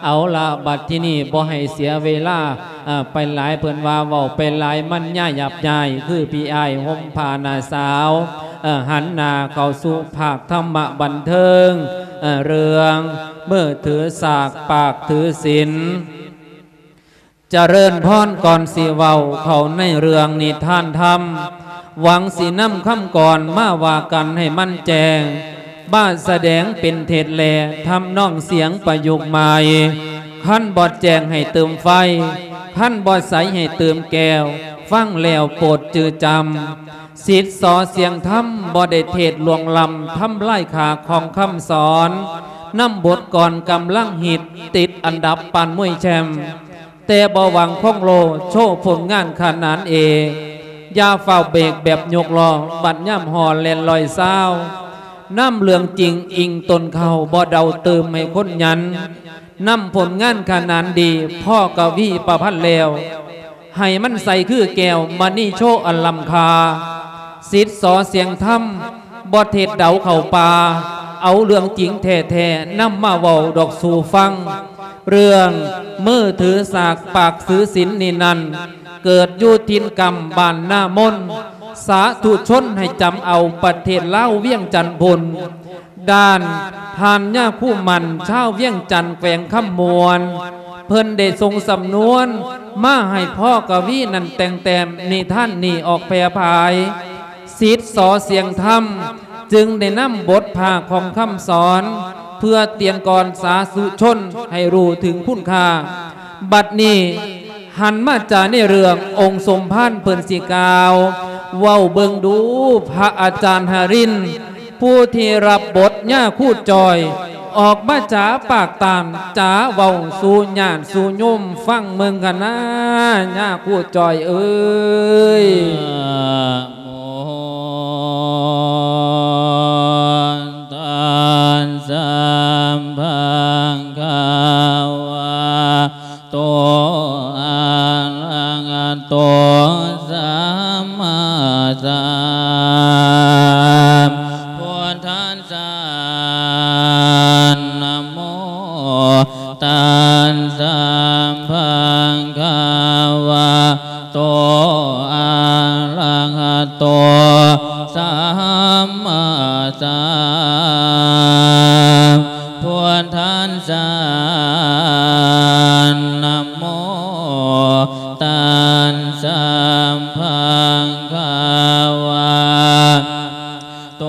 ເອົາລະ ບັດທີນີ້ບໍ່ໃຫ້ເສຍເວລາ ເອີ ໄປຫຼາຍ ເພິ່ນວ່າເວົ້າໄປຫຼາຍມັນຍາຫຍາບຍາຍ ຄືພີ່ອ້າຍຫົ່ມຜ້ານ້າສາວ ເອີ ຫັນໜ້າເຂົ້າສູ່ພາກທຳມະບັນເທີງ ເອີ ເລື່ອງມືຖືສາກປາກຖືສິນ. ຈະເລີນພອນ ກ່ອນຊິເວົ້າເຂົ້າໃນເລື່ອງນິທານທຳ ຫວັງຊິນຳຄຳກອນມາວ່າກັນໃຫ້ມັນແຈ້ງ ມາສະແດງເປັນເທດແລະທຳນອງສຽງປະຍຸກໃໝ່. ຄັນບໍ່ແຈ້ງໃຫ້ເຕີມໄຟ, ຄັນບໍ່ໃສໃຫ້ເຕີມແກ້ວ, ຟັງແລ້ວໂປດຈື່ຈຳ. ສິດສໍສຽງທຳ ບໍ່ໄດ້ເທດລ່ວງລ້ຳ ທຳລາຍຄ່າຂອງຄຳສອນ ນຳບົດກອນກຳລັງຮິດ ຕິດອັນດັບປານມວຍແຊມ ແຕ່ບໍ່ຫວັງຄົງໂລ ໂຊຜົນງານຂະໜານເອກ. ຢ່າຟ້າວເບກແບບຍົກລໍ້ ບັດຍາມຮອດແລ່ນຮ້ອຍຊາວ ນຳເລື່ອງຈິງອີງຕົ້ນເຄົ້າ ບໍ່ເດົາຕື່ມໃຫ້ຄົນຫຍັນ ນຳຜົນງານຂະໜານດີ ພໍກະວີປະພັນແລ້ວ ໃຫ້ມັນໃສຄືແກ້ວມະນີໂຊອັນລ້ຳຄ່າ. ສິດສໍສຽງທຳ ບໍ່ເທດເດົາເຂົ້າປ່າ ເອົາເລື່ອງຈິງແທ້ໆ ນຳມາເວົ້າດອກສູ່ຟັງ. ເລື່ອງມືຖືສາກປາກຖືສິນນີ້ນັ້ນ ເກີດຢູ່ຖິ່ນກຳບ້ານນາມົນ ສາທຸຊົນໃຫ້ຈຳເອົາ ປະເທດລາວວຽງຈັນພຸ້ນ. ດ້ານທ່ານຍາຄູໝັ້ນ ຊາວວຽງຈັນ ແຂວງຄຳມ່ວນ ເພິ່ນໄດ້ສົ່ງສຳນວນມາໃຫ້ພໍ່ກະວີນັ້ນແຕ່ງແຕ້ມນິທານນີ້ອອກແຜ່ຜາຍ. ສິດສໍສຽງທຳຈຶ່ງໄດ້ນຳບົດພາກຂອງຄຳສອນ ເພື່ອຕຽນກອນສາທຸຊົນໃຫ້ຮູ້ເຖິງຄຸນຄ່າ. ບັດນີ້ ຫັນມາຈາໃນເລື່ອງອົງສົມພານເພິ່ນຊິກ່າວ ເວົ້າເບິ່ງດູ ພະອາຈານຫະລິນ ຜູ້ທີ່ຮັບບົດຍາຄູຈ່ອຍ ອອກມາຈາປາກຕານ ຈາເວົ້າສູ່ຍາດສູ່ໂຍມຟັງເບິ່ງຄະນາ ຍາຄູຈ່ອຍເອີຍ. ຕັດສະ ພະຄະວະໂຕ ອະລະຫະໂຕ ສຳມາສຳພຸດທັດສະ ນະໂມ ຕັດສະ ພະຄະວະ ໂຕ ອະລະຫະໂຕ ສຳມາສຳພຸດທັດສະ ນະໂມ ຕັດສະ ພະຄະວະ ໂຕ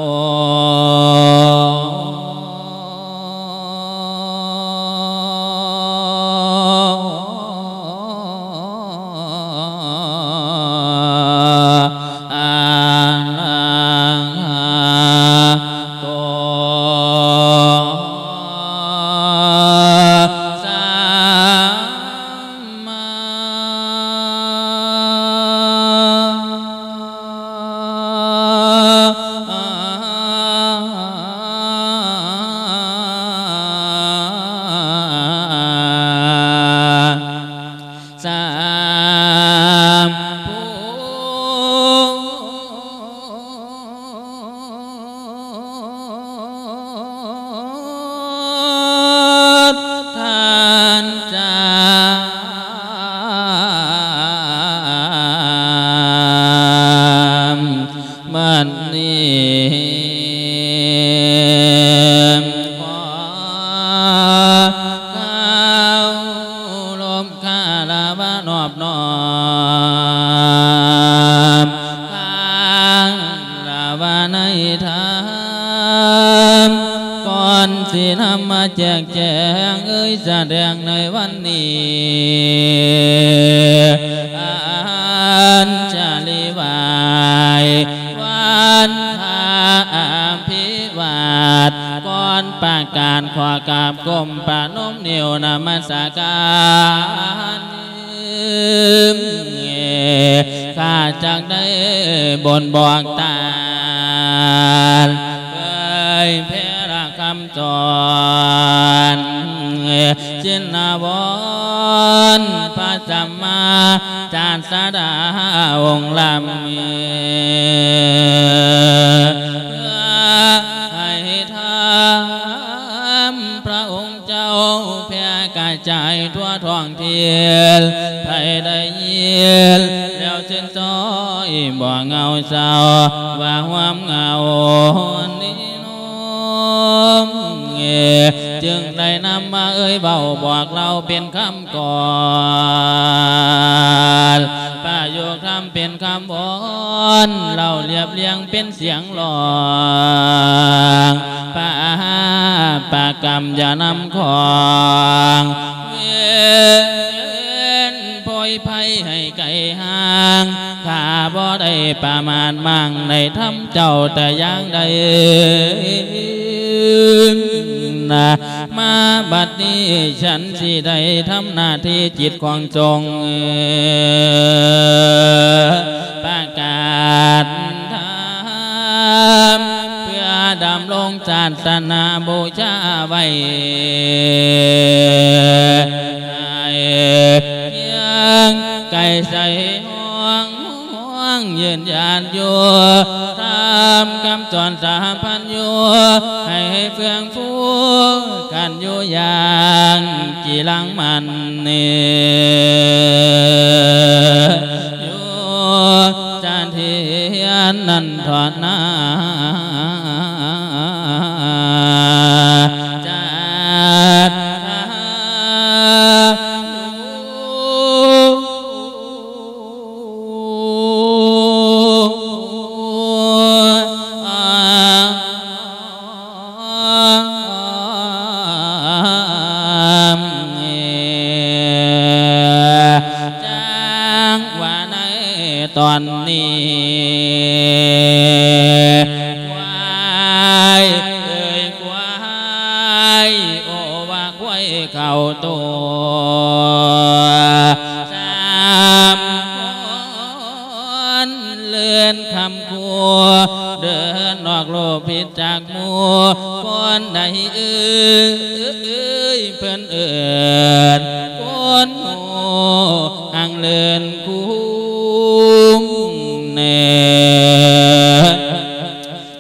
ອະລະຫະໂຕ ສຳມາ ສຳພຸດ ທັດສະ ບັດນີ້ ຂໍເຄົາລົບຄາລະວະນອບນ້ອມ ຄາລະວະໃນທຳ ກ່ອນຊິນຳມາແຈກແຈງເອີຍສະແດງໃນວັນນີ້ ອັນຈະລິວາຍ ວັນພະອະພິວາດ ກ່ອນປະກາດຂໍກາບກົ້ມປະນົມນິ້ວນະມັດສະການ ຂ້າຈັກໄດ້ບົນບອກຕານ ເຜີຍແຜ່ລະຄຳສອນ ຊິນນະວອນ ພະສຳມາ ສາດສະດາອົງລ້ຳ ເພື່ອໃຫ້ທຳພະອົງເຈົ້າແຜ່ກະ ຈາຍທົ່ວທ້ອງຖິ່ນ ໃຜໄດ້ຍິນແລ້ວຊື່ນຊອຍ ບໍ່ເຫງົາເສົ້າວ່າຮ່ວມເຫງົານີ້ນອງ ຈຶ່ງໄດ້ນຳມາເອີ່ຍເວົ້າບອກເລົ່າເປັນຄຳກ່ອນ ປະໂຫຍກທຳເປັນຄຳວອນ ເລົ່າລຽບລຽງເປັນສຽງຮ້ອງ ປະຫາປະກຳຢ່ານຳຂອງ ເວັນໂພຍໄພໃຫ້ໄກຫ່າງ ຂ້າບໍ່ໄດ້ປະມາດໝັ່ງໃນທຳເຈົ້າແຕ່ຢ່າງໃດນະ ມາບັດນີ້ ສັນຊິໄດ້ທຳໜ້າທີ່ຈິດຂອງສົງ ປະກາດທຳ ເພື່ອດຳລົງສາສະໜາບູຊາໄວ້ ໃຫ້ຄຽງໄກໃສ່ຫ້ອງ ຮ່ວງຢືນຢານຢູ່ ຕາມຄຳສອນສາພັນຢູ່ ໃຫ້ເຟື່ອງຟູກັນຢູ່ຢ່າງກີລັງມັນນີ້ ຢູ່ສະຖຽນນັ້ນເທາະນາ ຈັດທາ ຈັງຫວະໃນຕອນນີ້ ຄວາຍເອີຍຄວາຍ ໂອວ່າຄວາຍເຂົ້າຕົວ ສາມຄົນເລື່ອນຄຳ ຄົວເດີນອອກໂລກຜິດຈາກໝູ່ ຄົນໃດເອີຍ ເພິ່ນເອີ້ນຄົນໂງ່ ຮັ່ງເລີນຄຸ້ມແນ່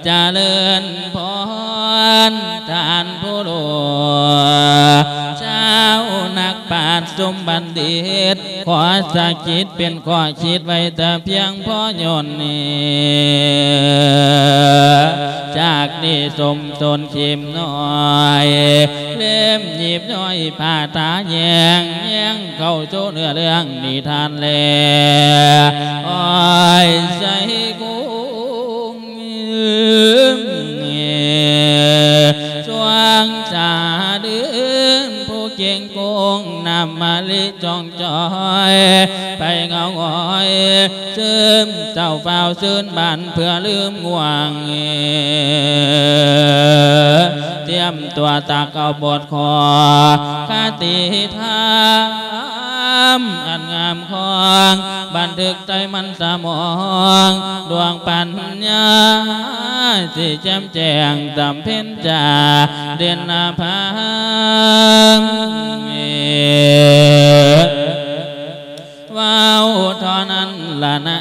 ຈະເລີນພອນທ່ານຜູ້ຫຼວງ ຊາວນັກປາດຊຸມບັນດິດ ຂໍສະກິດເປັນຂໍ້ຄິດໄວ້ແຕ່ພຽງພໍໂຍນນີ້ ຈາກນີ້ສົມຊົນເຂັມນ້ອຍ ເຫຼັ້ມຫຍິບຍ້ອຍຜ້າຕາແຍງ ແຍງເຂົ້າສູ່ເນື້ອເລື່ອງນິທານແລ ອ້ອຍໃສ່ກຸງ ຊ່ວງສາເດືອນ ຜູ້ເກັ່ງກົງ ນ້ຳມະລິຈ່ອງຈ່ອຍ ໄປເຫງົາຫງອຍ ຊຶມເສົ້າຟ້າວຊືນບານ ເພື່ອລືມງ່ວງ ຕຽມຕົວຕັກເອົາບົດ ຂໍຄະຕິທຳອັນງາມຂອງ ບັນທຶກໃສ່ມັນສະໝອງ ດວງປັນຍາຊິແຈ່ມແຈ້ງ ຈຳເພັນຈາເດັ່ນນະພັງ ເວົ້າເທົ່ານັ້ນລະນາ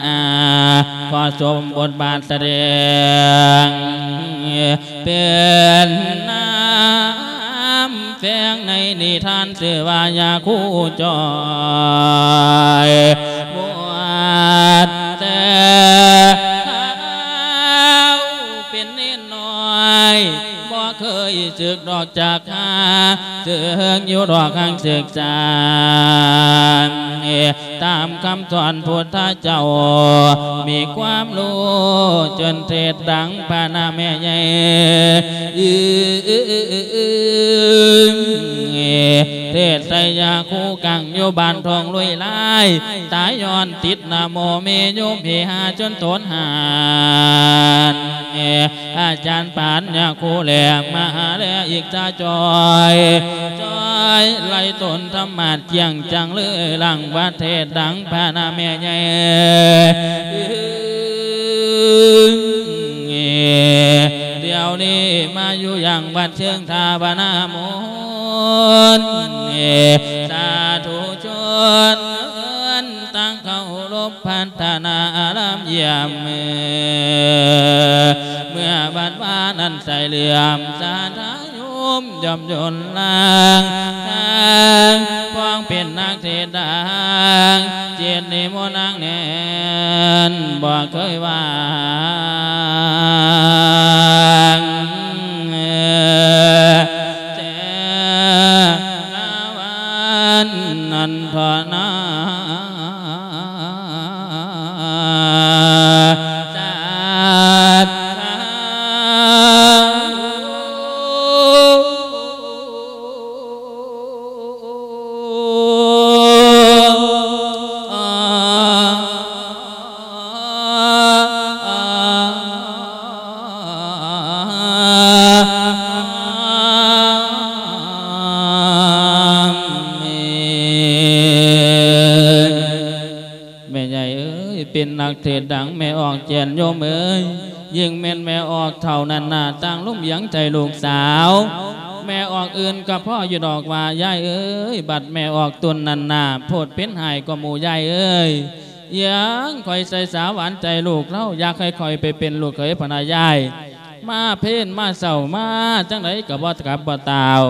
ຂໍສົມບົດບາດສະແດງ ເປັນນາມແຝງໃນນິທານ ຊື່ວ່າຍາຄູຈ່ອຍ ບວດແຕ່ເຮົາເປັນເນນນ້ອຍ ບໍ່ເຄີຍສຶກດອກຈັກຫາ ເຊິ່ງຢູ່ດອກຫາງສຶກສາ ຕາມຄຳສອນພຸດທະເຈົ້າ ມີຄວາມຮູ້ຈົນເທດດັງພະນະແມ່ໃຫຍ່ ເທດໃສ່ຍາຄູກັງຢູ່ບ້ານທົ່ງລຸຍລາຍ ຕາຍຍ້ອນຕິດນະໂມເມໂຍມເພຫາຈົນຕົນຫານ ອາຈານປານຍາຄູແລະມະຫາແລະອີກຈາຈ່ອຍ ຈ່ອຍໄລ່ຕົນທຳມາດ ກຽງຈັງເລີຍຫຼັງວັດເທດດັງພະນະແມ່ໃຫຍ່ ດຽວນີ້ມາຢູ່ຍັງວັດເຊີງທາວະນາມົນ ສາທຸຊົນ ຕັ້ງເຄົາລົບພັດທະນາອາລາມຢ້ຽມ ເມື່ອວັດວານັ້ນໃສເຫຼື້ອມສາທາໂຍມ ຍ່ອມຍົນລາງທາງ ເປັນນັກເທດດັງ ຈິດນິມົນນາງແໜ້ນ ບໍ່ເຄີຍວ່າງ ແຕ່ລະວັນນັ້ນເທາະນາ ສາທຸ. ແມ່ໃຫຍ່ເອີຍ ເປັນນັກເທດດັງ ແມ່ອອກແຈນໂຍມເອີຍ ຍິ່ງແມ່ນແມ່ອອກເຖົ້ານັ້ນໜ້າ ຕ່າງລົມຫວຽງໃຈລູກສາວ ແມ່ອອກອື່ນກໍພໍຢູ່ດອກວ່າ ຍາຍເອີຍ ບັດແມ່ອອກຕຸນນັ້ນໜ້າ ໂພດເປັນຫາຍກວ່າໝູ່ ຍາຍເອີຍ ຫຍັງຂ້ອຍໃສ່ສາຫວານໃຈລູກລາວ ຢາກໃຫ້ຂ້ອຍໄປເປັນລູກເຂີຍພະນະຍາຍ ມາເພນມາເຊົ້າ ມາຈັ່ງໃດກໍບໍ່ກັບບໍ່ຕ່າວ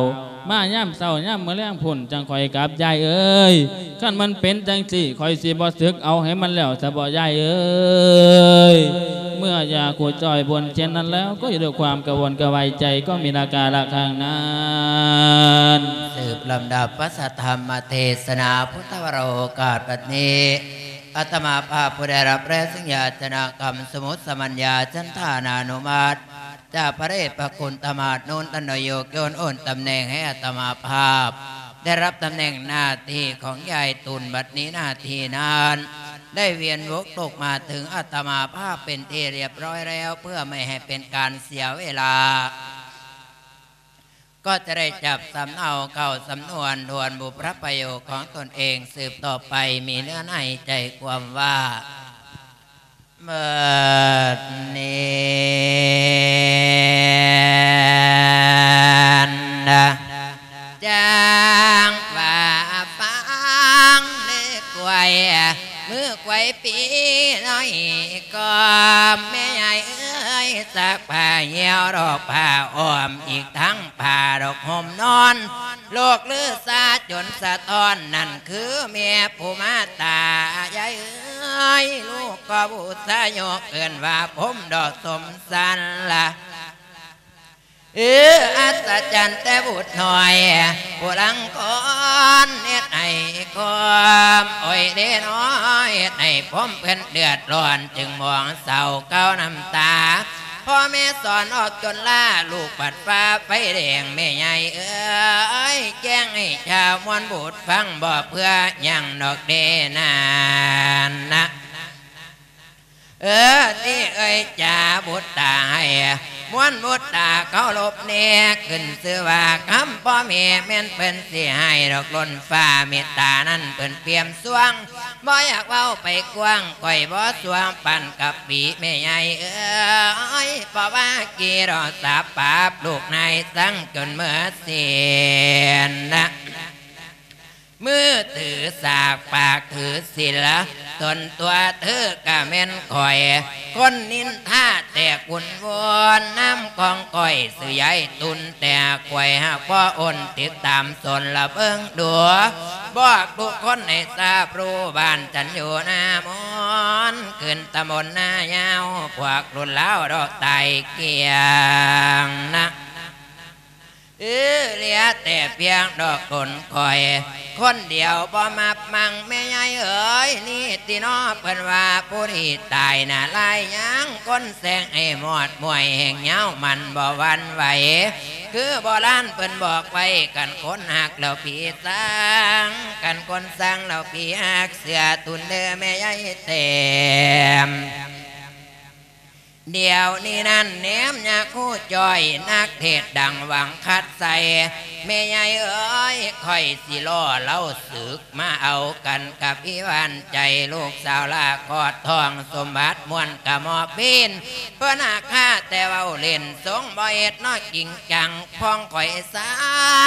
ມາຍາມເຊົ້າຍາມມື້ແລງພຸ້ນ ຈັ່ງຄ່ອຍກັບ ຍາຍເອີຍ ຄັນມັນເປັນຈັ່ງຊີ້ ຂ້ອຍຊິບໍ່ສຶກ ເອົາໃຫ້ມັນແລ້ວຊະເບາະ ຍາຍເອີຍ. ເມື່ອຢາຄູ່ຈ້ອຍບົນເຊັ່ນນັ້ນແລ້ວ ກໍຢູ່ດ້ວຍຄວາມກະວົນກະວາຍໃຈ ກໍມີອາການລະຄັ້ງນັ້ນ ສືບລຳດັບພະສັດທຳມະເທດສະໜາພຸດທະວະໂລກາດບັດນີ້ ອາດຕະມາພາບຜູ້ໄດ້ຮັບແລະສັນຍາຈະນະກຳ ສະໝຸດສະມັນຍາ ຈັນທານານຸມັດ ຈາກພະເດດພະຄຸນທາດໂນນທັນ ໄດ້ໂຍກຍ້ອນໂອນຕຳແໜ່ງໃຫ້ອາດຕະມາພາບ ໄດ້ຮັບຕຳແໜ່ງໜ້າທີ່ຂອງຍາຍຕຸນ ບັດນີ້ໜ້າທີ່ນັ້ນ ໄດ້ວຽນວົກຕົກມາເຖິງອາດຕະມາພາບເປັນທີ່ລຽບຮ້ອຍແລ້ວ ເພື່ອໄມ່ໃຫ້ເປັນການເສຍເວລາ ກໍຈະໄດ້ຈັບສຳເນົາເຂົ້າສຳນວນທວນບຸບພະປະໂຫຍດຂອງຕົນເອງສືບຕໍ່ໄປ ມີເນື້ອໃນໃຈຄວາມວ່າ ບັດນີ້ນະ ຈັ່ງວ່າຟັງເດີກວຍ ມື້ກວຍປີນ້ອຍກໍ ແມ່ຍາຍເອີຍ ຊັກຜ້າຫ່ຽວດອກຜ້າອ້ອມ ອີກທັງຜ້າດອກຫົ່ມນອນ ລູກລືສາຈົນສະທ້ອນ ນັ້ນຄືແມ່ຜູ້ມາຕາຍາຍເອີຍ ລູກກໍບູຊາຍົກເອີ້ນວ່າພົມດອກສົມສັນລະ ເອີ ອັດສະຈັນແຕ່ບຸດນ້ອຍຜູ້ລັງກອນ ເຮັດໃຫ້ຄວາມໂອຍເດນ້ອຍ ເຮັດໃຫ້ຜົມເພິ່ນເດືອດຮ້ອນ ຈຶ່ງມອງເສົ້າເກົ້ານ້ຳຕາ ພໍ່ແມ່ສອນອອກຈົນລາ ລູກບັດຟ້າໄຟແດງ ແມ່ໃຫຍ່ເອີຍ ແຈ້ງໃຫ້ຊາວມວນບຸດຟັງ ບໍ່ເພື່ອຫຍັງດອກເດນັ້ນນະ. ເອີ ທີ່ເອີຍຈາບຸດຕາໃຫ້ ມວນບຸດຕາເຄົາລົບແນ່ ຂຶ້ນຊື່ວ່າຄຳພໍ່ແມ່ ແມ່ນເພິ່ນຊິໃຫ້ດອກລົ້ນຟ້າ ເມດຕານັ້ນເພິ່ນປ່ຽມສວງ ບໍ່ຢາກເວົ້າໄປກວ້າງ ຂ້ອຍບໍ່ສວງປານກັບປີແມ່ໃຫຍ່ເອີຍ ເພາະວ່າກີ່ດອກສາບປາບ ລູກນາຍສັ່ງຈົນເມີ້ອສິ້ນນະ. ມືຖືສາກ ປາກຖືສິນລະ ຕົນຕົວເທີກະແມ່ນຂ້ອຍ ຄົນນິນທາແຕກວຸ່ນວອນ ນາມຂອງຂ້ອຍຊື່ຍາຍຕຸນ ແຕ່ຂ້ອຍຫາກບໍ່ອົນ ຕິດຕາມສົນລະເບິ່ງດູ ບອກທຸກຄົນໃຫ້ຊາບຮູ້ ບ້ານຈັນຢູ່ນາມອນ ຂຶ້ນຕຳບົນນາຍາວ ພວກລຸ້ນລາວດອກຕາຍກ້ຽງນະ. ເອີ ເຫຼືອແຕ່ພຽງດອກຕົນຂ້ອຍຄົນດຽວບໍ່ມັບມັງ ແມ່ໃຫຍ່ເອີຍ ນີ້ຕິນໍ ເພິ່ນວ່າຜູ້ທີ່ຕາຍນະລາຍຍັງ ຄົນແຊງໃຫ້ມອດມວຍແຫ່ງຍາວ ມັນບໍ່ຫວັ່ນໄຫວ ຄືໂບລານເພິ່ນບອກໄວ້ ຄັນຄົນຮັກແລ້ວຜີຊັງ ຄັນຄົນຊັງແລ້ວຜີຮັກ ເຊື່ອຕຸນເດີແມ່ໃຫຍ່ແຕ້ມ. ດຽວນີ້ນັ້ນແນມຍາຄູຈ້ອຍ ນັກເທດດັງຫວັງຄັດໃສ່ ແມ່ໃຫຍ່ເອີຍ ຂ້ອຍຊິລໍລາວສຶກ ມາເອົາກັນກັບອີຫວານໃຈ ລູກສາວລາຄອດທອງ ສົມບັດມ່ວນກະໝໍ້ພີນ ເພິ່ນຫາກຂ້າແຕ່ເວົ້າຫຼິ້ນ ຊົງບໍ່ເຮັດເນາະຈິງຈັງ ພອງຂ້ອຍສ້າ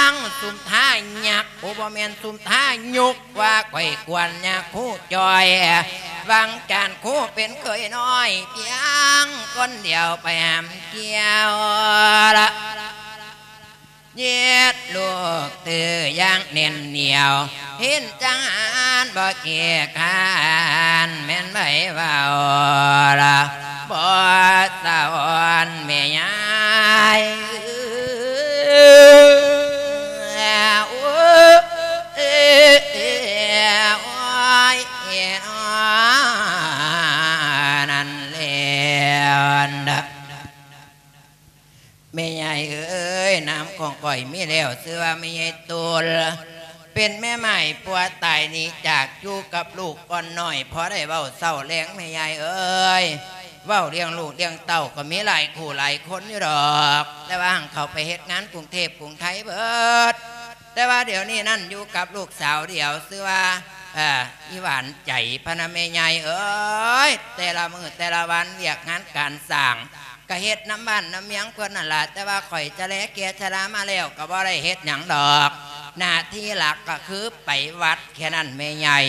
ງ ຊຸມທ່າຍັກ ໂອ ບໍ່ແມ່ນ ຊຸມທ່າຍຸກ ວ່າຂ້ອຍກວນຍາຄູຈ້ອຍ ຫວັງຈານຄູເປັນເຂີຍນ້ອຍ ພຽງຄົນດຽວໄປຫາມກ່ຽວລະ ເຢັດລູກຕື້ຢ່າງແໜ້ນໜຽວ ເຫັນຈັ່ງຫັ້ນບໍ່ຂີ້ຄ້ານ ແມ່ນໃຜເວົ້າລະບໍ່ສະອອນແມ່ຍາຍເອີຍ ໂອ້ຍ ໂອ້ຍ ນັ້ນແລ້ວນະ. ແມ່ໃຫຍ່ເອີຍ ນາມຂອງຂ້ອຍມີແລ້ວ ຊື່ວ່າແມ່ໃຫຍ່ຕຸນ ເປັນແມ່ໝ້າຍປົວຕາຍໜີຈາກ ຢູ່ກັບລູກອ່ອນນ້ອຍ ພໍໄດ້ເວົ້າເຊົ້າແລງ ແມ່ໃຫຍ່ເອີຍ ເວົ້າລ້ຽງລູກລ້ຽງເຕົ້າກໍມີຫຼາຍຄູ່ຫຼາຍຄົນຢູ່ດອກ ແຕ່ວ່າຫາກເຂົາໄປເຮັດງານກຸງເທບກຸງໄທເບິດ ແຕ່ວ່າດຽວນີ້ນັ້ນຢູ່ກັບລູກສາວດຽວ ຊື່ວ່າ ເອີ ອີຫວານໃຈ ພະນະແມ່ໃຫຍ່ເອີຍ ແຕ່ລະມື້ແຕ່ລະວັນວຽກງານການສ້າງ ກະເຮັດນຳບ້ານນຳເມືອງເພິ່ນນັ້ນລະ ແຕ່ວ່າຂ້ອຍຈະແລແກ່ຊະລາມາແລ້ວ ກະບໍ່ໄດ້ເຮັດຫຍັງດອກ ໜ້າທີ່ຫຼັກກະຄືໄປວັດແຄ່ນັ້ນແມ່ໃຫຍ່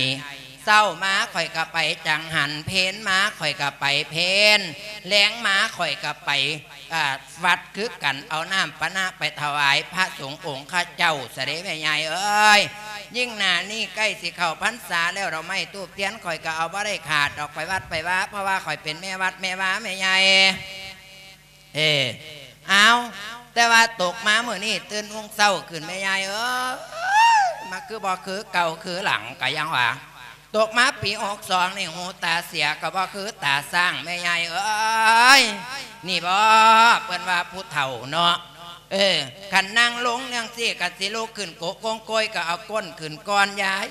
ເຊົ້າມາຂ້ອຍກະໄປຈັງຫັນ ເພນມາຂ້ອຍກະໄປເພນ ແລງມາຂ້ອຍກະໄປ ອາ ວັດຄືກັນ ເອົານ້ຳປານະໄປຖວາຍພະສົງອົງຄະເຈົ້າຊະເດແມ່ໃຫຍ່ເອີຍ ຍິ່ງໜ້ານີ້ໃກ້ຊິເຂົ້າພັນສາແລ້ວ ດອກໄມ້ທູບທຽນຂ້ອຍກະເອົາບໍ່ໄດ້ຂາດດອກ ໄປວັດໄປວາ ເພາະວ່າຂ້ອຍເປັນແມ່ວັດແມ່ວາແມ່ໃຫຍ່ ເອີ ອ້າວ ແຕ່ວ່າຕົກມາມື້ນີ້ຕື່ນຮຸ່ງເຊົ້າຂຶ້ນແມ່ໃຫຍ່ເອີຍ ມາຄືບໍ່ຄືເກົ່າຄືຫຼັງກະຍັງວ່າ ຕົກມາປີຫົກສອງນີ້ ຫູຕາເສຍກໍບໍ່ຄືຕາຊ້າງ ແມ່ໃຫຍ່ເອີຍ ນີ້ບໍ ເພິ່ນວ່າຜູ້ເຖົ້າເນາະ ເອີ ຄັນນັ່ງລົງຈັ່ງຊີ້ ຄັນຊິລຸກຂຶ້ນໂກະກົງໂກຍ ກໍເອົາກົ້ນຂຶ້ນກ່ອນຍາຍ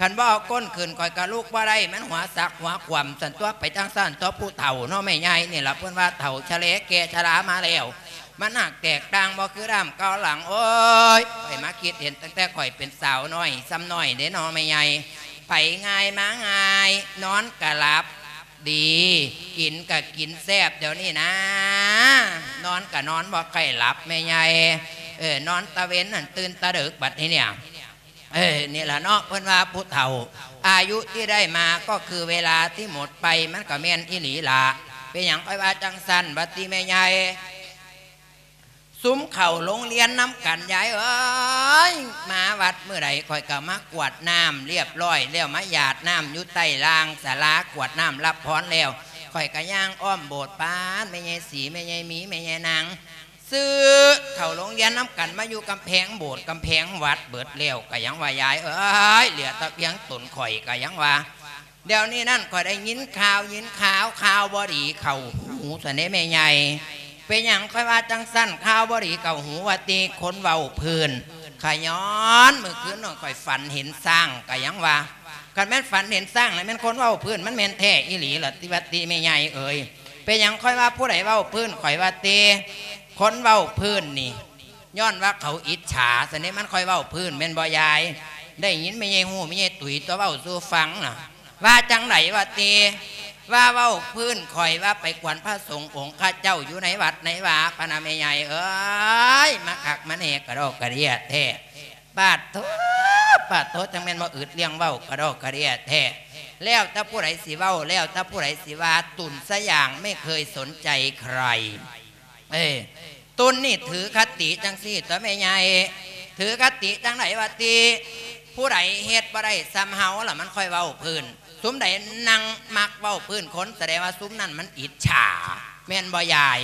ຄັນບໍ່ເອົາກົ້ນຂຶ້ນ ຂ້ອຍກໍລຸກບໍ່ໄດ້ ມັນຫົວສັກຫົວຂວ້ຳ ຊັ້ນຕົວະ ໄປຈັ່ງຊັ້ນຕົວະ ຜູ້ເຖົ້າເນາະ ແມ່ໃຫຍ່ ນີ້ລະເພິ່ນວ່າເຖົ້າຊະແລແກ່ຊະລາມາແລ້ວ ມັນຫາກແຕກຕ່າງບໍ່ຄືດຳເກົ່າຫຼັງ ໂອ້ຍ ຂ້ອຍມາຄິດເຫັນຕັ້ງແຕ່ຂ້ອຍເປັນສາວນ້ອຍຊ່ຳນ້ອຍເດ້ເນາະແມ່ໃຫຍ່ ໄປງ່າຍມາງ່າຍ ນອນກະຫຼັບດີ ກິນກະກິນແຊບ ດຽວນີ້ນາ ນອນກະນອນບໍ່ຄ່ອຍຫຼັບແມ່ໃຫຍ່ ເອີ ນອນຕາເວັນຫັ້ນຕື່ນຕາເດິກບັດນີ້ເນຍ ເອີ ນີ້ລະເນາະ ເພິ່ນວ່າຜູ້ເຖົ້າ ອາຍຸທີ່ได้มาก็คือเวลาที่หมดไป ມັນກໍແມ່ນອີ່ຫຼີລະ ເປັນຫຍັງຂ້ອຍວ່າຈັ່ງຊັ້ນ ວ່າຕິແມ່ໃຫຍ່ ຊຸມເຂົ້າໂຮງຮຽນນຳກັນ ຍາຍເອີຍ ມາວັດມື້ໃດຂ້ອຍກໍມາກວດນ້ຳລຽບຮ້ອຍແລ້ວ ມາຢາດນ້ຳຢູ່ໃຕ້ລ່າງສາລາ ກວດນ້ຳຮັບພອນແລ້ວ ຂ້ອຍກໍຍ່າງອ້ອມໂບດປານແມ່ໃຫຍ່ສີ ແມ່ໃຫຍ່ມີ ແມ່ໃຫຍ່ນາງ ຊື້ເຂົ້າໂຮງຮຽນນຳກັນ ມາຢູ່ກຳແພງໂບດກຳແພງວັດເບິດແລ້ວ ກໍຍັງວ່າ ຍາຍເອີຍ ເຫຼືອແຕ່ພຽງຕົນຂ້ອຍ ກໍຍັງວ່າ ດຽວນີ້ນັ້ນຂ້ອຍໄດ້ຍິນຂ່າວ ຍິນຂ່າວ ຂ່າວບໍ່ດີເຂົ້າຫູຊັ້ນເດ້ແມ່ໃຫຍ່ ເປັນຫຍັງຂ້ອຍວ່າຈັ່ງຊັ້ນ ຂ່າວບໍ່ດີເຂົ້າຫູວ່າຕິ ຄົນເວົ້າພື້ນ ຂ້າຍ້ອນມື້ຄືນນັ້ນຂ້ອຍຝັນເຫັນຊ້າງ ກໍຍັງວ່າ ຄັນແມ່ນຝັນເຫັນຊ້າງ ລະແມ່ນຄົນເວົ້າພື້ນ ມັນແມ່ນແທ້ອີ່ຫຼີລະຕິ ວ່າຕິແມ່ໃຫຍ່ເອີຍ ເປັນຫຍັງຂ້ອຍວ່າຜູ້ໃດເວົ້າພື້ນ ຂ້ອຍວ່າຕິ ຄົນເວົ້າພື້ນນີ້ ຍ້ອນວ່າເຂົາອິດສາຊັ້ນເດ້ ມັນຄ່ອຍເວົ້າພື້ນແມ່ນບໍ່ຍາຍ? ໄດ້ຍິນແມ່ໃຫຍ່ຮູ້ ແມ່ໃຫຍ່ຕຸ້ຍຕົວະເວົ້າສູ່ຟັງນະ ວ່າຈັ່ງໃດວ່າຕິ? ວ່າເວົ້າພື້ນຂ້ອຍວ່າໄປກວນພະສົງອົງຄະເຈົ້າຢູ່ໃນວັດໃນວາ ພະນະແມ່ໃຫຍ່ເອີຍ ມາຄັກມາແນ່ກະດອກກະເດຍແທ້ ປາດໂທ້ ປາດໂທ້ ຈັ່ງແມ່ນບໍ່ອຶດລຽງເວົ້າກະດອກກະເດຍແທ້ ແລ້ວແຕ່ຜູ້ໃດຊິເວົ້າ ແລ້ວແຕ່ຜູ້ໃດຊິວ່າ ຕຸນສະຫຍາງໄມ່ເຄີຍສົນໃຈໃຄ ເອີ ຕຸນນີ້ຖືຄະຕິຈັ່ງຊີ້ຕົວະແມ່ໃຫຍ່ ຖືຄະຕິຈັ່ງໃດວ່າຕິ ຜູ້ໃດເຮັດບໍ່ໄດ້ຊ່ຳເຮົາລະມັນຄ່ອຍເວົ້າພື້ນ ຊຸມໃດນັ່ງມັກເວົ້າພື້ນຄົນ ສະແດງວ່າຊຸມນັ້ນມັນອິດສາ ແມ່ນບໍ່ຍາຍ?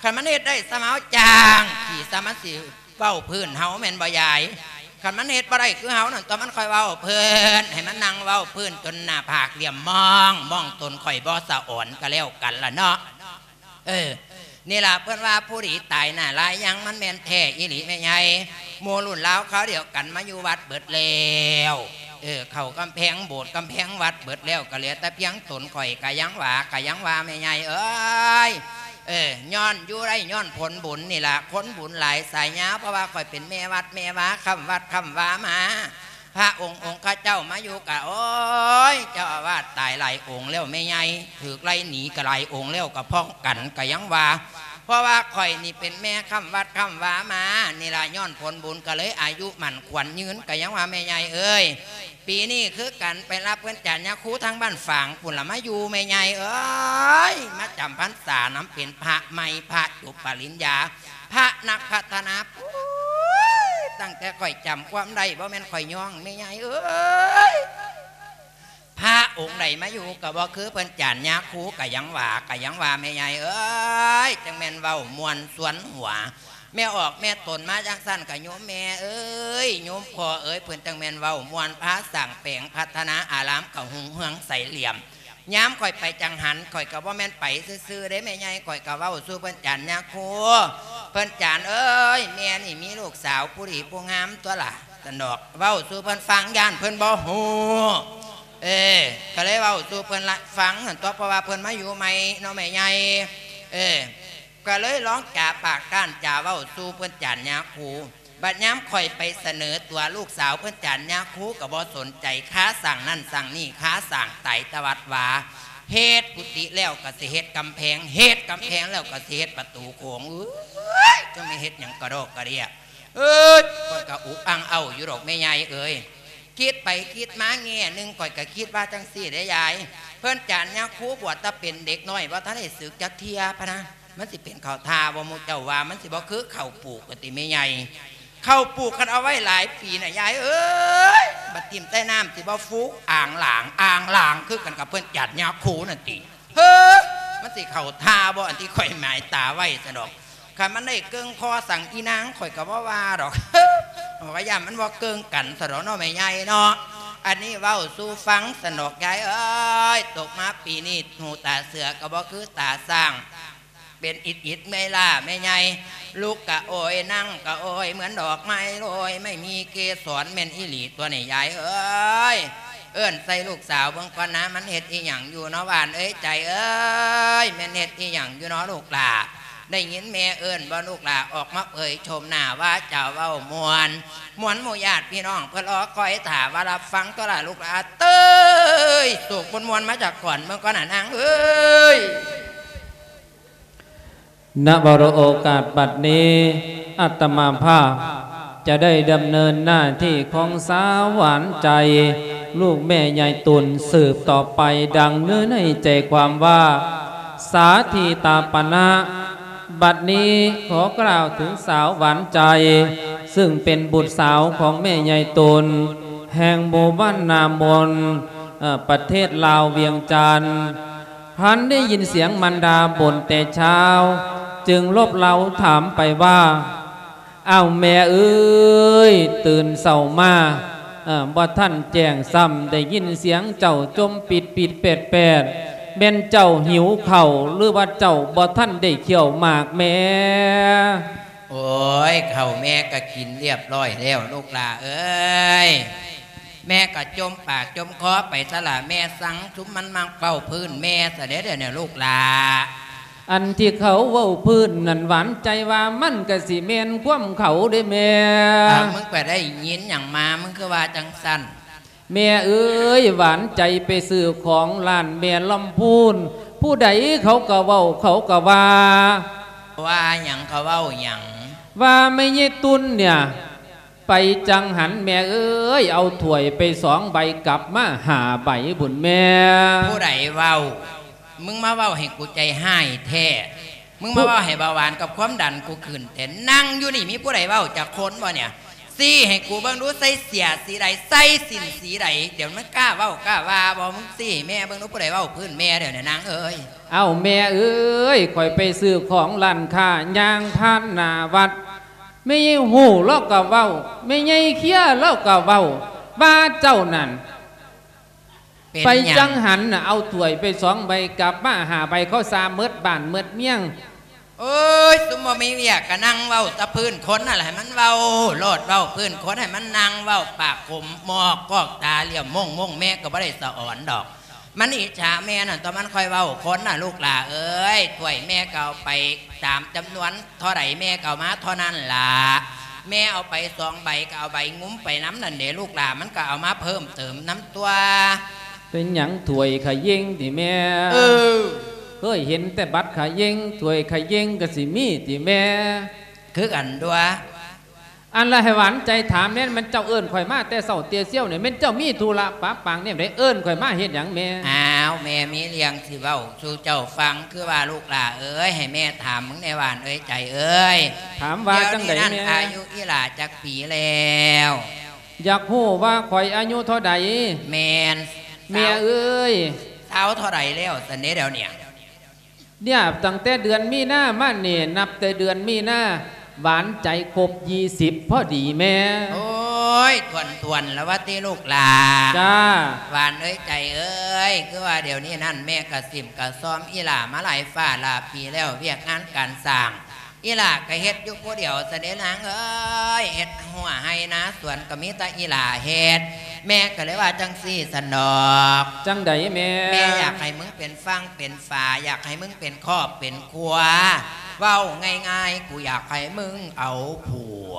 ຄັນມັນເຮັດໄດ້ຊ່ຳເຮົາ ຈ້າງຂີ້ຊ່ຳມັນຊິເວົ້າພື້ນເຮົາ ແມ່ນບໍ່ຍາຍ? ຄັນມັນເຮັດບໍ່ໄດ້ຄືເຮົານັ້ນຕົວະ ມັນຄ່ອຍເວົ້າພື້ນ ໃຫ້ມັນນັ່ງເວົ້າພື້ນຈົນໜ້າຜາກຫຼ່ຽມມອງ ມອງຕົນຂ້ອຍບໍ່ສະອອນກະແລ້ວກັນລະເນາະ. ເອີ ນີ້ລະເພິ່ນວ່າຜູ້ດີຕາຍໜ້າລາຍຍັງ ມັນແມ່ນແທ້ອີ່ຫຼີແມ່ໃຫຍ່ ໝູ່ລຸ້ນລາວຄາວດຽວກັນມາຢູ່ວັດເບິດແລ້ວ ເອີ ເຂົ້າກຳແພງໂບດກຳແພງວັດເບິດແລ້ວ ກະເຫຼືອແຕ່ພຽງຕົນຂ້ອຍ ກະຍັງວ່າ ກະຍັງວ່າແມ່ໃຫຍ່ເອີຍ ເອີ ຍ້ອນຢູ່ໄດ້ຍ້ອນຜົນບຸນນີ້ລະ ຄົນບຸນຫຼາຍສາຍຍາວ ເພາະວ່າຂ້ອຍເປັນແມ່ວັດແມ່ວາ ຄ້ຳວັດຄ້ຳວາມາ ພະອົງ ອົງຄະເຈົ້າມາຢູ່ກະ ໂອ້ຍ ເຈົ້າອາວາດຕາຍຫຼາຍອົງແລ້ວແມ່ໃຫຍ່ ຖືກໄລ່ໜີກະຫຼາຍອົງແລ້ວ ກະພ້ອມກັນກະຍັງວ່າ ເພາະວ່າຂ້ອຍນີ້ເປັນແມ່ຄ້ຳວັດຄ້ຳວາມາ ນີ້ລະຍ້ອນຜົນບຸນກະເລີຍອາຍຸໝັ້ນຂວັນຍືນ ກະຍັງວ່າແມ່ໃຫຍ່ເອີຍ ປີນີ້ຄືກັນ ໄປຮັບເງິນຈາກຍາຄູທາງບ້ານຝາງພຸ້ນລະມາຢູ່ແມ່ໃຫຍ່ເອີຍ ມາຈຳພັນສານຳເປັນພະໃໝ່ ພະຈົບປະລິນຍາ ພະນັກພັດທະນາ ໂອ້ຍ ຕັ້ງແຕ່ຂ້ອຍຈຳຄວາມໄດ້ ບໍ່ແມ່ນຂ້ອຍຍ້ອງ ແມ່ໃຫຍ່ເອີຍ. ພະອົງໃດມາຢູ່ກໍບໍ່ຄືເພິ່ນ ຈານຍາຄູ ກໍຍັງວ່າ ກໍຍັງວ່າ ແມ່ໃຫຍ່ເອີຍ ຈັ່ງແມ່ນເວົ້າມ່ວນຊວນຫົວ. ແມ່ອອກແມ່ຕົນມາຈັ່ງຊັ້ນ ກໍໂຍມແມ່ເອີຍ ໂຍມພໍ່ເອີຍ ເພິ່ນຈັ່ງແມ່ນເວົ້າມ່ວນ ພາສ້າງແປງພັດທະນາອາຣາມ ກໍຮຸ່ງເຮືອງໃສຫຼ່ຽມ. ຍາມຂ້ອຍໄປຈັງຫັນ ຂ້ອຍກໍບໍ່ແມ່ນໄປຊື່ໆເດ້ແມ່ໃຫຍ່ ຂ້ອຍກໍເວົ້າສູ່ເພິ່ນ ຈານຍາຄູ ເພິ່ນ ຈານເອີຍ ແມ່ນີ້ມີລູກສາວຜູ້ດີຜູ້ງາມຕົວລະ ຊັ້ນດອກ ເວົ້າສູ່ເພິ່ນຟັງ ຢ້ານເພິ່ນບໍ່ຮູ້. ເອີ ກໍເລີຍເວົ້າສູ່ເພິ່ນລະຟັງຫັ້ນຕົວະ ເພາະວ່າເພິ່ນມາຢູ່ໃໝ່ເນາະແມ່ໃຫຍ່. ເອີ ກໍເລີຍລອງຈາປາກກ້ານຈາເວົ້າສູ່ເພິ່ນ ຈານຍາຄູ. ບັດຍາມຂ້ອຍໄປສະເໜີຕົວລູກສາວເພິ່ນ ຈານຍາຄູ ກໍບໍ່ສົນໃຈ ຄາສັ່ງນັ້ນສັ່ງນີ້ ຄາສ້າງໄຕຕະວັດວາ ເຮັດກຸຕິແລ້ວກໍຊິເຮັດກຳແພງ ເຮັດກຳແພງແລ້ວກໍຊິເຮັດປະຕູໂຂງ. ເອີຍ ຈັ່ງແມ່ນເຮັດຫຍັງກະດອກກະເດຍ ເອີຍ ຂ້ອຍກໍອຸກອັ່ງເອົ້າຢູ່ດອກແມ່ໃຫຍ່ເອີຍ. ຄິດໄປຄິດມາແງ່ໜຶ່ງ ຂ້ອຍກໍຄິດວ່າຈັ່ງຊີ້ເດ້ຍາຍ ເພິ່ນ ຈານຍາຄູ ບວດແຕ່ເປັນເດັກນ້ອຍ ບໍ່ທັນໄດ້ສຶກຈັກເທື່ອພະນະ. ມັນຊິເປັນເຂົ້າທ່າບໍ່ ໝູ່ເຈົ້າວ່າ ມັນຊິບໍ່ຄືເຂົ້າປູກວ່າຕິແມ່ໃຫຍ່? ເຂົ້າປູກຄັນເອົາໄວ້ຫຼາຍປີນະຍາຍເອີຍ ບັດຖິ້ມໃສ່ນ້ຳຊິບໍ່ຟູ ອ່າງຫຼາງ ອ່າງຫຼາງ ຄືກັນກັບເພິ່ນ ຈານຍາຄູນັ້ນຕິ. ເຮີ ມັນຊິເຂົ້າທ່າບໍ່ ອັນທີ່ຂ້ອຍໝາຍຕາໄວ້ຊັ້ນດອກ. ຄັນມັນໄດ້ເກິ່ງພໍສັ່ງອີນາງ ຂ້ອຍກໍບໍ່ວ່າດອກ ຂ້ອຍຢ້ານມັນບໍ່ເກິ່ງກັນຊັ້ນດອກເນາະແມ່ໃຫຍ່ເນາະ. ອັນນີ້ເວົ້າສູ່ຟັງຊັ້ນດອກຍາຍເອີຍ ຕົກມາປີນີ້ ຫູຕາເສືອກໍບໍ່ຄືຕາຊ້າງ ເປັນອິດໆເມື່ອຍລ້າແມ່ໃຫຍ່. ລຸກກະໂອຍ ນັ່ງກະໂອຍ ເໝືອນດອກໄມ້ໂລຍ ໄມ່ມີເກສອນ ແມ່ນອີ່ຫຼີຕົວນີ້ຍາຍເອີຍ. ເອີ້ນໃສ່ລູກສາວເບິ່ງກ່ອນນາ ມັນເຮັດອີ່ຫຍັງຢູ່ເນາະ ຫວານເອີຍ ໃຈເອີຍ ແມ່ນເຮັດອີ່ຫຍັງຢູ່ເນາະລູກຫຼ້າ? ໄດ້ຍິນແມ່ເອີ້ນບໍ່ລູກຫຼ້າ? ອອກມາເຜີຍໂສມໜ້າວາຈາເວົ້າມ່ວນ ມ່ວນໝູ່ຍາດພີ່ນ້ອງເພິ່ນລໍຄອຍຖ້າວ່າ ຮັບຟັງຕົວລະລູກຫຼ້າເອີຍ. ໂສກມ່ວນໆມາຈາກກ່ອນເບິ່ງກ່ອນນານາງເອີຍ. ນະ ວະໂລ ໂອກາດບັດນີ້ ອາດຕະມາພາບຈະໄດ້ດຳເນີນໜ້າທີ່ຂອງສາວຫວານໃຈ ລູກແມ່ຍາຍຕຸນ ສືບຕໍ່ໄປ ດັ່ງເນື້ອໃນໃຈຄວາມວ່າ ສາທິຕາປະນະ. ບັດນີ້ຂໍກ່າວເຖິງສາວຫວານໃຈ ຊຶ່ງເປັນບຸດສາວຂອງແມ່ຍາຍຕຸນ ແຫ່ງໝູ່ບ້ານນາມົນ ເອີ ປະເທດລາວ ວຽງຈັນ. ພັນໄດ້ຍິນສຽງມານດາບົ່ນແຕ່ເຊົ້າ ຈຶ່ງລົບເລົາຖາມໄປວ່າ ອ້າວ ແມ່ເອີຍ ຕື່ນເຊົ້າມາ ເອີ ບໍ່ທັນແຈ້ງຊ້ຳ ໄດ້ຍິນສຽງເຈົ້າຈົ່ມປິດໆແປດໆ ແມ່ນເຈົ້າຫິວເຂົ້າ ຫຼືວ່າເຈົ້າບໍ່ທັນໄດ້ຂ້ຽວໝາກແມ່? ໂອ້ຍ ເຂົ້າແມ່ກໍກິນລຽບຮ້ອຍແລ້ວລູກຫຼ້າເອີຍ. ແມ່ກໍຈົ່ມປາກຈົ່ມຄໍໄປຊະລະ ແມ່ສັ່ງຊຸມມັນມາເວົ້າພື້ນແມ່ຊະເດ້ ດຽວນີ້ລູກຫຼ້າ. ອັນທີ່ເຂົາເວົ້າພື້ນນັ້ນ ຫວານໃຈວ່າມັນກໍຊິແມ່ນຄວາມເຂົາເດ້ແມ່. ອ້າວ ມຶງໄປໄດ້ຍິນຫຍັງມາ ມຶງຄືວ່າຈັ່ງຊັ້ນ? ແມ່ເອີຍ ຫວານໃຈໄປຊື້ຂອງຮ້ານແມ່ລຳພູນ ຜູ້ໃດເຂົາກໍເວົ້າ ເຂົາກໍວ່າ. ວ່າຫຍັງ? ເຂົາເວົ້າຫຍັງ? ວ່າແມ່ຍາຍຕຸນເນຍ ໄປຈັງຫັນແມ່ເອີຍ ເອົາຖ້ວຍໄປສອງໃບ ກັບມາຫ້າໃບພຸ້ນແມ່. ຜູ້ໃດເວົ້າ? ມຶງມາເວົ້າໃຫ້ກູໃຈຮ້າຍແທ້. ມຶງມາເວົ້າໃຫ້ເບົາຫວານກັບຄວາມດັນກູຂຶ້ນແທ້. ນັ່ງຢູ່ນີ້ມີຜູ້ໃດເວົ້າຈັກຄົນບໍ່ເນຍ? ຊີ້ໃຫ້ກູເບິ່ງດູ ໃສ່ເສື້ອສີໃດ ໃສ່ສິ້ນສີໃດ? ດຽວມັນກ້າເວົ້າກ້າວ່າບໍ່? ມຶງຊີ້ໃຫ້ແມ່ເບິ່ງດູ ຜູ້ໃດເວົ້າພື້ນແມ່ດຽວນີ້ນາງເອີຍ. ເອົ້າ ແມ່ເອີຍ ຂ້ອຍໄປຊື້ຂອງຮ້ານຄ້າ ຍ່າງຜ່ານໜ້າວັດ ແມ່ຍາຍຮູ້ລາວກໍເວົ້າ ແມ່ຍາຍເຄຍລາວກໍເວົ້າ ວ່າເຈົ້ານັ້ນ ເປັນຫຍັງ? ໄປຈັງຫັນນະ ເອົາຖ້ວຍໄປສອງໃບ ກັບມາຫ້າໃບ ເຂົາຊ່າໝົດບ້ານໝົດເມືອງ. ໂອ້ຍ ຊຸມບໍ່ມີວຽກກໍນັ່ງເວົ້າແຕ່ພື້ນຄົນນັ້ນແຫຼະ ໃຫ້ມັນເວົ້າໂລດ ເວົ້າພື້ນຄົນໃຫ້ມັນນັ່ງເວົ້າ ປາກຂົມໝອກກອກ ຕາຫຼ້ຽມໂມງໆ ແມ່ກໍບໍ່ໄດ້ສະອອນດອກ. ມັນອິດສາແມ່ນັ້ນຕົວະ ມັນຄ່ອຍເວົ້າຄົນນະລູກຫຼ້າເອີຍ. ຖ້ວຍແມ່ກໍເອົາໄປຕາມຈຳນວນ ເທົ່າໃດແມ່ກໍເອົາມາເທົ່ານັ້ນລະ. ແມ່ເອົາໄປສອງໃບກໍເອົາໃບງຸ້ມໄປນຳນັ້ນເດລູກຫຼ້າ ມັນກໍເອົາມາເພີ່ມເຕີມນຳຕົວະ. ເປັນຫຍັງ ຖ້ວຍຂະເຢງຕິແມ່? ເອີ ເຄີຍເຫັນແຕ່ບັດຂະເຢງ ຖ້ວຍຂະເຢງກໍຊິມີຕິແມ່? ຄືກັນຕົວະ. ອັນລະ ໃຫ້ຫວານໃຈຖາມແດ່ ແມ່ນເຈົ້າເອີ້ນຂ້ອຍມາແຕ່ເຊົ້າແຕ່ຊຽວນີ້ ແມ່ນເຈົ້າມີທຸລະປະປັງແນວໃດ ເອີ້ນຂ້ອຍມາເຮັດຫຍັງແມ່? ອ້າ ວ ແມ່ມີເລື່ອງຊິເວົ້າສູ່ເຈົ້າຟັງ ຄືວ່າລູກຫຼ້າເອີຍ ໃຫ້ແມ່ຖາມມຶງແດ່ ຫວານເອີຍ ໃຈເອີຍ. ຖາມວ່າຈັ່ງໃດແມ່? ດຽວນີ້ນັ້ນອາຍຸອີ່ຫຼ້າຈັກປີແລ້ວ? ຢາກຮູ້ວ່າຂ້ອຍອາຍຸເທົ່າໃດ? ແມ່ນ. ແມ່ເອີຍ ຊາວເທົ່າໃດແລ້ວຊັ້ນເດ ດຽວນີ້? ເນຍ ຕັ້ງແຕ່ເດືອນມີນາມານີ້ ນັບແຕ່ເດືອນມີນາ ຫວານໃຈຄົບຊາວປີພໍດີແມ່. ໂອ້ຍ ຖ້ວນໆ ລະວ່າຕິລູກຫຼ້າ. ຈ້າ. ຫວານເອີຍ ໃຈເອີຍ ຄືວ່າດຽວນີ້ນັ້ນແມ່ກະສິມກະຊອມອີ່ຫຼ້າມາຫຼາຍຟ້າຫຼາຍປີແລ້ວ ວຽກງານການສ້າງ ອີ່ຫຼ້າກະເຮັດຢູ່ຜູ້ດຽວຊັ້ນເດນາງເອີຍ ເຮັດຮົ້ວໄຮ່ນາສວນກະມີແຕ່ອີ່ຫຼ້າເຮັດ ແມ່ກະເລີຍວ່າຈັ່ງຊີ້ຊັ້ນດອກ. ຈັ່ງໃດແມ່? ແມ່ຢາກໃຫ້ມຶງເປັນຝັ່ງເປັນຝາ ຢາກໃຫ້ມຶງເປັນຄອບເປັນຄົວ ເວົ້າງ່າຍໆ ກູຢາກໃຫ້ມຶງເອົາຜົວ.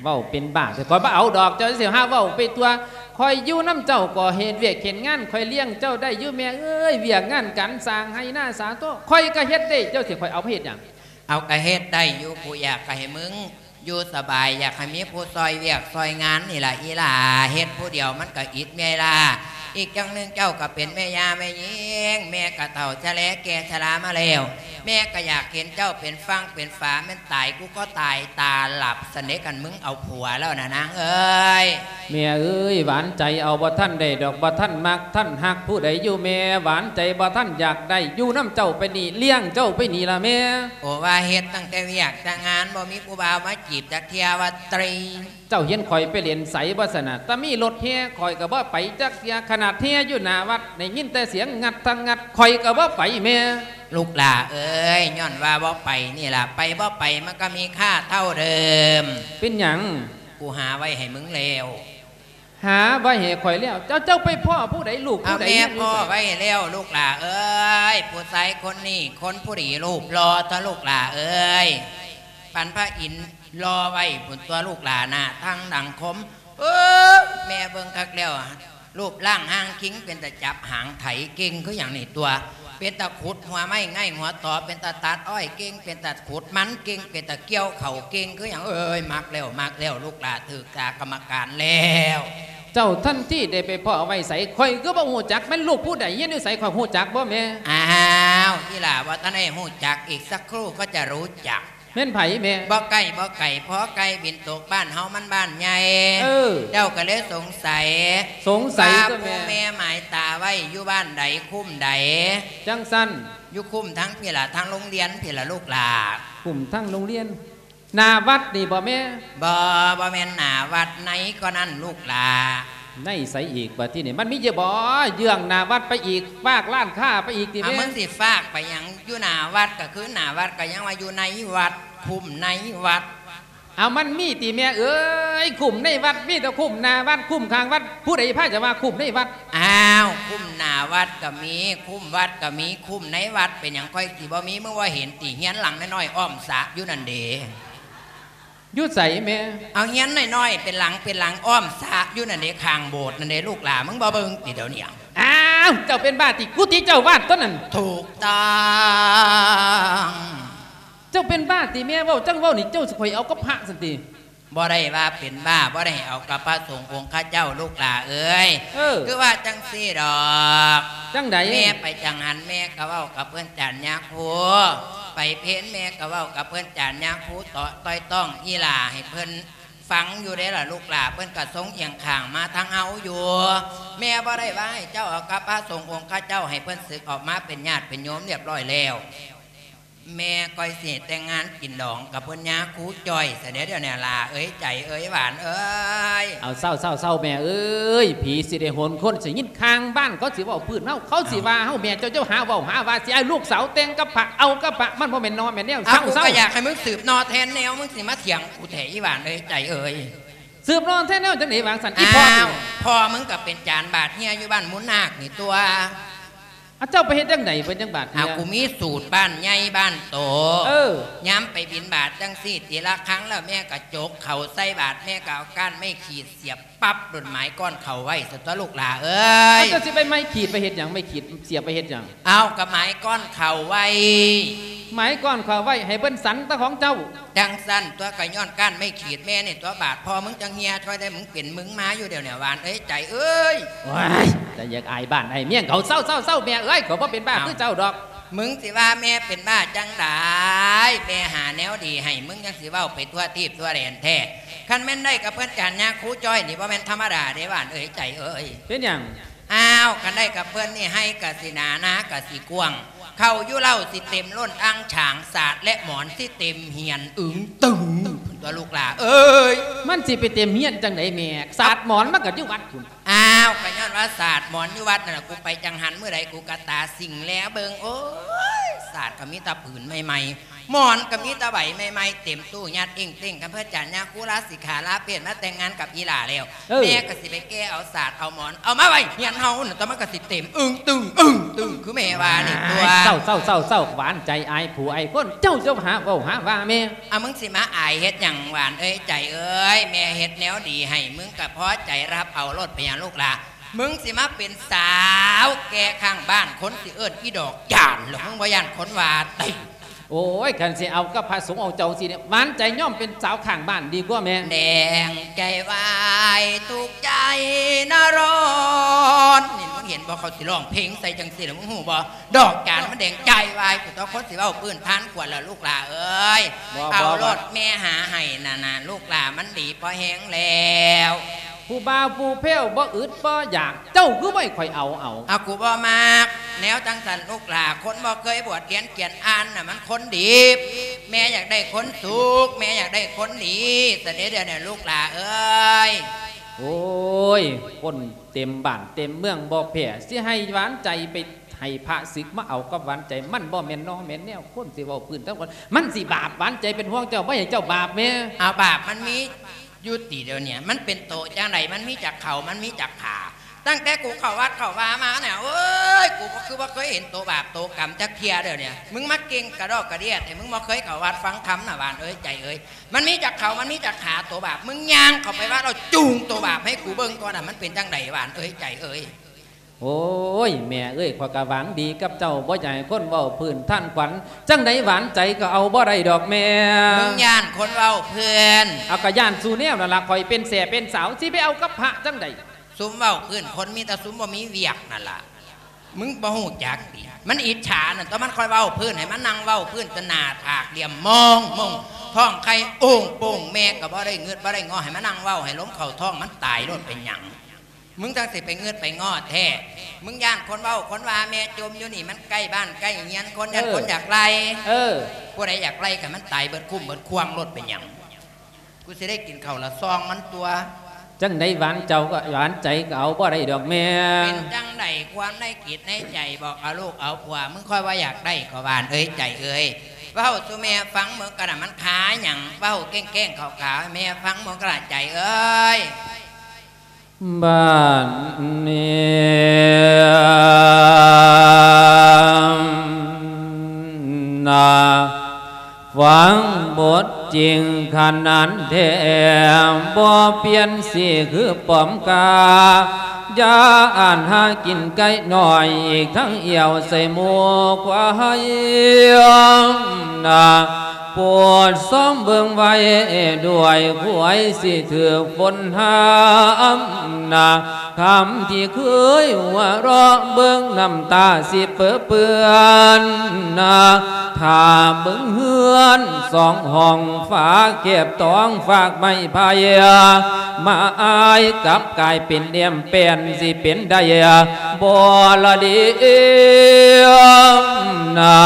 ເວົ້າເປັນບ້າແທ້ ຂ້ອຍບໍ່ເອົາດອກ ເຈົ້າຊິຫາເວົ້າໄປຕົວະ ຂ້ອຍຢູ່ນຳເຈົ້າກໍເຮັດວຽກເຮັດງານ ຂ້ອຍລ້ຽງເຈົ້າໄດ້ຢູ່ແມ່ເອີຍ ວຽກງານການສ້າງໄຮ່ນາສາໂຕ ຂ້ອຍກະເຮັດໄດ້ ເຈົ້າຊິໃຫ້ຂ້ອຍເອົາໄປເຮັດຫຍັງ? ເອົາ ກະເຮັດໄດ້ຢູ່ ກູຢາກໃຫ້ມຶງຢູ່ສະບາຍ ຢາກໃຫ້ມີຜູ້ຊ່ອຍວຽກຊ່ອຍງານນີ້ລະອີ່ຫຼ້າ ເຮັດຜູ້ດຽວມັນກະອິດເມື່ອຍລ້າ ອີກຢ່າງໜຶ່ງເຈົ້າກະເປັນແມ່ຍ່າແມ່ຍິງ ແມ່ກະເຖົ້າຊະແລແກ່ຊະລາມາແລ້ວ ແມ່ກະຢາກເຫັນເຈົ້າເປັນຝັ່ງເປັນຝາ ແມ່ນຕາຍກູກໍຕາຍຕາຫຼັບຊັ້ນເດ ຄັນມຶງເອົາຜົວແລ້ວນະນາງເອີຍ. ແມ່ເອີຍ ຫວານໃຈເອົາບໍ່ທັນໄດ້ດອກ ບໍ່ທັນມັກທັນຮັກຜູ້ໃດຢູ່ແມ່ ຫວານໃຈບໍ່ທັນຢາກໄດ້ ຢູ່ນຳເຈົ້າໄປນີ້ ລ້ຽງເຈົ້າໄປນີ້ລະແມ່. ໂອ ວ່າເຮັດຕັ້ງແຕ່ວຽກແຕ່ງານ ບໍ່ມີຜູ້ບ່າວມາຈີບຈັກເທື່ອວ່າຕິ. ເຈົ້າເຫັນຂ້ອຍໄປຫຼິ້ນໃສບໍ່ຊັ້ນນະ ຕາມີລົດແຫ່ຂ້ອຍກະບໍ່ໄປຈັກເທື່ອ ຂະໜາດແຫ່ຢູ່ໜ້າວັດ ໄດ້ຍິນແຕ່ສຽງງັດທັງງັດ ຂ້ອຍກະບໍ່ໄປແມ່. ລູກຫຼ້າເອີຍ ຍ້ອນວ່າບໍ່ໄປນີ້ລະ ໄປບໍ່ໄປມັນກະມີຄ່າເທົ່າເດີມ. ເປັນຫຍັງ? ກູຫາໄວ້ໃຫ້ມຶງແລ້ວ. ຫາໄວ້ໃຫ້ຂ້ອຍແລ້ວ? ເຈົ້າ ເຈົ້າໄປພໍ້ຜູ້ໃດ ລູກຜູ້ໃດ? ເອົາ ແມ່ພໍ້ໄວ້ແລ້ວລູກຫຼ້າເອີຍ ຜູ້ຊາຍຄົນນີ້ຄົນຜູ້ດີຮູບຫຼໍ່ຕົວະລູກຫຼ້າເອີຍ ປານພະອິນ ລໍໄວ້ພຸ້ນຕົວະລູກຫຼ້າ ໜ້າທັງດັງຄົມ ເອີ ແມ່ເບິ່ງຄັກແລ້ວ ຮູບຮ່າງຮ່າງຄິງ ເປັນຕາຈັບຫາງໄຖ ເກັ່ງຄືຫຍັງນີ້ຕົວະ ເປັນຕາຂຸດຫົວໄມ້ໄງຫົວຕໍ ເປັນຕາຕັດອ້ອຍເກັ່ງ ເປັນຕາຂຸດມັນເກັ່ງ ເປັນຕາກ່ຽວເຂົ້າເກັ່ງຄືຫຍັງ ເອີຍ ມັກແລ້ວ ມັກແລ້ວ ລູກຫຼ້າຖືກຕາກຳມະການແລ້ວ. ເຈົ້າທັນທີໄດ້ໄປພໍ້ໄວ້ໃສ ຂ້ອຍຄືບໍ່ຮູ້ຈັກ ແມ່ນລູກຜູ້ໃດ ຮຽນຢູ່ໃສ ຂ້ອຍຮູ້ຈັກບໍ່ແມ່? ອ້າວ ອີ່ຫຼ້າບໍ່ທັນໄດ້ຮູ້ຈັກ ອີກສັກຄູ່ກໍຈະຮູ້ຈັກ. ແມ່ນໃຜແມ່? ບໍ່ໃກ້ບໍ່ໄກ ພໍໃກ້ບິນຕົກ ບ້ານເຮົາມັນບ້ານໃຫຍ່ ເອີ ເຈົ້າກະເລີຍສົງໄສ ສົງໄສ ວ່າ ຕົວະແມ່ ຜູ້ແມ່ໝາຍຕາໄວ້ຢູ່ບ້ານໃດ ຄຸ້ມໃດ? ຈັ່ງຊັ້ນ ຢູ່ຄຸ້ມທາງພີ້ລະ ທາງໂຮງຮຽນພີ້ລະລູກຫຼ້າ. ຄຸ້ມທາງໂຮງຮຽນ ໜ້າວັດນີ້ບໍ່ແມ່? ບໍ່ ບໍ່ແມ່ນໜ້າວັດ ໃນກໍນັ້ນລູກຫຼ້າ. ໃນໃສອີກບາດທີນີ້ ມັນມີຢູ່ບໍ່ ເຍືອງໜ້າວັດໄປອີກ ຟາກຮ້ານຄ້າໄປອີກຕິແມ່? ເອົາ ມຶງຊິຟາກໄປຫຍັງ ຢູ່ໜ້າວັດກະຄືໜ້າວັດ ກະຍັງວ່າຢູ່ໃນວັດ ຄຸ້ມໃນວັດ. ເອົາ ມັນມີຕິແມ່ເອີຍ ຄຸ້ມໃນວັດ ມີແຕ່ຄຸ້ມໜ້າວັດ ຄຸ້ມຂ້າງວັດ ຜູ້ໃດພາຈະວ່າຄຸ້ມໃນວັດ? ອ້າວ ຄຸ້ມໜ້າວັດກະມີ ຄຸ້ມວັດກະມີ ຄຸ້ມໃນວັດ ເປັນຫຍັງຂ້ອຍຊິບໍ່ມີ ມຶງບໍ່ເຫັນຕິ ເຮືອນຫຼັງນ້ອຍໆອ້ອມສະຢູ່ນັ້ນເດ. ຢູ່ໃສແມ່? ເອົາ ເຮືອນນ້ອຍໆ ເປັນຫຼັງເປັນຫຼັງອ້ອມສະຢູ່ນັ້ນເດ ຂ້າງໂບດນັ້ນເດ ລູກຫຼ້າ ມຶງບໍ່ເບິ່ງຕິດຽວນີ້? ອ້າວ ເຈົ້າເປັນບ້າຕິ ກຸຕິເຈົ້າວາດຕົວນັ້ນ. ຖືກຕ້ອງ. ເຈົ້າເປັນບ້າຕິແມ່ ເວົ້າຈັ່ງເວົ້ານີ້ ເຈົ້າຊິຂ້ອຍເອົາກັບພະຊັ້ນຕິ? ບໍ່ໄດ້ວ່າເປັນບ້າ ບໍ່ໄດ້ເອົາກັບພະສົງອົງຄະເຈົ້າ ລູກຫຼ້າເອີຍ. ເອີ ຄືວ່າຈັ່ງຊີ້ດອກ. ຈັ່ງໃດ? ແມ່ໄປຈັງຫັນ ແມ່ກະເວົ້າກັບເພິ່ນຈານຍາຄູ ໄປເພັນ ແມ່ກະເວົ້າກັບເພິ່ນຈານຍາຄູ ເຕາະຕ່ອຍຕ້ອງອີ່ຫຼ້າໃຫ້ເພິ່ນຟັງຢູ່ເດ້ລະລູກຫຼ້າ ເພິ່ນກະຊົງອຽງຂ້າງມາທາງເຮົາຢູ່. ແມ່ບໍ່ໄດ້ວ່າໃຫ້ເຈົ້າເອົາກັບພະສົງອົງຄະເຈົ້າ ໃຫ້ເພິ່ນສຶກອອກມາເປັນຍາດເປັນໂຍມລຽບລ້ອຍແລ້ວ. ແມ່ກະຊິແຕ່ງງານກິນດອງກັບເພິ່ນຍາຄູຈ້ອຍຊະແດ່ ດຽວນີ້ຫຼ້າເອີຍ ໃຈເອີຍ ຫວານເອີຍ. ເອົາ ເຊົາ ເຊົາ ເຊົາ ແມ່ເອີຍ ຜີຊິໄດ້ຫົນຄົນ ຊິຍິນຂ້າງບ້ານເຂົາຊິເວົ້າພື້ນເຮົາ ເຂົາຊິວ່າເຮົາ. ເອົາ ແມ່ເຈົ້າ ເຈົ້າຫາເວົ້າຫາວ່າ ຊິໃຫ້ລູກສາວແຕ່ງກັບພະ ເອົາກັບພະ ມັນບໍ່ແມ່ນໜໍ່ແມ່ນແນວ. ເອົາ ເຊົາ ກູ ເຊົາ ກະຢາກໃຫ້ມຶງສືບໜໍ່ແທນແນວ ມຶງຊິມາຖຽງກູແທ້ ອີ່ຫວານເອີຍ ໃຈເອີຍ. ສືບໜໍ່ແທນແນວຈັ່ງໃດຫວາງຊັ້ນ ອີ່ພໍ່? ອ້າວ ພໍ່ມຶງກະເປັນຈານບາດເຮຍຢູ່ບ້ານມູນນາກນີ້ຕົວະ. ອາ ເຈົ້າໄປເຮັດຈັ່ງໃດເພິ່ນຈັ່ງບາດເຮຍ? ອາ ກູມີສູດບ້ານໃຫຍ່ບ້ານໂຕ. ເອີ ຍາມໄປບິນບາດຈັ່ງຊີ້ ຕີລະຄັງແລ້ວ ແມ່ກະຈົກເຂົ້າໃສ່ບາດ ແມ່ກະເອົາກ້ານໄມ້ຂີດສຽບປັບ ໂດນໝາຍກ້ອນເຂົ້າໄວ້ຊັ້ນຕົວະລູກຫຼ້າເອີຍ. ເຈົ້າຊິໄປໄມ້ຂີດໄປເຮັດຫຍັງ? ໄມ້ຂີດສຽບໄປເຮັດຫຍັງ? ເອົາ ກະໝາຍກ້ອນເຂົ້າໄວ້. ໝາຍກ້ອນເຂົ້າໄວ້ ໃຫ້ເພິ່ນສັນແຕ່ຂອງເຈົ້າ. ຈັ່ງຊັ້ນຕົວະ ກະຍ້ອນກ້ານໄມ້ຂີດແມ່ນີ້ຕົວະ ບາດພໍ່ມຶງຈັ່ງເຮຍ ຊ່ອຍໄດ້ ມຶງເປັນມຶງມາຢູ່ດຽວນີ້ ຫວານເອີຍ ໃຈເອີຍ. ໂອ້ຍ ແຕ່ຢາກອາຍບ້ານອາຍເມືອງເຂົາ. ເຊົາໆໆ ແມ່ເອີຍ ຂ້ອຍບໍ່ເປັນບ້າຄືເຈົ້າດອກ. ມຶງຊິວ່າແມ່ເປັນບ້າຈັ່ງໃດ? ແມ່ຫາແນວດີໃຫ້ ມຶງຍັງຊິເວົ້າໄປທົ່ວທີບທົ່ວແດນແທ້. ຄັນແມ່ນໄດ້ກັບເພິ່ນຈານຍາຄູຈ້ອຍນີ້ ບໍ່ແມ່ນທຳມະດາເດ້ ຫວານເອີຍ ໃຈເອີຍ. ເປັນຫຍັງ? ອ້າວ ຄັນໄດ້ກັບເພິ່ນນີ້ ໄຮ່ກະຊິໜາ ນາກະຊິກວ້າງ ເຂົ້າຢູ່ເລົ້າຊິເຕັມລົ້ນອ່າງຊາງ ສາດແລະໝອນຊິເຕັມຮຽນ ອຶງຕຶງ ພຸ້ນຕົວະລູກຫຼ້າເອີຍ. ມັນຊິໄປເຕັມຮຽນຈັ່ງໃດແມ່? ສາດໝອນມັນກໍຢູ່ວັດພຸ້ນ. ອ້າວ ກໍຍ້ອນວ່າສາດໝອນຢູ່ວັດນັ້ນລະ ກູໄປຈັງຫັນມື້ໃດ ກູກະຕາສິງແລເບິ່ງ. ໂອ້ຍ ສາດກໍມີແຕ່ຜືນໃໝ່ໆ ໝອນກໍມີແຕ່ໃບໃໝ່ໆ ເຕັມຕູ້ຍັດເອີງເຕັ້ງ. ຄັນເພິ່ນຈານຍາຄູລາສິກຂາລາເພດມາແຕ່ງງານກັບອີ່ຫຼ້າແລ້ວ ເອີ ແມ່ກໍຊິໄປແກ່ເອົາສາດເອົາໝອນ ເອົາມາໄວ້ຮຽນເຮົານັ້ນ ແຕ່ມັນກໍຊິເຕັມອຶງຕຶງ ອຶງຕຶງ ຄືແມ່ວ່ານີ້ຕົວະ. ເຊົາໆໆໆ ຫວານໃຈ ອາຍຜູ້ອາຍຄົນ ເຈົ້າຈະຫາເວົ້າຫາວ່າແມ່. ອາ ມຶງຊິມາອາຍເຮັດຫຍັງ ຫວານເອີຍ ໃຈເອີຍ? ແມ່ເຮັດແນວດີໃຫ້ ມຶງກໍພໍໃຈຮັບເອົາໂລດ ເປັນຫຍັງລູກຫຼ້າ? ມຶງຊິມາເປັນສາວແກ່ຂ້າງບ້ານ ຄົນຊິເອີ້ນອີ່ດອກຈານ ແລ້ວມຶງບໍ່ຢ້ານຄົນວ່າຕິ? ໂອ້ຍ ຄັນຊິເອົາກັບພະສົງອົງເຈົ້າຊີ້ນີ້ ຫວານໃຈຍອມເປັນສາວຂ້າງບ້ານດີກວ່າແມ່. ແດງໃຈວາຍທຸກໃຈນະຮ້ອນ ນີ້ ມຶງເຫັນບໍ່ ເຂົາຊິຮ້ອງເພງໃສ່ຈັ່ງຊີ້ລະ ມຶງຮູ້ບໍ່? ດອກຈານມັນແດງໃຈວາຍ ຜູ້ຕໍ່ຄົນຊິເວົ້າພື້ນທ່ານຄວນລະລູກຫຼ້າເອີຍ. ບໍ່ ເອົາ ບໍ່ ໂລດ ແມ່ຫາໃຫ້ນັ້ນນະ ລູກຫຼ້າມັນດີພໍແຮງແລ້ວ. ຜູ້ບ່າວຜູ້ແພ້ວບໍ່ອຶດບໍ່ຢາກ ເຈົ້າຄືບໍ່ໃຫ້ຂ້ອຍເອົາ ເອົາ. ອາ ກູບໍ່ມັກແນວຈັ່ງຊັ້ນລູກຫຼ້າ ຄົນບໍ່ເຄີຍບວດຮຽນຂຽນອ່ານນະ ມັນຄົນດີບ. ແມ່ຢາກໄດ້ຄົນສຸກ ແມ່ຢາກໄດ້ຄົນດີ ຊະເດດຽວນີ້ລູກຫຼ້າເອີຍ. ໂອ້ຍ ຄົນເຕັມບ້ານເຕັມເມືອງບໍ່ແພ້ ຊິໃຫ້ຫວານໃຈໄປໃຫ້ພະສຶກມາເອົາກັບຫວານໃຈ ມັນບໍ່ແມ່ນນໍແມ່ນແນວ. ຄົນຊິເວົ້າພື້ນທັງຄົນ ມັນຊິບາບ. ຫວານໃຈເປັນຫ່ວງເຈົ້າ ບໍ່ໃຫ້ເຈົ້າບາບແມ່. ອາ ບາບມັນມີ ຢູ່ຕິດຽວນີ້ ມັນເປັນໂຕຈັ່ງໃດ? ມັນມີຈັກເຂົ້າ ມັນມີຈັກຂາ? ຕັ້ງແຕ່ກູເຂົ້າວັດເຂົ້າວາມານີ້ ໂອ້ຍ ກູບໍ່ ຄືບໍ່ເຄີຍເຫັນໂຕບາບໂຕກຳຈັກເທື່ອ. ດຽວນີ້ມຶງມາເກັ່ງກະດອກກະເດຍແທ້ ມຶງບໍ່ເຄີຍເຂົ້າວັດຟັງທຳນະ ຫວານເອີຍ ໃຈເອີຍ. ມັນມີຈັກເຂົ້າ ມັນມີຈັກຂາໂຕບາບ? ມຶງຍ່າງເຂົ້າໄປວັດ ເອົາຈູງໂຕບາບໃຫ້ກູເບິ່ງກ່ອນນະ ມັນເປັນຈັ່ງໃດ ຫວານເອີຍ ໃຈເອີຍ. ໂອ້ຍ ແມ່ເອີຍ ຂ້ອຍກະຫວັງດີກັບເຈົ້າ ບໍ່ຢາກໃຫ້ຄົນເວົ້າພື້ນທ່ານຂວັນ. ຈັ່ງໃດຫວານໃຈກໍເອົາບໍ່ໄດ້ດອກແມ່. ມຶງຢ້ານຄົນເວົ້າພື້ນ? ເອົາ ກະຢ້ານສູ່ແນວນັ້ນລະ ຂ້ອຍເປັນແສ້ເປັນສາວ ຊິໄປເອົາກັບພະຈັ່ງໃດ? ຊຸມເວົ້າພື້ນຄົນມີແຕ່ຊຸມບໍ່ມີວຽກນັ້ນລະ ມຶງບໍ່ຮູ້ຈັກຕິ? ມັນອິດສານັ້ນ ຕອນມັນຄ່ອຍເວົ້າພື້ນ ໃຫ້ມັນນັ່ງເວົ້າພື້ນ ຕະໜ້າຜາກຫຼ່ຽມມອງມົງ ທ້ອງໄຂ່ໂອ່ງໂປ່ງ ແມ່ກໍບໍ່ໄດ້ງຶດບໍ່ໄດ້ງໍ ໃຫ້ມັນນັ່ງເວົ້າ ໃຫ້ລົມເຂົ້າທ້ອງມັນຕາຍໂລດ ເປັນຫຍັງ? ມຶງຈັ່ງຊິໄປງຶດໄປງໍແທ້. ມຶງຢ້ານຄົນເວົ້າຄົນວ່າ ແມ່ຈົ່ມຢູ່ນີ້ ມັນໃກ້ບ້ານໃກ້ເຮືອນຄົນ ຢ້ານ ເອີ ຄົນຢາກໄລ່. ເອີ ຜູ້ໃດຢາກໄລ່ກໍໃຫ້ມັນຕາຍເບິດຄຸ້ມເບິດຄວາງໂລດ ເປັນຫຍັງ? ກູຊິໄດ້ກິນເຂົ້າລະຊອງມັນຕົວະ. ຈັ່ງໃດຫວານເຈົ້າກໍ ຫວານໃຈກໍເອົາບໍ່ໄດ້ດອກແມ່. ເປັນຈັ່ງໃດຄວາມໃນຈິດໃນໃຈ ບອກເອົາລູກເອົາຜົວ ມຶງຄ່ອຍວ່າຢາກໄດ້ກໍຫວານເອີຍ ໃຈເອີຍ. ເວົ້າສູ່ແມ່ຟັງເບິ່ງກະນະ ມັນຄາຫຍັງ? ເວົ້າແກ້ງໆຂາວໆໃຫ້ແມ່ຟັງເບິ່ງກະນະ ໃຈເອີຍ. ບາດນີ້ນະ ຟັງບົດຈິງຂະໜານແທ້ ບໍ່ປ່ຽນສີຄືປອມກາ ຢ່າອ່ານຫາກິນໄກ່ນ້ອຍ ອີກທັງອຽວໃສ່ໝູ່ຄວາຍນະ. ໂປດຊອມເບິ່ງໄວ້ດ້ວຍ ຄວາຍຊິຖືກຝົນຫ້າມນະ ຄຳທີ່ເຄີຍຫົວເຣາະ ເບິ່ງນ້ຳຕາຊິເປິເປື້ອນນະ. ຖ້າເບິ່ງເຮືອນສອງຫ້ອງ ຝາແຄບຕອງຟາກໄມ້ໄຜ່ ມາອາຍກັບກາຍເປັນແອ້ມແປ້ນ ຊິເປັນໄດ້ບໍ່ລະເດນະ.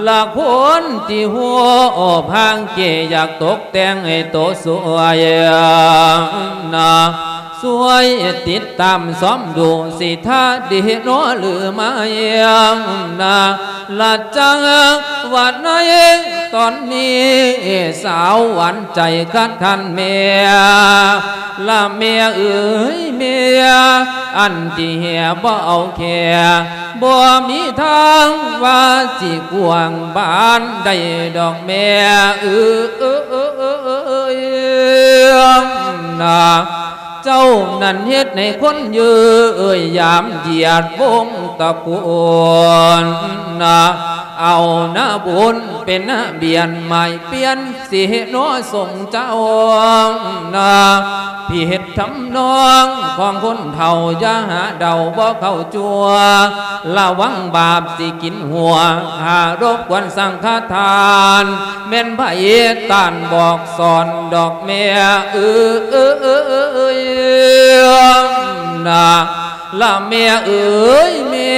ລະຄົນທີ່ຮູ້ພາງເກ ຢາກຕົກແຕ່ງໃຫ້ໂຕສວຍນະ ຊ່ວຍຕິດຕາມຊອມດູ ຊິທ່າດີໜໍຫຼືໄມ່ນະ. ລະຈັງວ່າໃນຕອນນີ້ ສາວຫວານໃຈຄັດຄັນແມ່ ລະແມ່ເອີຍແມ່ ອັນທີ່ແຮ່ບໍ່ເອົາແຄ່ ບໍ່ມີທາງວ່າຊິກວ້າງບານໄດ້ດອກແມ່ເອີຍນະ. ເຈົ້ານັ້ນເຮັດໃຫ້ຄົນເຍີ້ຍຢາມຢຽດວົງຕະໂກນນະ. ເອົາໜ້າບຸນເປັນນະບຽນໝາຍປ່ຽນ ຊິເຮັດໜໍ່ສົງເຈົ້ານາ ຜິດທຳນອງຂອງຄົນເຖົ້າ ຢ່າຫາເດົາບໍ່ເຂົ້າຈົວ ລະວັງບາບຊິກິນຫົວ ຫາລົບກວນສັງຄະທານ ແມ່ນໃຜຕ້ານບອກສອນດອກແມ່ເອີຍນາ. ລະແມ່ເອີຍແມ່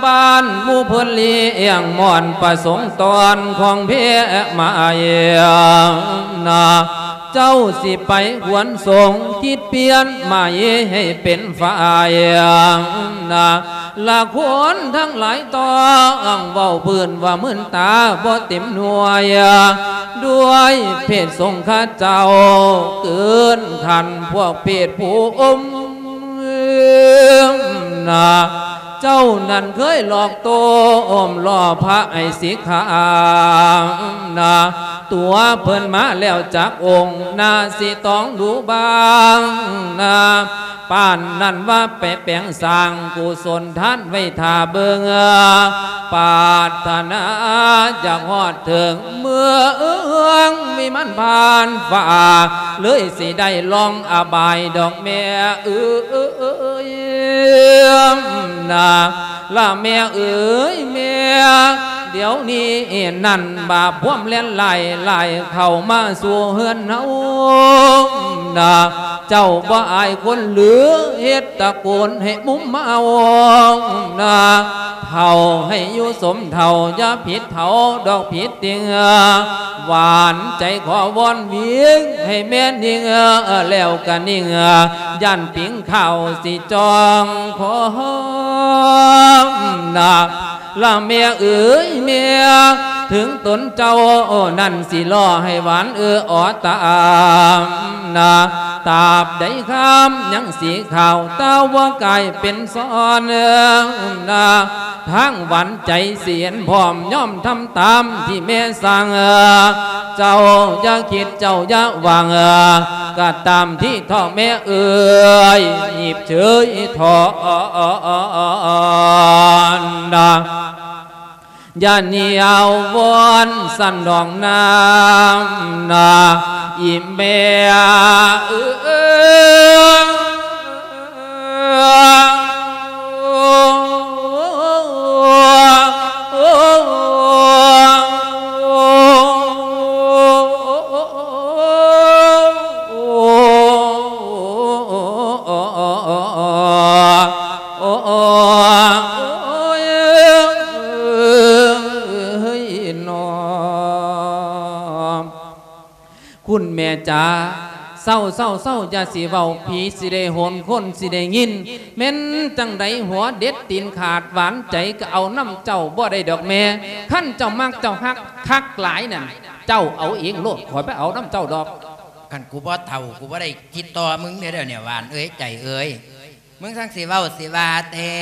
ບ້ານໝູ່ເພິ່ນລ້ຽງມ່ອນປະສົງຕອນຂອງແພມາເອງນາ ເຈົ້າຊິໄປຄວນສົງ ຄິດປ່ຽນໃໝ່ໃຫ້ເປັນຝ່າຍນາ ລະຄົນທັງຫຼາຍຕ້ອງເວົ້າພື້ນວ່າມື່ນຕາບໍ່ເຕັມໜ່ວຍ ດ້ວຍເພດສົງຂະເຈົ້າເກີນຂັ້ນພວກເພດຜູ້ອົມ ນາ ເຈົ້ານັ້ນເຄີຍຫຼອກໂຕ້ມຫຼໍ່ພະໃຫ້ສິກຂານາ ຕົວເພິ່ນມາແລ້ວຈັກອົງ ໜ້າຊິຕ້ອງດູບາງນາ ປານນັ້ນວ່າໄປແປງສ້າງກຸສົນທານໄວ້ຖ້າເບິ່ງ ປາດຖະໜາຢາກຮອດເຖິງເມືອງວິມານຜ່ານຟ້າ ເລີຍຊິໄດ້ລ່ອງອະບາຍດອກແມ່ເອີຍນາ ລະແມ່ເອີຍແມ່ ດຽວນີ້ນັ້ນບາບພວມແລ່ນຫຼາຍໆ ເຂົ້າມາສູ່ເຮືອນເຮົານາ ເຈົ້າບໍ່ອາຍຄົນຫຼື ເຮັດຕະໂກນໃຫ້ມຸມເອົານາ ເຖົ້າໃຫ້ຢູ່ສົມເຖົ້າ ຢ່າຜິດເຖົ້າດອກຜິດຕິງ ຫວານໃຈຂໍວອນວິງ ໃຫ້ແມ່ນິ່ງ ແລ້ວກະນິ່ງ ຢ້ານປິງຂາວຊິຈ່ອງຄອມນາ ລະແມ່ເອີຍແມ່ ເຖິງຕົນເຈົ້ານັ້ນຊິລໍໃຫ້ຫວານເອີອອຕາມນາ ຕາບໃດຄາມຍັງສີຂາວ ແຕ່ວ່າກາຍເປັນຊອນນາ ທາງຫວານໃຈສຽນພ້ອມຍອມທຳຕາມທີ່ແມ່ສັ່ງ ເຈົ້າຢ່າຄິດເຈົ້າຢ່າຫວັງ ກະຕາມທີ່ເຖາະແມ່ເອີຍ ຍິບເຊີຍເຖາະນາ ຢ່າໜຽວວອນສັນດອງນ້ຳນາ ອີແມ່ເອີຍ. ຄຸນແມ່ຈ໋າ ເຊົາໆໆ ຢ່າຊິເວົ້າ ຜີຊິໄດ້ຫົນ ຄົນຊິໄດ້ຍິນ ແມ່ນຈັ່ງໃດຫົວເດັດຕີນຂາດ ຫວານໃຈກໍເອົານຳເຈົ້າບໍ່ໄດ້ດອກແມ່ ຄັນເຈົ້າມັກເຈົ້າຮັກຄັກຫຼາຍນັ້ນ ເຈົ້າເອົາເອງໂລດ ຂ້ອຍບໍ່ເອົານຳເຈົ້າດອກ. ຄັນກູບໍ່ເຖົ້າ ກູບໍ່ໄດ້ຕິດຕໍ່ມຶງເດ້ ດຽວນີ້ ຫວານເອີຍ ໃຈເອີຍ. ມຶງຊ່າງຊິເວົ້າຊິວ່າແທ້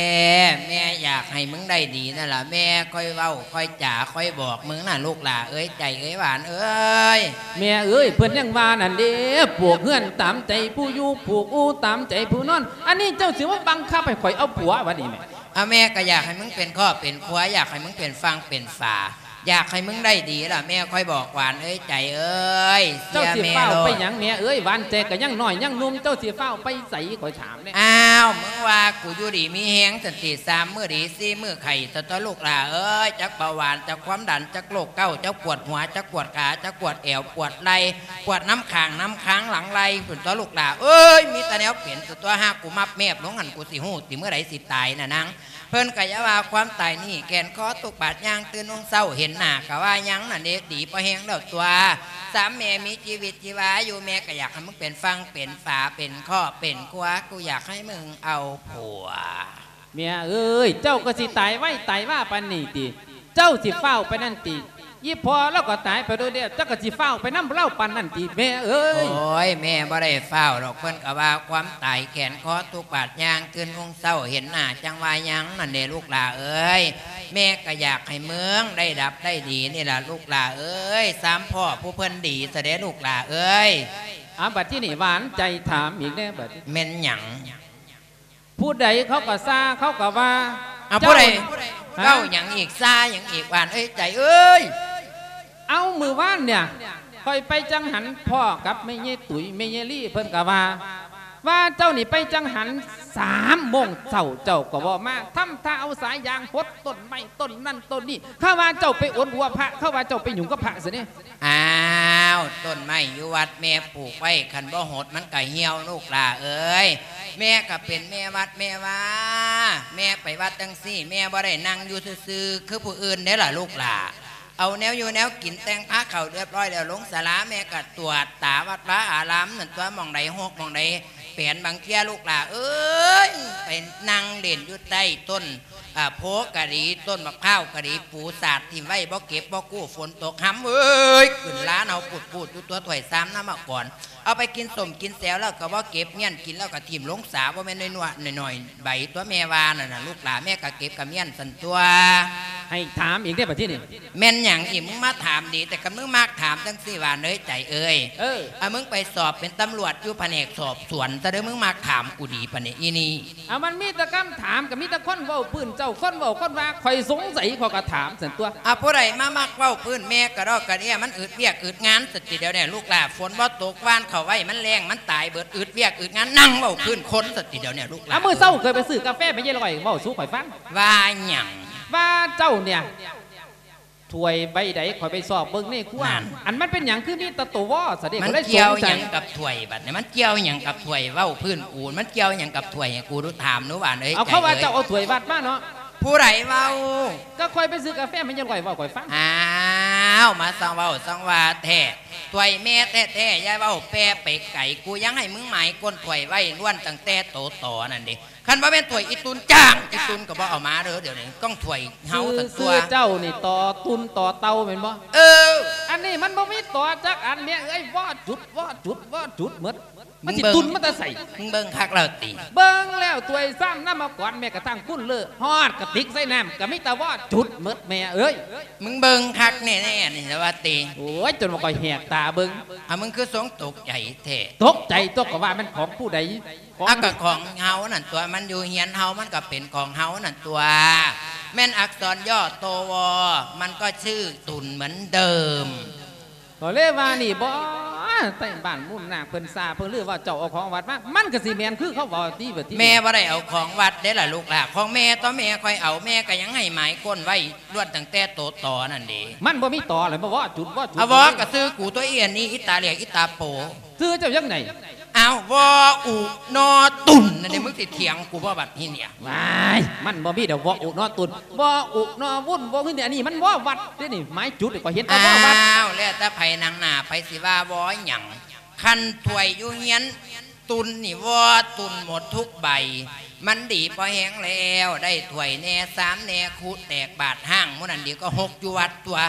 ແມ່ຢາກໃຫ້ມຶງໄດ້ດີນັ້ນລະ ແມ່ຄ່ອຍເວົ້າຄ່ອຍຈາຄ່ອຍບອກມຶງນະ ລູກຫຼ້າເອີຍ ໃຈເອີຍ ຫວານເອີຍ. ແມ່ເອີຍ ເພິ່ນຍັງວ່ານັ້ນເດ້ ປູກເຮືອນຕາມໃຈຜູ້ຢູ່ ຜູກອູຕາມໃຈຜູ້ນອນ ອັນນີ້ເຈົ້າຊິມາບັງຄັບໃຫ້ຂ້ອຍເອົາຜົວບັດນີ້ແມ່. ອາ ແມ່ກໍຢາກໃຫ້ມຶງເປັນຄອບເປັນຄົວ ຢາກໃຫ້ມຶງເປັນຝັ່ງເປັນຝາ ຢາກໃຫ້ມຶງໄດ້ດີລະ ແມ່ຄ່ອຍບອກ ຫວານເອີຍ ໃຈເອີຍ. ເຈົ້າຊິຟ້າວໄປຫຍັງແມ່ເອີຍ ຫວານໃຈກໍຍັງນ້ອຍຍັງໜຸ່ມ ເຈົ້າຊິຟ້າວໄປໃສ ຂ້ອຍຖາມແດ່. ອ້າວ ມຶງວ່າກູຢູ່ດີມີແຮງຊັ້ນຕິ ສາມມື້ດີສີ່ມື້ໄຂ້ ຕະຕະ ລູກຫຼ້າເອີຍ ຈັກເບົາຫວານ ຈັກຄວາມດັນ ຈັກໂລກເກົາ ຈັກປວດຫົວ ຈັກປວດຂາ ຈັກປວດແອວ ປວດໄຫຼ່ ປວດນຳຂ້າງນຳຄາງຫຼັງໄຫຼ່ພຸ້ນຕົວະ ລູກຫຼ້າເອີຍ. ມີແຕ່ແນວເປັນຕົວະ ຫາກກູມັບແມບລົງຫັ້ນ ກູຊິຮູ້ຕິ ມື້ໃດຊິຕາຍນະນາງ. ເພິ່ນກໍຢ່າວ່າຄວາມຕາຍນີ້ ແກ່ນຄໍທຸກບາດຍ່າງຕື່ນຮຸ່ງເຊົ້າ ເຫັນໜ້າກໍວ່າຍັງນັ້ນເດ ດີພໍແຮງແລ້ວຕົວະ. ສາມແມ່ມີຊີວິດຊີວາຢູ່ ແມ່ກໍຢາກໃຫ້ມຶງເປັນຝັ່ງເປັນຝາ ເປັນຄອບເປັນຄົວ ກູຢາກໃຫ້ມຶງເອົາຜົວ. ແມ່ເອີຍ ເຈົ້າກໍຊິຕາຍໄວຕາຍວາປານນີ້ຕິ ເຈົ້າຊິຟ້າວໄປນັ້ນຕິ ອີ່ພໍ່ລາວກໍຕາຍໄປໂດນແລ້ວ ເຈົ້າກໍຊິຟ້າວໄປນຳລາວປານນັ້ນຕິ ແມ່ເອີຍ. ໂອ້ຍ ແມ່ບໍ່ໄດ້ຟ້າວດອກ ເພິ່ນກໍວ່າຄວາມຕາຍແກ່ນຄໍທຸກບາດຍ່າງຕື່ນຮຸ່ງເຊົ້າ ເຫັນໜ້າຈັ່ງວ່າຍັງນັ້ນເດ ລູກຫຼ້າເອີຍ. ແມ່ກໍຢາກໃຫ້ມຶງໄດ້ດັບໄດ້ດີນີ້ລະ ລູກຫຼ້າເອີຍ ສາມພໍ່ຜູ້ເພິ່ນດີຊະເດ ລູກຫຼ້າເອີຍ. ອາ ບັດທີນີ້ຫວານໃຈຖາມອີກແດ່ ບັດ ແມ່ນຫຍັງ? ຜູ້ໃດເຂົາກໍຊາ ເຂົາກໍວ່າ ເອົາ ເຈົ້າ ຜູ້ໃດ ຮະ ເວົ້າຫຍັງອີກ ຊາຫຍັງອີກ ຫວານເອີຍ ໃຈເອີຍ? ເອົາ ມື້ວານເນຍ ຂ້ອຍໄປຈັງຫັນພໍ້ກັບແມ່ຍາຍຕຸ້ຍ ແມ່ຍາຍລີ ເພິ່ນກະວ່າ ວ່າເຈົ້ານີ້ໄປຈັງຫັນສາມໂມງເຊົ້າ ເຈົ້າກໍບໍ່ມາ ທຳທ່າເອົາສາຍຢາງຫົດຕົ້ນໄມ້ຕົ້ນນັ້ນຕົ້ນນີ້ ເຂົາວ່າເຈົ້າໄປອົດຫົວພະ ເຂົາວ່າເຈົ້າໄປຫຍຸ້ງກັບພະຊັ້ນເດ. ອ້າວ ຕົ້ນໄມ້ຢູ່ວັດແມ່ປູກໄວ້ ຄັນບໍ່ຫົດມັນກະຫ່ຽວ ລູກຫຼ້າເອີຍ. ແມ່ກະເປັນແມ່ວັດແມ່ວາ ແມ່ໄປວັດຈັ່ງຊີ້ ແມ່ບໍ່ໄດ້ນັ່ງຢູ່ຊື່ໆ ຄືຜູ້ອື່ນເດ້ລະລູກຫຼ້າ. ເອົາແນວຢູ່ແນວກິນ ແຕ່ງພາເຂົ້າຮຽບຮ້ອຍແລ້ວ ລົງສາລາ ແມ່ກະກວດກາວັດວາອາລາມນັ້ນຕົວະ ໝ່ອງໃດຮົກ ໝ່ອງໃດແປນ. ບາງເທື່ອລູກຫຼ້າເອີຍ ໄປນັ່ງຫຼິ້ນຢູ່ໃຕ້ຕົ້ນ ອ່າ ໂພກະດີ ຕົ້ນໝາກພ້າວກະດີ ປູສາດຖິ້ມໄວ້ ບໍ່ເກັບບໍ່ກູ້ ຝົນຕົກ ຫຳເອີຍ ຂຶ້ນລານເຮົາປູດໆ ຢູ່ຕົວຖ້ວຍຊາມນຳມາກ່ອນ. ເອົາໄປກິນສົ້ມກິນແຊວແລ້ວກໍບໍ່ເກັບ ມ້ຽນກິນແລ້ວກໍຖິ້ມລົງສາ ບໍ່ແມ່ນນ້ອຍໆ ນ້ອຍໆ ໃບຕົວະ ແມ່ວ່ານັ້ນນະ ລູກຫຼ້າ. ແມ່ກໍເກັບກໍມ້ຽນຊັ້ນຕົວະ. ໃຫ້ຖາມອີກເດ້ ບັດທີນີ້ ແມ່ນຫຍັງອີກ? ມຶງມາຖາມດີແຕ່ ຄັນມຶງມັກຖາມຈັ່ງຊີ້ ຫວານເອີຍ ໃຈເອີຍ. ເອີ ອາ ມຶງໄປສອບເປັນຕຳຫຼວດຢູ່ພະແນກສອບສວນຊະເດີ້ ມຶງມັກຖາມກູດີປານນີ້ ອີນີ້. ອາ ມັນມີແຕ່ຄຳຖາມ ກໍມີແຕ່ຄົນເວົ້າພື້ນ ເຈົ້າຄົນເວົ້າຄົນວ່າ ຂ້ອຍສົງໄສ ຂ້ອຍກໍຖາມຊັ້ນຕົວະ. ອາ ຜູ້ໃດມາມັກເວົ້າພື້ນ ແມ່ກະດອກກະເດຍ ມັນອຶດວຽກອຶດງານຊັ້ນຕິດຽວນີ້ ລູກຫຼ້າ. ຝົນບໍ່ຕົກ ຫວ່ານເຂົ້າໄວ້ ມັນແລ້ງ ມັນຕາຍເບິດ ອຶດວຽກອຶດງານ ນັ່ງເວົ້າພື້ນຄົນຊັ້ນຕິດຽວນີ້ ລູກຫຼ້າ. ອາ ມື້ເຊົ້າຂ້ອຍໄປຊື້ກາແຟ ແມ່ຍາຍລອຍເວົ້າສູ່ຂ້ອຍຟັງ. ວ່າຫຍັງ? ວ່າເຈົ້າເນຍ ຖ້ວຍໃບໃດ ຂ້ອຍໄປຊອກເບິ່ງໃນຄົວ ນັ້ນ ອັນມັນເປັນຫຍັງຄືມີແຕ່ໂຕວໍຊະເດ. ມັນກ່ຽວຫຍັງກັບຖ້ວຍບັດນີ້? ມັນກ່ຽວຫຍັງກັບຖ້ວຍ? ເວົ້າພື້ນກູ ມັນກ່ຽວຫຍັງກັບຖ້ວຍ? ໃຫ້ກູຖາມໜູ ຫວານເອີຍ. ເອົາ ເຂົາວ່າເຈົ້າເອົາຖ້ວຍວັດມາເນາະ. ຜູ້ໃດເວົ້າ? ກໍຂ້ອຍໄປຊື້ກາແຟ ແມ່ຍາຍລອຍເວົ້າຂ້ອຍຟັງ. ອ້າວ ມາຊ່າງເວົ້າຊ່າງວ່າແທ້ ຖ້ວຍແມ່ແທ້ໆ ຢ່າເວົ້າແປໄປໄກ. ກູຍັງໃຫ້ມຶງໝາຍກົ້ນຖ້ວຍໄວ້ ລ້ວນຕັ້ງແຕ່ໂຕຕໍນັ້ນເດ. ຄັນບໍ່ແມ່ນຖ້ວຍອີ່ຕຸນຈ້າງ ອີ່ຕຸນກໍບໍ່ເອົາມາເດີ້. ດຽວນີ້ກ້ອງຖ້ວຍເຮົາຊັ້ນຕົວະ. ຊື່ເຈົ້ານີ້ ຕໍຕຸນຕໍເຕົ່າແມ່ນບໍ່? ເອີ ອັນນີ້ມັນບໍ່ມີຕໍຈັກອັນ ແມ່ເອີຍ ວໍຈຸດ ວໍຈຸດ ວໍຈຸດໝົດ. ມັນຊິຕຸນມາແຕ່ໃສ? ມຶງເບິ່ງຄັກແລ້ວຕິ? ເບິ່ງແລ້ວ ຖ້ວຍຊາມ ນ້ຳມາກອນ ແມ້ກະທັ້ງຄຸນເລີ ຮອດກະຕິກໃສ່ນ້ຳ ກະມີແຕ່ວໍຈຸດໝົດ ແມ່ເອີຍ. ມຶງເບິ່ງຄັກແນ່ໆ ນີ້ລະວ່າຕິ? ໂອ້ຍ ຈົນວ່າຂ້ອຍແຫກຕາເບິ່ງ. ອາ ມຶງຄືຊົງຕົກໃຈແທ້? ຕົກໃຈຕົວະ ກໍວ່າແມ່ນຂອງຜູ້ໃດ? ຂອງ ອາ ກະຂອງເຮົານັ້ນຕົວະ ມັນຢູ່ເຮືອນເຮົາ ມັນກະເປັນຂອງເຮົານັ້ນຕົວະ. ແມ່ນອັກສອນຍໍໂຕວໍ ມັນກໍຊື່ຕຸນເໝືອນເດີມ. ກໍເລີຍວ່ານີ້ບໍ ໃຕ້ບ້ານມູນນາກເພິ່ນຊາ ເພິ່ນລືວ່າເຈົ້າເອົາຂອງວັດມາ ມັນກະຊິແມ່ນຄືເຂົາເວົ້າຕິບັດນີ້. ແມ່ບໍ່ໄດ້ເອົາຂອງວັດເດ້ລະລູກຫຼ້າ ຂອງແມ່ຕົວະ ແມ່ຂ້ອຍເອົາ ແມ່ກະຍັງໃຫ້ໝາຍກົ້ນໄວ້ ລ້ວນຕັ້ງແຕ່ໂຕຕໍນັ້ນເດ. ມັນບໍ່ມີຕໍແລ້ວ ມາວໍຈຸດ ວໍຈຸດ. ອາ ວໍກະຊື່ກູຕົວະ ອີອັນນີ້ ອີຕາຫຼຽກ ອີຕາໂປ. ຊື່ເຈົ້າຈັ່ງໃດ? ອ້າວ ວໍອຸ ນໍຕຸນ ນັ້ນເດ. ມຶງຊິຖຽງກູບໍ່ບັດນີ້ເນຍ? ວ້າຍ ມັນບໍ່ມີດອກ ວໍອຸ ນໍຕຸນ ວໍອຸ ນໍວຸ້ນ ວໍຫຶນ ອັນນີ້ມັນວໍວັດເດ້ນີ້ ໝາຍຈຸດ ຂ້ອຍເຫັນແຕ່ວໍວັດ. ອ້າວ ແລ້ວແຕ່ໃຜນັ່ງໜ້າ ໃຜຊິວ່າວໍຫຍັງ. ຄັນຖ້ວຍຢູ່ເຮືອນຕຸນນີ້ ວໍຕຸນໝົດທຸກໃບ. ມັນດີພໍແຮງແລ້ວ ໄດ້ຖ້ວຍແດ່ ຊາມແດ່ ຄຸແຕກ ບາດຮ້າງ ໝູ່ນັ້ນດີກວ່າຫົກຢູ່ວັດຕົວະ.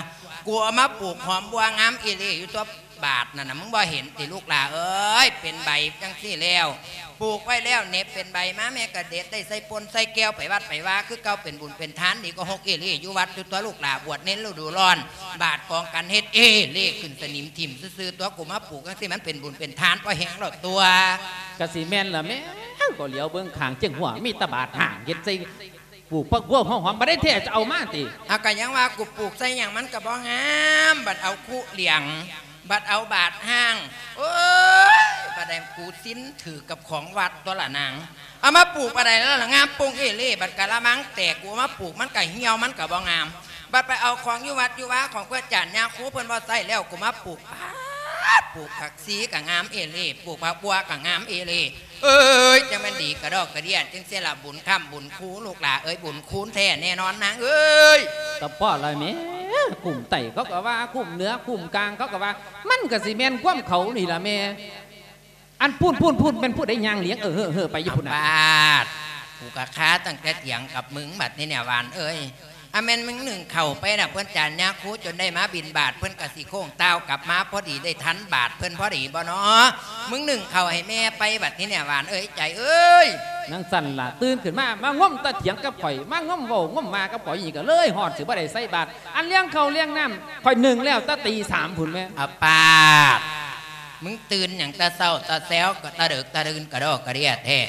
ກູເອົາມາປູກຫອມບົວງາມອີ່ຫຼີຢູ່ຕົວະ. ບາດນັ້ນນະ ມຶງບໍ່ເຫັນຕິລູກຫຼ້າເອີຍ? ເປັນໃບຈັ່ງຊີ້ແລ້ວ ປູກໄວ້ແລ້ວ ເໜັບເປັນໃບມາ ແມ່ກະເດັດໄດ້ໃສ່ປົ່ນໃສ່ແກ່ວ ໄປວັດໄປວາຄືເກົ່າ ເປັນບຸນເປັນທານ ດີກວ່າຫົກເອເລຢູ່ວັດຢູ່ຕົວະລູກຫຼ້າ. ບວດເນນລະດູຮ້ອນ ບາດກອງກັນເຮັດເອເລຂຶ້ນສະໜິມຖິ້ມຊື່ໆ ຕົວະ. ກູມາປູກຈັ່ງຊີ້ ມັນເປັນບຸນເປັນທານ ພໍແຮງແລ້ວຕົວະ. ກະຊິແມ່ນລະແມ່ ກໍຫຼຽວເບິ່ງຂ້າງຈຽງຫົວ ມີແຕ່ບາດຮ້າງເຮັດໃສ່ ປູກຜັກບົວຫົວຫອມ ບໍ່ໄດ້ແທ້ຈະເອົາມາຕິ? ອາ ກະຍັງວ່າກູປູກໃສ່ຫຍັງມັນກະບໍ່ງາມ ບັດເອົາຄຸຫຼຽງ ບັດເອົາບາດຮ້າງ. ໂອ້ຍ ບັດໃດກູຊິນຖືກກັບຂອງວັດຕົວະລະນາງ. ເອົາມາປູກປານໃດແລ້ວລະງາມໂປ່ງເອເລ. ບັດກະລະມັງແຕກ ກູເອົາມາປູກມັນກະຫ່ຽວ ມັນກະບໍ່ງາມ. ບັດໄປເອົາຂອງຢູ່ວັດຢູ່ວາຂອງພະອາຈານຍາຄູເພິ່ນບໍ່ໃຊ້ແລ້ວ ກູມາປູກ ປາດ ປູກຜັກຊີກະງາມເອເລ ປູກຜັກບົວກະງາມເອເລ. ເອີຍ ຈັ່ງແມ່ນດີກະດອກກະເດຍ ຈັ່ງຊີ້ລະບຸນຄ້ຳບຸນຄູ ລູກຫຼ້າເອີຍ ບຸນຄູນແທ້ແນ່ນອນນາງເອີຍ. ກະພໍລະແມ່ ຄຸ້ມໃຕ້ເຂົາກະວ່າ ຄຸ້ມເໜືອ ຄຸ້ມກາງເຂົາກະວ່າ ມັນກະຊິແມ່ນຄວາມເຂົານີ້ລະແມ່. ອັນພຸ້ນ ພຸ້ນ ພຸ້ນ ແມ່ນຜູ້ໃດຍ່າງລຽງເອີເຮີເຮີໄປຢູ່ພຸ້ນນະ? ປາດ ກູກະຄາຕັ້ງແຕ່ຖຽງກັບມຶງບັດນີ້ແນວຫວານເອີຍ. ອາ ແມ່ນມຶງໜຶ້ງເຂົ້າໄປນະ ເພິ່ນຈານຍາຄູຈົນໄດ້ມາບິນບາດ ເພິ່ນກະຊິໂຄ້ງຕ່າວກັບມາ ພໍດີໄດ້ທັນບາດເພິ່ນພໍດີບໍ່ນໍ? ມຶງໜຶ້ງເຂົ້າໃຫ້ແມ່ໄປບັດນີ້ແນວຫວານເອີຍ ໃຈເອີຍ. ຈັ່ງຊັ້ນລະ ຕື່ນຂຶ້ນມາ ມາງົມຕາຖຽງກັບຂ້ອຍ ມາງົມເວົ້າງົມວ່າກັບຂ້ອຍ ນີ້ກະເລີຍຮອດຊິບໍ່ໄດ້ໃສ່ບາດ. ອັນລຽງເຂົ້າລຽງນ້ຳ ຂ້ອຍໜຶ້ງແລ້ວຕາຕີສາມພຸ້ນແມ່. ອາ ປາດ ມຶງຕື່ນຫຍັງແຕ່ເຊົ້າແຕ່ແຊວ ກະຕະເດິກຕະດື່ນກະດໍກະເດຍແທ້.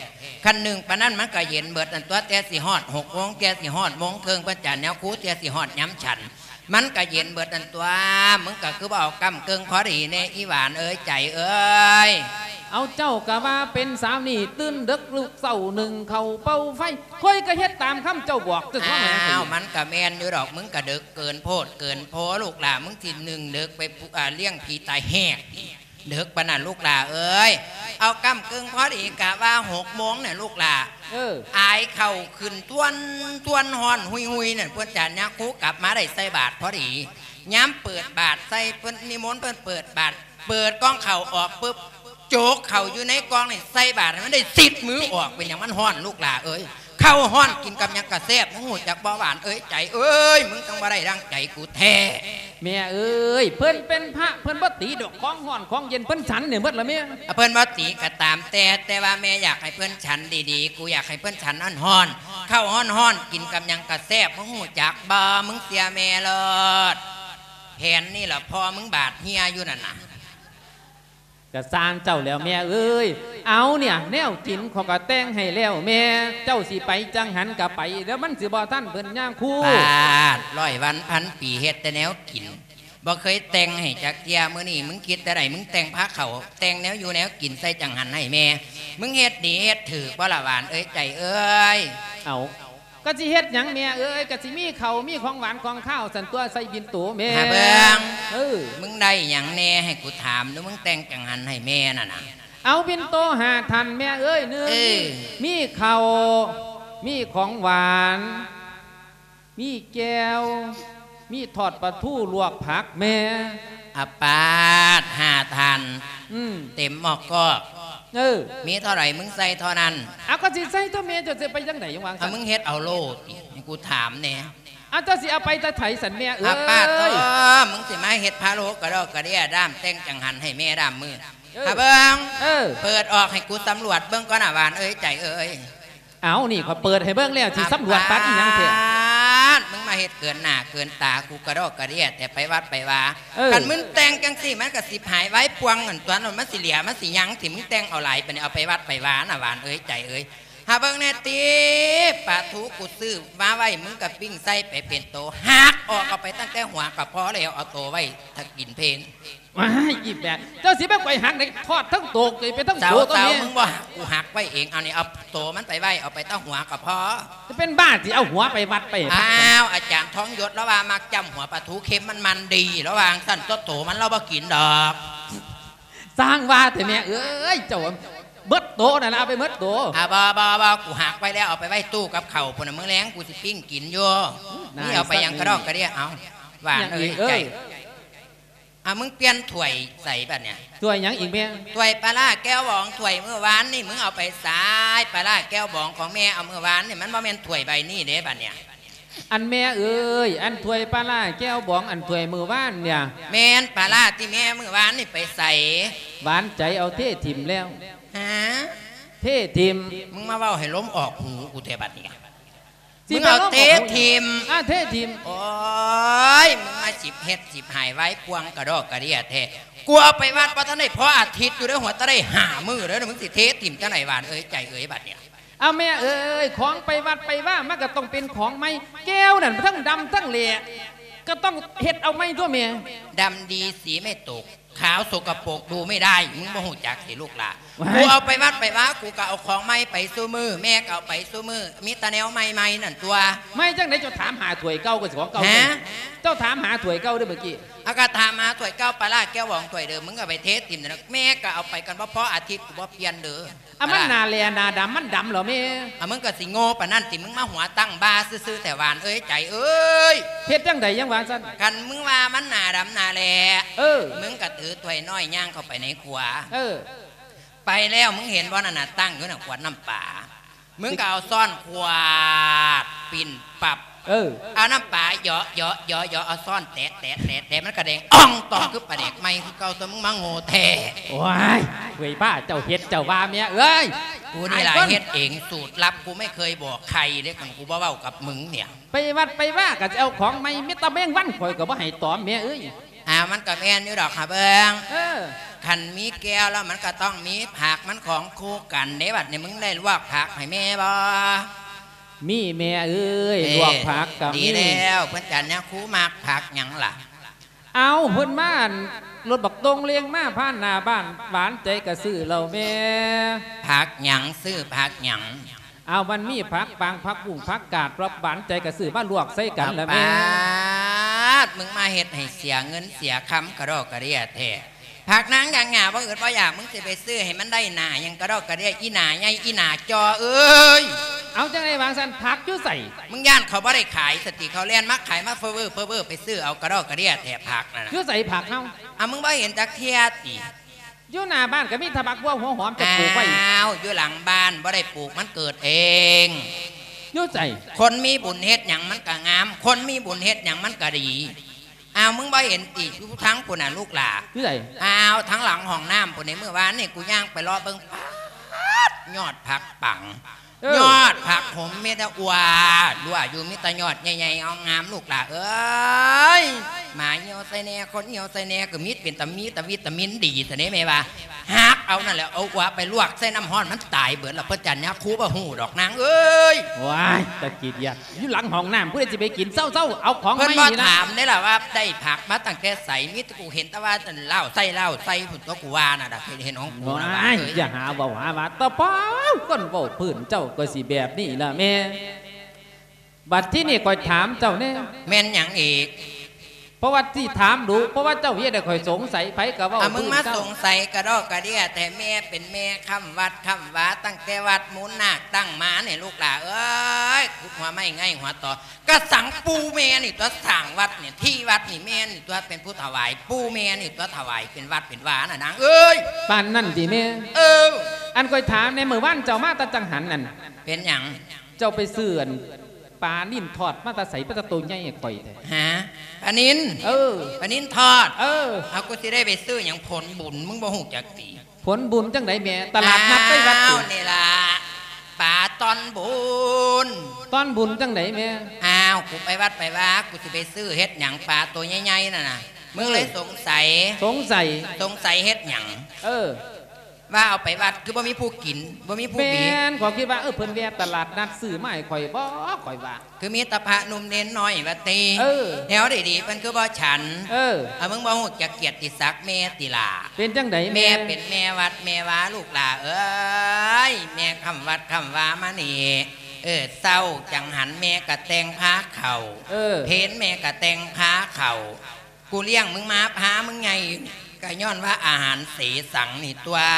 ຄັນໜຶ່ງປານນັ້ນມັນກະເຢັນເບິດນັ້ນຕົວະ ແຕ່ຊິຮອດຫົກໂມງ ແຕ່ຊິຮອດໂມງເຄິ່ງ ເພິ່ນຈະແນວຄູ ແຕ່ຊິຮອດຍາມສັນ ມັນກະເຢັນເບິດນັ້ນຕົວະ. ມຶງກະຄືບໍ່ເອົາກ້ຳເກິ່ງພໍດີແດ່ ອີ່ຫວານເອີຍ ໃຈເອີຍ. ເອົາ ເຈົ້າກະວ່າເປັນສາວນີ້ ຕື່ນເດິກລຸກເຊົ້າ ໜຶ້ງເຂົ້າເປົ່າໄຟ ຂ້ອຍກະເຮັດຕາມຄຳເຈົ້າບອກ. ອ້າວ ມັນກະແມ່ນຢູ່ດອກ ມຶງກະເດິກເກີນໂພດເກີນໂພ ລູກຫຼ້າ ມຶງຊິໜຶ້ງເດິກໄປ ອາ ລ້ຽງຜີຕາແຫກ ເດິກປານນັ້ນລູກຫຼ້າເອີຍ. ເອົາກ້ຳເກິ່ງພໍດີ ກະວ່າຫົກໂມງນະລູກຫຼ້າ ເອີ ອາຍເຂົ້າຂຶ້ນທວນໆ ຮ້ອນຮຸຍໆ ນັ້ນ ເພິ່ນຈະຍາຄູກັບມາໄດ້ໃສ່ບາດພໍດີ. ຍາມເປີດບາດໃສ່ ເພິ່ນນິມົນ ເພິ່ນເປີດບາດ ເປີດກ່ອງເຂົ້າອອກປຶບ ໂຈກເຂົ້າຢູ່ໃນກ່ອງນີ້ໃສ່ບາດໃຫ້ມັນໄດ້ສິບມືອອກ. ເປັນຫຍັງມັນຮ້ອນລູກຫຼ້າເອີຍ? ເຂົ້າຮ້ອນກິນກັບຫຍັງກະແຊບ ມຶງຮູ້ຈັກບໍ່ ຫວານເອີຍ ໃຈເອີຍ? ມຶງຈັ່ງບໍ່ໄດ້ດັ່ງໃຈກູແທ້. ແມ່ເອີຍ ເພິ່ນເປັນພະ ເພິ່ນບໍ່ຕີດອກ ຂອງຮ້ອນຂອງເຢັນ ເພິ່ນສັນນີ້ໝົດລະແມ່. ເພິ່ນບໍ່ຕີກະຕາມແຕ່ ແຕ່ວ່າແມ່ຢາກໃຫ້ເພິ່ນສັນດີໆ ກູຢາກໃຫ້ເພິ່ນສັນຮ້ອນໆ ເຂົ້າຮ້ອນໆ ກິນກັບຫຍັງກະແຊບ ມຶງຮູ້ຈັກບໍ່? ມຶງເຊື່ອແມ່ໂລດ ແຜນນີ້ລະພໍ່ມຶງບາດເຮຍຢູ່ນັ້ນນະ. ກະຊ່າງເຈົ້າແລ້ວແມ່ເອີຍ. ເອົາເນຍ ແນວກິນຂ້ອຍກະແຕ່ງໃຫ້ແລ້ວແມ່ ເຈົ້າຊິໄປຈັ່ງຫັ້ນກະໄປ ແລ້ວມັນຊິບໍ່ທັນເພິ່ນຍາຄູ. ປາດ ຮ້ອຍວັນພັນປີ ເຮັດແຕ່ແນວກິນ ບໍ່ເຄີຍແຕ່ງໃຫ້ຈັກເທື່ອ. ມື້ນີ້ມຶງຄິດແນວໃດ ມຶງແຕ່ງພາເຂົ້າ ແຕ່ງແນວຢູ່ແນວກິນໃສ່ຈັ່ງຫັ້ນໃຫ້ແມ່. ມຶງເຮັດດີເຮັດຖືກບໍ່ລະ ຫວານເອີຍ ໃຈເອີຍ? ເອົາ ກະຊິເຮັດຫຍັງແມ່ເອີຍ ກະຊິມີເຂົ້າມີຂອງຫວານຂອງຄາວຊັ້ນຕົວະ ໃສ່ບິນໂຕແມ່. ຫາເບິ່ງ ເອີ ມຶງໄດ້ຫຍັງແດ່ ໃຫ້ກູຖາມດູ ມຶງແຕ່ງຈັ່ງຫັ້ນໃຫ້ແມ່ນັ້ນນະ. ເອົາ ບິນໂຕຫ້າທ່ານແມ່ເອີຍ ໜຶ່ງ ເອີ ມີເຂົ້າ ມີຂອງຫວານ ມີແຈ່ວ ມີທອດປາທູ ລວກຜັກແມ່. ອາປາດ ຫ້າທ່ານ ອືມ ເຕັມໝໍ້ກອກ. ເອີ ມີເທົ່າໃດມຶງໃສ່ເທົ່ານັ້ນ. ເອົາ ກະຊິໃສ່ຕົວະແມ່ ເຈົ້າຊິໄປຈັ່ງໃດຫຍັງຫວ່າງຊັ້ນ? ເອົາ ມຶງເຮັດເອົາໂລດຕິ ໃຫ້ກູຖາມແດ່. ເອົາ ເຈົ້າຊິເອົາໄປແຕ່ໃສຊັ້ນແມ່ເອີຍ? ອາປາດໂທ້ ມຶງຊິມາເຮັດພາໂລກະດອກກະເດຍ ດ້າມແຕ່ງຈັ່ງຫັ້ນໃຫ້ແມ່ດ້າມມື້. ເອີ ຫາເບິ່ງ ເອີ ເປີດອອກໃຫ້ກູສຳຫຼວດເບິ່ງກ່ອນນະ ຫວານເອີຍ ໃຈເອີຍ. ເອົາ ນີ້ຂ້ອຍເປີດໃຫ້ເບິ່ງແລ້ວ ຊິສຳຫຼວດປານອີ່ຫຍັງແທ້? ປາດ ມຶງມາເຮັດເກີນໜ້າເກີນຕາກູກະດອກກະເດຍແທ້ ໄປວັດໄປວາ. ເອີ ຄັນມຶງແຕ່ງຈັ່ງຊີ້ ມັນກະສິບຫາຍວາຍປ່ວງຫັ້ນຕົວະ ມັນຊິເຫຼືອມັນຊິຍັງ ທີ່ມຶງແຕ່ງເອົາຫຼາຍປານນີ້ ເອົາໄປວັດໄປວານະ ຫວານເອີຍ ໃຈເອີຍ. ຫາເບິ່ງແດ່ຕິ ປາທູກູຊື້ມາໄວ້ ມຶງກະປີ້ງໃສ່ໄປເປັນໂຕ ຫັກອອກ ເອົາໄປຕັ້ງແຕ່ຫົວກະພໍແລ້ວ ເອົາໂຕໄວ້ຖ້າກິນເພງ. ວ້າຍ ອີແບະ ເຈົ້າຊິມາຂ້ອຍຫັກໄດ້ ທອດທັງໂຕ ເປັນທັງໂຕ. ເຊົາ ເຊົາ ຕົວນີ້ ມຶງບໍ່ຫັກ ກູຫັກໄວ້ເອງ. ເອົານີ້ ເອົາໂຕມັນໄປໄວ້ ເອົາໄປແຕ່ຫົວກະພໍ. ຈະເປັນບ້າຕິ ຊິເອົາຫົວໄປວັດໄປ. ອ້າວ ອາຈານທອງຍົດລາວວ່າມັກຈ້ຳຫົວປາທູ ເຄັມມັນມັນດີ ລາວວ່າຈັ່ງຊັ້ນ. ໂຕ ໂຕມັນລາວບໍ່ກິນດອກ. ຊ່າງວ່າແທ້ແມ່ເອີຍ ເຈົ້າເບິດໂຕນັ້ນລະ ເອົາໄປເບິດໂຕ. ອ່າ ບໍ່ ບໍ່ ບໍ່ ກູຫັກໄວ້ແລ້ວ ເອົາໄປໄວ້ຕູ້ກັບເຂົ້າພຸ້ນນະ ມື້ແລງກູຊິປີ້ງກິນຢູ່. ນີ້ເອົາໄປຫຍັງກະດອກກະເດຍ. ເອົາ ຫວານເອີຍ ໃຈ ອ່າ ມຶງປ່ຽນຖ້ວຍໃສ່ບັດນີ້. ຖ້ວຍຫຍັງອີກແມ່? ຖ້ວຍປາລ້າແກ້ວບອງ ຖ້ວຍມື້ວານນີ້ມຶງເອົາໄປໃສ? ປາລ້າແກ້ວບອງຂອງແມ່ເອົາມື້ວານນີ້ ມັນບໍ່ແມ່ນຖ້ວຍໃບນີ້ເດ້ບັດນີ້. ອັນແມ່ເອີຍ ອັນຖ້ວຍປາລ້າແກ້ວບອງ ອັນຖ້ວຍມື້ວານນີ້ ແມ່ນປາລ້າທີ່ແມ່ມື້ວານນີ້ໄປໃສ? ຫວານໃຈເອົາເທຖິ້ມແລ້ວ. ຫາ? ເທຖິ້ມ. ມຶງມາເວົ້າໃຫ້ລົມອອກຫູກູແທ້ບັດນີ້. ຊິໄປເທຖິ້ມ. ອ່າ ເທຖິ້ມ. ໂອ້ຍ ມຶງມາສິບເຮັດສິບຫາຍວາຍປ່ວງກະດອກກະເດຍແທ້. ກູເອົາໄປວັດບໍ່ທັນໄດ້ພໍອາທິດຢູ່ເດີ ຫົວແຕ່ໄດ້ຫ້າມື້ເດີ ມຶງຊິເທຖິ້ມຈັ່ງໃດຫວານເອີຍ ໃຈເອີຍ ບັດນີ້. ເອົາແມ່ເອີຍ ຂອງໄປວັດໄປວາມັນກະຕ້ອງເປັນຂອງໃໝ່. ແກ້ວນັ້ນທັງດຳທັງແຫຼະ ກະຕ້ອງເຮັດເອົາໃໝ່ຕົວະແມ່. ດຳດີສີໄມ່ຕົກ ຂາວສົກກະປົກດູໄມ່ໄດ້ ມຶງບໍ່ຮູ້ຈັກຕິລູກຫຼ້າ. ກູເອົາໄປວັດໄປວາ ກູກະເອົາຂອງໃໝ່ໄປຊຸມື້ ແມ່ກະເອົາໄປຊຸມື້ ມີແຕ່ແນວໃໝ່ໆນັ້ນຕົວະ. ໃໝ່ຈັ່ງໃດ ເຈົ້າຖາມຫາຖ້ວຍເກົ່າກະຊິຂອງເກົ່າ. ຫາ? ເຈົ້າຖາມຫາຖ້ວຍເກົ່າເດີມື້ກີ້. ອາ ກະຖາມຫາຖ້ວຍເກົ່າ ປາລ້າແກ້ວບອງຖ້ວຍເດີມ ມຶງກະໄປເທຖິ້ມນັ້ນ ແມ່ກະເອົາໄປກັນບໍ່ພໍອາທິດ ກູບໍ່ປ່ຽນເດີ. ອາ ມັນໜ້າແຫຼ້ໜ້າດຳ ມັນດຳແລ້ວແມ່. ອາ ມຶງກະຊິໂງ່ປານນັ້ນຕິ ມຶງມາຫົວຕັ້ງບ່າຊື່ໆແທ້ຫວານເອີຍ ໃຈເອີຍ. ເຮັດຈັ່ງໃດຈັ່ງວ່າຊັ້ນ? ຄັນມຶງວ່າມັນໜ້າດຳໜ້າແຫຼ້ ເອີ ມຶງກະຖືຖ້ວຍນ້ອຍຍ່າງເຂົ້າໄປໃນຄົວ. ເອີ ໄປແລ້ວ ມຶງເຫັນບໍ່ນັ້ນນະ ຕັ້ງຢູ່ນະ ຂວດນ້ຳປາ. ມຶງກະເອົາຊ້ອນຂວາດ ປິ່ນປັບ ເອີ ເອົານ້ຳປາເຢາະ ເຢາະ ເຢາະ ເຢາະ ເອົາຊ້ອນແຕະ ແຕະ ແຕະ ແຕະ ມັນກະແດງອ່ອງຕອງຄືປາແດກໃໝ່ຄືເກົ່າຕົວະ ມຶງມາໂງ່ແທ້. ໂອ້ຍ ເວີຍ ປ້າເຈົ້າເຮັດເຈົ້າວ່າແມ່ເອີຍ. ກູນີ້ລະເຮັດເອງ ສູດລັບ ກູໄມ່ເຄີຍບອກໃຄເດ້ ຄັນກູບໍ່ເວົ້າກັບມຶງເນຍ. ໄປວັດໄປວາກະຊິເອົາຂອງໃໝ່ ມີແຕ່ແມງວັນຂ້ອຍກະບໍ່ໃຫ້ຕອມແມ່ເອີຍ. ອາ ມັນກະແມ່ນຢູ່ດອກ ຫາເບິ່ງ ເອີ ຄັນມີແກ້ວແລ້ວມັນກໍຕ້ອງມີຜັກ ມັນຂອງຄູ່ກັນເດ້. ບັດນີ້ມຶງໄດ້ລວກຜັກໃຫ້ແມ່ບໍ່? ມີແມ່ເອີຍ ເອີ ລວກຜັກກໍມີ. ດີແລ້ວ ເພິ່ນຈັນຍາຄູມັກຜັກຫຍັງລະ? ເອົາ ເພິ່ນມາ ອັນ ລົດບັກຕົງເລງມາຜ່ານໜ້າບ້ານ ຫວານໃຈກໍຊື້ແລ້ວແມ່. ຜັກຫຍັງ? ຊື້ຜັກຫຍັງ? ເອົາ ມັນມີຜັກປາງ ຜັກບຸ້ງ ຜັກກາດ ລອບ ຫວານໃຈກໍຊື້ມາລວກໃສ່ກັນລະແມ່. ປາດ ມຶງມາເຮັດໃຫ້ເສຍເງິນເສຍຄຳກະດອກກະເດຍແທ້. ຜັກນາງຢ່າງຫຍ້າ ບໍ່ອຶດບໍ່ຢາກ ມຶງຊິໄປຊື້ໃຫ້ມັນໄດ້ໜ້າຫຍັງກະດອກກະເດຍ ອີໜ້າໃຫຍ່ ອີໜ້າຈໍເອີຍ. ເອົາ ຈັ່ງໃດວ່າຊັ້ນ ຜັກຢູ່ໃສ? ມຶງຢ້ານເຂົາບໍ່ໄດ້ຂາຍສະຕິ ເຂົາແລ່ນມາຂາຍມາເຟີເວີເຟີເວີ ໄປຊື້ເອົາກະດອກກະເດຍແທ້ ຜັກນັ້ນນະ. ຢູ່ໃສຜັກເຮົາ? ເອົາ ມຶງບໍ່ເຫັນຈັກເທື່ອຕິ? ຢູ່ໜ້າບ້ານກໍມີແຕ່ໝາກບົວຫົວຫອມຈະປູກໄວ້. ອ້າວ ຢູ່ຫຼັງບ້ານບໍ່ໄດ້ປູກ ມັນເກີດເອງ. ຢູ່ໃສ? ຄົນມີບຸນເຮັດຫຍັງມັນກໍງາມ ຄົນມີບຸນເຮັດຫຍັງມັນກໍດີ. ອ້າວ ມຶງບໍ່ເຫັນຕິ ຢູ່ທາງພຸ້ນນະລູກຫຼ້າ. ຢູ່ໃສ? ອ້າວ ທາງຫຼັງຫ້ອງນ້ຳພຸ້ນນີ້ ມື້ວານນີ້ກູຍ່າງໄປເລາະເບິ່ງ ປາດ ຍອດຜັກປັງ ເອີ ຍອດຜັກຫົມ ມີແຕ່ອວດຫຼວຢູ່ ມີແຕ່ຍອດໃຫຍ່ໆ ງາມໆ ລູກຫຼ້າເອີຍ. ໝາຫ່ຽວໃສ່ແດ່ ຄົນຫ່ຽວໃສ່ແດ່ ກໍມີ ເປັນຕາມີຕາວິຕາມິນດີຊະເດ້ແມ່ວ່າ. ຫັກເອົານັ້ນແຫຼະ ເອົາອວບໄປລວກໃສ່ນ້ຳຮ້ອນ ມັນຕາຍເບິດລະ. ເພິ່ນຈັນຍາຄູບໍ່ຮູ້ດອກນາງເອີຍ. ວ້າຍ ຕາກີດຢາກ ຢູ່ຫຼັງຫ້ອງນ້ຳ ຜູ້ໃດຊິໄປກິນ? ເຊົາໆ ເອົາຂອງ ເພິ່ນບໍ່ຖາມເດ້ລະວ່າໄດ້ຜັກມາຕັ້ງແຕ່ໃສ ມີແຕ່ກູເຫັນແຕ່ວ່າລາວໃສ່ ລາວໃສ່ພຸ້ນຕົວະ ກູວ່ານະ ເຫັນຂອງກູນະ. ວ້າຍ ຢ່າຫາເວົ້າຫາວ່າ ຕະປາວ ຄົນເວົ້າພື້ນເຈົ້າກໍຊິແບບນີ້ລະແມ່. ບັດທີນີ້ຂ້ອຍຖາມເຈົ້າແດ່. ແມ່ນຫຍັງອີກ? ເພາະວ່າຊິຖາມດຸ ເພາະວ່າເຈົ້າເຮັດໃຫ້ຂ້ອຍສົງໄສ ໃຜກໍເວົ້າ. ອ່າ ມຶງມາສົງໄສກະດອກກະເດຍແທ້ ແມ່ເປັນແມ່ຄ້ຳວັດຄ້ຳວາ ຕັ້ງແຕ່ວັດມູນນາກຕັ້ງມານີ້ ລູກຫຼ້າເອີຍ ຂຸດຫົວໄມ້ໄງຫົວຕໍ ກະສັງປູ່ແມ່ນີ້ຕົວະ ສ້າງວັດນີ້ ທີ່ວັດນີ້ແມ່ນີ້ຕົວະ ເປັນຜູ້ຖວາຍ ປູ່ແມ່ນີ້ຕົວະ ຖວາຍເປັນວັດເປັນວານະນາງເອີຍ. ປານນັ້ນຕິແມ່? ເອີ ອັນຂ້ອຍຖາມແດ່ ມື້ວານເຈົ້າມາແຕ່ຈັງຫັນນັ້ນ ເປັນຫຍັງ? ເຈົ້າໄປຊື້ ອັນ ປານິນທອດມາແຕ່ໃສ ເປັນຕາໂຕໃຫຍ່ໃຫ້ຂ້ອຍແທ້? ຫາ ປານິນ? ເອີ ປານິນທອດ? ເອີ ເອົາ ກູຊິໄດ້ໄປຊື້ຫຍັງ ຜົນບຸນ ມຶງບໍ່ຮູ້ຈັກຕິ? ຜົນບຸນຈັ່ງໃດແມ່? ຕະຫຼາດນັດໃນວັດ. ອ້າວ ນີ້ລະ ປາຕອນບຸນ. ຕອນບຸນຈັ່ງໃດແມ່? ອ້າວ ກູໄປວັດໄປວາ ກູຊິໄປຊື້ເຮັດຫຍັງ ປາໂຕໃຫຍ່ໆນັ້ນນະ. ມຶງເລີຍ ເອີ ສົງໄສ. ສົງໄສ? ສົງໄສເຮັດຫຍັງ? ເອີ ວ່າເອົາໄປວັດຄືບໍ່ມີຜູ້ກິນ ບໍ່ມີຜູ້ບີບ. ແມ່ນ ຂ້ອຍຄິດວ່າ ເອີ ເພິ່ນແວ່ຕະຫຼາດນັດຊື້ມາໃຫ້ຂ້ອຍບໍ ຂ້ອຍວ່າ ຄືມີແຕ່ພະໜຸ່ມເນນນ້ອຍວ່າຕິ. ເອີ ແນວດີໆ ເພິ່ນຄືບໍ່ສັນ. ເອີ ເອົາ ມຶງບໍ່ຮູ້ຈັກກຽດຕິສັກແມ່ຕິຫຼ້າ? ເປັນຈັ່ງໃດແມ່? ແມ່ເປັນແມ່ວັດແມ່ວາ ລູກຫຼ້າເອີຍ ແມ່ຄ້ຳວັດຄ້ຳວາມານີ້. ເອີ ເຊົ້າຈັງຫັນແມ່ກະແຕ່ງພາເຂົ້າ ເອີ ເພນແມ່ກະແຕ່ງພາເຂົ້າ. ກູລ້ຽງມຶງມາ ພາມຶງໃຫຍ່ ກະຍ້ອນວ່າອາຫານເສສັງນີ້ຕົວະ.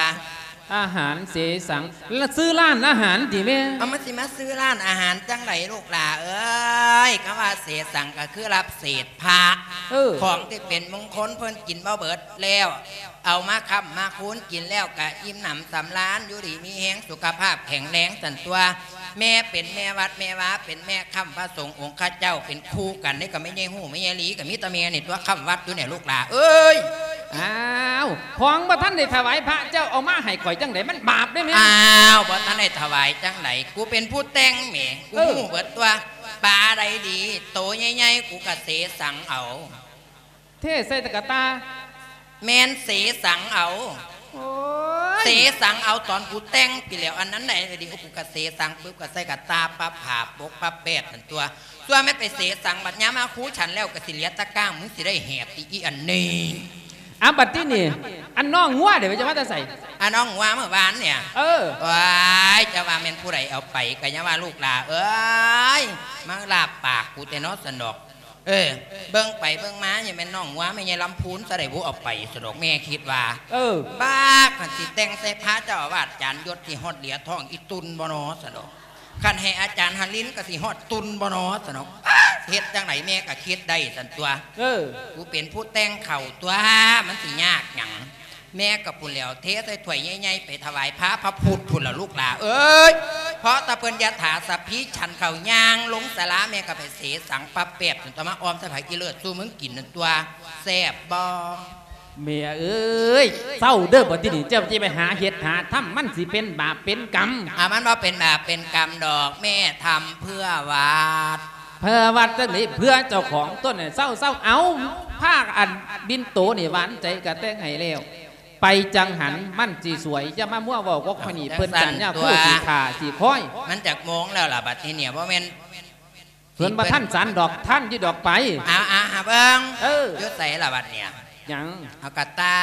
ອາຫານເສສັງ ລະ ຊື້ຮ້ານອາຫານຕິແມ່? ເອົາ ມັນຊິມາຊື້ຮ້ານອາຫານຈັ່ງໃດລູກຫຼ້າເອີຍ? ຄຳວ່າເສສັງກະຄືຮັບເສດພະ. ເອີ ຂອງທີ່ເປັນມົງຄົນ ເພິ່ນກິນບໍ່ເບິດແລ້ວ ເອົາມາຄ້ຳມາຄູນ ກິນແລ້ວກະອີ່ມໜຳສຳລານ ຢູ່ດີມີແຮງ ສຸຂະພາບແຂງແຮງ ຊັ້ນຕົວະ. ແມ່ເປັນແມ່ວັດແມ່ວາ ເປັນແມ່ຄ້ຳພະສົງອົງຄະເຈົ້າ ເປັນຄູ່ກັນເດ້ ກັບແມ່ໃຫຍ່ຮູ້ແມ່ໃຫຍ່ຫຼີ ກໍມີແຕ່ແມ່ນີ້ຕົວະຄ້ຳວັດຢູ່ນີ້ ລູກຫຼ້າເອີຍ. ອ້າວ ຂອງບໍ່ທັນໄດ້ຖວາຍພະ ເຈົ້າເອົາມາໃຫ້ຂ້ອຍຈັ່ງໃດ? ມັນບາບເດ້ແມ່. ອ້າວ ບໍ່ທັນໄດ້ຖວາຍຈັ່ງໃດ? ກູເປັນຜູ້ແຕ່ງແໝ ກູ ເອີ ຮູ້ເບິດຕົວະ. ປາໃດດີ ໂຕໃຫຍ່ໆ ກູກະເສສັງເອົາ. ເທໃສ່ຕະກະຕ່າ. ແມ່ນ ເສສັງເອົາ. ໂອ້ຍ ເສສັງເອົາຕອນກູແຕ່ງພີ້ແຫຼ້ວ ອັນນັ້ນໃດດີ ກູກະເສສັງປຶບ ກະໃສ່ກະຕ່າ ປະຜ້າປົກປະແປດຫັ້ນຕົວະ. ສ່ວນແມ່ນໄປເສສັງ ບັດຍາມມາຄູສັນແລ້ວ ກະຊິເຫຼືອຕະກ້າງ ມຶງຊິໄດ້ແຫບຕິອີ່ອັນນີ້. ອາ ບັດທີນີ້ ອັນນ້ອງງົວເດ ເຈົ້າມາແຕ່ໃສ? ອາ ນ້ອງງົວມື້ວານນີ້. ເອີ ວ້າຍ ຈະວ່າແມ່ນຜູ້ໃດເອົາໄປ ກະຢ່າວ່າລູກຫຼ້າເອີຍ ມາລາບປາກກູແຕ່ເນາະ ຊັ້ນດອກ. ເອີ ເບິ່ງໄປເບິ່ງມາ ຍັງແມ່ນນ້ອງງົວແມ່ໃຫຍ່ລຳພູນຊະໄດ໋ບຸ ເອົາໄປຊັ້ນດອກ ແມ່ຄິດວ່າ. ເອີ ບາກ ຄັນຊິແຕ່ງໃສ່ພະເຈົ້າອາວາດ ຈານຍົດຊິຮອດເຫຼືອທ້ອງອີ່ຕຸ່ນບໍ່ນໍ ຊັ້ນດອກ. ຄັນໃຫ້ອາຈານຫະລິນກໍຊິຮອດຕຸ່ນບໍ່ນໍ ຊັ້ນດອກ. ບາກ ເຮັດຈັ່ງໃດແມ່ກໍຄິດໄດ້ຊັ້ນຕົວະ. ເອີ ກູເປັນຜູ້ແຕ່ງເຂົ້າຕົວະ ມັນຊິຍາກຫຍັງ? ແມ່ກໍພຸ້ນແຫຼ້ວ ເທໃສ່ຖ້ວຍໃຫຍ່ໆ ໄປຖວາຍພະ ພະພຸດພຸ້ນລະລູກຫຼ້າເອີຍ. ເພາະຕາເພິ່ນຢາຖາສັບພີ ສັນເຂົ້າຍ່າງລົງສາລາ ແມ່ກໍໄປເສສັງປະແປບ ຈົນຕະມາອ້ອມໃສ່ຜັກອີເລີດສູ່ມຶງກິນນັ້ນຕົວະ. ແຊບບໍ່? ແມ່ເອີຍ ເຊົາເດີ ບັດທີນີ້ເຈົ້າຊິໄປຫາເຮັດຫາທຳ ມັນຊິເປັນບາບເປັນກຳ. ອາ ມັນບໍ່ເປັນບາບເປັນກຳດອກ ແມ່ທຳເພື່ອວັດ. ເພື່ອວັດຈັ່ງໃດ? ເພື່ອເຈົ້າຂອງຕົວະ ເຊົາໆ. ເອົາ ພາ ອັນ ບິນໂຕນີ້ ຫວານໃຈກະແຕ່ງໃຫ້ແລ້ວ. ໄປຈັ່ງຫັ້ນມັນຊິສວຍ. ຢ່າມາມົວເວົ້າກັບຂ້ອຍນີ້. ເອີ ເພິ່ນຈັນຍາຄູ ຊິຖ້າຊິຄອຍ. ມັນຈັກໂມງແລ້ວລະບັດນີ້ເນຍ? ບໍ່ແມ່ນ ເພິ່ນບໍ່ທັນສັນດອກ. ທັນຢູ່ດອກໄປ. ເອົາ ເອົາ ຫາເບິ່ງ. ເອີ ຢູ່ໃສລະບັດເນຍ? ຫຍັງ? ເອົາກະຕ່າ.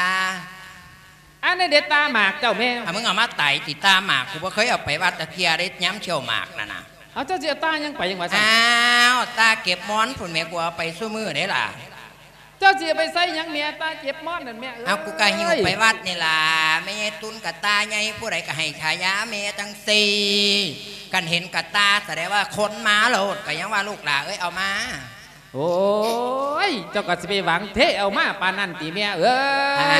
ອັນນີ້ເດ ຕ່າໝາກເຈົ້າແມ່. ອ່ະ ມຶງເອົາມາໄຕຕິ ຕ່າໝາກ. ກູບໍ່ເຄີຍເອົາໄປວັດຈັກເທື່ອເດ້ ຍາມສ່ຽວໝາກນັ້ນນະ. ເອົາ ເຈົ້າຊິເອົາຕ່າຫຍັງໄປຫຍັງວ່າຊັ້ນ? ອ້າວ ຕ່າເກັບໝອນພຸ້ນແໝ່ ກູເອົາໄປຊຸມື້ເດ້ລະ. ເຈົ້າຊິເອົາໄປໃສ່ຫຍັງແມ່ ຕ່າເກັບໝອນນັ້ນແມ່ເອີຍ? ເອົາ ກູກະຫິ້ວໄປວັດນີ້ລະ. ແມ່ໃຫຍ່ຕຸນກະຕ່າໃຫຍ່ ຜູ້ໃດກະໃຫ້ສາຍາແມ່ຈັ່ງຊີ້. ຄັນເຫັນກະຕ່າສະແດງວ່າຄົນມາໂລດ. ກະຍັງວ່າລູກຫຼ້າເອີຍ ເອົາມາ. ໂອ້ຍ ເຈົ້າກະຊິໄປຫວັງເທເອົາມາປານນັ້ນຕິແມ່ເອີ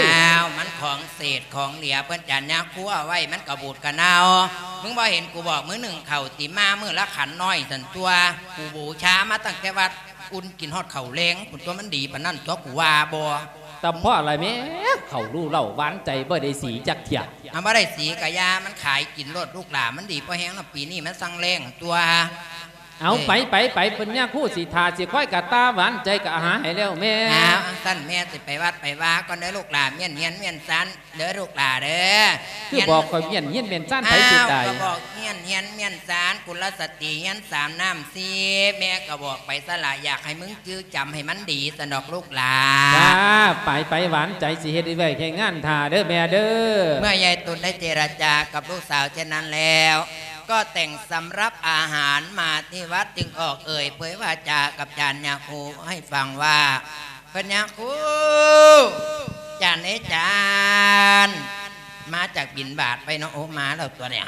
ຍ? ອ້າວ ມັນຂອງເສດຂອງເຫຼືອ ເພິ່ນຈານຍາຄູເອົາໄວ້ ມັນກະບູດກະເນົ່າ. ມຶງບໍ່ເຫັນກູບອກ ມື້ໜຶ່ງເຂົ້າຕິ ມາມື້ລະຂັນນ້ອຍຊັ້ນຕົວະ. ກູບູຊາມາຕັ້ງແຕ່ວັດ ອຸ່ນກິນຮອດເຂົ້າແລງພຸ້ນຕົວະ. ມັນດີປານນັ້ນຕົວະ ກູວ່າບໍ່? ຕຳພໍລະແມ່ ເຂົ້າຮູ້ເລົ່າຫວານໃຈ ບໍ່ໄດ້ສີຈັກເທື່ອ. ເອົາ ບໍ່ໄດ້ສີກະຢ່າ ມັນຂາຍກິນໂລດລູກຫຼ້າ. ມັນດີພໍແຮງເນາະ ປີນີ້ມັນສັງແລ້ງຕົວະ. ເອົາ ເອີ ໄປ ໄປ ໄປ ເພິ່ນຍາຄູຊິຖ້າຊິຄອຍກະຕ່າຫວານໃຈກະຫາໃຫ້ແລ້ວແມ່. ອ້າວ ອັງຊັ້ນແມ່ຊິໄປວັດໄປວາກ່ອນເດີລູກຫຼ້າ. ມ້ຽນຮຽນມ້ຽນຊານເດີລູກຫຼ້າເດີ. ຄືບອກຂ້ອຍມ້ຽນຮຽນມ້ຽນຊານ ໃຜຊິຕາຍ? ອ້າວ ກະບອກມ້ຽນຮຽນມ້ຽນຊານ ກຸນລະສະຕີຮຽນສາມ ນ້ຳສີ່ ແມ່ກະບອກໄປຊັ້ນລະ ຢາກໃຫ້ມຶງຈື່ຈຳໃຫ້ມັນດີຊັ້ນດອກລູກຫຼ້າ. ຈ້າ ໄປ ໄປ ຫວານໃຈ ຊິເຮັດວຽກເຮັດງານຖ້າເດີແມ່ເດີ. ເມື່ອຍາຍຕຸນໄດ້ເຈລະຈາກັບລູກສາວເຊັ່ນນັ້ນແລ້ວ ກໍແຕ່ງສຳລັບອາຫານມາທີ່ວັດ ຈຶ່ງອອກເອີ່ຍເຜີຍວາຈາກັບຈານຍາຄູໃຫ້ຟັງວ່າ ເພິ່ນຍາຄູ ຈານເອີຍຈານ ມາຈາກບິນບາດໄປເນາະ. ໂອ ມາແລ້ວຕົວະເນຍ.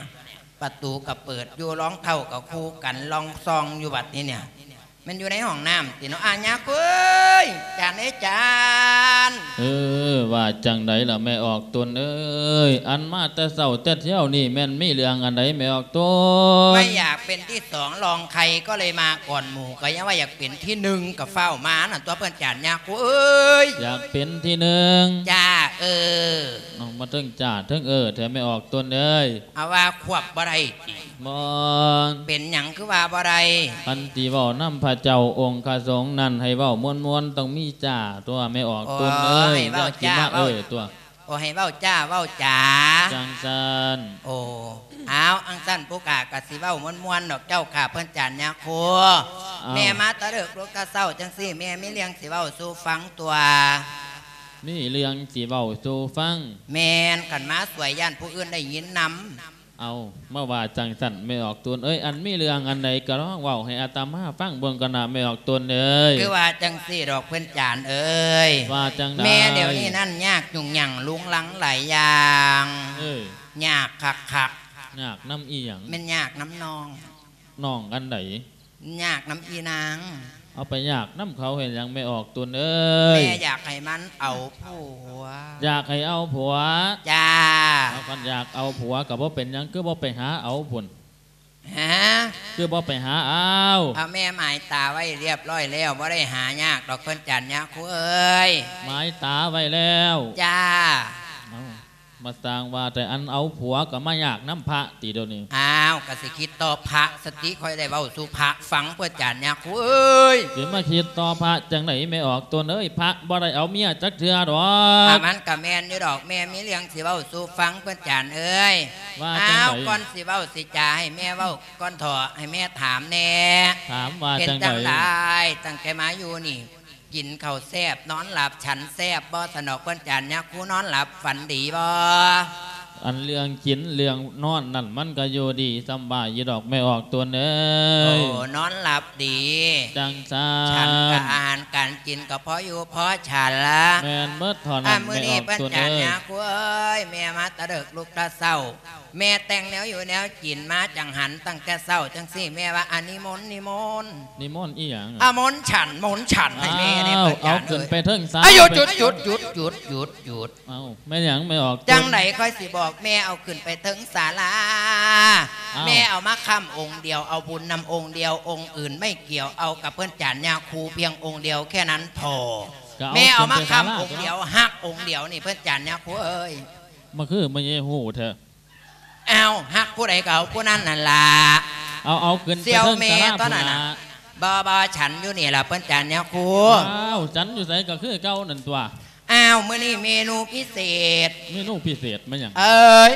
ປະຕູກະເປີດຢູ່ ລອງເທົ້າກະຄູ່ກັນ ລອງສ່ອງຢູ່ບັດນີ້ເນຍ. ແມ່ນຢູ່ໃນຫ້ອງນ້ຳຕິເນາະ ອາຍາກເອີຍ ຈານເອີຍຈານ. ເອີ ວ່າຈັ່ງໃດລະແມ່ອອກຕົນເອີຍ? ອັນມາແຕ່ເຊົ້າແຕ່ທ່ຽວນີ້ແມ່ນມີເລື່ອງອັນໃດແມ່ອອກຕົນ? ໄມ່ຢາກເປັນທີສອງລອງໃຄ ກໍເລີຍມາກ່ອນໝູ່. ກະຍັງວ່າຢາກເປັນທີໜຶ່ງ ກະຟ້າວມານັ້ນຕົວະເພິ່ນຈານຍາຄູເອີຍ. ຢາກເປັນທີໜຶ່ງ? ຈ້າ ເອີ. ເອົາ ມາເທິງຈ້າເທິງເອີແທ້ແມ່ອອກຕົນເອີຍ. ເອົາວ່າຄວບບໍ່ໄດ້ຕິ? ບໍ່. ເປັນຫຍັງຄືວ່າບໍ່ໄດ້? ຄັນຊິເວົ້ານຳພະເຈົ້າອົງຄະສົງນັ້ນ ໃຫ້ເວົ້າມ່ວນໆ ຕ້ອງມີຈ້າຕົວະແມ່ອອກຕົນເອີຍ. ໂອ້ ໃຫ້ເວົ້າຈ້າ ຢ່າຊິມາເອີຕົວະ. ໂອ້ ໃຫ້ເວົ້າຈ້າເວົ້າຈາ. ຈັ່ງຊັ້ນ. ໂອ້ ເອົາ ອັງຊັ້ນຜູ້ຂ້າກະຊິເວົ້າມ່ວນໆດອກເຈົ້າຂ້າເພິ່ນຈານຍາຄູ. ເອົ້າ ແມ່ມາຕະເລິກລຸກຕະເຊົ້າຈັ່ງຊີ້ ແມ່ມີເລື່ອງຊິເວົ້າສູ່ຟັງຕົວະ. ມີເລື່ອງຊິເວົ້າສູ່ຟັງ? ແມ່ນ ຄັນມາສວຍຢ້ານຜູ້ອື່ນໄດ້ຍິນນຳ. ເອົາ ມາວ່າຈັ່ງຊັ້ນແມ່ອອກຕົນເອີຍ. ອັນມີເລື່ອງອັນໃດກະລອງເວົ້າໃຫ້ອາດຕະມາຟັງເບິ່ງກ່ອນນະແມ່ອອກຕົນເອີຍ. ຄືວ່າຈັ່ງຊີ້ດອກເພິ່ນຈານເອີຍ. ວ່າຈັ່ງໃດ? ແມ່ດຽວນີ້ນັ້ນຍາກຫຍຸ້ງຫຍັງລຸງລັງຫຼາຍຢ່າງ. ເອີ ຍາກຄັກໆ. ຍາກນຳອີ່ຫຍັງ? ແມ່ນຍາກນຳນ້ອງ. ນ້ອງອັນໃດ? ຍາກນຳອີ່ນາງ. ເອົາ ໄປຍາກນຳເຂົາເຮັດຫຍັງແມ່ອອກຕົນເອີຍ? ແມ່ຢາກໃຫ້ມັນເອົາຜົວ. ຢາກໃຫ້ເອົາຜົວ? ຈ້າ. ເອົາ ຄັນຢາກເອົາຜົວກະບໍ່ເປັນຫຍັງ ຄືບໍ່ໄປຫາເອົາພຸ້ນ? ຫາ? ຄືບໍ່ໄປຫາເອົາ? ເອົາ ແມ່ໝາຍຕາໄວ້ລຽບລ້ອຍແລ້ວ ບໍ່ໄດ້ຫາຍາກດອກເພິ່ນຈານຍາຄູເອີຍ. ໝາຍຕາໄວ້ແລ້ວ? ຈ້າ. ເອົາ ມາສ້າງວ່າແຕ່ ອັນເອົາຜົວກະມາຍາກນຳພະຕິດຽວນີ້? ອ້າວ ກະຊິຄິດຕໍ່ພະສະຕິ ຂ້ອຍໄດ້ເວົ້າສູ່ພະຟັງເພິ່ນຈານຍາຄູເອີຍ. ຊິມາຄິດຕໍ່ພະຈັ່ງໃດແມ່ອອກຕົນເອີຍ? ພະບໍ່ໄດ້ເອົາເມຍຈັກເທື່ອດອກ. ອ່າ ມັນກະແມ່ນຢູ່ດອກ ແມ່ມີເລື່ອງຊິເວົ້າສູ່ຟັງເພິ່ນຈານເອີຍ. ວ່າຈັ່ງໃດ? ອ້າວ ກ່ອນຊິເວົ້າຊິຈາ ໃຫ້ແມ່ເວົ້າກ່ອນເຖາະ ໃຫ້ແມ່ຖາມແດ່. ຖາມວ່າຈັ່ງໃດ? ເປັນຈັ່ງໃດ ຕັ້ງແຕ່ມາຢູ່ນີ້ ກິນເຂົ້າແຊບ ນອນຫຼັບ ສັນແຊບບໍ່? ຊັ້ນດອກເພິ່ນຈານຍາຄູ ນອນຫຼັບຝັນດີບໍ່? ອັນເລື່ອງກິນເລື່ອງນອນນັ້ນ ມັນກະຢູ່ດີສຳບາຍຢູ່ດອກແມ່ອອກຕົນເອີຍ. ໂອ້ ນອນຫຼັບດີ. ຈັ່ງຊັ້ນ. ສັນກະອາຫານການກິນກະພໍຢູ່ພໍສັນລະ. ແມ່ນເບິດເທົ່ານັ້ນ ອາ ມື້ນີ້ເພິ່ນຈານຍາຄູເອີຍ ແມ່ມາແຕ່ເດິກລຸກແຕ່ເຊົ້າ. ແມ່ແຕ່ງແນວຢູ່ແນວກິນມາຈັງຫັນ ຕັ້ງແຕ່ເຊົ້າຈັ່ງຊີ້ ແມ່ວ່າ ອາ ນິມົນ ນິມົນ. ນິມົນອີ່ຫຍັງ? ອາ ມົນສັນ ມົນສັນໃຫ້ແມ່ແດ່. ອ້າວ ເພິ່ນຈານ ເອົາຂຶ້ນໄປເທິງສາລາ. ອາ ຢຸດ ຢຸດ ຢຸດ. ເອົ້າ ແມ່ນຫຍັງແມ່ອອກຕົນ? ຈັ່ງໃດຂ້ອຍຊິບອກແມ່ ເອົາຂຶ້ນໄປເທິງສາລາ. ອ້າວ ແມ່ເອົາມາຄ້ຳອົງດຽວ ເອົາບຸນນຳອົງດຽວ ອົງອື່ນໄມ່ກ່ຽວ ເອົາກັບເພິ່ນຈານຍາຄູພຽງອົງດຽວແຄ່ນັ້ນພໍ. ແມ່ເອົາມາຄ້ຳອົງດຽວ ຮັກອົງດຽວນີ້ເພິ່ນຈານຍາຄູເອີຍ. ມາຄືມາເຍໂຫແທ້. ອ້າວ ຮັກຜູ້ໃດກະເອົາຜູ້ນັ້ນຫັ້ນລະ. ເອົາ ເອົາຂຶ້ນໄປເທິງສາລາພຸ້ນລະ. ບໍ່ ບໍ່ ສັນຢູ່ນີ້ລະເພິ່ນຈານຍາຄູ. ອ້າວ ສັນຢູ່ໃສກະຄືເກົ່ານັ້ນຕົວະ. ອ້າວ ມື້ນີ້ເມນູພິເສດ. ເມນູພິເສດແມ່ນຫຍັງ? ເອີຍ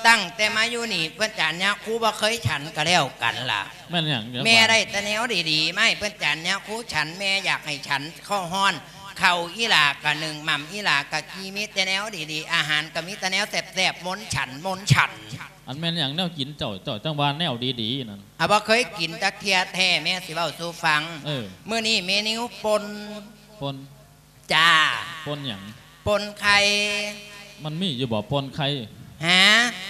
ຕັ້ງແຕ່ມາຢູ່ນີ້ ເພິ່ນຈານຍາຄູບໍ່ເຄີຍສັນກໍແລ້ວກັນລະ. ແມ່ນຫຍັງ? ແມ່ໄດ້ແຕ່ແນວດີໆມາໃຫ້ເພິ່ນຈານຍາຄູສັນ. ແມ່ຢາກໃຫ້ສັນເຂົ້າຮ້ອນ ເຂົ້າອີ່ຫຼ້າກະໜຶ້ງ ໝ່ຳອີ່ຫຼ້າກະກີ່ ມີແຕ່ແນວດີໆ ອາຫານກໍມີແຕ່ແນວແຊບໆ ມົນສັນ ມົນສັນ. ອັນແມ່ນຫຍັງແນວກິນເຈົ້າ ເຈົ້າຈັ່ງວ່າແນວດີໆນັ້ນ? ອາ ບໍ່ເຄີຍກິນຈັກເທື່ອແທ້ ແມ່ຊິເວົ້າສູ່ຟັງ. ເອີ ມື້ນີ້ເມນູປົ່ນ. ປົ່ນ? ຈ້າ. ປົ່ນຫຍັງ? ປົ່ນໄຂ່. ມັນມີຢູ່ບໍ່ປົ່ນໄຂ່? ຫາ?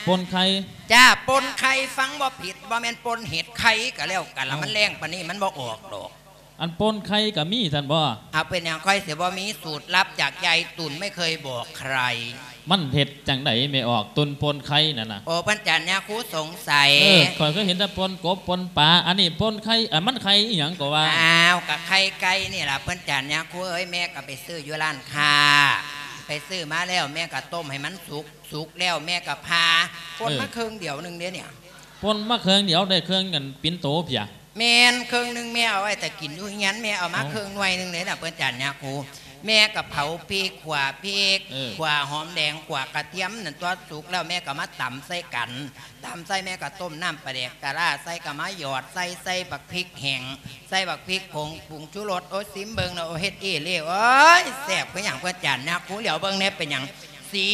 ປົ່ນໄຂ່. ຈ້າ ປົ່ນໄຂ່ ຟັງບໍ່ຜິດ ບໍ່ແມ່ນປົ່ນເຫັດໄຂ່ກໍແລ້ວກັນລະ. ເອົ້າ ມັນແລງປານນີ້ມັນບໍ່ອອກດອກ. ອັນປົ່ນໄຂ່ກໍມີຊັ້ນບໍ່? ເອົາ ເປັນຫຍັງຂ້ອຍຊິບໍ່ມີ? ສູດລັບຈາກຍາຍຕຸ່ນ ໄມ່ເຄີຍບອກໃຄ. ມັນເຮັດຈັ່ງໃດແມ່ອອກຕຸ່ນປົ່ນໄຂ່ນັ້ນນະ? ໂອ້ ເພິ່ນຈານຍາຄູສົງໄສ. ເອີ ຂ້ອຍເຄີຍເຫັນແຕ່ປົ່ນກົບ ປົ່ນປາ ອັນນີ້ປົ່ນໄຂ່ ອັນມັນໄຂ່ອີ່ຫຍັງກໍວ່າ? ອ້າວ ກະໄຂ່ໄກ່ນີ້ລະເພິ່ນຈານຍາຄູເອີຍ. ແມ່ກໍໄປຊື້ຢູ່ຮ້ານຄ້າ ໄປຊື້ມາແລ້ວ ແມ່ກໍຕົ້ມໃຫ້ມັນສຸກ ສຸກແລ້ວແມ່ກໍຜ່າ ປົ່ນມາເຄິ່ງດຽວໜຶ່ງເດ້ນີ້. ປົ່ນມາເຄິ່ງດຽວ ໄດ້ເຄິ່ງອັນປິ່ນໂຕເພຍ. ແມ່ນ ເຄິ່ງໜຶ່ງແມ່ເອົາໄວ້ແຕ່ກິນຢູ່ເຮືອນ ແມ່ເອົາມາເຄິ່ງໜ່ວຍໜຶ່ງເດ້ນະ ເພິ່ນຈານຍາຄູ. ແມ່ກໍເຜົາພິກ ຂົ້ວພິກ ເອີ ຂົ້ວຫອມແດງ ຂົ້ວກະທຽມນັ້ນຕົວະ ສຸກແລ້ວແມ່ກໍມາຕຳໃສ່ກັນ ຕຳໃສ່ ແມ່ກໍຕົ້ມນ້ຳປາແດກປາລ້າໃສ່ ກໍມາຫຍອດໃສ່ ໃສ່ບັກພິກແຫ້ງ ໃສ່ບັກພິກຜົງ ປຸງຊູລົດ. ໂອ້ຍ ຊິມເບິ່ງນະ ໂອ້ຍ ເຮັດອີ່ຫຼີ ໂອ້ຍ ແຊບຄືຫຍັງ ເພິ່ນຈານຍາຄູ. ຫຼຽວເບິ່ງແດ່ ເປັນຫຍັງ ສີ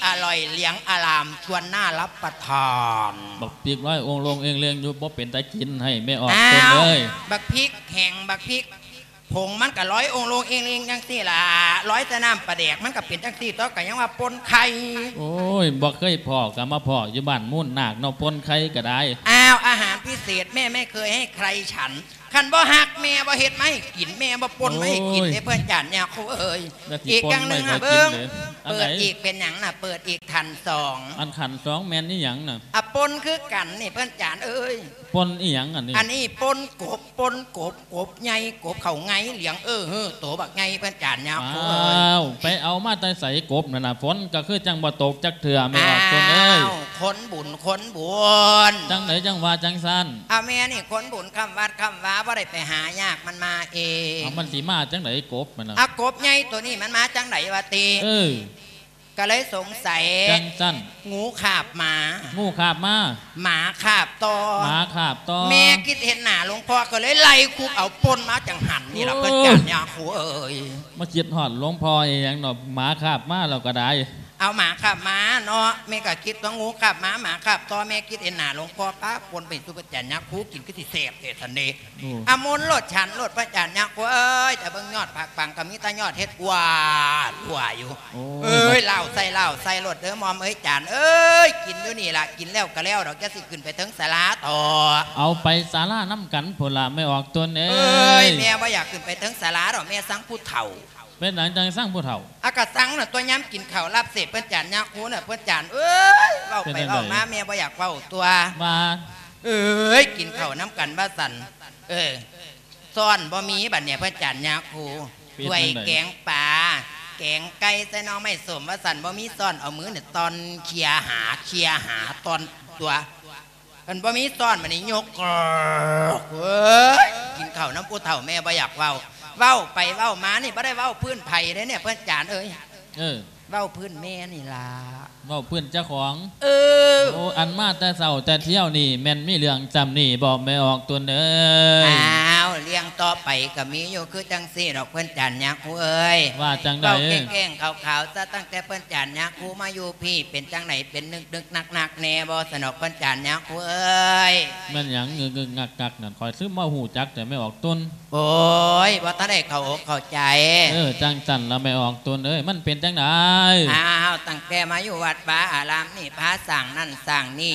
ອະລ່ອຍ ເຫຼືອງອະລ່າມ ຊວນໜ້າຮັບປະທານ. ບັກພິກລອຍໂອງໂລງເອງເລງຢູ່ ບໍ່ເປັນຕາກິນໃຫ້ແມ່ອອກ ອ້າວ ເພິ່ນເອີຍ. ບັກພິກແຫ້ງ ບັກພິກຜົງ ມັນກໍລອຍໂອງໂລງເອງເລງຈັ່ງຊີ້ລະ ລອຍແຕ່ນ້ຳປາແດກ ມັນກໍເປັນຈັ່ງຊີ້ຕົວະ ກໍຍັງວ່າປົ່ນໄຂ່. ໂອ້ຍ ບໍ່ເຄີຍພໍ້ ກໍມາພໍ້ຢູ່ບ້ານມູນນາກເນາະ ປົ່ນໄຂ່ກໍໄດ້. ອ້າວ ອາຫານພິເສດ ແມ່ໄມ່ເຄີຍໃຫ້ໃຄສັນ. ຄັນບໍ່ຮັກແມ່ບໍ່ເຮັດມາໃຫ້ກິນ ແມ່ບໍ່ປົ່ນມາໃຫ້ກິນເດ້ ໂອ້ຍ ເພິ່ນຈານຍາຄູເອີຍ. ແລ້ວຊິ ອີກຢ່າງໜຶ່ງ ເບິ່ງ ເປີດອີກ ເປັນຫຍັງນະ ເປີດອີກຂັ້ນສອງ. ອັນຂັ້ນສອງແມ່ນອີ່ຫຍັງນະ? ອາ ປົ່ນຄືກັນນີ້ ເພິ່ນຈານເອີຍ. ປົ່ນອີ່ຫຍັງອັນນີ້? ອັນນີ້ປົ່ນກົບ ປົ່ນກົບ ກົບໃຫຍ່ ກົບເຂົ້າໄງ ເຫຼືອງເອີເຮີໂຕບັກໃຫຍ່ ເພິ່ນຈານຍາຄູເອີຍ. ອ້າວ ໄປເອົາມາແຕ່ໃສກົບນັ້ນນະ? ຝົນກໍຄືຈັ່ງບໍ່ຕົກຈັກເທື່ອ ແມ່ອອກຕົນເອີຍ. ອ້າວ ຄົນບຸນ ຄົນບຸນ. ຈັ່ງໃດຈັ່ງວ່າຈັ່ງຊັ້ນ? ອາ ແມ່ນີ້ຄົນບຸນຄ້ຳວັດຄ້ຳວາ ບໍ່ໄດ້ໄປຫາຍາກ ມັນມາເອງ. ເອົາ ມັນຊິມາຈັ່ງໃດກົບມັນນະ? ອາ ກົບໃຫຍ່ໂຕນີ້ມັນມາຈັ່ງໃດວະຕິ? ເອີ ກໍເລີຍສົງໄສ. ຈັ່ງຊັ້ນ. ງູຄາບໝາ. ງູຄາບໝາ. ໝາຄາບຕໍ່. ໝາຄາບຕໍ່. ແມ່ຄິດເຫັນໜ້າຫຼວງພໍ່ກໍເລີຍໄລ່ຄຸບເອົາ ປົ່ນມາຈັ່ງຫັ້ນນີ້ລະ ໂອ້ຍ ເພິ່ນຈານຍາຄູເອີຍ. ມາຄິດຮອດຫຼວງພໍ່ອີ່ຫຍັງເນາະ ໝາຄາບໝາແລ້ວກໍໄດ້. ເອົາ ໝາຄາບໝາເນາະ ແມ່ກໍຄິດວ່າງູຄາບໝາ ໝາຄາບຕໍ່ ແມ່ຄິດເຫັນໜ້າຫຼວງພໍ່ ປ້າ ປົ່ນໄປສູ່ພະອາຈານຍາຄູກິນຄືຊິແຊບແທ້ຊັ້ນເດ. ອາ ມົນໂລດ ສັນໂລດ ພະອາຈານຍາຄູເອີຍ. ແຕ່ເບິ່ງຍອດຜັກປັງກໍມີແຕ່ຍອດເຫັດ ກວາຫຼວາຢູ່. ໂອ້ຍ ເອີຍ ລາວໃສ່ ລາວໃສ່ໂລດເດີໝ່ອມເອີຍ ຈານເອີຍ. ກິນຢູ່ນີ້ລະ ກິນແລ້ວກໍແລ້ວດອກ ຢ່າຊິຂຶ້ນໄປເທິງສາລາເຖາະ. ເອົາໄປສາລານຳກັນພຸ້ນລະ ແມ່ອອກຕົນເອີຍ. ເອີຍ ແມ່ບໍ່ຢາກຂຶ້ນໄປເທິງສາລາດອກ ແມ່ຊັງຜູ້ເຖົ້າ. ເປັນຫຍັງຈັ່ງຊັງຜູ້ເຖົ້າ? ອາ ກະຊັງນະຕົວະ ຍາມກິນເຂົ້າລາບເສດ ເພິ່ນຈານຍາຄູນະ ເພິ່ນຈານເອີຍ. ເວົ້າໄປເວົ້າມາ ແມ່ບໍ່ຢາກເວົ້າຕົວະ ວ່າ ເອີຍ ກິນເຂົ້ານຳກັນວ່າຊັ້ນ. ເອີ ຊ້ອນບໍ່ມີບັດນີ້ ເພິ່ນຈານຍາຄູ. ຖ້ວຍແກງປາ ແກງໄກ່ ໃສ່ໜໍ່ໄມ້ສົ້ມວ່າຊັ້ນ ບໍ່ມີຊ້ອນ ເອົາມືນີ້ຕ່ອນ ເຄຍຫາ ເຄຍຫາ ຕ່ອນຕົວະ. ຄັນບໍ່ມີຊ້ອນ ບັດນີ້ຍົກ ເອີຍ ກິນເຂົ້ານຳຜູ້ເຖົ້າ ແມ່ບໍ່ຢາກເວົ້າ. ເວົ້າໄປເວົ້າມານີ້ ບໍ່ໄດ້ເວົ້າພື້ນໃຜເດ້ນີ້ ເພິ່ນຈານເອີຍ. ເອີ ເວົ້າພື້ນແມ່ນີ້ລະ. ເວົ້າພື້ນເຈົ້າຂອງ. ເອີ ໂອ້ ອັນມາແຕ່ເຊົ້າແຕ່ທ່ຽວນີ້ ແມ່ນມີເລື່ອງຊ່ຳນີ້ບໍ ແມ່ອອກຕົນເອີຍ? ອ້າວ ເລື່ອງຕໍ່ໄປກໍມີຢູ່ຄືຈັ່ງຊີ້ດອກ ເພິ່ນຈານຍາຄູເອີຍ. ວ່າຈັ່ງໃດ? ເວົ້າແກ້ງໆຂາວໆຊະ ຕັ້ງແຕ່ເພິ່ນຈານຍາຄູມາຢູ່ພີ້ ເປັນຈັ່ງໃດ ເປັນນຶກໆໜັກໆແດ່ບໍ ສະດອກ ເພິ່ນຈານຍາຄູເອີຍ? ແມ່ນຫຍັງງຶກໆງັກໆນັ້ນ ຂ້ອຍຄືມາຮູ້ຈັກແຕ່ແມ່ອອກຕົນ. ໂອ້ຍ ບໍ່ທັນໄດ້ເຂົ້າອົກເຂົ້າໃຈ. ເອີ ຈັ່ງຊັ້ນລະແມ່ອອກຕົນເອີຍ ມັນເປັນຈັ່ງໃດ? ອ້າວ ຕັ້ງແຕ່ມາຢູ່ວັດວາອາລາມນີ້ ພາສ້າງນັ້ນສ້າງນີ້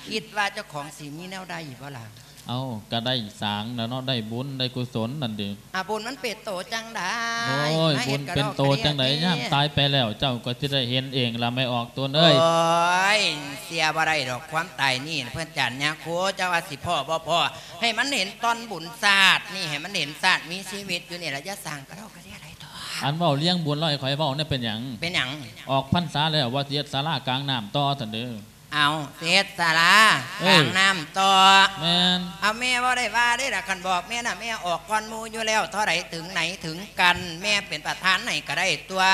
ຄິດວ່າເຈົ້າຂອງຊິມີແນວໃດບໍ່ລະ? ເອົ້າ ກະໄດ້ສ້າງແລ້ວເນາະ ໄດ້ບຸນໄດ້ກຸສົນນັ້ນເດ. ອາ ບຸນມັນເປັນໂຕຈັ່ງໃດ? ໂອ້ຍ ບຸນເປັນໂຕຈັ່ງໃດ ຍາມຕາຍໄປແລ້ວ ເຈົ້າກໍຊິໄດ້ເຫັນເອງລະແມ່ອອກຕົນເອີຍ. ໂອ້ຍ ເຊື່ອບໍ່ໄດ້ດອກ ຄວາມຕາຍນີ້ ເພິ່ນຈານຍາຄູ ເຈົ້າວ່າຊິພໍ້ບໍ່ພໍ້ ໃຫ້ມັນເຫັນຕອນບຸນຊາດນີ້ ໃຫ້ມັນເຫັນຊາດມີຊີວິດຢູ່ນີ້ລະ ຢ່າສ້າງກະເດົກກະເດຍຫຼາຍໂຕ. ອັນເວົ້າລຽງບຸນລະໃຫ້ຂ້ອຍເວົ້າແດ່ ເປັນຫຍັງ? ເປັນຫຍັງ? ອອກພັນສາແລ້ວວ່າຊິເຮັດສາລາກາງນ້ຳຕໍ່ຊັ້ນເດີ. ເອົາ ເສດສາລາ ເອີ ກາງນ້ຳຕໍ່. ແມ່ນ. ເອົາ ແມ່ບໍ່ໄດ້ວ່າເດ້ລະ ຄັນບອກແມ່ນະ ແມ່ອອກກ່ອນໝູ່ຢູ່ແລ້ວ ເທົ່າໃດເຖິງໃນເຖິງກັນ ແມ່ເປັນປະທານໃຫ້ກໍໄດ້ຕົວະ.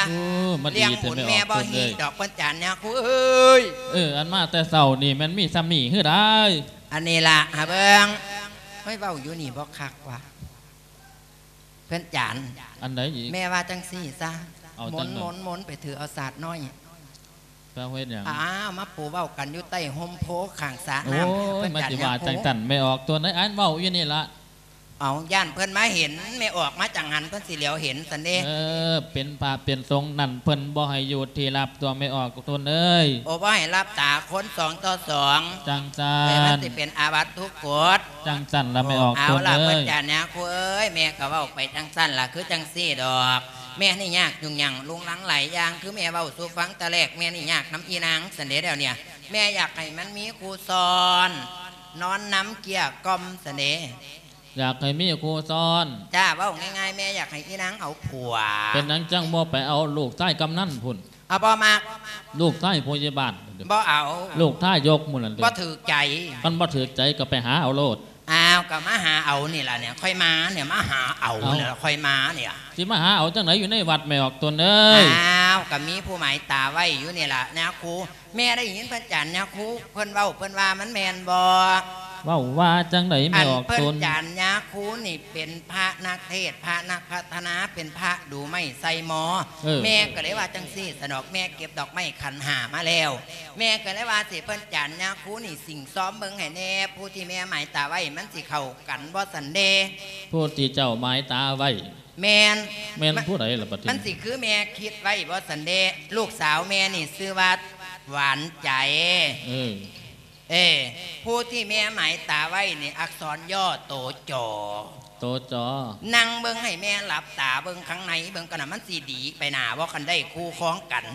ໂອ້ ມາດີແທ້ແມ່ອອກຕົນເອີຍ. ລ້ຽງບຸນແມ່ບໍ່ຮີດດອກ ເພິ່ນຈານຍາຄູເອີຍ. ເອີ ອັນມາແຕ່ເຊົ້ານີ້ແມ່ນມີສ່ຳນີ້ຄືໃດ? ອັນນີ້ລະ ຫາເບິ່ງ. ເຮີ້ຍ ເວົ້າຢູ່ນີ້ບໍ່ຄັກວ່າ ເພິ່ນຈານ. ອັນໃດອີກ? ແມ່ວ່າຈັ່ງຊີ້ຊະ ເອົາ ໝົນ ຈັ່ງໃດ? ໝົນ ໝົນໄປຖືເອົາສາດນ້ອຍ. ແປວ່າເຮັດຫຍັງ? ອ້າວ ມາປູເວົ້າກັນຢູ່ໃຕ້ຮົ່ມໂພຂ້າງສະນ້ຳ. ໂອ້ຍ ເພິ່ນຈານ ມາຊິວ່າ ຍາຄູ ຈັ່ງຊັ້ນ ແມ່ອອກຕົນເອີຍ ອັນເວົ້າຢູ່ນີ້ລະ. ເອົາ ຢ້ານເພິ່ນມາເຫັນ ແມ່ອອກມາຈັ່ງຫັ້ນ ເພິ່ນຊິຫຼຽວເຫັນຊັ້ນເດ້. ເອີ ເປັນພະເປັນສົງນັ້ນ ເພິ່ນບໍ່ໃຫ້ຢູ່ທີ່ລັບຕົວະ ແມ່ອອກຕົນເອີຍ. ໂອ້ ບໍ່ໃຫ້ລັບຕາຄົນສອງຕໍ່ສອງ. ຈັ່ງຊັ້ນ. ແຕ່ມັນຊິເປັນອາບັດທຸກກົດ. ຈັ່ງຊັ້ນລະ ແມ່ອອກຕົນເອີຍ. ເອົາລະ ເພິ່ນຈານຍາຄູເອີຍ ແມ່ກໍເວົ້າໄປຈັ່ງຊັ້ນລະ ຄືຈັ່ງຊີ້ດອກ. ແມ່ນີ້ຍາກຫຍຸ້ງຍາກລຸງລັງຫຼາຍຢ່າງ ຄືແມ່ເວົ້າສູ່ຟັງແຕ່ແລກ ແມ່ນີ້ຍາກນຳອີນາງຊັ້ນເດ້. ດຽວນີ້ແມ່ຢາກໃຫ້ມັນມີຄູ່ຊ້ອນ ນອນນຳເກ້ຍກ່ອມຊັ້ນເດ້. ຢາກໃຫ້ມີຄູ່ຊ້ອນ. ຈ້າ ເວົ້າງ່າຍໆ ແມ່ຢາກໃຫ້ອີນາງເອົາຜົວ. ເປັນຫຍັງຈັ່ງບໍ່ໄປເອົາລູກຊາຍກຳນັນພຸ້ນ? ເອົາ ບໍ່ມັກ. ລູກຊາຍຜູ້ໃຫຍ່ບ້ານ? ບໍ່ເອົາ. ລູກຊາຍຍົກໝູ່ນັ້ນເດີ. ບໍ່ຖືກໃຈ. ຄັນບໍ່ຖືກໃຈກໍໄປຫາເອົາໂລດ. ອ້າວ ກໍມາຫາເອົານີ້ລະເນຍ ຂ້ອຍມາເນຍ ມາຫາເອົາ ເອົ້າ ນີ້ລະ ຂ້ອຍມາເນຍ. ຊິມາຫາເອົາຈັ່ງໃດ ຢູ່ໃນວັດ ແມ່ອອກຕົນເອີຍ? ອ້າວ ກໍມີຜູ້ໝາຍຕາໄວ້ຢູ່ນີ້ລະນະຄູ. ແມ່ໄດ້ຍິນພະອາຈານຍາຄູເພິ່ນເວົ້າ ເພິ່ນວ່າມັນແມ່ນບໍ່? ເວົ້າວ່າຈັ່ງໃດ ແມ່ອອກຕົນ? ອັນເພິ່ນຈານຍາຄູນີ້ເປັນພະນັກເທດ ພະນັກພັດທະນາ ເປັນພະດູໄມ້ໃສ່ໝໍ. ເອີ ແມ່ກໍເລີຍວ່າຈັ່ງຊີ້ຊະດອກ ແມ່ເກັບດອກໄມ້ຂັນຫ້າມາແລ້ວ ແມ່ກໍເລີຍວ່າຊິເພິ່ນຈານຍາຄູນີ້ ສິ່ງຊອມເບິ່ງໃຫ້ແດ່ ຜູ້ທີ່ແມ່ໝາຍຕາໄວ້ ມັນຊິເຂົ້າກັນບໍ່ຊັ້ນເດ? ຜູ້ທີ່ເຈົ້າໝາຍຕາໄວ້. ແມ່ນ. ແມ່ນ ມ- ຜູ້ໃດລະບັດນີ້? ມັນຊິຄືແມ່ຄິດໄວ້ບໍ່ຊັ້ນເດ? ລູກສາວແມ່ນີ້ຊື່ວ່າຫວານໃຈ. ເອີ ເອີ ຜູ້ທີ່ແມ່ໝາຍຕາໄວ້ນີ້ ອັກສອນຍໍໂຕຈອ. ໂຕຈອ. ນັ່ງເບິ່ງໃຫ້ແມ່ຫຼັບຕາເບິ່ງຂ້າງໃນເບິ່ງກ່ອນນະ ມັນຊິດີໄປໜ້າບໍ່ ຄັນໄດ້ຄູ່ຄອງກັນ.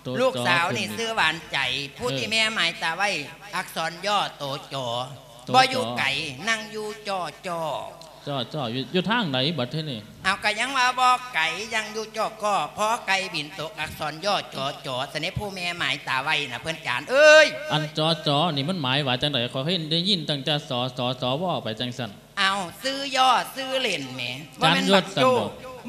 ໂຕຈອ. ລູກສາວນີ້ຊື່ຫວານໃຈ ຜູ້ທີ່ແມ່ໝາຍຕາໄວ້ ເອີ ອັກສອນຍໍໂຕຈອ. ໂຕຈອ. ບໍ່ຢູ່ໄກ ນັ່ງຢູ່ຈໍ້ຈໍ້. ຈໍ້ຈໍ້ ຢູ່ ຢູ່ທາງໃດບັດທີນີ້? ເອົາ ກະຍັງວ່າບໍ່ໄກ ຍັງຢູ່ຈໍ້ຈໍ້ ພໍໄກ່ບິນຕົກ ອັກສອນຍໍຈໍຈໍ ຊະເນ ຜູ້ແມ່ໝາຍຕາໄວ້ນະ ເພິ່ນຈານເອີຍ. ອັນຈໍຈໍນີ້ມັນໝາຍວ່າຈັ່ງໃດ? ຂ້ອຍເຫັນໄດ້ຍິນຕັ້ງແຕ່ ສ ສ ສ ວ ໄປຈັ່ງຊັ້ນ. ເອົາ ຊື່ຍໍຊື່ຫຼິ້ນແໝ ຈານຍົດຊັ້ນບໍ່?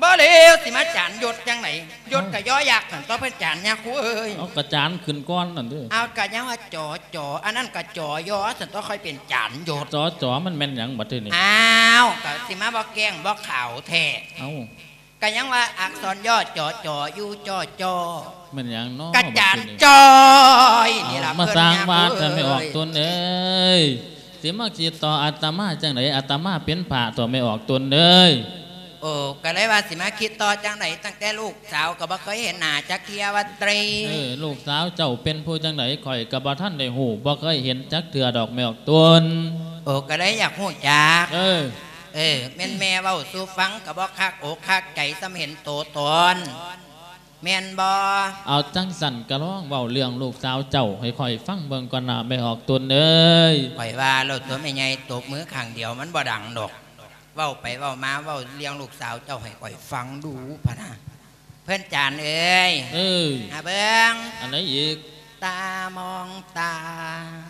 ບໍ່ແລ້ວ ຊິມາຈານຍົດຈັ່ງໃດ? ຍົດກະ ເອົ້າ ຢໍຍັກຫັ້ນຕົວະ ເພິ່ນຈານຍາຄູເອີຍ. ເອົາ ກະຈານຂຶ້ນກ່ອນນັ້ນເດີ. ເອົາ ກະຍັງວ່າຈໍຈໍ ອັນນັ້ນກະຈໍຍໍຊັ້ນຕົວະ ຄ່ອຍເປັນຈານຍົດ. ຈໍຈໍ ມັນແມ່ນຫຍັງບັດທີນີ້? ອ້າວ ກະຊິມາບໍ່ແກ້ງບໍ່ຂາວແທ້. ເອົ້າ ກະຍັງວ່າອັກສອນຍໍຈໍຈໍ ຢູ່ຈໍຈໍ. ແມ່ນຫຍັງເນາະ ກະຈານຈໍຈໍນີ້ລະ. ເອົ້າ ມາສ້າງວ່າແທ້ແມ່ອອກຕົນເອີຍ. ຊິມາຄິດຕໍ່ອາດຕະມາຈັ່ງໃດ? ອາດຕະມາເປັນພະຕົວະ ແມ່ອອກຕົນເອີຍ. ໂອ້ ກໍເລີຍວ່າຊິມາຄິດຕໍ່ຈັ່ງໃດ ຕັ້ງແຕ່ລູກສາວກໍບໍ່ເຄີຍເຫັນໜ້າຈັກເທື່ອວ່າຕິ. ເອີ ລູກສາວເຈົ້າເປັນຜູ້ຈັ່ງໃດ ຂ້ອຍກໍບໍ່ທັນໄດ້ຮູ້ ບໍ່ເຄີຍເຫັນຈັກເທື່ອດອກ ແມ່ອອກຕົນ. ໂອ້ ກໍເລີຍຢາກຮູ້ຈັກ. ເອີ ເອີ ແມ່ນແມ່ເວົ້າສູ່ຟັງກໍບໍ່ຄັກອົກຄັກໃຈ ສ່ຳເຫັນໂຕຕົນ. ແມ່ນບໍ່? ເອົາ ຈັ່ງຊັ້ນກໍລອງເວົ້າເລື່ອງລູກສາວເຈົ້າໃຫ້ຂ້ອຍຟັງເບິ່ງກ່ອນນະ ແມ່ອອກຕົນເອີຍ. ຂ້ອຍວ່າແລ້ວຕົວະ ແມ່ໃຫຍ່ຕົບມືຂ້າງດຽວມັນບໍ່ດັງດອກ. ເວົ້າໄປເວົ້າມາ ເວົ້າເລື່ອງລູກສາວເຈົ້າໃຫ້ຂ້ອຍຟັງດູພະນະ. ເພິ່ນຈານເອີຍ. ເອີ ຫາເບິ່ງ. ອັນໃດອີກ? ຕາມອງຕາ.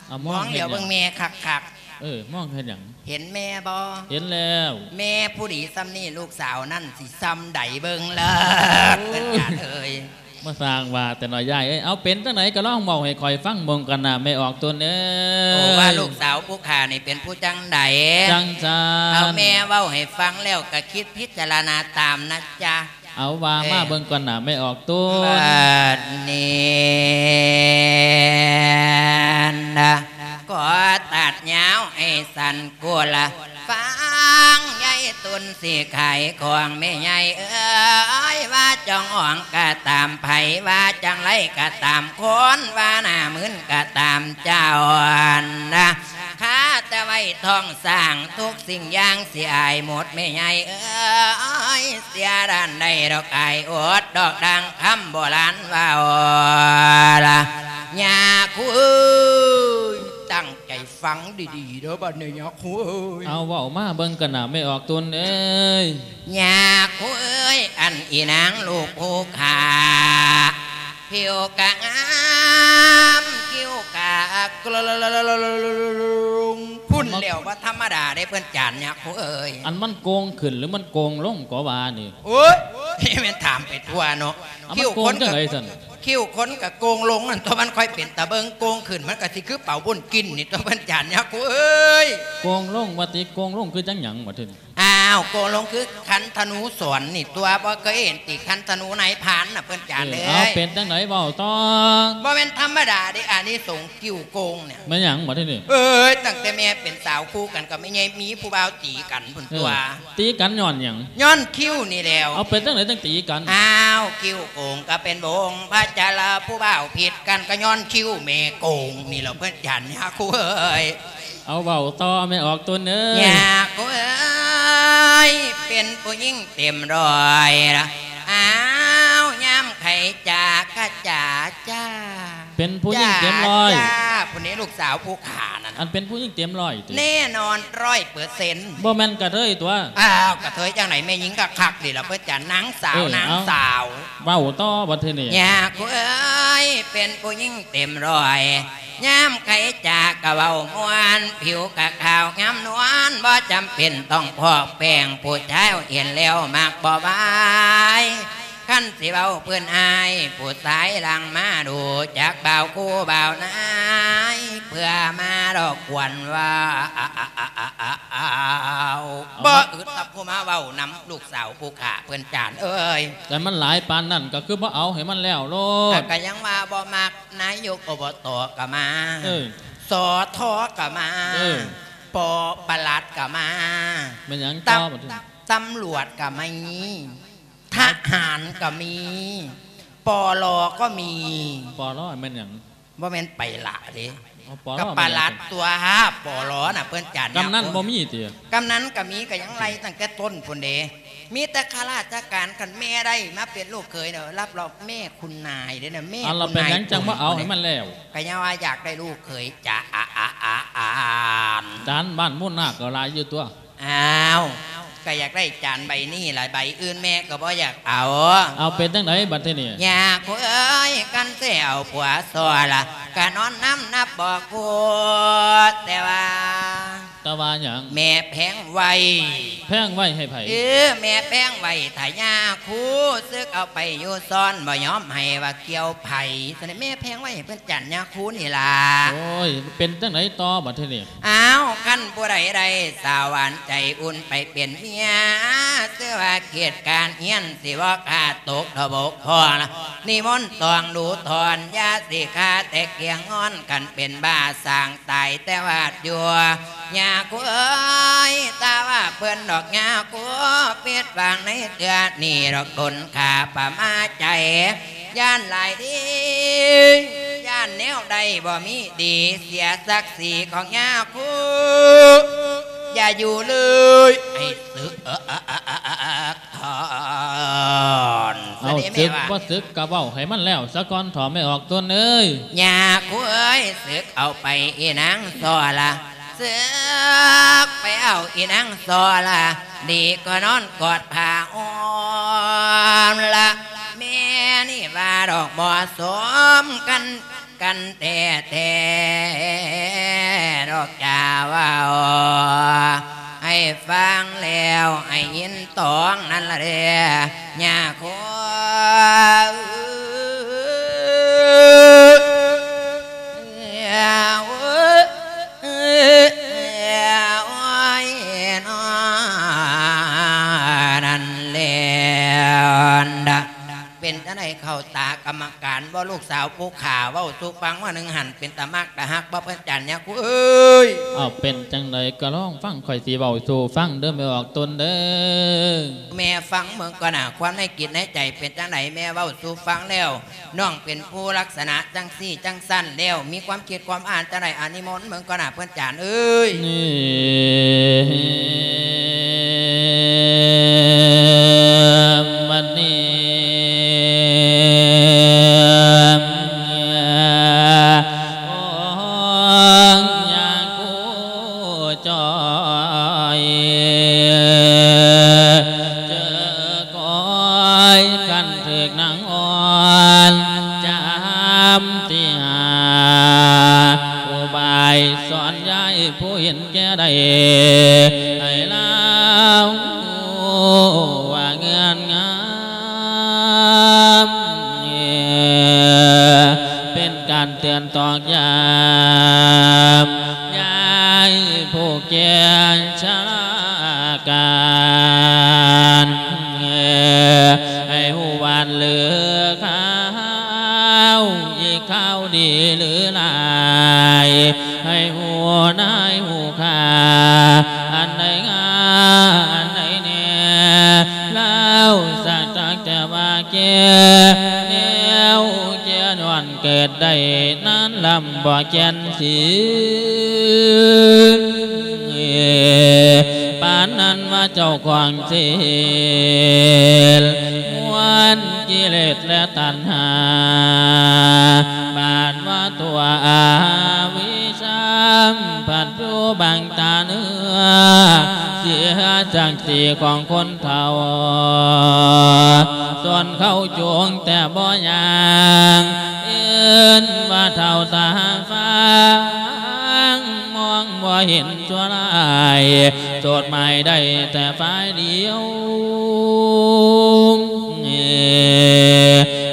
ເອົາ ມອງ ມອງຫຼຽວເບິ່ງແມ່ຄັກໆ. ເອີ ມອງເຮັດຫຍັງ? ເຫັນແມ່ບໍ່? ເຫັນແລ້ວ. ແມ່ຜູ້ດີສ່ຳນີ້ ລູກສາວນັ້ນຊິສ່ຳໃດເບິ່ງເລີດ. ໂອ້ຍ ເພິ່ນຈານເອີຍ. ມາສ້າງວ່າແຕ່ເນາະ ຍາຍເອີຍ. ເອົາ ເປັນຈັ່ງໃດກໍລອງເວົ້າໃຫ້ຂ້ອຍຟັງເບິ່ງກ່ອນນະ ແມ່ອອກຕົນເອີຍ. ໂອ້ ວ່າລູກສາວຜູ້ຂ້ານີ້ເປັນຜູ້ຈັ່ງໃດ? ຈັ່ງຊັ້ນ. ເອົາ ແມ່ເວົ້າໃຫ້ຟັງແລ້ວກໍຄິດພິຈາລະນາຕາມນະຈ໊ະ. ເອົາ ວ່າມາເບິ່ງກ່ອນນະ ແມ່ອອກຕົນ. ບັດນີ້ນະ ຂໍຕັດຍາວໃຫ້ສັ້ນ ກຸລະ ຟັງຍາຍຕຸນຊິຂາຍຂອງແມ່ໃຫຍ່ເອີຍ. ວ່າຈອງອອງກະຕາມ ໃຜວ່າຈັ່ງໃດກະຕາມ ຄົນວ່າໜ້າມຶນກະຕາມ ເຈົ້ານະ ຄາແຕ່ໄວ້ທ້ອງຊ້າງ ທຸກສິ່ງຢ່າງຊິອາຍໝົດແມ່ໃຫຍ່ເອີຍ. ເສຍດ້ານໃດດອກອາຍອົດ ດອກດັ່ງຄຳໂບລານເວົ້າລະ ຍາຄູເອີຍ. ຕັ້ງໃຈຟັງດີໆເດີບັດນີ້ຍາຄູເອີຍ. ເອົາ ເວົ້າມາເບິ່ງກັນນະ ແມ່ອອກຕົນເອີຍ. ຍາຄູເອີຍ ອັນອີນາງລູກຜູ້ຂ້າ ຜິວກະງາມ ຄິ້ວກະ ພຸ້ນແລ້ວ ບໍ່ທຳມະດາເດ້ເພິ່ນຈານຍາຄູເອີຍ. ອັນມັນໂກ່ງຂຶ້ນ ຫຼື ມັນໂກ່ງລົງກໍວ່ານີ້? ໂອ້ຍ ແມ່ນຖາມໄປທົ່ວເນາະ. ເອົາ ຄິ້ວຄົນ ມັນໂກ່ງຈັ່ງໃດຊັ້ນ? ຄິ້ວຄົນກໍໂກ່ງລົງນັ້ນຕົວະ ມັນຄ່ອຍເປັນຕາເບິ່ງ. ໂກ່ງຂຶ້ນມັນກໍຊິຄືເປົາບຸນກິນນີ້ຕົວະເພິ່ນຈານຍາຄູເອີຍ. ໂກ່ງລົງວ່າຕິ? ໂກ່ງລົງຄືຈັ່ງຫຍັງບັດທີນີ້? ອ້າວ ໂກລົງຄືຂັນທະນູສອນນີ້ຕົວະ ບໍ່ເຄີຍເຫັນຕິ ຂັນທະນູນາຍພານນະເພິ່ນຈານເອີຍ. ເອີ ເອົາ ເປັນຈັ່ງໃດເວົ້າຕໍ່. ບໍ່ແມ່ນທຳມະດາເດ້ ອານິສົງຄິ້ວໂກງນີ້. ແມ່ນຫຍັງບັດທີນີ້? ເອີຍ ຕັ້ງແຕ່ແມ່ເປັນສາວຄູ່ກັນກັບແມ່ໃຫຍ່ ມີຜູ້ບ່າວຕີກັນພຸ້ນຕົວະ. ເອີ ຕີກັນຍ້ອນຫຍັງ? ຍ້ອນຄິ້ວນີ້ແຫຼ້ວ. ເອົາ ເປັນຈັ່ງໃດຈັ່ງຕີກັນ? ອ້າວ ຄິ້ວໂກງກໍເປັນວົງພະຈາລະ ຜູ້ບ່າວຜິດກັນກໍຍ້ອນຄິ້ວແມ່ໂກງນີ້ແຫຼ້ວເພິ່ນຈານຍາຄູເອີຍ. ເອົາ ເວົ້າຕໍ່ແມ່ອອກຕົນເອີຍ. ຍາຄູເອີຍ ເປັນຜູ້ຍິງເຕັມຮ້ອຍລະ ອ້າວ ຍາມໃຜຈາກະຈາຈ້າ. ເປັນຜູ້ຍິງເຕັມຮ້ອຍ. ຈ້າ ຜູ້ນີ້ລູກສາວຜູ້ຂ້ານັ້ນ. ອັນເປັນຜູ້ຍິງເຕັມຮ້ອຍຕິ? ແນ່ນອນ ຮ້ອຍເປີເຊັນ. ບໍ່ແມ່ນກະເທີຍຕົວະ. ອ້າວ ກະເທີຍຈັ່ງໃດ ແມ່ຍິງກະຄັກນີ້ລະເພິ່ນຈານ ນາງສາວ ເອີ ນາງສາວ. ເວົ້າຕໍ່ບັດທີນີ້. ຍາຄູເອີຍ ເປັນຜູ້ຍິງເຕັມຮ້ອຍ ຍາມໃຜຈາກະເວົ້າມ່ວນ ຜິວກະຂາວງາມນວນ ບໍ່ຈຳເປັນຕ້ອງພອກແປ້ງ ຜູ້ຊາຍເຫັນແລ້ວມັກບໍ່ໄຫວ. ຄັນຊິເວົ້າເພິ່ນອາຍ ຜູ້ຊາຍຫຼັງມາດູ ຈັກບ່າວຄູ່ບ່າວນາຍ ເພື່ອມາລອບກວນວ່າ ອ້າວ ບໍ່ອຶດກັບຜູ້ມາເວົ້ານຳລູກສາວຜູ້ຂ້າເພິ່ນຈານເອີຍ. ແຕ່ມັນຫຼາຍປານນັ້ນກໍຄືບໍ່ເອົາໃຫ້ມັນແລ້ວໂລດ. ກໍຍັງວ່າບໍ່ມັກ ນາຍົກ ອບຕ ກໍມາ ເອີ ສທ ກໍມາ ເອີ ປ ປະຫຼັດກໍມາ. ແມ່ນຫຍັງຕໍ່ບັດນີ້? ຕຳຫຼວດກໍມີ ທະຫານກໍມີ ປລ ກໍມີ. ປລ ແມ່ນຫຍັງ? ບໍ່ແມ່ນໄປຫຼະເດ້. ອໍ ປລ ກໍປະຫຼັດຕົວະ ປລ ນະເພິ່ນຈານ. ກຳນັນບໍ່ມີຕິ? ກຳນັນກໍມີ ກໍຍັງໄລ່ຕັ້ງແຕ່ຕົ້ນພຸ້ນເດ້. ມີແຕ່ຂ້າລາຊະການ. ຄັນແມ່ໄດ້ມາເປັນລູກເຂີຍເນາະ ຮັບຮອງແມ່ຄຸນນາຍເດ້ນະ ແມ່ຄຸນນາຍ. ເອົາລະ ເປັນຫຍັງຈັ່ງບໍ່ເອົາໃຫ້ມັນແລ້ວ? ກໍຍັງວ່າຢາກໄດ້ລູກເຂີຍຈາ ອາ ອາ ອາ ອາ ອາ ຈານບ້ານມູນນາກກໍຫຼາຍຢູ່ຕົວະ. ອ້າວ ກໍຢາກໄດ້ຈານໃບນີ້ລະ ໃບອື່ນແມ່ກໍບໍ່ຢາກເອົາ. ເອົາ ເປັນຈັ່ງໃດບັດທີນີ້? ຍາຄູເອີຍ ຄັນຊິເອົາຜົວຊໍລະ ກະນອນນຳນັບບໍ່ຄູ່ ແຕ່ວ່າ ແຕ່ວ່າຫຍັງ? ແມ່ແພງໄວ້. ແພງໄວ້ໃຫ້ໃຜ? ເອີ ແມ່ແພງໄວ້ຖ້າຍາຄູ ສຶກເອົາໄປຢູ່ຊ້ອນ ບໍ່ຍອມໃຫ້ວ່າກ່ຽວໃຜ. ຊັ້ນແມ່ແພງໄວ້ໃຫ້ເພິ່ນຈານຍາຄູນີ້ລະ. ໂອ້ຍ ເປັນຈັ່ງໃດຕໍ່ບັດທີນີ້? ອ້າວ ຄັນຜູ້ໃດໄດ້ສາວຫວານໃຈອຸ່ນໄປເປັນເມຍ ຊື່ວ່າເຂດການຮຽນຊິບໍ່ຂາດຕົກທະບົກພໍລະ ນິມົນຕ້ອງດູຖອນ ຢ່າຊິຄາແຕ່ກຽງງອນ ຄັນເປັນບ້າສ້າງຕາຍແຕ່ວາດຢູ່. ຍາຄູເອີຍ ຖ້າວ່າເພິ່ນດອກຍາຄູ ຜິດຫວັງໃນເທື່ອນີ້ດອກ ດົນຂ້າປະມາໃຈ ຢ້ານຫຼາຍເດ້ ຢ້ານແນວໃດບໍ່ມີດີ ເສຍສັກສີຂອງຍາຄູ ຢ່າຢູ່ເລີຍ ໃຫ້ສຶກ ເອີ ເອີ ເອີ ເອີ ເອີ ເອີ ເອົາ ສະເດະແມ່ວ່າ ສຶກບໍ່ສຶກກະເວົ້າໃຫ້ມັນແລ້ວສາກ່ອນເຖາະແມ່ອອກຕົນເອີຍ. ຍາຄູເອີຍ ສຶກເອົາໄປອີນາງຊໍລະ ສຶກໄປເອົາອີນາງຊໍລະ ດີກວ່ານອນກອດຜ້າອ້ອມລະ ແມ່ນີ້ວ່າດອກບໍ່ສົມກັນ ກັນແທ້ໆ ດອກຈາເວົ້າໃຫ້ຟັງແລ້ວ ໃຫ້ຍິນຕອງນັ້ນລະເດ້ ຍາຄູ ໂອ້ຍ ນັ້ນແຫຼະ. ເປັນຈັ່ງໃດເຂົ້າຕາກຳມະການບໍ່ ລູກສາວຜູ້ຂ້າເວົ້າສູ່ຟັງວ່າໜຶ່ງຫັ້ນ ເປັນຕາມັກຕາຮັກບໍ່ ເພິ່ນຈານຍາຄູເອີຍ? ເອົາ ເປັນຈັ່ງໃດກໍລອງຟັງ ຂ້ອຍຊິເວົ້າສູ່ຟັງເດີ ແມ່ອອກຕົນເດີ. ແມ່ຟັງເບິ່ງກ່ອນນະ ຄວາມໃນຈິດໃນໃຈເປັນຈັ່ງໃດ ແມ່ເວົ້າສູ່ຟັງແລ້ວ ນ້ອງເປັນຜູ້ລັກສະນະຈັ່ງຊີ້ຈັ່ງຊັ້ນແລ້ວ ມີຄວາມຄິດຄວາມອ່ານຈັ່ງໃດ ອາ ນິມົນເບິ່ງກ່ອນນະ ເພິ່ນຈານເອີຍ. ນີ້ ບັດນີ້ ໂອ້ ຍາຄູຈອຍ ເຈີກອຍ ຄັນຖືກນາງອ່ອນ ຈາມທີ່ຫາ ໃຫ້ລາວຮູ້ວ່າເງື່ອນງາມ ເປັນການເຕືອນຕອກຢ້ຳ ຍາຍຜູ້ແກ່ຊະລາການ ໃຫ້ຮູ້ຫວານຫຼືຂາວ ອີກຄາວດີຫຼືຫຼາຍ ໃຫ້ຮູ້ນາຍຮູ້ຄ່າ ອັນໃດງາມອັນໃດແນ່ ລາວສັກຈັກແຕ່ວ່າແກ່ ແນວແກ່ຍ້ອນເກີດໄດ້ນານລຳບໍ່ແກ່ນສີ ປານນັ້ນວ່າເຈົ້າຂອງສິນ ມ້ວນກິເລດແລະຕັນຫາ ບາດວ່າຕົວອະວິຊາ ພັດຢູ່ບັງຕາເນື້ອ ເສຍສັກສີຂອງຄົນເຖົ້າ ສ່ວນເຂົາຈູງແຕ່ບໍ່ຍ່າງ ເອີ້ນວ່າເຖົ້າຕາຟາງ ມອງບໍ່ເຫັນຊົ່ວຮ້າຍ ໂສດໝາຍໄດ້ແຕ່ຝ່າຍດຽວ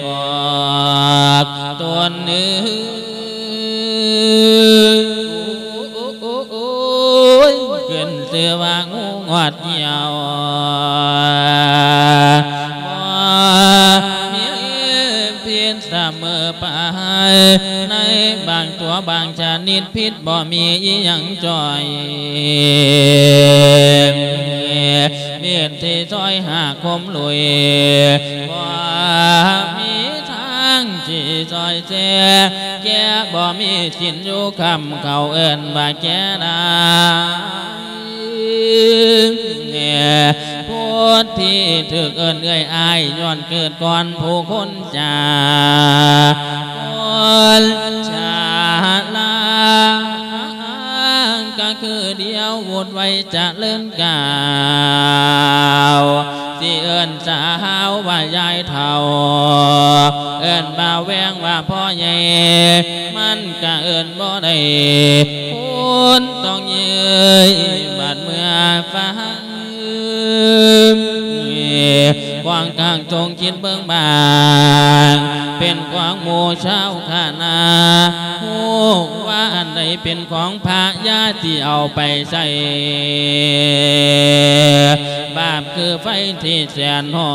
ອອກຕົນເອີຍ ໂອ້ຍ ຂຶ້ນຊື່ວ່າງູງອດຫ່ຽວ ບໍ່ມີ ຜິດສະເໝີໄປ ໃນບາງຕົວບາງຊະນິດ ຜິດບໍ່ມີອີ່ຫຍັງຈ່ອຍ ມີທີ່ຊ່ອຍຫາຄົມລຸຍ ບໍ່ມີທາງທີ່ຊ່ອຍແຊ ແກ່ບໍ່ມີກິນຢູ່ຄ່ຳ ເຂົາເອີ້ນວ່າແກ່ດາ ຜູ້ທີ່ຖືກເອີ້ນເອື້ອຍອ້າຍ ຍ້ອນເກີດກ່ອນຜູ້ຄົນຈາ ຄົນຊະລາ ກະຄືດຽວວຸດໄວຈະເລີນກ້າວ ຊິເອີ້ນສາວວ່າຍາຍເຖົ້າ ເອີ້ນບ່າວແວງວ່າພໍ່ໃຫຍ່ ມັນກະເອີ້ນບໍ່ໄດ້ ຄົນຕ້ອງເຍີ້ຍບາດເມື່ອຟັງ ຂວາງກາງຈົ່ງຄິດເບິ່ງບາງ ເປັນຂວາງໝູ່ຊາວຄະນະ ຮູ້ວ່າອັນໃດເປັນຂອງພະ ຢ່າຊິເອົາໄປໃຊ້ ບາບຄືໄຟທີ່ແສນຮ້ອ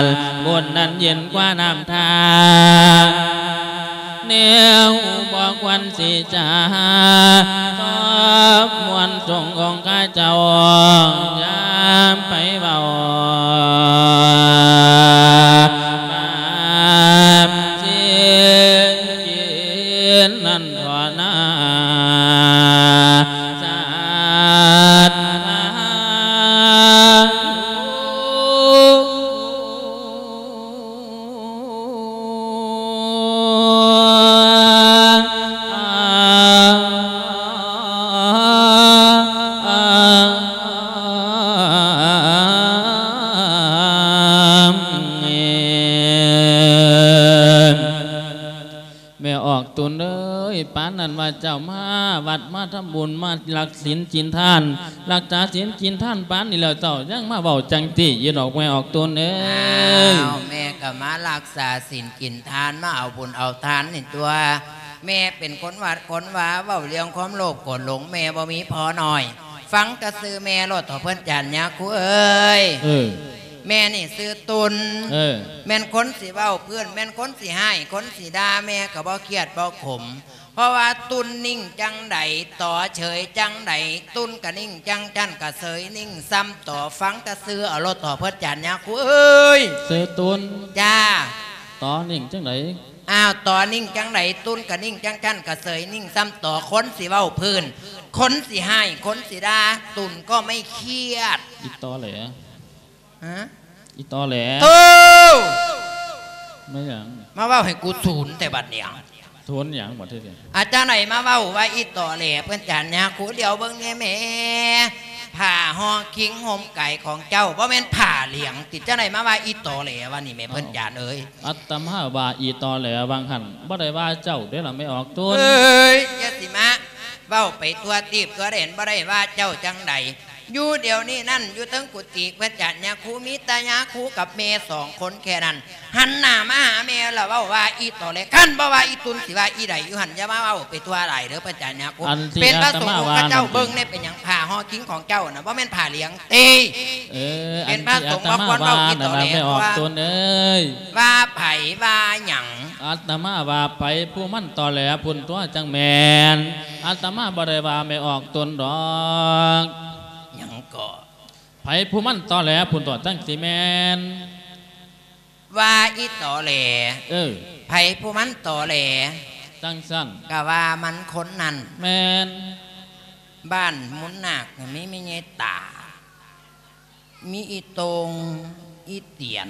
ນ ບຸນນັ້ນເຢັນກວ່ານ້ຳທາ ແນວບໍ່ຄວນຊິຈາ ຊອບມ່ວນສົງອົງຄະເຈົ້າ ຢ່າໄປເວົ້າບາບຊິນກິນນັ້ນທໍ່ນາ ສາດ ແມ່ອອກຕຸນເອີຍ ປານນັ້ນວ່າເຈົ້າມາວັດມາທຳບຸນ ມາລັກສິນກິນທານ ລັກສາສິນກິນທານປານນີ້ແລ້ວ ເຈົ້າຍັງມາເວົ້າຈັ່ງຊີ້ຢູ່ດອກ ແມ່ອອກຕຸນເອີຍ. ອ້າວ ແມ່ກໍມາລັກສາສິນກິນທານ ມາເອົາບຸນເອົາທານນີ້ຕົວະ ແມ່ເປັນຄົນວັດຄົນວາ ເວົ້າເລື່ອງຄວາມໂລບໂກດຫຼົງ ແມ່ບໍ່ມີພໍນ້ອຍ ຟັງແຕ່ຊື່ແມ່ໂລດເຖາະເພິ່ນຈານຍາຄູເອີຍ. ເອີ ແມ່ນີ້ຊື່ຕຸນ ເອີ ແມ່ນຄົນຊິເວົ້າພື້ນ ແມ່ນຄົນຊິຮ້າຍ ຄົນຊິດ່າ ແມ່ກໍບໍ່ຄຽດບໍ່ຂົມ ເພາະວ່າຕຸນນິ່ງຈັ່ງໃດ ຕໍເສີຍຈັ່ງໃດ ຕຸນກະນິ່ງຈັ່ງຊັ້ນ ກະເສີຍນິ່ງສ່ຳຕໍ ຟັງແຕ່ຊື່ເອົາໂລດເຖາະເພິ່ນຈານຍາຄູເອີຍ. ຊື່ຕຸນ ຈ້າ ຕໍນິ່ງຈັ່ງໃດ? ອ້າວ ຕໍນິ່ງຈັ່ງໃດ ຕຸນກະນິ່ງຈັ່ງຊັ້ນ ກະເສີຍນິ່ງສ່ຳຕໍ ຄົນຊິເວົ້າພື້ນ ຄົນຊິຮ້າຍ ຄົນຊິດ່າ ຕຸນກໍໄມ່ຄຽດ. ອີ່ຕໍແຫຼ. ຮະ? ອີ່ຕໍແຫຼ. ໂທ້! ແມ່ນຫຍັງ? ມາເວົ້າໃຫ້ກູສູນແຕ່ບັດນີ້. ສູນຫຍັງບັດທີນີ້? ອາ ຈັ່ງໃດມາເວົ້າວ່າອີ່ຕໍແຫຼ ເພິ່ນຈານຍາຄູ ຫຼຽວເບິ່ງແດ່ແມ່ ຜ້າຫໍ່ຄິງຫົ່ມໄກຂອງເຈົ້າ ບໍ່ແມ່ນຜ້າຫຼຽງຕິ? ຈັ່ງໃດມາວ່າອີ່ຕໍແຫຼວະນີ້ແມ່ ເພິ່ນຈານເອີຍ? ອາ ອາດຕະມາວ່າອີ່ຕໍແຫຼຫວ່າງຫັ້ນ ບໍ່ໄດ້ວ່າເຈົ້າເດ້ລະແມ່ອອກຕຸນ. ເອີຍ ຢ່າຊິມາ ເວົ້າໄປທົ່ວທີບທົ່ວແດນ ບໍ່ໄດ້ວ່າເຈົ້າຈັ່ງໃດ. ຢູ່ດຽວນີ້ນັ້ນ ຢູ່ເທິງກຸຕິເພິ່ນຈານຍາຄູ ມີແຕ່ຍາຄູກັບແມ່ສອງຄົນແຄ່ນັ້ນ ຫັນໜ້າມາຫາແມ່ລະເວົ້າວ່າ ອີ່ຕໍແຫຼ. ຄັນບໍ່ວ່າອີ່ຕຸນ ຊິວ່າອີ່ໃດຢູ່ຫັ້ນ. ຢ່າມາເວົ້າໄປທົ່ວຫຼາຍເດີເພິ່ນຈານຍາຄູ. ອັນທີ່ ເປັນພະສົງ ອາດຕະມາວ່ານັ້ນ ຂະເຈົ້າເບິ່ງແດ່ ເປັນຫຍັງຜ້າຫໍ່ຄິງຂອງເຈົ້ານະ ບໍ່ແມ່ນຜ້າຫຼຽງຕິ? ເອີ ເປັນພະສົງ ອັນທີ່ອາດຕະມາວ່ານັ້ນນະ ມາຄວນເວົ້າອີ່ຕໍແຫຼ ແມ່ອອກຕຸນເອີຍ. ວ່າໃຜວ່າຫຍັງ? ອາດຕະມາວ່າໃຜຜູ້ມັນຕໍແຫຼພຸ້ນຕົວະ ຈັ່ງແມ່ນ. ອາດຕະມາບໍ່ໄດ້ວ່າແມ່ອອກຕຸນດອກ. ຫຍັງເກາະ? ໃຜຜູ້ມັນຕໍແຫຼພຸ້ນຕົວະ ຈັ່ງຊິແມ່ນ. ວ່າອີ່ຕໍແຫຼ. ເອີ ໃຜຜູ້ມັນຕໍແຫຼ? ຈັ່ງຊັ້ນ. ກະວ່າມັນຄົນນັ້ນ. ແມ່ນ. ບ້ານມູນນາກນະ ມີແມ່ໃຫຍ່ຕາ ມີອີ່ໂຕ່ງ ອີ່ຕຽນ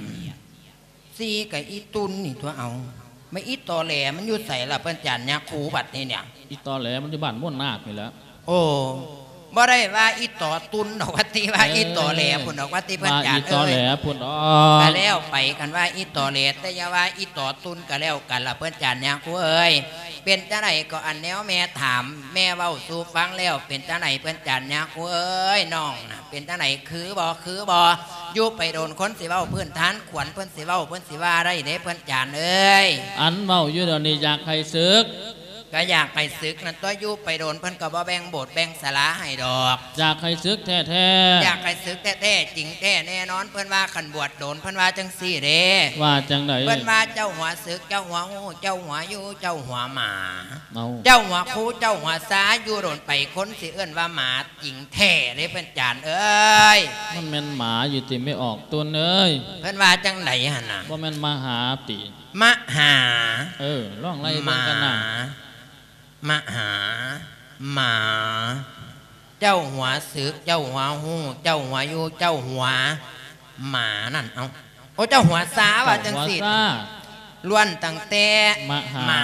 ສີ່ກະອີ່ຕຸນນີ້ຕົວະເອົາ. ແມ່ນອີ່ຕໍແຫຼມັນຢູ່ໃສລະເພິ່ນຈານຍາຄູ ບັດນີ້ເນຍ? ອີ່ຕໍແຫຼມັນຢູ່ບ້ານມູນນາກນີ້ແຫຼະ. ໂອ້ ບໍ່ໄດ້ວ່າອີ່ຕໍຕຸນດອກ ວ່າຕິ ວ່າ ເອີ ອີ່ຕໍແຫຼພຸ້ນດອກ ວ່າຕິເພິ່ນຈານເອີຍ. ວ່າອີ່ຕໍແຫຼພຸ້ນດອກ. ກະແລ້ວໄປ ຄັນວ່າອີ່ຕໍແຫຼ ແຕ່ຢ່າວ່າອີ່ຕໍຕຸນກະແລ້ວກັນລະເພິ່ນຈານຍາຄູເອີຍ. ເປັນຈັ່ງໃດກໍ ອັນແນວແມ່ຖາມ ແມ່ເວົ້າສູ່ຟັງແລ້ວ ເປັນຈັ່ງໃດເພິ່ນຈານຍາຄູເອີຍ? ນ້ອງນະ ເປັນຈັ່ງໃດ ຄືບໍ່ ຄືບໍ່? ຢູ່ໄປດົນຄົນຊິເວົ້າພື້ນຖານ ຂວັນເພິ່ນຊິເວົ້າ ເພິ່ນຊິວ່າໄດ້ເດ້ເພິ່ນຈານເອີຍ. ອັນເວົ້າຢູ່ດຽວນີ້ ຢາກໃຫ້ສຶກ. ກະຢາກໃຫ້ສຶກນັ້ນຕົວະ ຢູ່ໄປດົນເພິ່ນກະບໍ່ແບ່ງໂບດແບ່ງສາລາໃຫ້ດອກ. ຢາກໃຫ້ສຶກແທ້ໆ. ຢາກໃຫ້ສຶກແທ້ໆ ຈິງແທ້ແນ່ນອນ. ເພິ່ນວ່າຄັນບວດດົນ ເພິ່ນວ່າຈັ່ງຊີ້ເດ້. ວ່າຈັ່ງໃດ? ເພິ່ນວ່າເຈົ້າຫົວສຶກ ເຈົ້າຫົວຮູ້ ເຈົ້າຫົວຢູ່ ເຈົ້າຫົວໝາ. ເອົ້າ ເຈົ້າຫົວຄູ ເຈົ້າຫົວຊາ ຢູ່ດົນໄປຄົນຊິເອີ້ນວ່າໝາຈິງແທ້ເດ້ເພິ່ນຈານເອີຍ. ມັນແມ່ນໝາຢູ່ຕິແມ່ອອກຕຸນເອີຍ? ເພິ່ນວ່າຈັ່ງໃດຫັ້ນນະ? ບໍ່ແມ່ນມະຫາຕິ? ມະຫາ. ເອີ ລອງໄລ່ເບິ່ງກັນນະ. ມະຫາ ໝາ ເຈົ້າຫົວສຶກ ເຈົ້າຫົວຮູ້ ເຈົ້າຫົວຢູ່ ເຈົ້າຫົວໝານັ້ນ. ເອົ້າ ໂອ້ ເຈົ້າຫົວຊາ ວ່າຈັ່ງຊີ້. ເຈົ້າຫົວຊາ ລ້ວນຕັ້ງແຕ່ ມະຫາ ມະ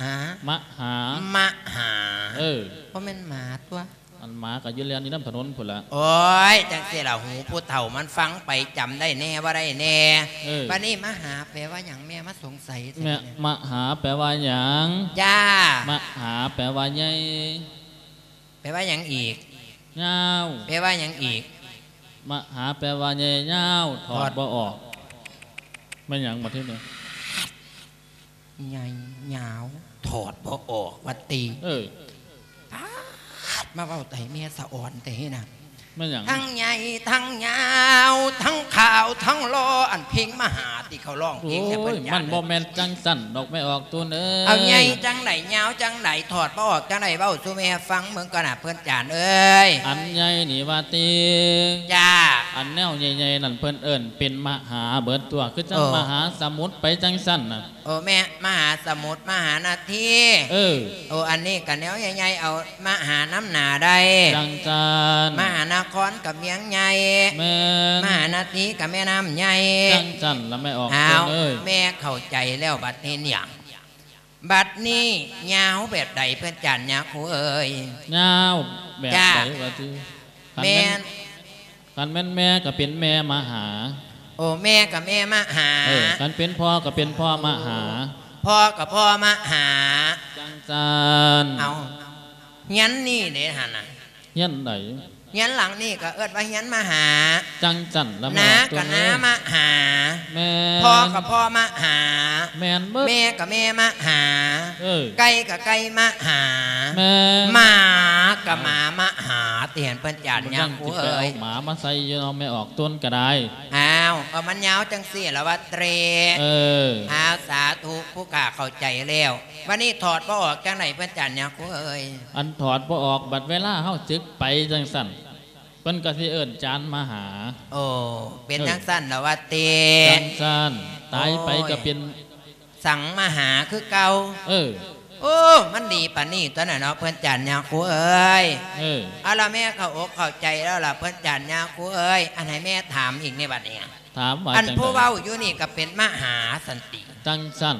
ຫາ ມະຫາ ມະຫາ. ເອີ ບໍ່ແມ່ນໝາຕົວະ. ອັນໝາກະຢູ່ແລ່ນຢູ່ນຳຖະໜົນພຸ້ນລະ. ໂອ້ຍ ຈັ່ງຊີ້ລະ ຫູຜູ້ເຖົ້າມັນຟັງໄປ ຈຳໄດ້ແດ່ບໍ່ໄດ້ແດ່. ເອີ ບາດນີ້ມະຫາແປວ່າຫຍັງ? ແມ່ມາສົງໄສແທ້. ແມ່ ມະຫາແປວ່າຫຍັງ? ຈ້າ ມະຫາແປວ່າໃຫຍ່. ແປວ່າຫຍັງອີກ? ຍາວ. ແປວ່າຫຍັງອີກ? ມະຫາແປວ່າໃຫຍ່ຍາວ ຖອດ ຖອດ ບໍ່ອອກ. ແມ່ນຫຍັງບັດທີນີ້? ໃຫຍ່ຍາວ ຖອດບໍ່ອອກ ວ່າຕິ. ເອີ ປາດ ມາເວົ້າໄຕແມ່ສະອອນແທ້ນະ. ແມ່ນຫຍັງ? ທັງໃຫຍ່ທັງຍາວ ທັງຂາວທັງຫຼໍ່ ອັນເພງມະຫາ ທີ່ເຂົາຮ້ອງເພງແຕ່ເພິ່ນ ໂອ້ຍ ຈານ ມັນບໍ່ແມ່ນຈັ່ງຊັ້ນດອກ ແມ່ອອກຕຸນເອີຍ. ເອົາ ໃຫຍ່ຈັ່ງໃດ ຍາວຈັ່ງໃດ ຖອດບໍ່ອອກຈັ່ງໃດ ເວົ້າສູ່ແມ່ຟັງເບິ່ງກ່ອນນະ ເພິ່ນຈານເອີຍ. ອັນໃຫຍ່ນີ້ວ່າຕິ? ຈ້າ. ອັນແນວໃຫຍ່ໆນັ້ນ ເພິ່ນເອີ້ນເປັນມະຫາເບິດຕົວະ ຄືຈັ່ງ ເອີ ມະຫາສະໝຸດໄປຈັ່ງຊັ້ນນະ. ໂອ້ ແມ່ ມະຫາສະໝຸດ ມະຫານາທີ. ເອີ ໂອ້ ອັນນີ້ກະແນວໃຫຍ່ໆ ເອົາມະຫານຳໜ້າໄດ້ ຈັ່ງຊັ້ນ. ມະຫານະຄອນກະເມືອງໃຫຍ່. ແມ່ນ. ມະຫານາທີກະແມ່ນ້ຳໃຫຍ່ ຈັ່ງຊັ້ນລະແມ່ອອກຕຸນເອີຍ. ແມ່ເຂົ້າໃຈແລ້ວບັດນີ້ເນຍ. ບັດນີ້ຍາວແບບໃດເພິ່ນຈານຍາຄູເອີຍ? ຍາວແບບໃດ ວ່າຕິ? ຄັນແມ່ນ ແມ່ນ ຄັນແມ່ນແມ່ກະເປັນແມ່ມະຫາ. ໂອ້ ແມ່ກະແມ່ມະຫາ. ເອີ ຄັນເປັນພໍ່ກະເປັນພໍ່ມະຫາ. ພໍ່ກະພໍ່ມະຫາ ຈັ່ງຊັ້ນ. ເອົາ ຮຽນນີ້ເດ້ຫັ້ນນະ? ຮຽນໃດ? ຮຽນຫຼັງນີ້ກະເອີ້ນວ່າຮຽນມະຫາ. ຈັ່ງຊັ້ນລະແມ່ ນາກະນາມະຫາ. ແມ່ນ. ພໍ່ກະພໍ່ມະຫາ. ແມ່ນເບິດ. ແມ່ກະແມ່ມະຫາ. ເອີ ໄກ່ກະໄກ່ມະຫາ. ແມ່ນ. ໝາກະໝາມະຫາ. ຕິເຫັນເພິ່ນຈານຍາຄູເອີຍ ເອົາໝາມາໃສ່ຢູ່ເນາະ ແມ່ອອກຕຸນກະໄດ້. ອ້າວ ກະມັນຍາວຈັ່ງຊີ້ລະວ່າເຕຣ. ເອີ ອ້າວ ສາທຸ ຜູ້ຂ້າເຂົ້າໃຈແລ້ວ. ບາດນີ້ຖອດບໍ່ອອກຈັ່ງໃດເພິ່ນຈານຍາຄູເອີຍ? ອັນຖອດບໍ່ອອກ ບັດເວລາເຮົາສຶກໄປຈັ່ງຊັ້ນ ເພິ່ນກະຊິເອີ້ນຈານມະຫາ. ໂອ້ ເປັນ ເອີ ຈັ່ງຊັ້ນລະວ່າຕິ? ຈັ່ງຊັ້ນ. ຕາຍໄປກະເປັນ ໂອ້ຍ ສັງມະຫາຄືເກົ່າ. ເອີ ໂອ້ ມັນດີປານນີ້ຕົວະນະເນາະ ເພິ່ນຈານຍາຄູເອີຍ. ເອີ ເອົາລະ ແມ່ເຂົ້າອົກເຂົ້າໃຈແລ້ວລະ ເພິ່ນຈານຍາຄູເອີຍ. ອັນໃຫ້ແມ່ຖາມອີກໃນບັດນີ້ ຖາມວ່າ ອັນຜູ້ເວົ້າຢູ່ນີ້ກະເປັນມະຫາຊັ້ນຕິ? ຈັ່ງຊັ້ນ.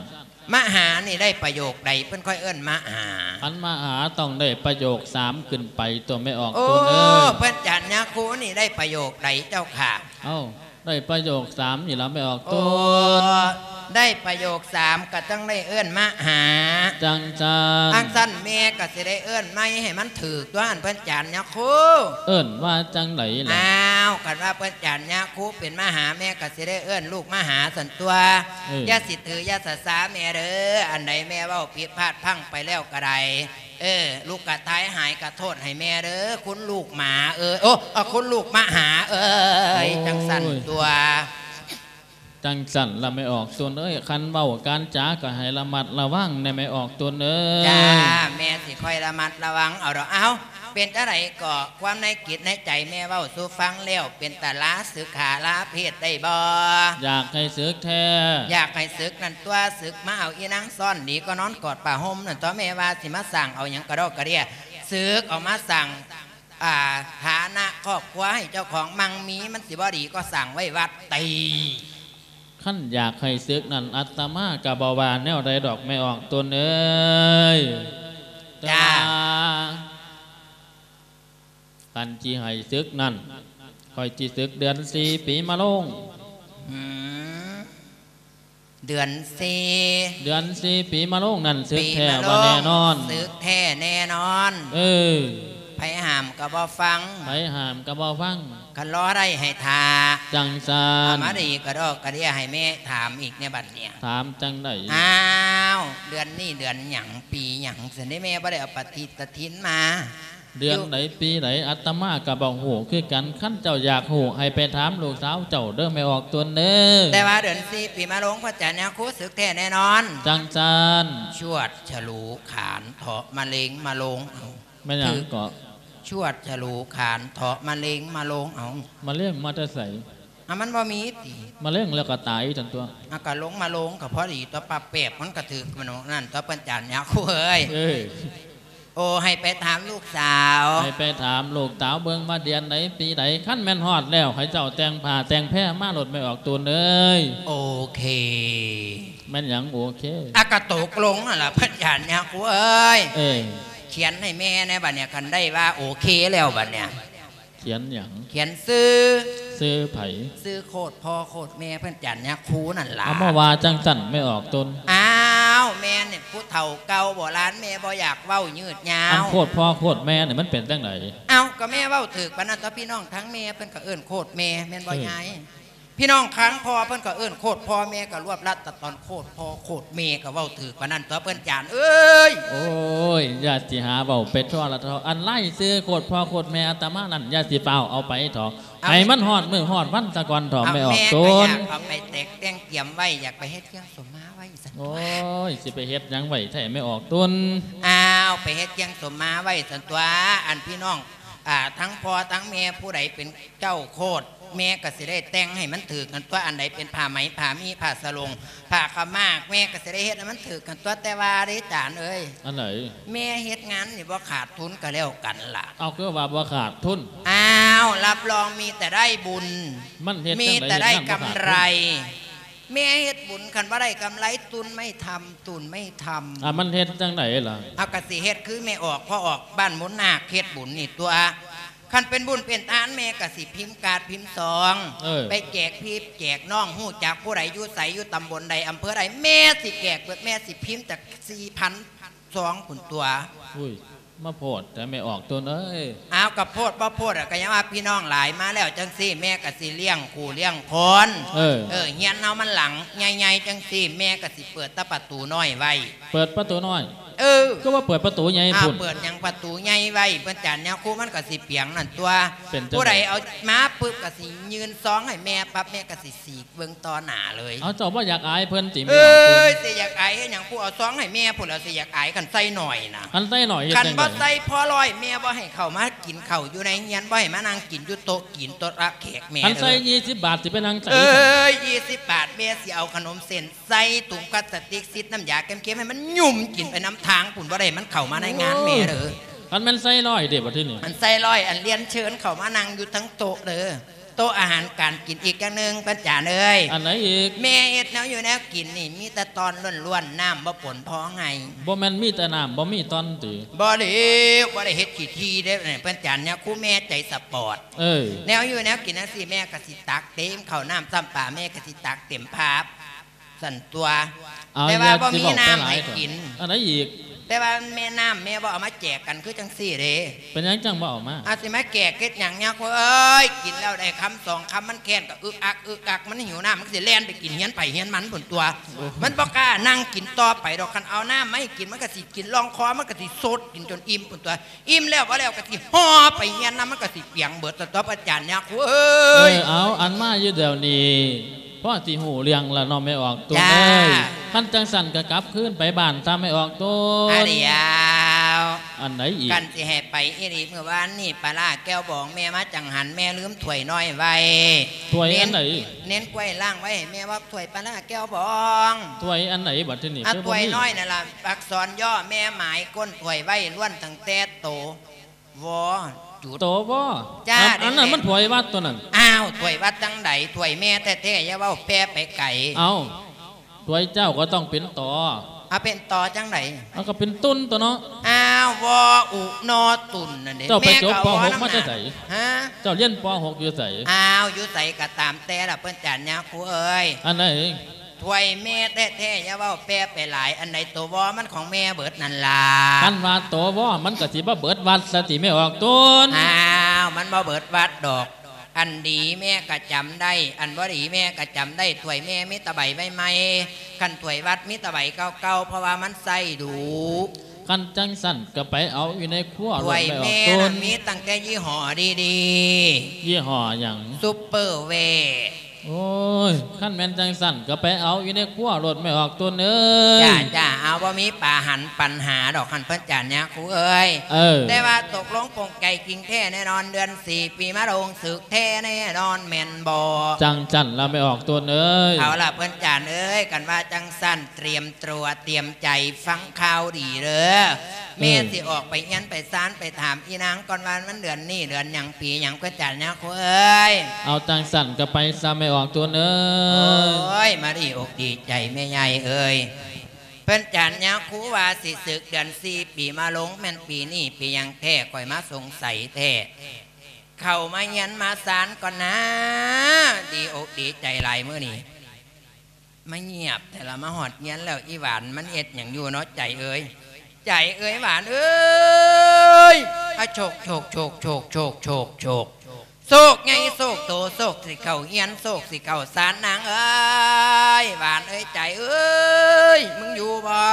ມະຫານີ້ໄດ້ປະໂຫຍກໃດ ເພິ່ນຄ່ອຍເອີ້ນມະຫາ? ອັນມະຫາຕ້ອງໄດ້ປະໂຫຍກສາມຂຶ້ນໄປຕົວະ ແມ່ອອກຕຸນເອີຍ. ໂອ້ ເພິ່ນຈານຍາຄູນີ້ໄດ້ປະໂຫຍກໃດເຈົ້າຂ້າ? ເອົ້າ ໄດ້ປະໂຫຍກສາມນີ້ລະ ແມ່ອອກຕຸນ. ໂອ້ ໄດ້ປະໂຫຍກສາມ ກໍຕ້ອງໄດ້ເອີ້ນມະຫາ. ຈັ່ງຊັ້ນ ຈັ່ງຊັ້ນແມ່ກໍຊິໄດ້ເອີ້ນໃໝ່ໃຫ້ມັນຖືກຕົວະ ອັນເພິ່ນຈານຍາຄູ. ເອີ້ນວ່າຈັ່ງໃດລະ? ອ້າວ ຄັນວ່າເພິ່ນຈານຍາຄູເປັນມະຫາ ແມ່ກໍຊິໄດ້ເອີ້ນລູກມະຫາຊັ້ນຕົວະ. ເອີ ຢ່າຊິຖືຢ່າສາສາແມ່ເດີ ອັນໃດແມ່ເວົ້າຜິດພາດພັ້ງໄປແລ້ວກໍໄດ້ ເອີ ລູກກະຕາຍຫາຍກະໂທດໃຫ້ແມ່ເດີ ຄຸນລູກໝາເອີຍ ໂອ້ ເອີ ຄຸນລູກມະຫາເອີຍ. ໂອ້ຍ ຈັ່ງຊັ້ນຕົວະ. ຈັ່ງຊັ້ນລະແມ່ອອກຕົນເອີຍ ຄັນເວົ້າການຈາກໍໃຫ້ລະມັດລະວັງແດ່ແມ່ອອກຕົນເອີຍ. ຈ້າ ແມ່ຊິຄອຍລະມັດລະວັງເອົາດອກ. ເອົ້າ ເປັນຈັ່ງໃດກໍຄວາມໃນຈິດໃນໃຈແມ່ເວົ້າສູ່ຟັງແລ້ວ ເປັນຕາລາສຶກຂາລາເພດໄດ້ບໍ່? ຢາກໃຫ້ສຶກແທ້. ຢາກໃຫ້ສຶກນັ້ນຕົວະ ສຶກມາເອົາອີນາງຊ້ອນດີກວ່ານອນກອດຜ້າຫົ່ມນັ້ນຕົວະ. ແມ່ວ່າຊິມາສ້າງເອົາຫຍັງກະດອກກະເດຍ ສຶກອອກມາສ້າງ ອ່າ ຖານະຄອບຄົວໃຫ້ເຈົ້າຂອງມັ່ງມີ ມັນຊິບໍ່ດີກວ່າສ້າງໄວ້ວັດຕິ? ຄັນຢາກໃຫ້ສຶກນັ້ນ ອາດຕະມາກໍບໍ່ວ່າແນວໃດດອກແມ່ອອກຕົນເອີຍ. ແຕ່ວ່າ ຈ້າ ຄັນຊິໃຫ້ສຶກນັ້ນ ຂ້ອຍຊິສຶກເດືອນສີ່ປີມະໂລງ. ອືມ ເດືອນສີ່ ເດືອນສີ່ປີມະໂລງນັ້ນ ສຶກແທ້ບໍ່ແນ່ນອນ? ປີມະໂລງ ສຶກແທ້ແນ່ນອນ. ເອີ ໃຜຫ້າມກໍບໍ່ຟັງ ໃຜຫ້າມກໍບໍ່ຟັງ. ຄັນລໍໄດ້ໃຫ້ຖ້າ ຈັ່ງຊັ້ນ ເອົາມາດີກະດອກກະເດຍໃຫ້ແມ່ຖາມອີກແນ່ບັດນີ້. ຖາມຈັ່ງໃດ? ອ້າວ ເດືອນນີ້ເດືອນຫຍັງ ປີຫຍັງຊັ້ນເດ ແມ່ບໍ່ໄດ້ເອົາປະຕິດຕະທິນມາ. ເດືອນໃດປີໃດ ອາດຕະມາກໍບໍ່ຮູ້ຄືກັນ. ຄັນເຈົ້າຢາກຮູ້ ໃຫ້ໄປຖາມລູກສາວເຈົ້າເດີແມ່ອອກຕົນເດີ. ແຕ່ວ່າເດືອນສີ່ປີມະໂລງ ພະອາຈານຍາຄູ ສຶກແທ້ແນ່ນອນ. ຈັ່ງຊັ້ນ ຊວດສະຫຼູຂານເຖາະ ມະເລັງມະໂລງເອົາ. ແມ່ນຫຍັງເກາະ? ຊວດສະຫຼູຂານເຖາະ ມະເລັງມະໂລງເອົາ. ມະເລັງມາແຕ່ໃສ? ອາ ມັນບໍ່ມີຕິ? ມະເລັງແລ້ວກໍຕາຍຊັ້ນຕົວະ. ອາ ກະລົງມະໂລງກໍພໍດີຕົວະ ປັບແປບມັນກໍຖືກ ມັນນັ້ນຕົວະ ເພິ່ນຈານຍາຄູເອີຍ. ເອີ ໂອ້ ໃຫ້ໄປຖາມລູກສາວ ໃຫ້ໄປຖາມລູກສາວເບິ່ງວ່າເດືອນໃດປີໃດ. ຄັນແມ່ນຮອດແລ້ວ ໃຫ້ເຈົ້າແຕ່ງຜ້າແຕ່ງແພມາໂລດແມ່ອອກຕົນເອີຍ. ໂອເຄ. ແມ່ນຫຍັງໂອເຄ? ອາ ກະຕົກລົງຫັ້ນລະ ພະອາຈານຍາຄູເອີຍ. ເອີ ຂຽນໃຫ້ແມ່ແນ່ບັດນີ້ ຄັນໄດ້ວ່າໂອເຄແລ້ວບັດນີ້. ຂຽນຫຍັງ? ຂຽນຊື່. ຊື່ໃຜ? ຊື່ໂຄດພໍ່ໂຄດແມ່ເພິ່ນ ອາຈານຍາຄູນັ້ນລະ. ເອົາມາວ່າຈັ່ງຊັ້ນແມ່ອອກຕົນ. ອ້າວ ແມ່ນີ້ຜູ້ເຖົ້າເກົ່າໂບລານ ແມ່ບໍ່ຢາກເວົ້າຍືດຍາວ. ອັນໂຄດພໍ່ໂຄດແມ່ນີ້ມັນເປັນຈັ່ງໃດ? ເອົ້າ ກໍແມ່ເວົ້າຖືກປານນັ້ນຕົວະ ພີ່ນ້ອງທາງແມ່ເພິ່ນກໍເອີ້ນໂຄດແມ່ ແມ່ນບໍ່ຍາຍ? ເອີ ພີ່ນ້ອງຂ້າງພໍ່ເພິ່ນກໍເອີ້ນໂຄດພໍ່ ແມ່ກໍລວບລັດຕະຕອນໂຄດພໍ່ໂຄດແມ່ ກໍເວົ້າຖືກປານນັ້ນຕົວະ ເພິ່ນຈານເອີຍ. ໂອ້ຍ ຢ່າຊິຫາເວົ້າໄປທົ່ວລະເຖາະ. ອັນລາຍຊື່ໂຄດພໍ່ໂຄດແມ່ອາດຕະມານັ້ນ ຢ່າຊິຟ້າວເອົາໄປເຖາະ. ເອົາ ໃຫ້ມັນຮອດມື້ຮອດວັນສາກ່ອນເຖາະ ເອົາ ແມ່ອອກຕົນ. ແມ່ກໍຢາກເອົາໄປແຕກແຕ່ງກຽມໄວ້ ຢາກໄປເຮັດເຄື່ອງສົມມາໄວ້ຊັ້ນ. ໂອ້ຍ ຊິໄປເຮັດຫຍັງໄວ້ແທ້ແມ່ອອກຕົນ? ອ້າວ ໄປເຮັດເຄື່ອງສົມມາໄວ້ຊັ້ນຕົວະ. ອັນພີ່ນ້ອງ ອ່າ ທັງພໍ່ທັງແມ່ ຜູ້ໃດເປັນເຈົ້າໂຄດ ແມ່ກໍຊິໄດ້ແຕ່ງໃຫ້ມັນຖືກກັນຕົວະ. ອັນໃດເປັນຜ້າໄໝ ຜ້າມີ້ ຜ້າສະໂຫຼງ ຜ້າຂາວມ້າ ແມ່ກໍຊິໄດ້ເຮັດໃຫ້ມັນຖືກກັນຕົວະ. ແຕ່ວ່າເດ້ຈານເອີຍ. ອັນໃດ? ແມ່ເຮັດງານນີ້ບໍ່ຂາດທຶນກໍແລ້ວກັນລະ. ເອົາ ຄືວ່າບໍ່ຂາດທຶນ? ອ້າວ ຮັບຮອງມີແຕ່ໄດ້ບຸນ ມັນເຮັດ ມີແຕ່ໄດ້ກຳໄລ. ແມ່ເຮັດບຸນ ຄັນບໍ່ໄດ້ກຳໄລ ຕຸນໄມ່ທຳ ຕຸນໄມ່ທຳ. ອ່າ ມັນເຮັດຈັ່ງໃດລະ? ເຮົາກໍຊິເຮັດຄືແມ່ອອກ ພໍ່ອອກ ບ້ານມູນນາກເຮັດບຸນນີ້ຕົວະ. ຄັນເປັນບຸນເປັນທານ ແມ່ກໍຊິພິມກາດພິມຊອງ ເອີ ໄປແຈກພີ່ແຈກນ້ອງ ຮູ້ຈັກຜູ້ໃດຢູ່ໃສ ຢູ່ຕຳບົນໃດ ອຳເພີໃດ ແມ່ຊິແຈກເບິດ. ແມ່ຊິພິມຈັກສີ່ພັນຊອງພຸ້ນຕົວະ. ອຸ້ຍ ມາໂພດແທ້ແມ່ອອກຕົນເອີຍ. ອ້າວ ກໍໂພດບໍ່ໂພດອະ ກໍຍັງວ່າພີ່ນ້ອງຫຼາຍມາແລ້ວຈັ່ງຊີ້ ແມ່ກໍຊິລ້ຽງຄູ່ລ້ຽງຄົນ. ເອີ ເອີ ຮຽນເຮົາມັນຫຼັງໃຫຍ່ໆ ຈັ່ງຊີ້ ແມ່ກໍຊິເປີດແຕ່ປະຕູນ້ອຍໄວ້. ເປີດປະຕູນ້ອຍ? ເອີ ຄືວ່າເປີດປະຕູໃຫຍ່ພຸ້ນ? ອ້າວ ເປີດຫຍັງປະຕູໃຫຍ່ໄວ້ ເພິ່ນຈານຍາຄູ ມັນກໍຊິປຽງນັ້ນຕົວະ. ເປັນຈັ່ງໃດ? ຜູ້ໃດເອົາມາປຶບ ກໍຊິຍື່ນຊອງໃຫ້ແມ່ປັບ ແມ່ກໍຊິສີກ ເບິ່ງຕໍ່ໜ້າເລີຍ. ເອົາ ເຈົ້າບໍ່ຢາກອາຍເພິ່ນຕິ? ເອີຍ ຊິຢາກອາຍເຮັດຫຍັງ? ຜູ້ເອົາຊອງໃຫ້ແມ່ພຸ້ນແຫຼ້ວ ຊິຢາກອາຍ ຄັນໃສ່ໜ້ອຍນະ. ຄັນໃສ່ໜ້ອຍເຮັດຈັ່ງໃດ? ຄັນບໍ່ໃສ່ພໍຮ້ອຍ ແມ່ບໍ່ໃຫ້ເຂົ້າມາກິນເຂົ້າຢູ່ໃນເຮືອນ ບໍ່ໃຫ້ມານັ່ງກິນຢູ່ໂຕະ ກິນໂຕະລະແຂກແມ່. ຄັນໃສ່ ເອີ ຍີ່ສິບບາດ ຊິໄປນັ່ງໃສ? ເອີຍ ຍີ່ສິບບາດ ແມ່ຊິເອົາຂະໜົມເສັ້ນໃສ່ຖົງພລາສຕິກ ຊິດນ້ຳຢາເຄັມໆ ໃຫ້ມັນຫຍຸ້ມກິນໄປນຳທາງພຸ້ນ ບໍ່ໄດ້ມັນເຂົ້າມາໃນງານແມ່ເດີ. ໂອ້ຍ ຄັນແມ່ນໃສ່ຮ້ອຍເດ ບັດທີນີ້? ອັນໃສ່ຮ້ອຍ ອັນລຽນເຊີນເຂົ້າມານັ່ງຢູ່ທັງໂຕະເດີ. ໂຕະອາຫານການກິນອີກຢ່າງໜຶ່ງ ເພິ່ນຈານເອີຍ. ອັນໃດອີກ? ແມ່ເຮັດແນວຢູ່ແນວກິນນີ້ ມີແຕ່ຕອນລ້ວນໆ ນ້ຳບໍ່ປົນພໍໃຫ້. ບໍ່ແມ່ນມີແຕ່ນ້ຳ ບໍ່ມີຕອນຕິ? ບໍ່ເລີຍ ບໍ່ໄດ້ເຮັດຂີ້ຖີ່ເດ້ ເພິ່ນຈານຍາຄູ ແມ່ໃຈສະປອດ. ເອີ ແນວຢູ່ແນວກິນຈັ່ງຊີ້ ແມ່ກໍຊິຕັກເຕັມ ເຂົ້ານ້ຳຊ້ຳປາ ແມ່ກໍຊິຕັກເຕັມພາບ. ຊັ້ນຕົວະ ເອົາ ແຕ່ວ່າບໍ່ມີນ້ຳໃຫ້ກິນ. ອັນໃດອີກ? ແຕ່ວ່າແມ່ນ້ຳແມ່ບໍ່ເອົາມາແຈກກັນຄືຈັ່ງຊີ້ເດ້. ເປັນຫຍັງຈັ່ງບໍ່ເອົາມາ? ອາ ຊິມາແຈກເຮັດຫຍັງຍາຄູເອີຍ? ກິນແລ້ວໄດ້ຄຳສອງຄຳ ມັນແຄ້ນກໍອຶກອັກອຶກອັກ ມັນຫິວນ້ຳ ມັນກໍຊິແລ່ນໄປກິນເຮືອນໃຜເຮືອນມັນພຸ້ນຕົວະ. ໂອ້ ມັນບໍ່ກ້ານັ່ງກິນຕໍ່ໄປດອກ. ຄັນເອົານ້ຳມາໃຫ້ກິນ ມັນກໍຊິກິນລ່ອງຄໍ ມັນກໍຊິສົດກິນຈົນອີ່ມພຸ້ນຕົວະ. ອີ່ມແລ້ວບໍ່ແລ້ວກໍຊິຫໍ່ໄປເຮືອນນຳ ມັນກໍຊິປຽງເບິດ ສະຕັອບອາຈານຍາຄູເອີຍ. ເອີ ເອົາ ອັນມາຢູ່ດຽວນີ້ ພໍຊິຮູ້ເລື່ອງລະເນາະ ແມ່ອອກຕົນເອີຍ. ຄັນຈັ່ງຊັ້ນກໍກັບຄືນໄປບ້ານຊະ ແມ່ອອກຕົນ. ອາດຽວ ອັນໃດອີກ? ຄັນຊິໃຫ້ໄປອີ່ຫຼີ ມື້ວານນີ້ປາຫຼ້າແກ້ວບອງແມ່ມາຈັງຫັນ ແມ່ລືມຖ້ວຍນ້ອຍໄວ້. ຖ້ວຍອັນໃດ? ເນັ້ນ ເນັ້ນກ້ວຍລ້າງໄວ້ໃຫ້ແມ່ວ່າ ຖ້ວຍປາຫຼ້າແກ້ວບອງ. ຖ້ວຍອັນໃດບັດທີນີ້? ອາ ຖ້ວຍນ້ອຍນັ້ນລະ ອັກສອນຍໍ ແມ່ໝາຍກົ້ນຖ້ວຍໄວ້ ລ້ວນຕັ້ງແຕ່ໂຕ ວ ຈຸດ ໂຕ ວ. ຈ້າ ອັນ ອັນນັ້ນມັນຖ້ວຍວັດຕົວນັ້ນ. ອ້າວ ຖ້ວຍວັດຈັ່ງໃດ? ຖ້ວຍແມ່ແທ້ໆ ຢ່າເວົ້າແປໄປໄກ. ເອົ້າ ຖ້ວຍເຈົ້າກໍຕ້ອງເປັນຕໍ. ອາ ເປັນຕໍຈັ່ງໃດ? ເອົາ ກໍເປັນຕຸນຕົວເນາະ. ອ້າວ ວ ອຸ ນ ຕຸນ ນັ້ນເດ້. ເຈົ້າໄປຈົບ ປ.ຫົກ ມາແຕ່ໃສ? ຮະ? ເຈົ້າຮຽນ ປ.ຫົກ ຢູ່ໃສ? ອ້າວ ຢູ່ໃສກໍຕາມແຕ່ລະ ເພິ່ນຈານຍາຄູເອີຍ. ອັນໃດ? ຖ້ວຍແມ່ແທ້ໆ ຢ່າເວົ້າແປໄປຫຼາຍ. ອັນໃດໂຕວໍມັນຂອງແມ່ເບິດນັ້ນລະ. ຄັນວ່າໂຕວໍມັນກໍຊິບໍ່ເບິດວັດຊະຕິ ແມ່ອອກຕົນ. ອ້າວ ມັນບໍ່ເບິດວັດດອກ. ອັນດີແມ່ກໍຈຳໄດ້ ອັນບໍ່ດີແມ່ກໍຈຳໄດ້. ຖ້ວຍແມ່ມີແຕ່ໃບໃໝ່ໆ ຄັນຖ້ວຍວັດມີແຕ່ໃບເກົ່າໆ ເພາະວ່າມັນໃຊ້ດຸ. ຄັນຈັ່ງຊັ້ນກໍໄປເອົາຢູ່ໃນຄົວໂລດ ແມ່ອອກຕົນ. ຖ້ວຍແມ່ນະ ມີຕັ້ງແຕ່ຍີ່ຫໍ້ດີໆ. ຍີ່ຫໍ້ຫຍັງ? ຊຸບເປີແວ. ໂອ້ຍ ຄັນແມ່ນຈັ່ງຊັ້ນກໍໄປເອົາຢູ່ໃນຄົວໂລດ ແມ່ອອກຕົນເອີຍ. ຈ້າ ຈ້າ ເອົາ ບໍ່ມີປາຫັນປັນຫາດອກ ຄັນເພິ່ນຈານຍາຄູເອີຍ. ເອີ ແຕ່ວ່າຕົກລົງປົງໃຈຈິງແທ້ແນ່ນອນ ເດືອນສີ່ປີມາລົງສຶກແທ້ແນ່ນອນແມ່ນບໍ່? ຈັ່ງຊັ້ນລະ ແມ່ອອກຕົນເອີຍ. ເອົາລະ ເພິ່ນຈານເອີຍ ຄັນວ່າຈັ່ງຊັ້ນ ຕຽມຕົວຕຽມໃຈຟັງຂ່າວດີເດີ. ເອີ ແມ່ຊິອອກໄປເຮືອນໄປຊານ ໄປຖາມອີນາງກ່ອນວ່າມັນເດືອນນີ້ເດືອນຫຍັງ ປີຫຍັງ ເພິ່ນຈານຍາຄູເອີຍ. ເອົາ ຈັ່ງຊັ້ນກໍໄປຊະ ແມ່ອອກຕົນເອີຍ. ໂອ້ຍ ມາດີອົກດີໃຈແມ່ໃຫຍ່ເອີຍ. ເພິ່ນຈານຍາຄູວ່າຊິສຶກເດືອນສີ່ປີມາລົງ ແມ່ນປີນີ້ ປີຫຍັງແທ້ ຂ້ອຍມາສົງໄສແທ້. ເຂົ້າມາເຮືອນມາຊານກ່ອນນາ ດີອົກດີໃຈຫຼາຍມື້ນີ້. ມາງຽບແທ້ລະ ມາຮອດເຮືອນແລ້ວ ອີຫວານມັນເຮັດຫຍັງຢູ່ເນາະ ໃຈເອີຍ. ໃຈເອີຍ ຫວານເອີຍ ອາ ໂຊກ ໂຊກ ໂຊກ ໂຊກ ໂຊກ ໂຊກ ໂຊກ ໂຊກໃຫຍ່ ໂຊກໂຕ ໂຊກຊິເຂົ້າເຮືອນ ໂຊກຊິເຂົ້າຊານ ນາງເອີຍ ຫວານເອີຍ ໃຈເອີຍ ມຶງຢູ່ບໍ່?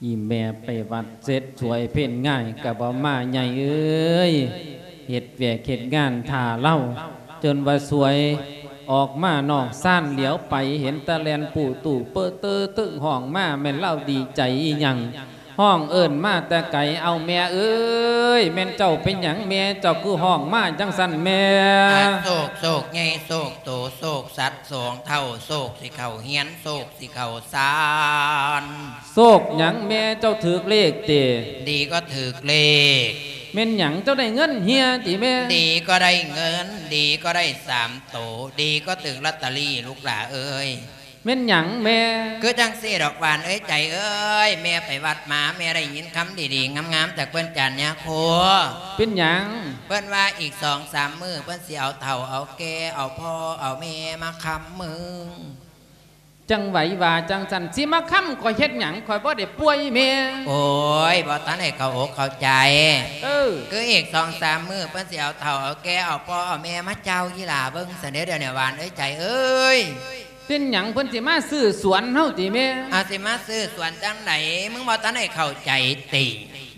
ອີແມ່ໄປວັດເສັດສວຍເພັນງາຍກໍບໍ່ມາ ໃຫຍ່ເອີຍ ເຮັດວຽກເຮັດງານຖ້າລາວ ຈົນວ່າສວຍອອກມານອກຊານ ຫຼຽວໄປເຫັນແຕ່ແລ່ນປູຕູ້ເປີເຕີຕຶ້ງຮ້ອງມາ ແມ່ນລາວດີໃຈອີ່ຫຍັງ ຮ້ອງເອີ້ນມາແຕ່ໄກ. ເອົາ ແມ່ເອີຍ ແມ່ນເຈົ້າເປັນຫຍັງ ແມ່ເຈົ້າຄືຮ້ອງມາຈັ່ງຊັ້ນແມ່? ອາ ໂຊກ ໂຊກໃຫຍ່ ໂຊກໂຕ ໂຊກສັດສອງເທົ້າ ໂຊກຊິເຂົ້າເຮືອນ ໂຊກ ຊິເຂົ້າຊານ. ໂຊກຫຍັງແມ່ ເຈົ້າຖືກເລກຕິ? ດີກໍຖືກເລກ. ແມ່ນຫຍັງ ເຈົ້າໄດ້ເງິນເຮຍຕິແມ່? ດີກໍໄດ້ເງິນ ດີກໍໄດ້ສາມໂຕ ດີກໍຖືກລອດເຕີຣີລູກຫຼ້າເອີຍ. ແມ່ນຫຍັງແມ່? ຄືຈັ່ງຊີ້ດອກ ຫວານເອີຍ ໃຈເອີຍ ແມ່ໄປວັດມາ ແມ່ໄດ້ຍິນຄຳດີໆງາມໆຈາກເພິ່ນຈານຍາຄູ. ເປັນຫຍັງ? ເພິ່ນວ່າອີກສອງສາມມື້ ເພິ່ນຊິເອົາເຖົ້າເອົາແກ່ ເອົາພໍ່ເອົາແມ່ມາຄ້ຳມຶງ. ຈັ່ງໃດວ່າຈັ່ງຊັ້ນ ຊິມາຄ້ຳຂ້ອຍເຮັດຫຍັງ? ຂ້ອຍບໍ່ໄດ້ປ່ວຍແມ່. ໂອ້ຍ ບໍ່ທັນໄດ້ເຂົ້າອົກເຂົ້າໃຈ. ເອີ ຄືອີກສອງສາມມື້ ເພິ່ນຊິເອົາເຖົ້າເອົາແກ່ ເອົາພໍ່ເອົາແມ່ມາຈ່າວອີ່ຫຼ້າເບິ່ງຊັ້ນເດ້ ດຽວນີ້ຫວານເອີຍ ໃຈເອີຍ. ເປັນຫຍັງ ເພິ່ນຊິມາຊື້ສວນເຮົາຕິແມ່? ອາ ຊິມາຊື້ສວນຈັ່ງໃດ? ມຶງບໍ່ທັນໄດ້ເຂົ້າໃຈຕິ?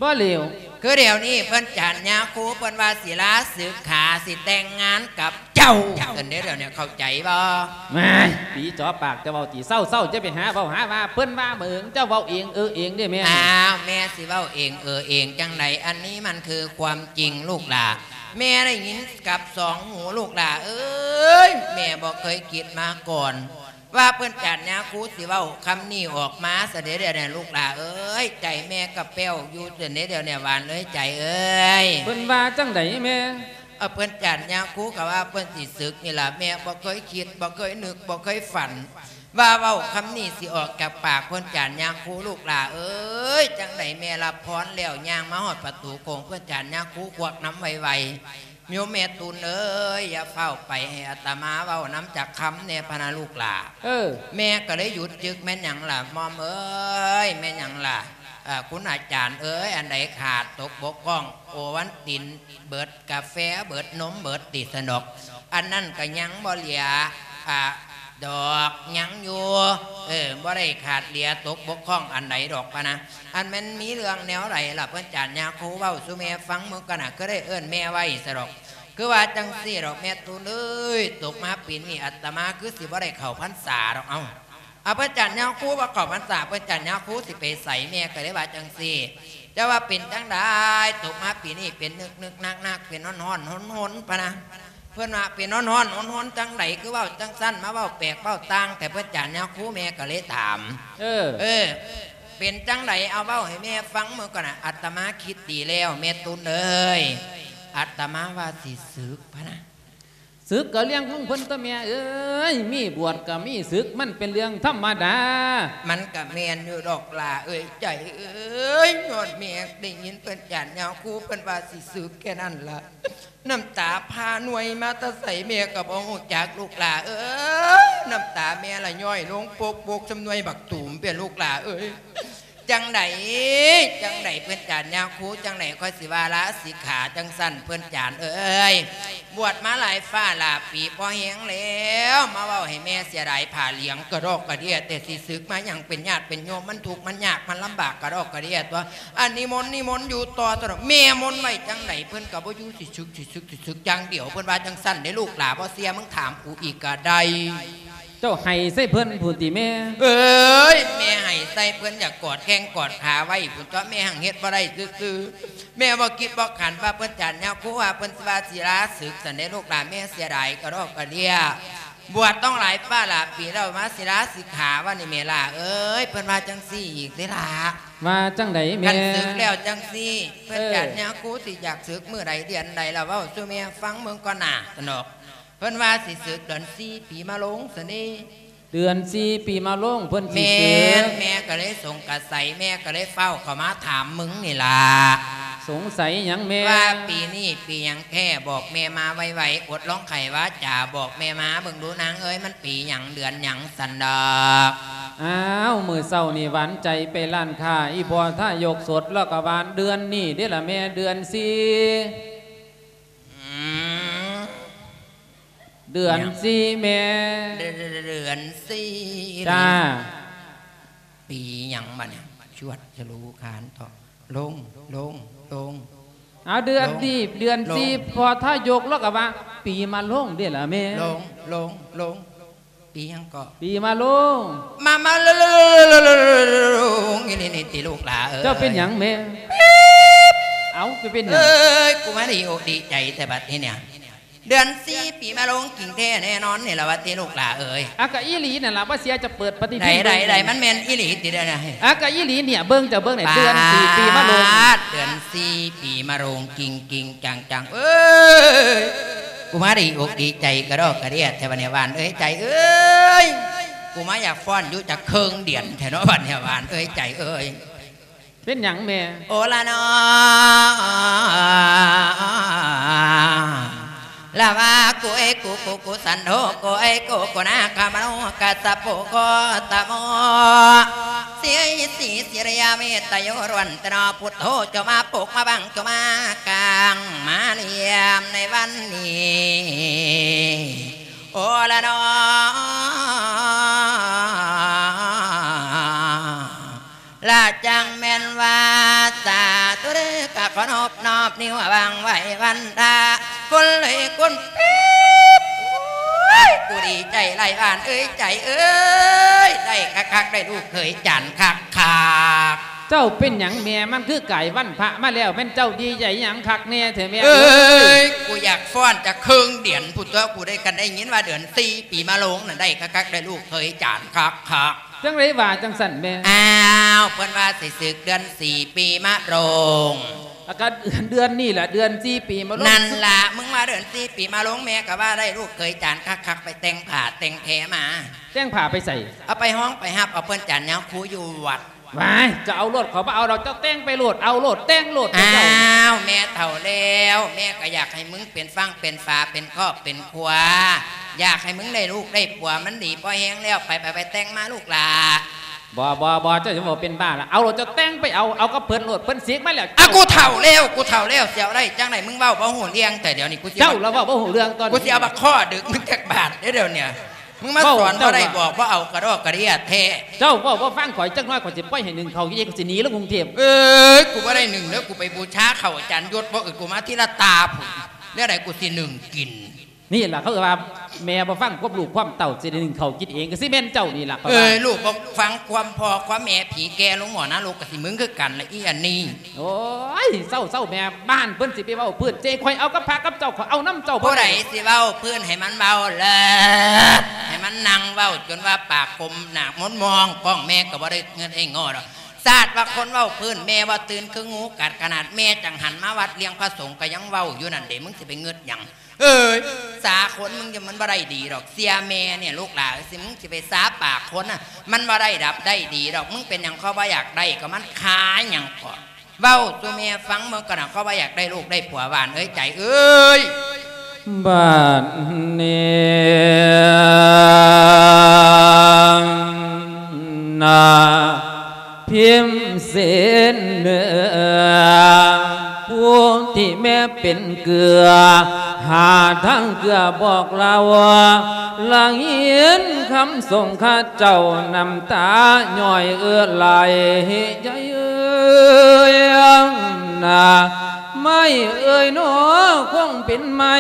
ບໍ່ແລ້ວ ຄືດຽວນີ້ເພິ່ນຈານຍາຄູ ເພິ່ນວ່າສິລາສຶກຂາ ຊິແຕ່ງງານກັບເຈົ້າຊັ້ນເດ້ ດຽວນີ້ເຂົ້າໃຈບໍ່? ແມ່ນ ປີຈໍປາກ ເຈົ້າເວົ້າຕິ? ເຊົາໆ ຢ່າໄປຫາເວົ້າຫາວ່າ ເພິ່ນວ່າເມີງ ເຈົ້າເວົ້າເອງເອີເອງເດ້ແມ່. ອ້າວ ແມ່ຊິເວົ້າເອງເອີເອງຈັ່ງໃດ? ອັນນີ້ມັນຄືຄວາມຈິງລູກຫຼ້າ ແມ່ໄດ້ຍິນກັບສອງຫູລູກຫຼ້າເອີຍ. ແມ່ບໍ່ເຄີຍຄິດມາກ່ອນ ວ່າເພິ່ນຈານຍາຄູຊິເວົ້າຄຳນີ້ອອກມາຊະເດ້ ດຽວນີ້ລູກຫຼ້າເອີຍ. ໃຈແມ່ກະແປ້ວຢູ່ຊັ້ນເດ້ ດຽວນີ້ຫວານເອີຍ ໃຈເອີຍ. ເພິ່ນວ່າຈັ່ງໃດແມ່? ເອີ ເພິ່ນຈານຍາຄູກະວ່າເພິ່ນຊິສຶກນີ້ລະ. ແມ່ບໍ່ເຄີຍຄິດ ບໍ່ເຄີຍນຶກ ບໍ່ເຄີຍຝັນ ວ່າເວົ້າຄຳນີ້ຊິອອກຈາກປາກເພິ່ນຈານຍາຄູ ລູກຫຼ້າເອີຍ. ຈັ່ງໃດແມ່ຮັບພອນແລ້ວ ຍ່າງມາຮອດປະຕູໂຂງ ເພິ່ນຈານຍາຄູຄວັກນຳໄວໆ. ໂຍມແມ່ຕູນເອີຍ ຢ່າຟ້າວໄປ ໃຫ້ອາດຕະມາເວົ້ານຳຈັກຄຳແດ່ພະນະລູກຫຼ້າ. ເອີ ແມ່ກໍເລີຍຢຸດຈຶກ. ແມ່ນຫຍັງລະໝ່ອມເອີຍ? ແມ່ນຫຍັງລະ? ເອີ ຄຸນອາຈານເອີຍ ອັນໃດຂາດຕົກບົກຜ່ອງ? ໂອວັນຕິນເບິດ ກາແຟເບິດ ນົມເບິດຕິ ຊັ້ນດອກ. ອັນນັ້ນກໍຍັງບໍ່ເຫຼືອ ອາ ດອກ ຍັງຢູ່ ເອີ ບໍ່ໄດ້ຂາດເຫຼືອຕົກບົກຜ່ອງອັນໃດດອກພະນະ. ອັນແມ່ນມີເລື່ອງແນວໃດລະ ເພິ່ນຈານຍາຄູເວົ້າສູ່ແມ່ຟັງເບິ່ງກ່ອນນະ. ກໍໄດ້ເອີ້ນແມ່ໄວ້ຊະດອກ ຄືວ່າຈັ່ງຊີ້ດອກ ແມ່ຕູນເອີຍ. ຕົກມາປີນີ້ອາດຕະມາຄືຊິບໍ່ໄດ້ເຂົ້າພັນສາດອກ. ເອົ້າ ອາ ເພິ່ນຈານຍາຄູບໍ່ເຂົ້າພັນສາ ເພິ່ນຈານຍາຄູຊິໄປໃສ? ແມ່ກໍເລີຍວ່າຈັ່ງຊີ້. ຈະວ່າເປັນຈັ່ງໃດ ຕົກມາປີນີ້ເປັນນຶກໆ ນັກໆ ເປັນຮ້ອນໆ ຫົນໆ ພະນະ. ເພິ່ນວ່າເປັນຮ້ອນໆ ຫົນໆ ຈັ່ງໃດ ຄືເວົ້າຈັ່ງຊັ້ນ ມາເວົ້າແປກເວົ້າຕ່າງແທ້ ເພິ່ນຈານຍາຄູ. ແມ່ກໍເລີຍຖາມ ເອີ ເອີ ເປັນຈັ່ງໃດ ເອົາເວົ້າໃຫ້ແມ່ຟັງເບິ່ງກ່ອນນະ. ອາດຕະມາຄິດດີແລ້ວ ແມ່ຕູນເອີຍ ອາດຕະມາວ່າຊິສຶກພະນະ. ສຶກກໍເລື່ອງຂອງເພິ່ນຕົວະແມ່ເອີຍ ມີບວດກໍມີສຶກ ມັນເປັນເລື່ອງທຳມະດາ. ມັນກໍແມ່ນຢູ່ດອກຫຼ້າເອີຍ ໃຈເອີຍ. ຍ້ອນແມ່ໄດ້ຍິນເພິ່ນຈານຍາຄູ ເພິ່ນວ່າຊິສຶກແຄ່ນັ້ນລະ ນ້ຳຕາພາໜ່ວຍມາແຕ່ໃສ ແມ່ກໍບໍ່ຮູ້ຈັກ ລູກຫຼ້າເອີຍ. ນ້ຳຕາແມ່ລະຍ້ອຍລົງປົກໆ ສ່ຳໜ່ວຍບັກຕູມເປັນ ລູກຫຼ້າເອີຍ. ຈັ່ງໃດ ຈັ່ງໃດ ເພິ່ນຈານຍາຄູ ຈັ່ງໃດຂ້ອຍຊິວ່າລາສິກຂາຈັ່ງຊັ້ນ ເພິ່ນຈານເອີຍ. ບວດມາຫຼາຍຟ້າຫຼາຍປີພໍແຮງແລ້ວ ມາເວົ້າໃຫ້ແມ່ເສຍດາຍຜ້າຫຼຽງກະດອກກະເດຍ ແຕ່ຊິສຶກມາຫຍັງ ເປັນຍາດເປັນໂຍມ ມັນທຸກມັນຍາກມັນລຳບາກກະດອກກະເດຍຕົວະ. ອັນນິມົນ ນິມົນຢູ່ຕໍ່ຕົວະ ແມ່ມົນໄວ້ຈັ່ງໃດ ເພິ່ນກໍບໍ່ຢູ່ ຊິສຶກ ຊິສຶກ ຊິສຶກຢ່າງດຽວ ເພິ່ນວ່າຈັ່ງຊັ້ນເດ້ ລູກຫຼ້າ. ບໍ່ເຊື່ອມຶງຖາມກູອີກກໍໄດ້. ເຈົ້າໄຫ້ໃສ່ເພິ່ນພຸ້ນຕິແມ່? ເອີຍ ແມ່ໄຫ້ໃສ່ເພິ່ນ ຢາກກອດແຂ້ງກອດຂາໄວ້ພຸ້ນຕົວະ ແມ່ຫັ້ງເຮັດບໍ່ໄດ້ຊື່ໆ. ແມ່ບໍ່ຄິດບໍ່ຝັນວ່າເພິ່ນຈານຍາຄູວ່າເພິ່ນຊິວ່າສິລາສຶກຊັ້ນເດ້ ລູກຫຼ້າ. ແມ່ເສຍດາຍກະດອກກະເດຍ ບວດຕ້ອງຫຼາຍຟ້າຫຼາຍປີແລ້ວ ມາສິລາສິກຂາວ່ານີ້ ແມ່ຫຼ້າເອີຍ. ເພິ່ນວ່າຈັ່ງຊີ້ອີກເດ້ຫຼ້າ. ວ່າຈັ່ງໃດແມ່? ຄັນສຶກແລ້ວຈັ່ງຊີ້ ເພິ່ນ ເອີ ຈານຍາຄູຊິຢາກສຶກມື້ໃດເດືອນໃດລະ ເວົ້າສູ່ແມ່ຟັງເບິ່ງກ່ອນນະ ຊັ້ນດອກ. ເພິ່ນວ່າຊິສຶກເດືອນສີ່ປີມະໂລງຊັ້ນເດ້. ເດືອນສີ່ປີມະໂລງເພິ່ນຊິສຶກ. ແມ່ນ ແມ່ກໍເລີຍສົງກະໄສ ແມ່ກໍເລີຍຟ້າວເຂົ້າມາຖາມມຶງນີ້ລະ. ສົງໄສຫຍັງແມ່? ວ່າປີນີ້ປີຫຍັງແທ້? ບອກແມ່ມາໄວໆ ອົດລອງໄຂວາຈາ ບອກແມ່ມາເບິ່ງດູນາງເອີຍ ມັນປີຫຍັງເດືອນຫຍັງ ຊັ້ນດອກ. ອ້າວ ມື້ເຊົ້ານີ້ຫວານໃຈໄປຮ້ານຄ້າ ອີພໍ່ທາຍົກສົດລະກະວ່າເດືອນນີ້ເດ້ລະແມ່ ເດືອນສີ່. ອືມ ເດືອນສີ່ແມ່. ເດືອນ ເດືອນສີ່. ຈ້າ. ປີຫຍັງບາດນີ້? ຊວດສະລູຄານເທາະ ລົງ ລົງ ລົງ. ເອົາ ເດືອນນີ້ ລົງ ເດືອນສີ່ ລົງ. ພໍ່ທາຍົກລະກະວ່າ ປີມະໂລງເດ້ລະແມ່. ລົງ ລົງ ລົງ. ປີຫຍັງເກາະ? ປີມະໂລງ. ມາ ມາ ລົງ ອີ່ຫຼີນີ້ຕິລູກຫຼ້າເອີຍ. ເຈົ້າເປັນຫຍັງແມ່? ເອົ້າ ໄປເປັນຫຍັງ? ເອີຍ ກູມາດີອົກດີໃຈແທ້ບັດນີ້ເນຍ. ເດືອນສີ່ປີມະໂລງຈິງແທ້ແນ່ນອນນີ້ລະວ່າຕິລູກຫຼ້າເອີຍ. ອາ ກະອີ່ຫຼີນັ້ນລະ ບໍ່ເຊື່ອຈະເປີດປະຕິທິນ. ໄດ້ ໄດ້ ໄດ້ ມັນແມ່ນອີ່ຫຼີຕິເດນະ. ອາ ກະອີ່ຫຼີເນຍ ເບິ່ງ ເຈົ້າເບິ່ງແນ່ ເດືອນສີ່ປີມະໂລງ. ເດືອນສີ່ປີມະໂລງຈິງໆ ຈັງໆ ເອີຍ. ກູມາດີອົກດີໃຈກະດອກກະເດຍແທ້ບັດນີ້ ຫວານເອີຍ ໃຈເອີຍ. ກູມາຢາກຟ້ອນຢູ່ຈັກເຄິ່ງເດືອນແທ້ເນາະບັດນີ້ ຫວານເອີຍ ໃຈເອີຍ. ເປັນຫຍັງແມ່? ໂອລະນໍ ລະວາກຸເອກຸກຸກຸສັນໂທໂກເອໂກໂກນາຄາມະໂນກັດສະໂປໂຄຕະໂມ ສີສີສິລິຍາເມດຕະໂຍຣວນຕະໂນ ພຸດໂທ ເຈົ້າມາປົກມາບັງ ເຈົ້າມາກາງມາລຽມໃນວັນນີ້ ໂອລະນໍ ລະຈັ່ງແມ່ນວ່າ ສາທຸເດີ ກະຂໍນອບ ນອບນິ້ວຫວັງໄຫວ້ວັນທາ ຄົນເລີຍຄົນປີບ. ໂອ້ຍ ກູດີໃຈຫຼາຍຫວານເອີຍ ໃຈເອີຍ ໄດ້ຄັກໆ ໄດ້ລູກເຂີຍຈານຄັກໆ. ເຈົ້າເປັນຫຍັງແມ່? ມັນຄືກາຍວັນພະມາແລ້ວ ແມ່ນເຈົ້າດີໃຈຫຍັງຄັກແນ່ແທ້ແມ່ເອີຍ? ເອີຍ ກູຢາກຟ້ອນຈັກເຄິ່ງເດືອນພຸ້ນຕົວະ ກູໄດ້ ຄັນໄດ້ຍິນວ່າເດືອນສີ່ປີມະໂລງນັ້ນ ໄດ້ຄັກໆ ໄດ້ລູກເຂີຍຈານຄັກໆ. ຈັ່ງໃດວ່າຈັ່ງຊັ້ນແມ່? ອ້າວ ເພິ່ນວ່າຊິສຶກເດືອນສີ່ປີມະໂລງ. ອາ ກະເດືອນນີ້ລະ ເດືອນສີ່ປີມະໂລງ. ນັ້ນລະ ມຶງວ່າເດືອນສີ່ປີມະໂລງ ແມ່ກະວ່າໄດ້ລູກເຂີຍຈານຄັກໆ ໄປແຕ່ງຜ້າແຕ່ງແພມາ. ແຕ່ງຜ້າໄປໃສ? ເອົາໄປຮ້ອງໄປຮັບເອົາເພິ່ນຈານຍາຄູຢູ່ວັດ. ວ້າຍ ເຈົ້າເອົາໂລດ ຂ້ອຍບໍ່ເອົາດອກ ເຈົ້າແຕ່ງໄປໂລດ ເອົາໂລດ ແຕ່ງໂລດ ອ້າວ ເຈົ້າ ແມ່ເຖົ້າແລ້ວ ແມ່ກໍຢາກໃຫ້ມຶງເປັນຝັ່ງເປັນຝາ ເປັນຄອບເປັນຄົວ ຢາກໃຫ້ມຶງໄດ້ລູກໄດ້ຜົວ ມັນດີພໍແຮງແລ້ວ ໄປ ໄປ ໄປແຕ່ງມາລູກຫຼ້າ. ບໍ່ ບໍ່ ບໍ່ ເຈົ້າຈະເວົ້າເປັນບ້າລະ ເອົາໂລດ ເຈົ້າແຕ່ງໄປເອົາ ເອົາກັບເພິ່ນໂລດ ເພິ່ນສິກມາແລ້ວ. ອາ ກູເຖົ້າແລ້ວ ກູເຖົ້າແລ້ວ ຊິເອົາໄດ້ຈັ່ງໃດ ມຶງເວົ້າບໍ່ຮູ້ເລື່ອງ ແຕ່ດຽວນີ້ກູຊິ ເຈົ້າລະເວົ້າບໍ່ຮູ້ເລື່ອງ ຕອນນີ້ກູຊິເອົາບັກຄໍດຶກມຶງຈັກບາດເດ້ ດຽວນີ້. ມຶງມາສອນບໍ່ໄດ້ ບອກບໍ່ເອົາກະດອກກະເດຍແທ້. ເຈົ້າເວົ້າບໍ່ຟັງຂ້ອຍຈັກໜ້ອຍ ຂ້ອຍຊິປ່ອຍໃຫ້ໜຶ້ງເຂົ້າກິນເອງ ຂ້ອຍຊິໜີລົງກຸງເທບ. ເອີຍ ກູບໍ່ໄດ້ໜຶ້ງເດີ ກູໄປບູຊາເຂົ້າອາຈານຍົດ ບໍ່ເອີ ກູມາທີລະຕາພຸ້ນ ແນວໃດກູຊິໜຶ້ງກິນ? ນີ້ລະເຂົາເອີ້ນວ່າແມ່ບໍ່ຟັງຄວາມລູກຄວາມເຕົ້າ ຊິໄດ້ໜຶ້ງເຂົ້າກິນເອງ ກໍຊິແມ່ນເຈົ້ານີ້ລະ. ເອີຍ ລູກບໍ່ຟັງຄວາມພໍ່ຄວາມແມ່ ຜີແກ່ລົງໝໍນະໂລກ ກໍຊິມຶງຄືກັນລະ ອີອັນນີ້. ໂອ້ຍ ເຊົາໆ ແມ່ ບ້ານເພິ່ນຊິໄປເວົ້າພື້ນ ຊິໃຫ້ຂ້ອຍເອົາກັບພະກັບເຈົ້າ ຂ້ອຍເອົານຳເຈົ້າບໍ່ໄດ້. ຜູ້ໃດຊິເວົ້າພື້ນ ໃຫ້ມັນເວົ້າເລີດ ໃຫ້ມັນນັ່ງເວົ້າຈົນວ່າປາກກົມໜ້າມົນມອງ ກ້ອງແມ່ກໍບໍ່ໄດ້ເງິນໃຫ້ງໍດອກ. ຊາດວ່າຄົນເວົ້າພື້ນ ແມ່ວ່າຕື່ນຄືງູກັດ ຂະໜາດແມ່ຈັງຫັນມາວັດລ້ຽງພະສົງກໍຍັງເວົ້າຢູ່ນັ້ນເດ ມຶງຊິໄປເງິດຫຍັງ? ເອີຍ ສາຄົນມຶງຈະມັນບໍ່ໄດ້ດີດອກ ເຊື່ອແມ່ນີ້ລູກຫຼ້າເອີຍ ຊິ ມຶງຊິໄປສາປາກຄົນນະ ມັນບໍ່ໄດ້ດັບໄດ້ດີດອກ. ມຶງເປັນຫຍັງ ເຂົາບໍ່ຢາກໄດ້ ກໍມັນຄາຫຍັງເກາະ ເວົ້າສູ່ແມ່ຟັງເບິ່ງກ່ອນນະ ເຂົາວ່າຢາກໄດ້ລູກໄດ້ຜົວ ຫວານເອີຍ ໃຈເອີຍ. ບາດນີ້ນະ ພິມເສນເໜືອ ຜູ້ທີ່ແມ່ເປັນເກືອ ຫາທາງເກືອບອກລາວ ລະຍິນຄຳສົງຂະເຈົ້າ ນ້ຳຕາຍ້ອຍເອື້ອໄຫຼ ໃຈເອີຍນະ ໄມ້ເອີຍໜໍ ຄົງເປັນໄມ້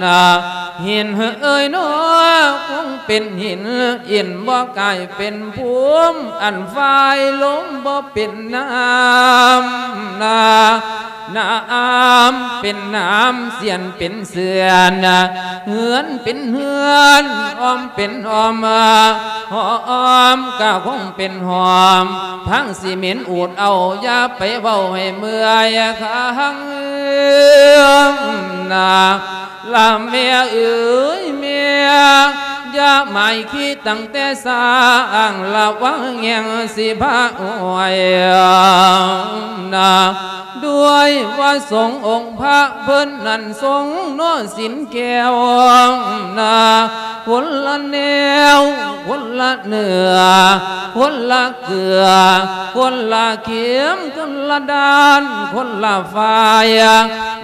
ນະ ຫີນເອີຍໜໍ ຄົງເປັນຫີນ ອິນບໍ່ກາຍເປັນພູມ ອັນຝາຍລົມບໍ່ເປັນນ້ຳນະ ນ້ຳເປັນນ້ຳ ສຽນເປັນ ເຊືອນ ເຮືອນເປັນເຮືອນ ອ້ອມເປັນອ້ອມ ຫອມກະຄົງເປັນຫອມ ພັງຊິເໝັນອູດເອົາ ຢ່າໄປເວົ້າໃຫ້ເມື່ອຍຄັງນາ ລະແມ່ເອີຍແມ່ ຢ່າໝາຍຄີຕັ້ງແຕ່ສ້າງ ລະວັງແຮງຊິພາອວຍນາ ດ້ວຍວ່າສົງອົງພະເພິ່ນນັ້ນຊົງເນາະສິນແກ້ວນາ ຄົນລະແນວ ຄົນລະເນື້ອ ຄົນລະເກືອ ຄົນລະເຂັມ ຄົນລະດ້ານ ຄົນລະຝ່າຍ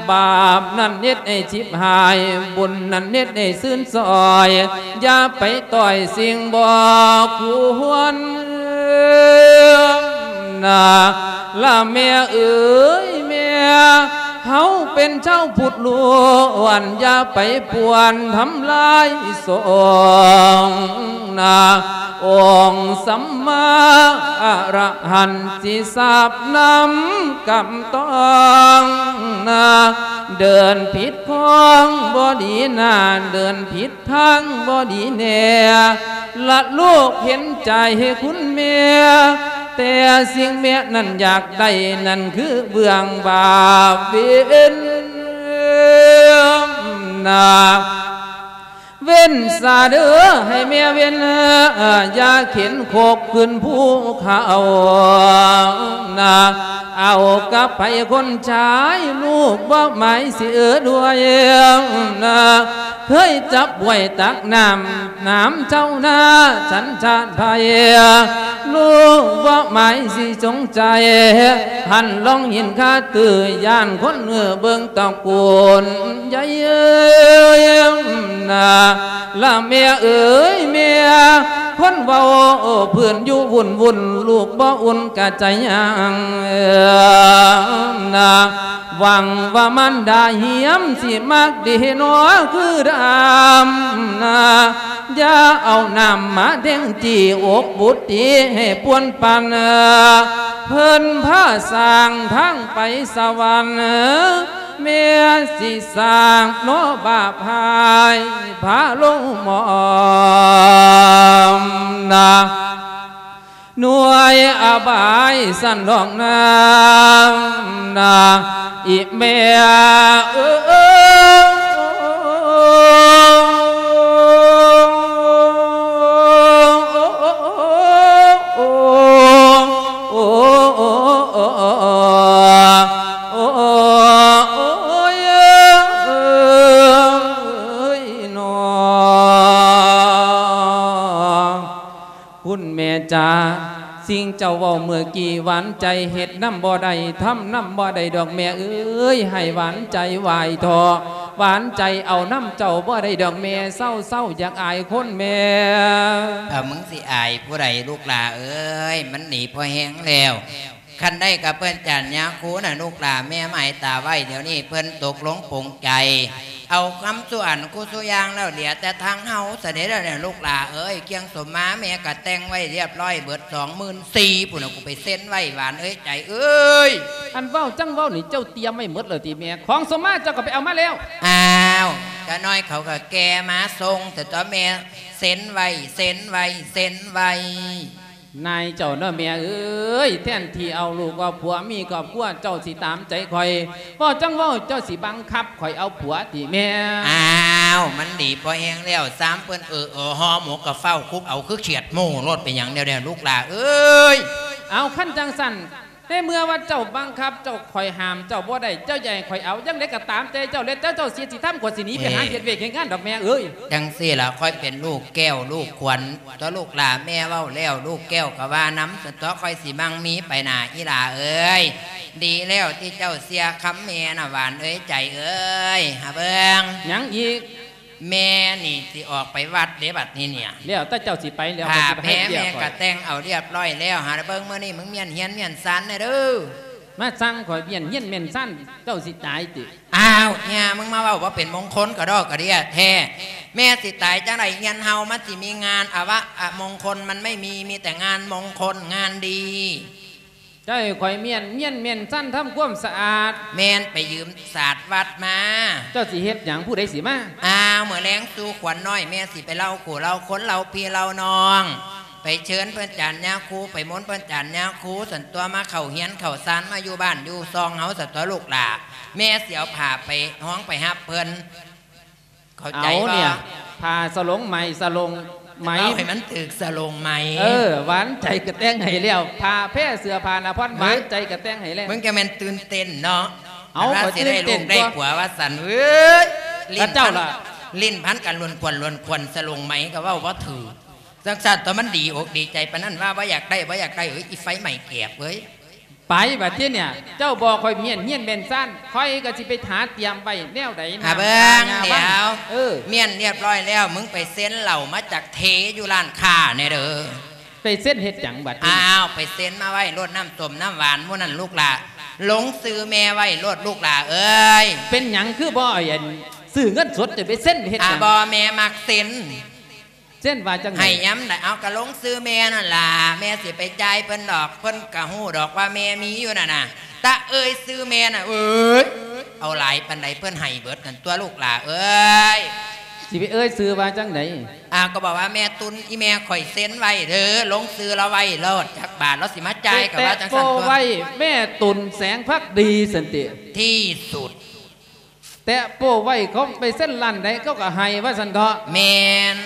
ບາບນັ້ນເຮັດໃຫ້ຊິບຫາຍ ບຸນນັ້ນເຮັດໃຫ້ຊື່ນຊ່ອຍ ຢ່າໄປຕ່ອຍສິ່ງບໍ່ຄວນ ນາ ລະແມ່ເອີຍແມ່ ເຮົາເປັນຊາວພຸດລ້ວນ ຢ່າໄປປ່ວນທຳລາຍສົງນາ ອົງສຳມາອະລະຫັນຊິສາບນຳກຳຕ້ອງນາ ເດີນຜິດຂ້ອງບໍ່ດີນາ ເດີນຜິດ ທາງບໍ່ດີແນ່ ລະລູກເຫັນໃຈໃຫ້ຄຸນແມ່ ແຕ່ສິ່ງແມ່ນັ້ນຢາກໄດ້ ນັ້ນຄືເບື້ອງບາບເວັນນາ ເວັ້ນສາເດີໃຫ້ແມ່ເວັ້ນ ຢ່າເຂັນຄົກຂຶ້ນພູເຂົານາ ເອົາກັບໃຜຄົນຊາຍ ລູກບໍ່ໝາຍຊິເອີດ້ວຍນາ ເຄີຍຈັບຫ້ວຍຕັກນ້ຳ ນ້ຳເຈົ້ານາສັນຊາດໃຜ ລູກບໍ່ໝາຍຊິສົງໄຈ ຫັນລອງຫີນຄາຕື້ ຢ້ານຄົນເອີເບິ່ງຕະໂກນໃຫຍ່ເອີຍນາ ລະແມ່ເອີຍແມ່ ຄົນເວົ້າພື້ນຢູ່ວຸ່ນໆ ລູກບໍ່ອຸ່ນກະໃຈຍັງນາ ຫວັງວ່າມານດາຮຽມຊິມັກດີໜໍຄືດຳນາ ຢ່າເອົານ້ຳມາແທງຈີ່ອົກບຸດຕີໃຫ້ປ່ວນປັນ ເພິ່ນພາສ້າງທາງໄປສະຫວັນ ແມ່ຊິສ້າງເນາະບາບຮ້າຍ ພາລົງໝອນນາ ໜ່ວຍອະບາຍສັນດອກນາ ນາ ອີແມ່ເອີຍ. ຈາ ສິ່ງເຈົ້າເວົ້າເມື່ອກີ້ ຫວານໃຈເຮັດນຳບໍ່ໄດ້ ທຳນຳບໍ່ໄດ້ດອກແມ່ເອີຍ ໃຫ້ຫວານໃຈໄຫວ້ທໍ່ ຫວານໃຈເອົານຳເຈົ້າບໍ່ໄດ້ດອກແມ່ ເຊົາໆ ຢາກອາຍຄົນແມ່. ເອີ ມຶງຊິອາຍຜູ້ໃດລູກຫຼ້າເອີຍ ມັນດີພໍແຮງແລ້ວ. ຄັນໄດ້ກັບເພິ່ນຈານຍາຄູນະລູກຫຼ້າ ແມ່ໝາຍຕາໄວ້ ດຽວນີ້ເພິ່ນຕົກລົງປົງໃຈ ເອົາຄຳສູ່ອັນຄູ່ສູ່ຢ່າງແລ້ວ ເຫຼືອແຕ່ທາງເຮົາຊະເດລະເນຍ ລູກຫຼ້າເອີຍ. ເຄື່ອງສົມມາແມ່ກະແຕ່ງໄວ້ລຽບຮ້ອຍເບິດ ສອງໝື່ນສີ່ ພຸ້ນນະ ກູໄປເຊັນໄວ້ ຫວານເອີຍ ໃຈເອີຍ. ອັນເວົ້າຈັ່ງເວົ້ານີ້ ເຈົ້າຕຽມໄວ້ໝົດແລ້ວຕິແມ່? ຂອງສົມມາເຈົ້າກໍໄປເອົາມາແລ້ວ. ອ້າວ ກະນ້ອຍເຂົາກະແກ່ມາສົ່ງ ແຕ່ຕົວະແມ່ເຊັນໄວ້ ເຊັນໄວ້ ເຊັນໄວ້. ນາຍເຈົ້າເນາະແມ່ເອີຍ ແທນທີ່ເອົາລູກເອົາຜົວມີຄອບຄົວ ເຈົ້າຊິຕາມໃຈຂ້ອຍ ເວົ້າຈັ່ງເວົ້າ ເຈົ້າຊິບັງຄັບຂ້ອຍເອົາຜົວຕິແມ່? ອ້າວ ມັນດີພໍແຮງແລ້ວ ຊາມເພິ່ນເອີ່ໆ ຫໍ່ໝົກກະຟ້າວຄຸບເອົາ ຄືຂຽດໝູໂລດ ເປັນຫຍັງແນວໃດລູກຫຼ້າເອີຍ? ເອົາ ຄັນຈັ່ງຊັ້ນ ໃນເມື່ອວ່າເຈົ້າບັງຄັບ ເຈົ້າ ຂ້ອຍຫ້າມເຈົ້າບໍ່ໄດ້ ເຈົ້າຢາກໃຫ້ຂ້ອຍເອົາຈັ່ງໃດກໍຕາມໃຈເຈົ້າ ແລ້ວແຕ່ເຈົ້າຊິເຮັດຊິທຳ ຂ້ອຍຊິໜີໄປຫາເຮັດວຽກເຮັດງານດອກແມ່ເອີຍ. ຈັ່ງຊີ້ລະ ຂ້ອຍເປັນລູກແກ້ວລູກຂວັນຕົວະລູກຫຼ້າ ແມ່ເວົ້າແລ້ວ ລູກແກ້ວກໍວ່ານຳ ຊັ້ນຕົວະ ຂ້ອຍຊິໝັ່ງມີໄປໜ້າອີ່ຫຼ້າເອີຍ. ດີແລ້ວທີ່ເຈົ້າເຊື່ອຄຳແມ່ນະ ຫວານເອີຍ ໃຈເອີຍ. ຫາເບິ່ງ ຫຍັງອີກ? ແມ່ນີ້ຊິອອກໄປວັດເດ້ບັດນີ້ເນຍ. ແລ້ວແຕ່ເຈົ້າຊິໄປແລ້ວ ຜ້າແພແມ່ກະແຕ່ງເອົາລຽບຮ້ອຍແລ້ວ. ຫາລະເບິ່ງມື້ນີ້ມຶງມ້ຽນຮຽນມ້ຽນຊານແດ່ເດີ. ມາສັ່ງຂ້ອຍມ້ຽນຮຽນມ້ຽນຊານ ເຈົ້າຊິຕາຍຕິ? ອ້າວ ຫາມຶງມາເວົ້າບໍ່ເປັນມົງຄົນກະດອກກະເດຍແທ້. ແມ່ຊິຕາຍຈັ່ງໃດ? ເຮືອນເຮົາມັນຊິມີງານອະວະອະມົງຄົນມັນໄມ່ມີ ມີແຕ່ງານມົງຄົນງານດີ. ເຈົ້າໃຫ້ຂ້ອຍມ້ຽນຮຽນມ້ຽນຊານທຳຄວາມສະອາດ. ແມ່ນໄປຢືມສາດວັດມາ. ເຈົ້າຊິເຮັດຫຍັງ? ຜູ້ໃດຊິມາ? ອ້າວ ມື້ແລງສູ່ຂວັນນ້ອຍ ແມ່ຊິໄປເລົ່າຄູ່ເລົ່າຄົນເລົ່າພີ່ເລົ່ານ້ອງ ໄປເຊີນເພິ່ນຈານຍາຄູ ໄປມົນເພິ່ນຈານຍາຄູ ຊັ້ນຕົວະ ມາເຂົ້າຮຽນເຂົ້າຊານ ມາຢູ່ບ້ານຢູ່ຊ່ອງເຮົາຊັ້ນຕົວະລູກຫຼ້າ. ແມ່ຊິເອົາຜ້າໄປຮອງໄປຮັບເພິ່ນ. ເຂົ້າໃຈບໍ່? ເອົາເນຍ ຜ້າສະຫຼົງໄໝ ສະຫຼົງໄໝ ເອົາໃຫ້ມັນຖືກສະຫຼົງໄໝ. ເອີ ຫວານໃຈກະແຕ່ງໃຫ້ແລ້ວ ຜ້າແພເສື້ອຜ້າໜ້າຜ່ອນ ເອີ ຫວານໃຈກະແຕ່ງໃຫ້ແລ້ວ. ມຶງຈະແມ່ນຕື່ນເຕັ້ນເນາະ. ເອົາ ຄັນວ່າຊິໄດ້ລູກໄດ້ຜົວວ່າຊັ້ນເວີ້ຍ. ເອີຍ ເຈົ້າລະ ຫຼິ້ນພັນກັນລວນຄວັນລວນຄວັນ ສະຫຼົງໄໝກະເວົ້າບໍ່ຖືກ. ຈັ່ງຊັ້ນຕົວະ ມັນດີອົກດີໃຈປານນັ້ນວ່າບໍ່ຢາກໄດ້ ບໍ່ຢາກໄດ້. ເອີຍ ອີໄຟໄໝແກບເວີ້ຍ. ໄປບັດທີເນຍ ເຈົ້າບອກຂ້ອຍມ້ຽນຮຽນມ້ຽນຊານ ຂ້ອຍກໍຊິໄປຫາຕຽມໄວ້ແນວໃດ. ຫາເບິ່ງ ດຽວ ເອີ ມ້ຽນລຽບຮ້ອຍແລ້ວ ມຶງໄປເຊັນເຫຼົ້າມາຈາກເທຢູ່ຮ້ານຄ້າແດ່ເດີ. ໄປເຊັນເຮັດຫຍັງບັດນີ້? ອ້າວ ໄປເຊັນມາໄວ້ໂລດ ນ້ຳສົ້ມນ້ຳຫວານໝູ່ນັ້ນລູກຫຼ້າ ລົງຊື່ແມ່ໄວ້ໂລດລູກຫຼ້າເອີຍ. ເປັນຫຍັງຄືບໍ່ ອັນ ຊື້ເງິນສົດ ຈະໄປເຊັນເຮັດຫຍັງ? ອ້າ ບໍ່ ແມ່ມັກເຊັນ. ເຊັ່ນວ່າຈັ່ງໃດ? ໃຫ້ຍາມໃດ ເອົາ ກະລົງຊື່ແມ່ນັ້ນລະ ແມ່ຊິໄປຈ່າຍເພິ່ນດອກ ເພິ່ນກະຮູ້ດອກວ່າແມ່ມີຢູ່ນັ້ນນະ. ຕະເອີຍຊື່ແມ່ນະ ເອີຍ ເອົາຫຼາຍປານໃດເພິ່ນໃຫ້ເບິດນັ້ນຕົວະລູກຫຼ້າເອີຍ. ຊິໄປເອີຍຊື່ວ່າຈັ່ງໃດ? ອ້າວ ກໍບອກວ່າແມ່ຕຸນ ອີແມ່ຂ້ອຍເຊັນໄວ້ເດີ ລົງຊື່ລາວໄວ້ໂລດ ຈັກບາດລາວຊິມາຈ່າຍ ກະວ່າຈັ່ງຊັ້ນຕົວະ. ແມ່ຕຸນ ແສງພັກດີ ຊັ້ນຕິ ທີ່ສຸດ. ແຕະໂປ້ໄວ້ ເຂົາໄປເຊັນຮ້ານໃດເຂົາກໍໃຫ້ວ່າຊັ້ນເຖາະ. ແມ່ນ.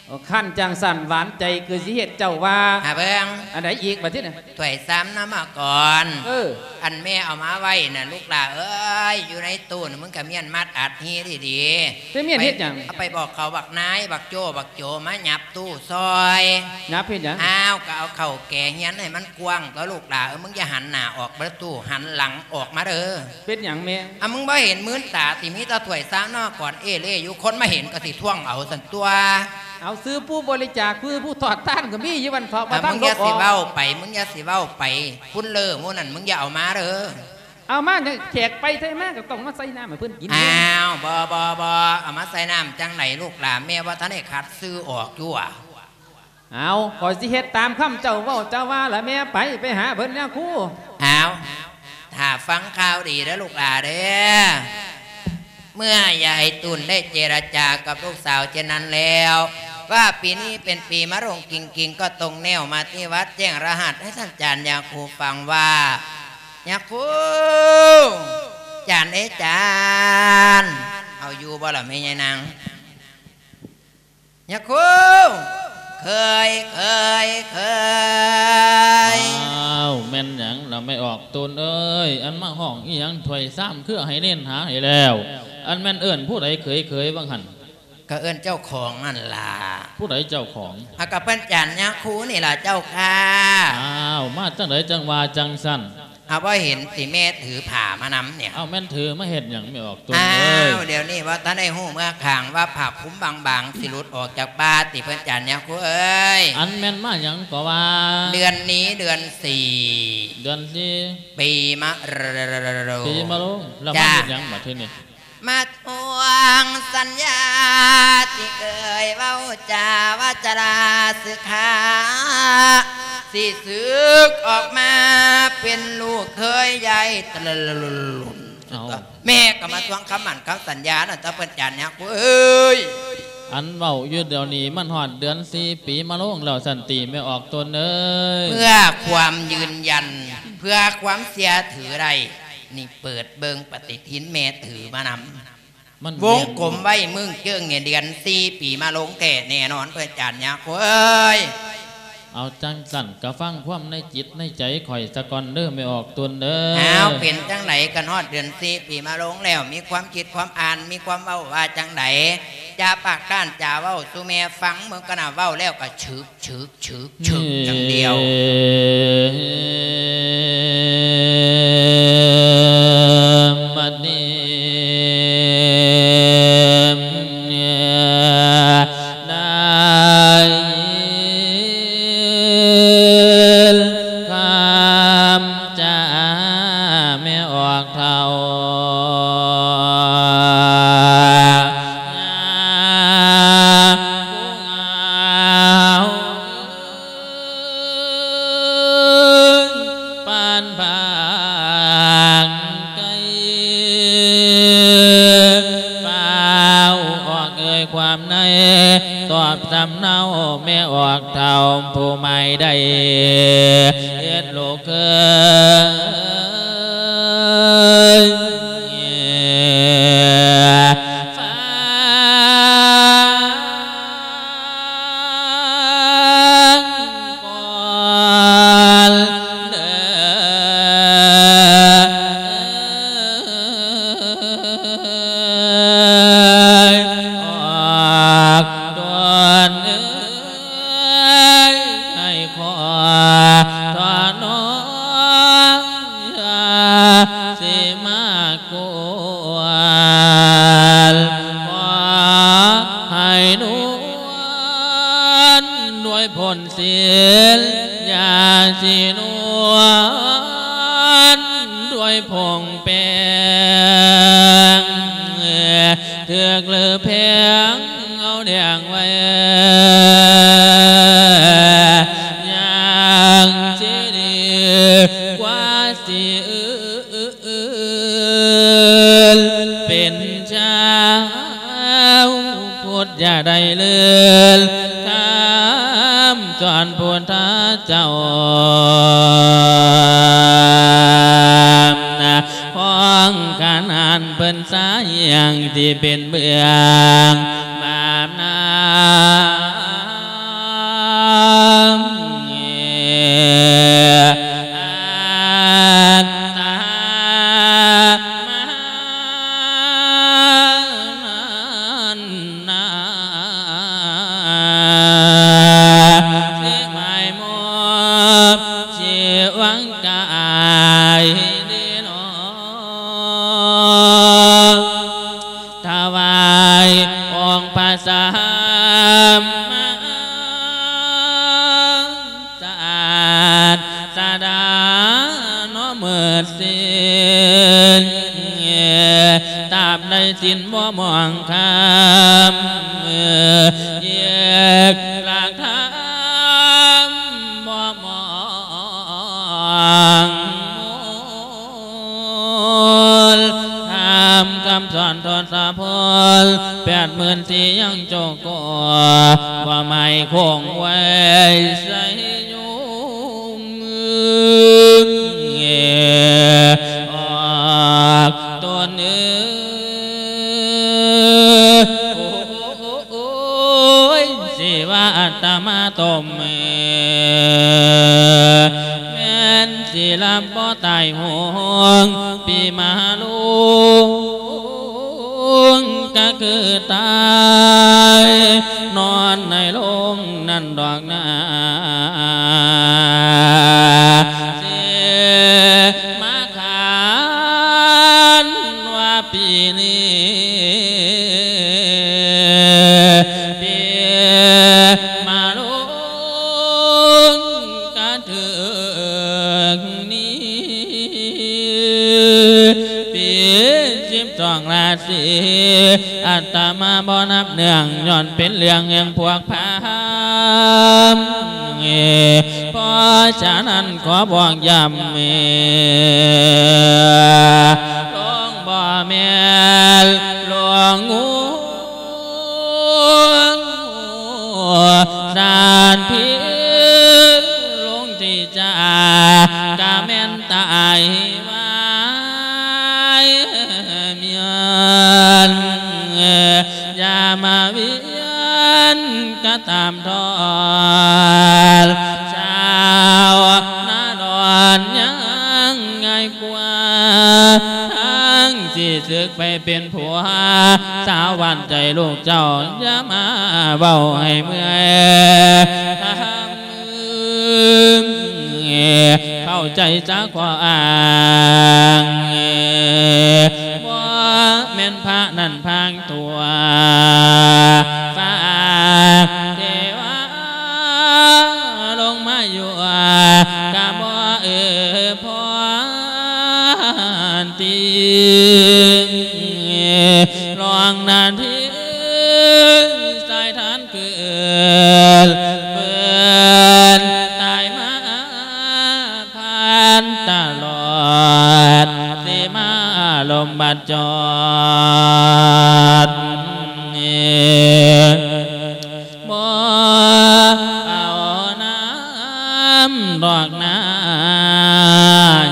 ໂອ້ ຄັນຈັ່ງຊັ້ນ ຫວານໃຈຄືຊິເຮັດເຈົ້າວ່າ. ຫາເບິ່ງ. ອັນໃດອີກບັດທີນີ້? ຖ້ວຍຊາມນະມາກ່ອນ. ເອີ ອັນແມ່ເອົາມາໄວ້ນະ ລູກຫຼ້າເອີຍ ຢູ່ໃນຕູ້ນະ ມຶງກະມ້ຽນມັດອັດຮີດີໆ. ໄປມ້ຽນເຮັດຫຍັງ? ເອົາໄປບອກເຂົາ ບັກນາຍ ບັກໂຈ້ ບັກໂຈ ມາຫຍັບຕູ້ຊ່ອຍ. ຫຍັບເຮັດຫຍັງ? ອ້າວ ກະເອົາເຂົ້າແກຮຽນໃຫ້ມັນ ກວ້າງຕົວະລູກຫຼ້າເອີຍ ມຶງຢ່າຫັນໜ້າອອກມາຕູ້ ຫັນຫຼັງອອກມາເດີ. ເປັນຫຍັງແມ່? ອາ ມຶງບໍ່ເຫັນມືນຕາຕິ ມີແຕ່ຖ້ວຍຊາມນະມາກ່ອນເອເລ່ຢູ່ ຄົນມາເຫັນກໍຊິທ້ວງເອົາຊັ້ນຕົວະ. ເອົາ ຊື່ຜູ້ບໍລິຈາກ ຄືຜູ້ທອດທານກໍມີຢູ່ ວັນເຖາະ ອ່າ ມາທາງ ມຶງຢ່າຊິເວົ້າໄປ ມຶງຢ່າຊິເວົ້າໄປ ພຸ້ນເລີ ໝູ່ນັ້ນ ມຶງຢ່າເອົາມາເດີ. ເອົາມາຫຍັງ? ແຂກໄປໃສມາກໍຕ້ອງມາໃສ່ນ້ຳໃຫ້ເພິ່ນກິນ. ອ້າວ ບໍ່ ບໍ່ ບໍ່ ເອົາມາໃສ່ນ້ຳຈັ່ງໃດລູກຫຼ້າ ແມ່ບໍ່ທັນໄດ້ຄັດຊື່ອອກຢູ່ຫວາ. ເອົາ ຂ້ອຍຊິເຮັດຕາມຄຳເຈົ້າເວົ້າເຈົ້າວ່າລະແມ່. ໄປ ໄປຫາເພິ່ນຍາຄູ. ເອົາ ຖ້າຟັງຂ່າວດີເດີລູກຫຼ້າເດີ ເມື່ອຍາຍຕຸນໄດ້ເຈລະຈາກັບລູກສາວເຊັ່ນນັ້ນແລ້ວ ວ່າປີນີ້ເປັນປີມະລົງກິງໆ ກໍຕົງແນວມາທີ່ວັດແຈ້ງລະຫັດໃຫ້ທ່ານຈານຍາຄູຟັງວ່າ ຍາຄູ ຈານເອີຍຈານ ເອົາຢູ່ບໍ່ລະແມ່ຍາຍນາງ? ຍາຄູ ເຄີຍ ເຄີຍ ເຄີຍ. ອ້າວ ແມ່ນຫຍັງລະແມ່ອອກ ຕຸນເອີຍ ອັນມາຮ້ອງອີ່ຫຍັງຖ້ວຍຊາມ ຄືໃຫ້ເນັ້ນຫາໃຫ້ແລ້ວ ອັນແມ່ນເອີ້ນຜູ້ໃດເຂີຍໆ ວ່າຫັ້ນ? ກໍເອີ້ນເຈົ້າຂອງນັ້ນລະ. ຜູ້ໃດເຈົ້າຂອງ? ອາ ກໍເພິ່ນຈານຍາຄູນີ້ລະເຈົ້າຂ້າ. ອ້າວ ມາຈັ່ງໃດຈັ່ງວ່າຈັ່ງຊັ້ນ? ອາ ບໍ່ເຫັນຕິແມ່ຖືຜ້າມານຳນີ້. ເອົ້າ ແມ່ນຖືມາເຮັດຫຍັງແມ່ອອກຕົນເອີຍ? ອ້າວ ດຽວນີ້ວ່າທັນໄດ້ຮູ້ເມືອຂ້າງວ່າຜ້າຄຸມບາງໆ ຊິຫຼຸດອອກຈາກປ່າຕິເພິ່ນຈານຍາຄູເອີຍ. ອັນແມ່ນມາຫຍັງກໍວ່າ? ເດືອນນີ້ເດືອນສີ່ ເດືອນສີ່ ປີມະໂລງ ປີມະໂລງ ແລ້ວມາເຮັດຫຍັງບັດທີນີ້? ມາທວງສັນຍາທີ່ເຄີຍເວົ້າຈາວາຈາລາສຶກຂາ ຊິສຶກອອກມາເປັນລູກເຂີຍໃຫຍ່ ເອົ້າ ແມ່ກໍມາທວງຄຳໝັ້ນຄຳສັນຍານັ້ນ ເຈົ້າເພິ່ນຈານຍາຄູເອີຍ. ອັນເວົ້າຢູ່ດຽວນີ້ມັນຮອດເດືອນສີ່ປີມະໂລງແລ້ວຊັ້ນຕິແມ່ອອກຕົນເອີຍ? ເພື່ອຄວາມຢືນຢັນ ເພື່ອຄວາມເຊື່ອຖືໄດ້ ນີ້ເປີດເບິ່ງປະຕິທິນແມ່ຖືມານຳ ມັນວົງກົມໄວ້ເມືອງເຈີງນີ້ ເດືອນສີ່ປີມະໂລງແທ້ແນ່ນອນ ເພິ່ນຈານຍາຄູເອີຍ. ເອົາ ຈັ່ງຊັ້ນກໍຟັງຄວາມໃນຈິດໃນໃຈຂ້ອຍສາກ່ອນເດີແມ່ອອກຕົນເດີ. ເອົາ ເປັນຈັ່ງໃດ ຄັນຮອດເດືອນສີ່ປີມະໂລງແລ້ວ ມີຄວາມຄິດຄວາມອ່ານ ມີຄວາມເວົ້າວ່າຈັ່ງໃດ? ຢ່າປາກກ້ານ ຢ່າເວົ້າສູ່ແມ່ຟັງ ເບິ່ງກັນນະ ເວົ້າແລ້ວກໍຊຶກ ຊຶກ ຊຶກ ຊຶກຢ່າງດຽວ. ບັດນີ້ ໄດ້ຍິນຄຳຈາແມ່ອອກເຖົ້າ ຍາຜູ້ງາມ ປານບາງໄກ ຟ້າວອອກເອີຍຄວາມໃນ ຕອບສຳເນົາແມ່ອອກເຖົ້າຜູ້ໃໝ່ໄດ້ເຮັດລູກເຂີຍ ຟັງກ່ອນເດີ ອອກຕົນເອີຍ ໃຫ້ຂໍທອດນ້ອມ ຊິມາກວນ ຂໍໃຫ້ນວນດ້ວຍພົນສິລ ຢ່າຊິນວນດ້ວຍຜົງແປ້ງ ຖືກຫຼືແພງເອົາແດງໄວ້ ຍັງຊິດີກວ່າຊິອື ອື່ນເປັນຊາວພຸດ ຢ່າໄດ້ເລີນຄຳສອນພຸດທະເຈົ້າ ຂອງຂະໜານເພິ່ນສາຍັງທີ່ເປັນເບື້ອງບາບນາ ອັດຕາມານນາ ເສກໝາຍມອບ ຊິຫວັງກາຍດີໜໍ ຖວາຍອົງພະສຳມາສາດສະດາເນາະ ເມີດສິນ ຕາບໃດສິນບໍ່ໝອງຄຳ ແຍກຫຼັກທຳບໍ່ໝອງ ທຳຄຳສອນທົດສະພົນ ແປດໝື່ນສີ່ຍັງໂຈໂກ ວ່າໄມ້ຄົງໄວ້ໃສ່ຍູ ອອກຕົນເອີຍ ໂອ້ຍ ຊິວ່າອັດຕະມາຕົມ ແມ່ນຊິລຳບໍ່ຕາຍໂຫງ ປີມະໂລງກະຄືຕາຍ ດອກນາ ຊິມາຂານວ່າປີນີ້ ປີມະໂລງກະຖືກນີ້ ປີສິບສອງລາສີ ອາດຕະມາບໍ່ນັບເນື່ອງ ຍ້ອນເປັນເລື່ອງແຫ່ງພວກພາມ ເພາະສະນັ້ນຂໍບອກຢ້ຳ ຫຼວງບໍ່ແມ່ນຫຼວງງູ ສາດພີ ຫຼວງທີ່ຈາກະແມ່ນຕາຍວາຍ ເມຍນ ຢ່າມາວຽນກະຕາມທອນ ຊາວນາດອນຍັງງ່າຍກວ່າ ທັງຊິສຶກໄປເປັນຜົວ ສາວຫວານໃຈລູກເຈົ້າ ຢ່າມາເວົ້າໃຫ້ເມື່ອຍ ເຂົ້າໃຈສາຂໍ້ອ້າງ ບໍ່ແມ່ນພະນັ້ນພາງຕົວ ຝາກເທວາລົງມາຢູ່ ກະບໍ່ເອື້ອພອນຕິ ລອງນາທີສາຍທານ ຄືເອີ້ນເພິ່ນຕາຍມາຜ່ານຕະຫຼອດ ຊິມາລົມບາດຈອດ ບໍ່ເອົານຳດອກນາ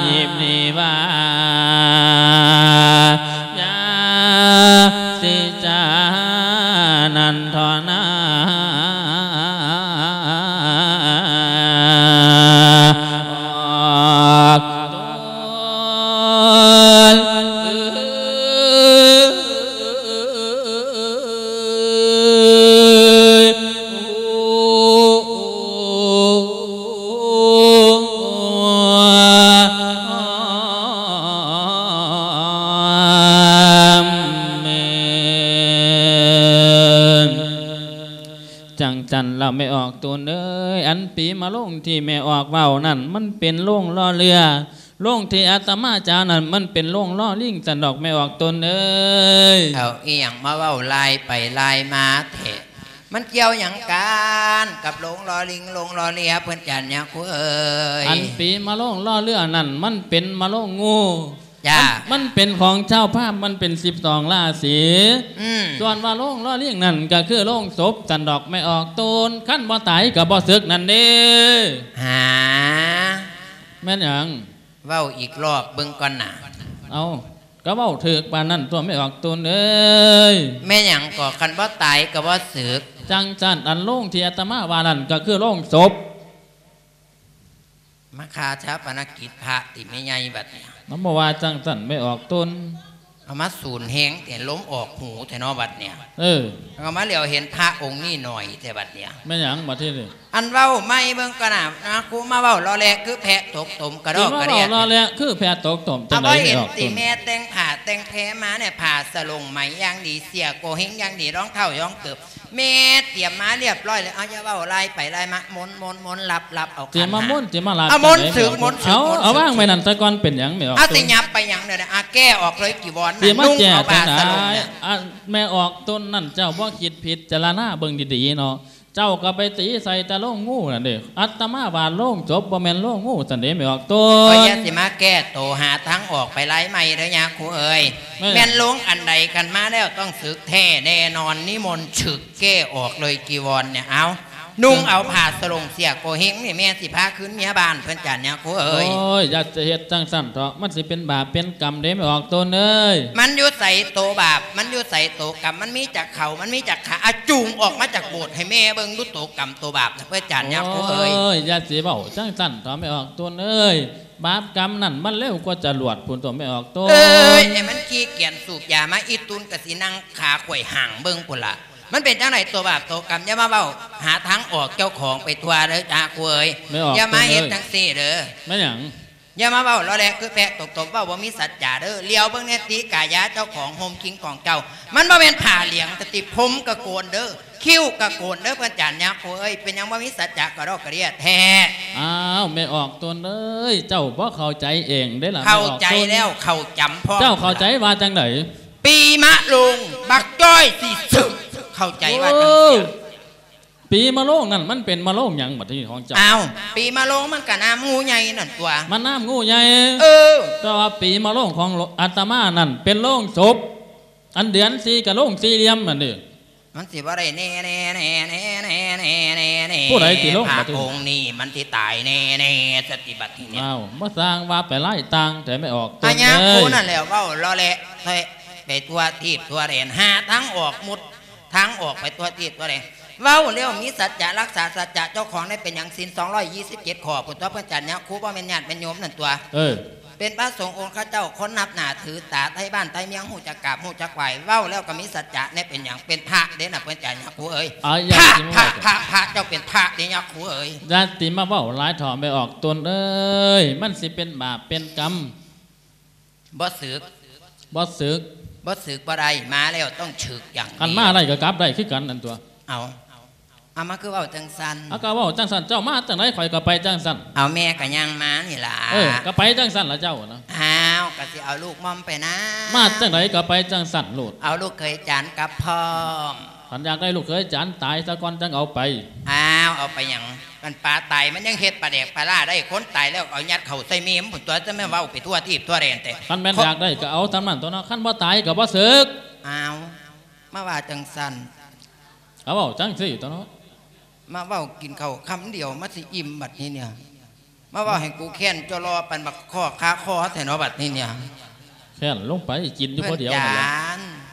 ຮີບນີ້ວ່າ ຢ່າຊິຈານັ້ນທໍ່ນາ ອອກຕົນ ຈັ່ງຊັ້ນລະແມ່ອອກຕົນເອີຍ ອັນປີມະໂລງທີ່ແມ່ອອກເວົ້ານັ້ນ ມັນເປັນໂລງລໍ້ເຮືອ ໂລງທີ່ອາດຕະມາຈານັ້ນ ມັນເປັນໂລງລໍລິງຊັ້ນດອກແມ່ອອກຕົນເອີຍ. ເອົາອີ່ຫຍັງມາເວົ້າລາຍໄປລາຍມາແທ້? ມັນກ່ຽວຫຍັງກັນກັບໂລງລໍລິງ ໂລງລໍເຮືອ ເພິ່ນຈັນຍາຄູເອີຍ? ອັນປີມະໂລງລໍເຮືອນັ້ນ ມັນເປັນມະໂລງງູ. ຈ້າ. ມັນ ມັນເປັນຂອງຊາວພາມ ມັນເປັນສິບສອງລາສີ. ອືມ. ສ່ວນວ່າໂລງລໍລິງນັ້ນ ກໍຄືໂລງສົບຊັ້ນດອກແມ່ອອກຕົນ ຄັນບໍ່ຕາຍກໍບໍ່ສຶກນັ້ນເດ້. ຫາ. ແມ່ນຫຍັງ? ເວົ້າອີກລອບເບິ່ງກ່ອນນະ. ເອົ້າ ກໍເວົ້າຖືກປານນັ້ນຕົວະແມ່ອອກຕົນເອີຍ. ແມ່ນຫຍັງກໍ ຄັນບໍ່ຕາຍກໍບໍ່ສຶກ? ຈັ່ງຊັ້ນ ອັນໂລງທີ່ອາດຕະມາວ່ານັ້ນ ກໍຄືໂລງສົບ. ມາຄາຊາປະນະກິດພະຕິແມ່ໃຫຍ່ບັດນີ້. ມັນບໍ່ວ່າຈັ່ງຊັ້ນແມ່ອອກຕົນ. ເອົາມາສູນແຮງແຕ່ລົມອອກຫູແທ້ເນາະບັດນີ້. ເອີ. ເອົາມາຫຼຽວເຫັນພະອົງນີ້ໜ້ອຍແທ້ບັດນີ້. ແມ່ນຫຍັງບັດທີນີ້? ອັນເວົ້າໃໝ່ເບິ່ງກ່ອນນະ ນາຄູມາເວົ້າລໍແລຄືແພະຕົກຕົມກະດອກກະເດຍ. ຊິມາເວົ້າລໍແລຄືແພະຕົກຕົມຈັ່ງໃດ? ເອົາບໍ່ເຫັນຕິແມ່ແຕ່ງຜ້າແຕ່ງແພມາແນ່ ຜ້າສະຫຼົງໄໝຢ່າງດີ ເສື້ອໂກເຮັງຢ່າງດີ ລອງເທົ້າລອງເກີບ ແມ່ຕຽມມາລຽບຮ້ອຍແລ້ວ. ເອົາ ຢ່າເວົ້າລາຍໄປລາຍມາ ມົນໆໆ ຫຼັບໆ ເອົາ ຊິມາມົນ ຊິມາຫຼັບ ເອົາມົນ ຈັ່ງໃດ ສຶກມົນ ເອົາ ເອົາວາງໄວ້ນັ້ນຊະກ່ອນ ເປັນຫຍັງແມ່ອອກຕົນ? ເອົາ ຊິຫຍັບໄປຫຍັງເດ ອາ ແກ້ອອກເລີຍຈີວອນ ນຸ່ງເອົາຜ້າສະຫຼົງ ອັນແມ່ອອກຕົນນັ້ນ ເຈົ້າບໍ່ຄິດພິຈາລະນາເບິ່ງດີໆເນາະ ເຈົ້າກໍໄປຕີໃສ່ແຕ່ໂລງງູນັ້ນເດ້. ອາດຕະມາວ່າໂລງສົບ ບໍ່ແມ່ນໂລງງູຊັ້ນເດ້ແມ່ອອກຕົນ. ກໍຢ່າຊິມາແກ້ໂຕ ຫາທາງອອກໄປລາຍໃໝ່ເດີຍາຄູເອີຍ. ແມ່ນ ແມ່ນໂລງອັນໃດ ຄັນມາແລ້ວຕ້ອງສຶກແທ້ແນ່ນອນ ນິມົນສຶກ ແກ້ອອກເລີຍຈີວອນນີ້. ເອົາ ນຸ່ງເອົາຜ້າສະຫຼົງເສື້ອໂກເຮັງນີ້ ແມ່ຊິພາຄືນເມຍບ້ານເພິ່ນຈ້າຍາຄູເອີຍ. ໂອ້ຍ ຢ່າຈະເຮັດຈັ່ງຊັ້ນເຖາະ ມັນຊິເປັນບາບເປັນກຳເດ້ແມ່ອອກຕົນເອີຍ. ມັນຢູ່ໃສໂຕບາບ ມັນຢູ່ໃສໂຕກຳ ມັນມີຈັກເຂົາ ມັນມີຈັກຂາ ອາ ຈູງອອກມາຈາກໂບດໃຫ້ແມ່ເບິ່ງດູໂຕກຳໂຕບາບນະເພິ່ນຈ້າຍາຄູເອີຍ. ໂອ້ຍ ຢ່າຊິເວົ້າຈັ່ງຊັ້ນເຖາະແມ່ອອກຕົນເອີຍ ບາບກຳນັ້ນມັນເລັວກວ່າຈະຫຼວດພຸ້ນຕົວະແມ່ອອກຕົນ. ເອີຍ ໃຫ້ມັນຂີ້ກຽນສູບຢາມາ ອີ່ຕຸນກະຊິນັ່ງຂາໄຂວ່ຫາງເບິ່ງພຸ້ນລະ. ມັນເປັນຈັ່ງໃດຕົວບາບຕົວກຳ? ຢ່າມາເວົ້າຫາທາງອອກເຈົ້າຂອງໄປທົ່ວເດີຈ້າຄູເອີຍ. ແມ່ອອກ ຢ່າມາເຮັດຈັ່ງຊີ້ເດີ. ແມ່ນຫຍັງ? ຢ່າມາເວົ້າລໍແລຄືແພະຕົກຕົມ ເວົ້າບໍ່ມີສັດຈະເດີ. ຫຼຽວເບິ່ງແນ່ຕິກາຍາເຈົ້າຂອງ ຮົ່ມຄິງຂອງເຈົ້າ ມັນບໍ່ແມ່ນຜ້າຫຼຽງຕິ ຜົມກະໂກນເດີ ຄິ້ວກະໂກນເດີ ເພິ່ນຈານຍາຄູເອີຍ. ເປັນຫຍັງບໍ່ມີສັດຈະກະດອກກະເດຍແທ້? ອ້າວ ແມ່ອອກຕົນເອີຍ ເຈົ້າບໍ່ເຂົ້າໃຈເອງເດ້ລະ. ເຂົ້າໃຈແລ້ວ ເຂົ້າຈຳພ້ອມ. ເຈົ້າເຂົ້າໃຈວ່າຈັ່ງໃດ? ປີມະໂລງ ບັກຈ້ອຍຊິສຶກ ເຂົ້າໃຈວ່າຈັ່ງຊີ້. ໂອ້ ປີມະໂລງນັ້ນ ມັນເປັນມະໂລງຫຍັງບັດນີ້ຂອງເຈົ້າ? ອ້າວ ປີມະໂລງມັນກະນ້ຳງູໃຫຍ່ນັ້ນຕົວະ. ມັນນ້ຳງູໃຫຍ່. ເອີ ແຕ່ວ່າປີມະໂລງຂອງອາດຕະມານັ້ນ ເປັນໂລງສົບ ອັນເດືອນສີ່ກະໂລງສີ່ຫຼ່ຽມນັ້ນເດ້. ມັນຊິບໍ່ໄດ້ແນ່ໆໆໆໆໆ ຜູ້ໃດຊິລົງ ພະອົງນີ້ມັນຊິຕາຍແນ່ໆ ສະຕິບັດທີນີ້. ອ້າວ ມາສ້າງວ່າໄປຫຼາຍຕ່າງແທ້ແມ່ອອກຕົນເອີຍ. ອາຍາຄູນັ້ນແຫຼະ ເວົ້າລໍແລະແທ້ ໄປທົ່ວທີບທົ່ວແດນ ຫາທາງອອກໝົດ ທາງອອກໄປທົ່ວທີບທົ່ວແດນ. ເວົ້າແລ້ວມີສັດຈະ ຮັກສາສັດຈະເຈົ້າຂອງໄດ້ ເປັນຫຍັງສິນສອງຮ້ອຍຊາວເຈັດຂໍ້ພຸ້ນຕົວະ ເພິ່ນຈານຍາຄູ ບໍ່ແມ່ນຍາດແມ່ນໂຍມນັ້ນຕົວະ. ເອີ ເປັນພະສົງອົງຄະເຈົ້າ ຄົນນັບໜ້າຖືຕາ ໄທບ້ານໄທເມືອງ ຮູ້ຈັກກາບຮູ້ຈັກໄຫວ້. ເວົ້າແລ້ວກໍມີສັດຈະແນ່ ເປັນຫຍັງ ເປັນພະເດ້ນະ ເພິ່ນຈານຍາຄູເອີຍ. ພະ ພະ ພະ ພະ ເຈົ້າເປັນພະເດ້ຍາຄູເອີຍ. ຢ່າຕິມາເວົ້າຫຼາຍເຖາະແມ່ອອກຕົນເອີຍ ມັນຊິເປັນບາບເປັນກຳ. ບໍ່ສຶກ ບໍ່ສຶກ ບໍ່ສຶກບໍ່ໄດ້ ມາແລ້ວຕ້ອງຖືກຢ່າງດຽວ. ຄັນມາໄດ້ກໍກັບໄດ້ຄືກັນນັ້ນຕົວະ. ເອົາ ເອົາ ມາຄືເວົ້າຈັ່ງຊັ້ນ? ເອົາ ກໍເວົ້າຈັ່ງຊັ້ນ ເຈົ້າມາຈັ່ງໃດຂ້ອຍກໍໄປຈັ່ງຊັ້ນ. ເອົາ ແມ່ກໍຍ່າງມານີ້ລະ. ເອີ ກໍໄປຈັ່ງຊັ້ນລະເຈົ້ານະ. ອ້າວ ກໍຊິເອົາລູກມ່ອມໄປນຳ. ມາຈັ່ງໃດກໍໄປຈັ່ງຊັ້ນໂລດ. ເອົາລູກເຂີຍຈານກັບພ້ອມ. ຄັນຢາກໄດ້ລູກເຂີຍຈານຕາຍຊະກ່ອນຈັ່ງເອົາໄປ. ອ້າວ ເອົາໄປຫຍັງ? ມັນປາຕາຍ ມັນຍັງເຮັດປາແດກປາລ້າໄດ້. ຄົນຕາຍແລ້ວເອົາຍັດເຂົ້າໃສ່ເມມພຸ້ນຕົວະ ຈະແມ່ນເວົ້າໄປທົ່ວທີບທົ່ວແດນແຕ່. ຄັນແມ່ນຢາກໄດ້ກໍເອົາສ່ຳນັ້ນຕົວະເນາະ ຄັນບໍ່ຕາຍກໍບໍ່ເສິກ. ອ້າວ ມາວ່າຈັ່ງຊັ້ນ. ກໍເວົ້າຈັ່ງຊີ້ຕົວະເນາະ. ມາເວົ້າກິນເຂົ້າຄຳດຽວມາຊິອີ່ມບັດນີ້ເນຍ. ມາເວົ້າໃຫ້ກູແຄ້ນຈໍລໍປານບັກຄໍ້ຄາຄໍແທ້ເນາະບັດນີ້ເນຍ. ແຄ້ນລົງໄປກິນຢູ່ຜູ້ດຽວນັ້ນແຫຼະ.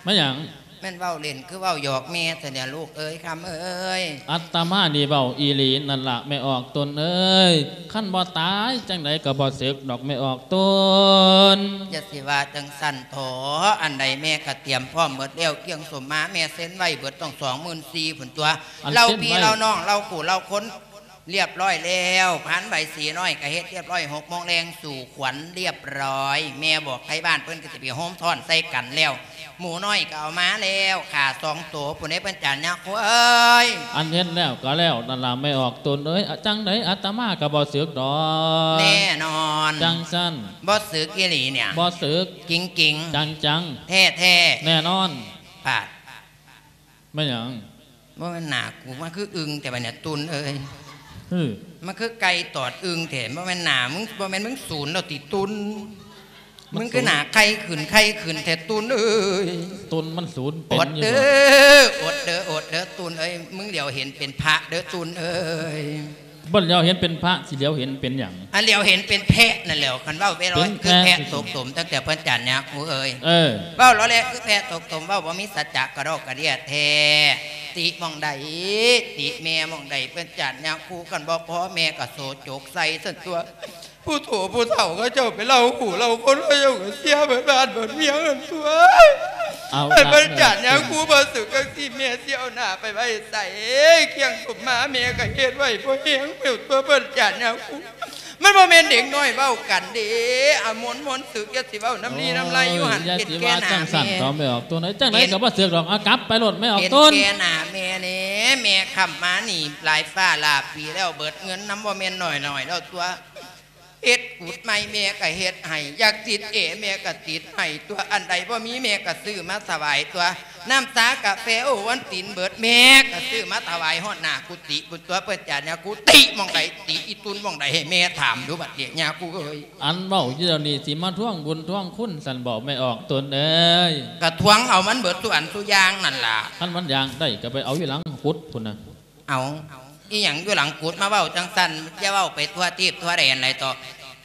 ແມ່ນຫຍັງ? ແມ່ນເວົ້າຫຼິ້ນຄືເວົ້າຫຍອກແມ່ແທ້ເນຍ ລູກເອີຍ ຄຳເອີຍ. ອາດຕະມານີ້ເວົ້າອີ່ຫຼີນັ້ນລະແມ່ອອກຕົນເອີຍ. ຄັນບໍ່ຕາຍຈັ່ງໃດກໍບໍ່ເສິກດອກແມ່ອອກຕົນ. ຢ່າຊິວ່າຈັ່ງຊັ້ນເຖາະ ອັນໃດແມ່ກໍຕຽມພ້ອມເບິດແລ້ວ ກຽງສົມມາແມ່ເຊັນໄວ້ເບິດຕ້ອງສອງໝື່ນສີ່ພຸ້ນຕົວະ. ເລົ່າພີ່ເລົ່ານ້ອງ ເລົ່າຄູ່ເລົ່າຄົນ ລຽບຮ້ອຍແລ້ວ. ພານໃບສີນ້ອຍກໍເຮັດລຽບຮ້ອຍ ຫົກໂມງແລງສູ່ຂວັນລຽບຮ້ອຍ. ແມ່ບອກໄທບ້ານເພິ່ນກໍຊິໄປໂຮມຊ້ອນໃສ່ກັນແລ້ວ. ໝູນ້ອຍກໍເອົາມາແລ້ວ ຂ້າສອງໂຕພຸ້ນເດ້ ເພິ່ນຈານຍາຄູເອີຍ. ອັນເຮັດແລ້ວກໍແລ້ວນັ້ນລະແມ່ອອກຕົນເອີຍ. ຈັ່ງໃດອາດຕະມາກໍບໍ່ເສິກດອກ. ແນ່ນອນ. ຈັ່ງຊັ້ນ. ບໍ່ເສິກອີ່ຫຼີເນຍ. ບໍ່ເສິກ. ຈິງໆ. ຈັງໆ. ແທ້ໆ. ແນ່ນອນ. ປາດ ແມ່ນຫຍັງ? ບໍ່ແມ່ນໜ້າກູ ມັນຄືອຶ່ງແທ້ບາດນີ້ ຕຸນເອີຍ. ຫື ມັນຄືໄກ່ຕອດອຶ່ງແທ້. ບໍ່ແມ່ນໜ້າມຶງ ບໍ່ແມ່ນມຶງສູນແລ້ວຕິ ຕຸນ? ມັນ ມຶງຄືໜ້າໄຂ່ຂຶ້ນໄຂ່ຂຶ້ນແທ້ ຕຸນເອີຍ. ຕຸນມັນສູນເປັນຢູ່ບໍ່? ອົດເດີ ອົດເດີ ອົດເດີ ຕຸນເອີຍ. ມຶງຫຼຽວເຫັນເປັນພະເດີ ຕຸນເອີຍ. ບໍ່ຫຼຽວເຫັນເປັນພະ ຊິຫຼຽວເຫັນເປັນຫຍັງ? ອັນຫຼຽວເຫັນເປັນແພະນັ້ນແຫຼ້ວ. ຄັນເວົ້າເວລາ ເປັນແພະ ຄືແພະຕົກຕົມ ຕັ້ງແຕ່ເພິ່ນຈານຍາຄູເອີຍ. ເອີ ເວົ້າລໍແລະ ຄືແພະຕົກຕົມ ເວົ້າບໍ່ມີສັດຈະກະດອກກະເດຍແທ້. ຕິໝ່ອງໃດ ຕິແມ່ໝ່ອງໃດ ເພິ່ນຈານຍາຄູ. ຄັນບໍ່ພໍແມ່ກໍໂສຈົກໃສ່ຊັ້ນຕົວະ. ຜູ້ໂຖຜູ້ເຖົ້າເຂົາເຈົ້າໄປເລົ່າຜູ້ເລົ່າຄົນ ເຂົາເຈົ້າກໍເສຍເບິດບ້ານເບິດເມືອງຫັ້ນຕົວະ. ເອົາລະ ເພິ່ນຈານຍາຄູ ບໍ່ເສິກຈັ່ງຊີ້ ແມ່ຊິເອົາໜ້າໄປໄວ້ໃສ? ກຽງສົມມາແມ່ກໍເຮັດໄວ້ພໍແຮງແລ້ວຕົວະ ເພິ່ນຈານຍາຄູ. ມັນບໍ່ແມ່ນເດັກນ້ອຍເວົ້າກັນເດ້. ອາ ມົນໆ ເສິກ ຢ່າຊິເວົ້ານ້ຳລີນ້ຳໄລຢູ່ຫັ້ນ. ໂອ້ຍ ຢ່າຊິວ່າຈັ່ງຊັ້ນເຖາະແມ່ອອກຕົນເອີຍ. ຈັ່ງໃດກໍບໍ່ເສິກດອກ. ເອົາກັບໄປໂລດແມ່ອອກຕົນ. ເຫັນແກ່ໜ້າແມ່ແດ່ ແມ່ຄ້ຳມານີ້ຫຼາຍຟ້າຫຼາຍປີແລ້ວ ເບິດເງິນນຳບໍ່ແມ່ນໜ້ອຍໆ ແລ້ວຕົວະ. ເຮັດກຸດໃໝ່ແມ່ກໍເຮັດໃຫ້ ຢາກຕິດແອແມ່ກໍຕິດໃຫ້ຕົວະ. ອັນໃດບໍ່ມີແມ່ກໍຊື້ມາຖວາຍຕົວະ. ນ້ຳຊາກາແຟໂອວັນຕິນເບິດ ແມ່ກໍຊື້ມາຖວາຍຮອດໜ້າກຸຕິພຸ້ນຕົວະ. ເພິ່ນຈານຍາຄູ ຕິໝ່ອງໃດ ຕິອີ່ຕຸນໝ່ອງໃດ ໃຫ້ແມ່ຖາມດູບັດນີ້ຍາຄູເອີຍ. ອັນເວົ້າຢູ່ດຽວນີ້ ຊິມາທວງບຸນທວງຄຸນຊັ້ນບໍແມ່ອອກຕົນເອີຍ? ກໍທວງເອົາມັນເບິດສູ່ອັນສູ່ຢ່າງນັ້ນລະ. ຄັນມັນຢາກໄດ້ກໍໄປເອົາຢູ່ຫຼັງກຸດພຸ້ນນະ. ເອົາ ອີ່ຫຍັງຢູ່ຫຼັງກຸດ ມາເວົ້າຈັ່ງຊັ້ນ ຢ່າເວົ້າໄປທົ່ວທີບທົ່ວແດນຫຼາຍເຖາະ.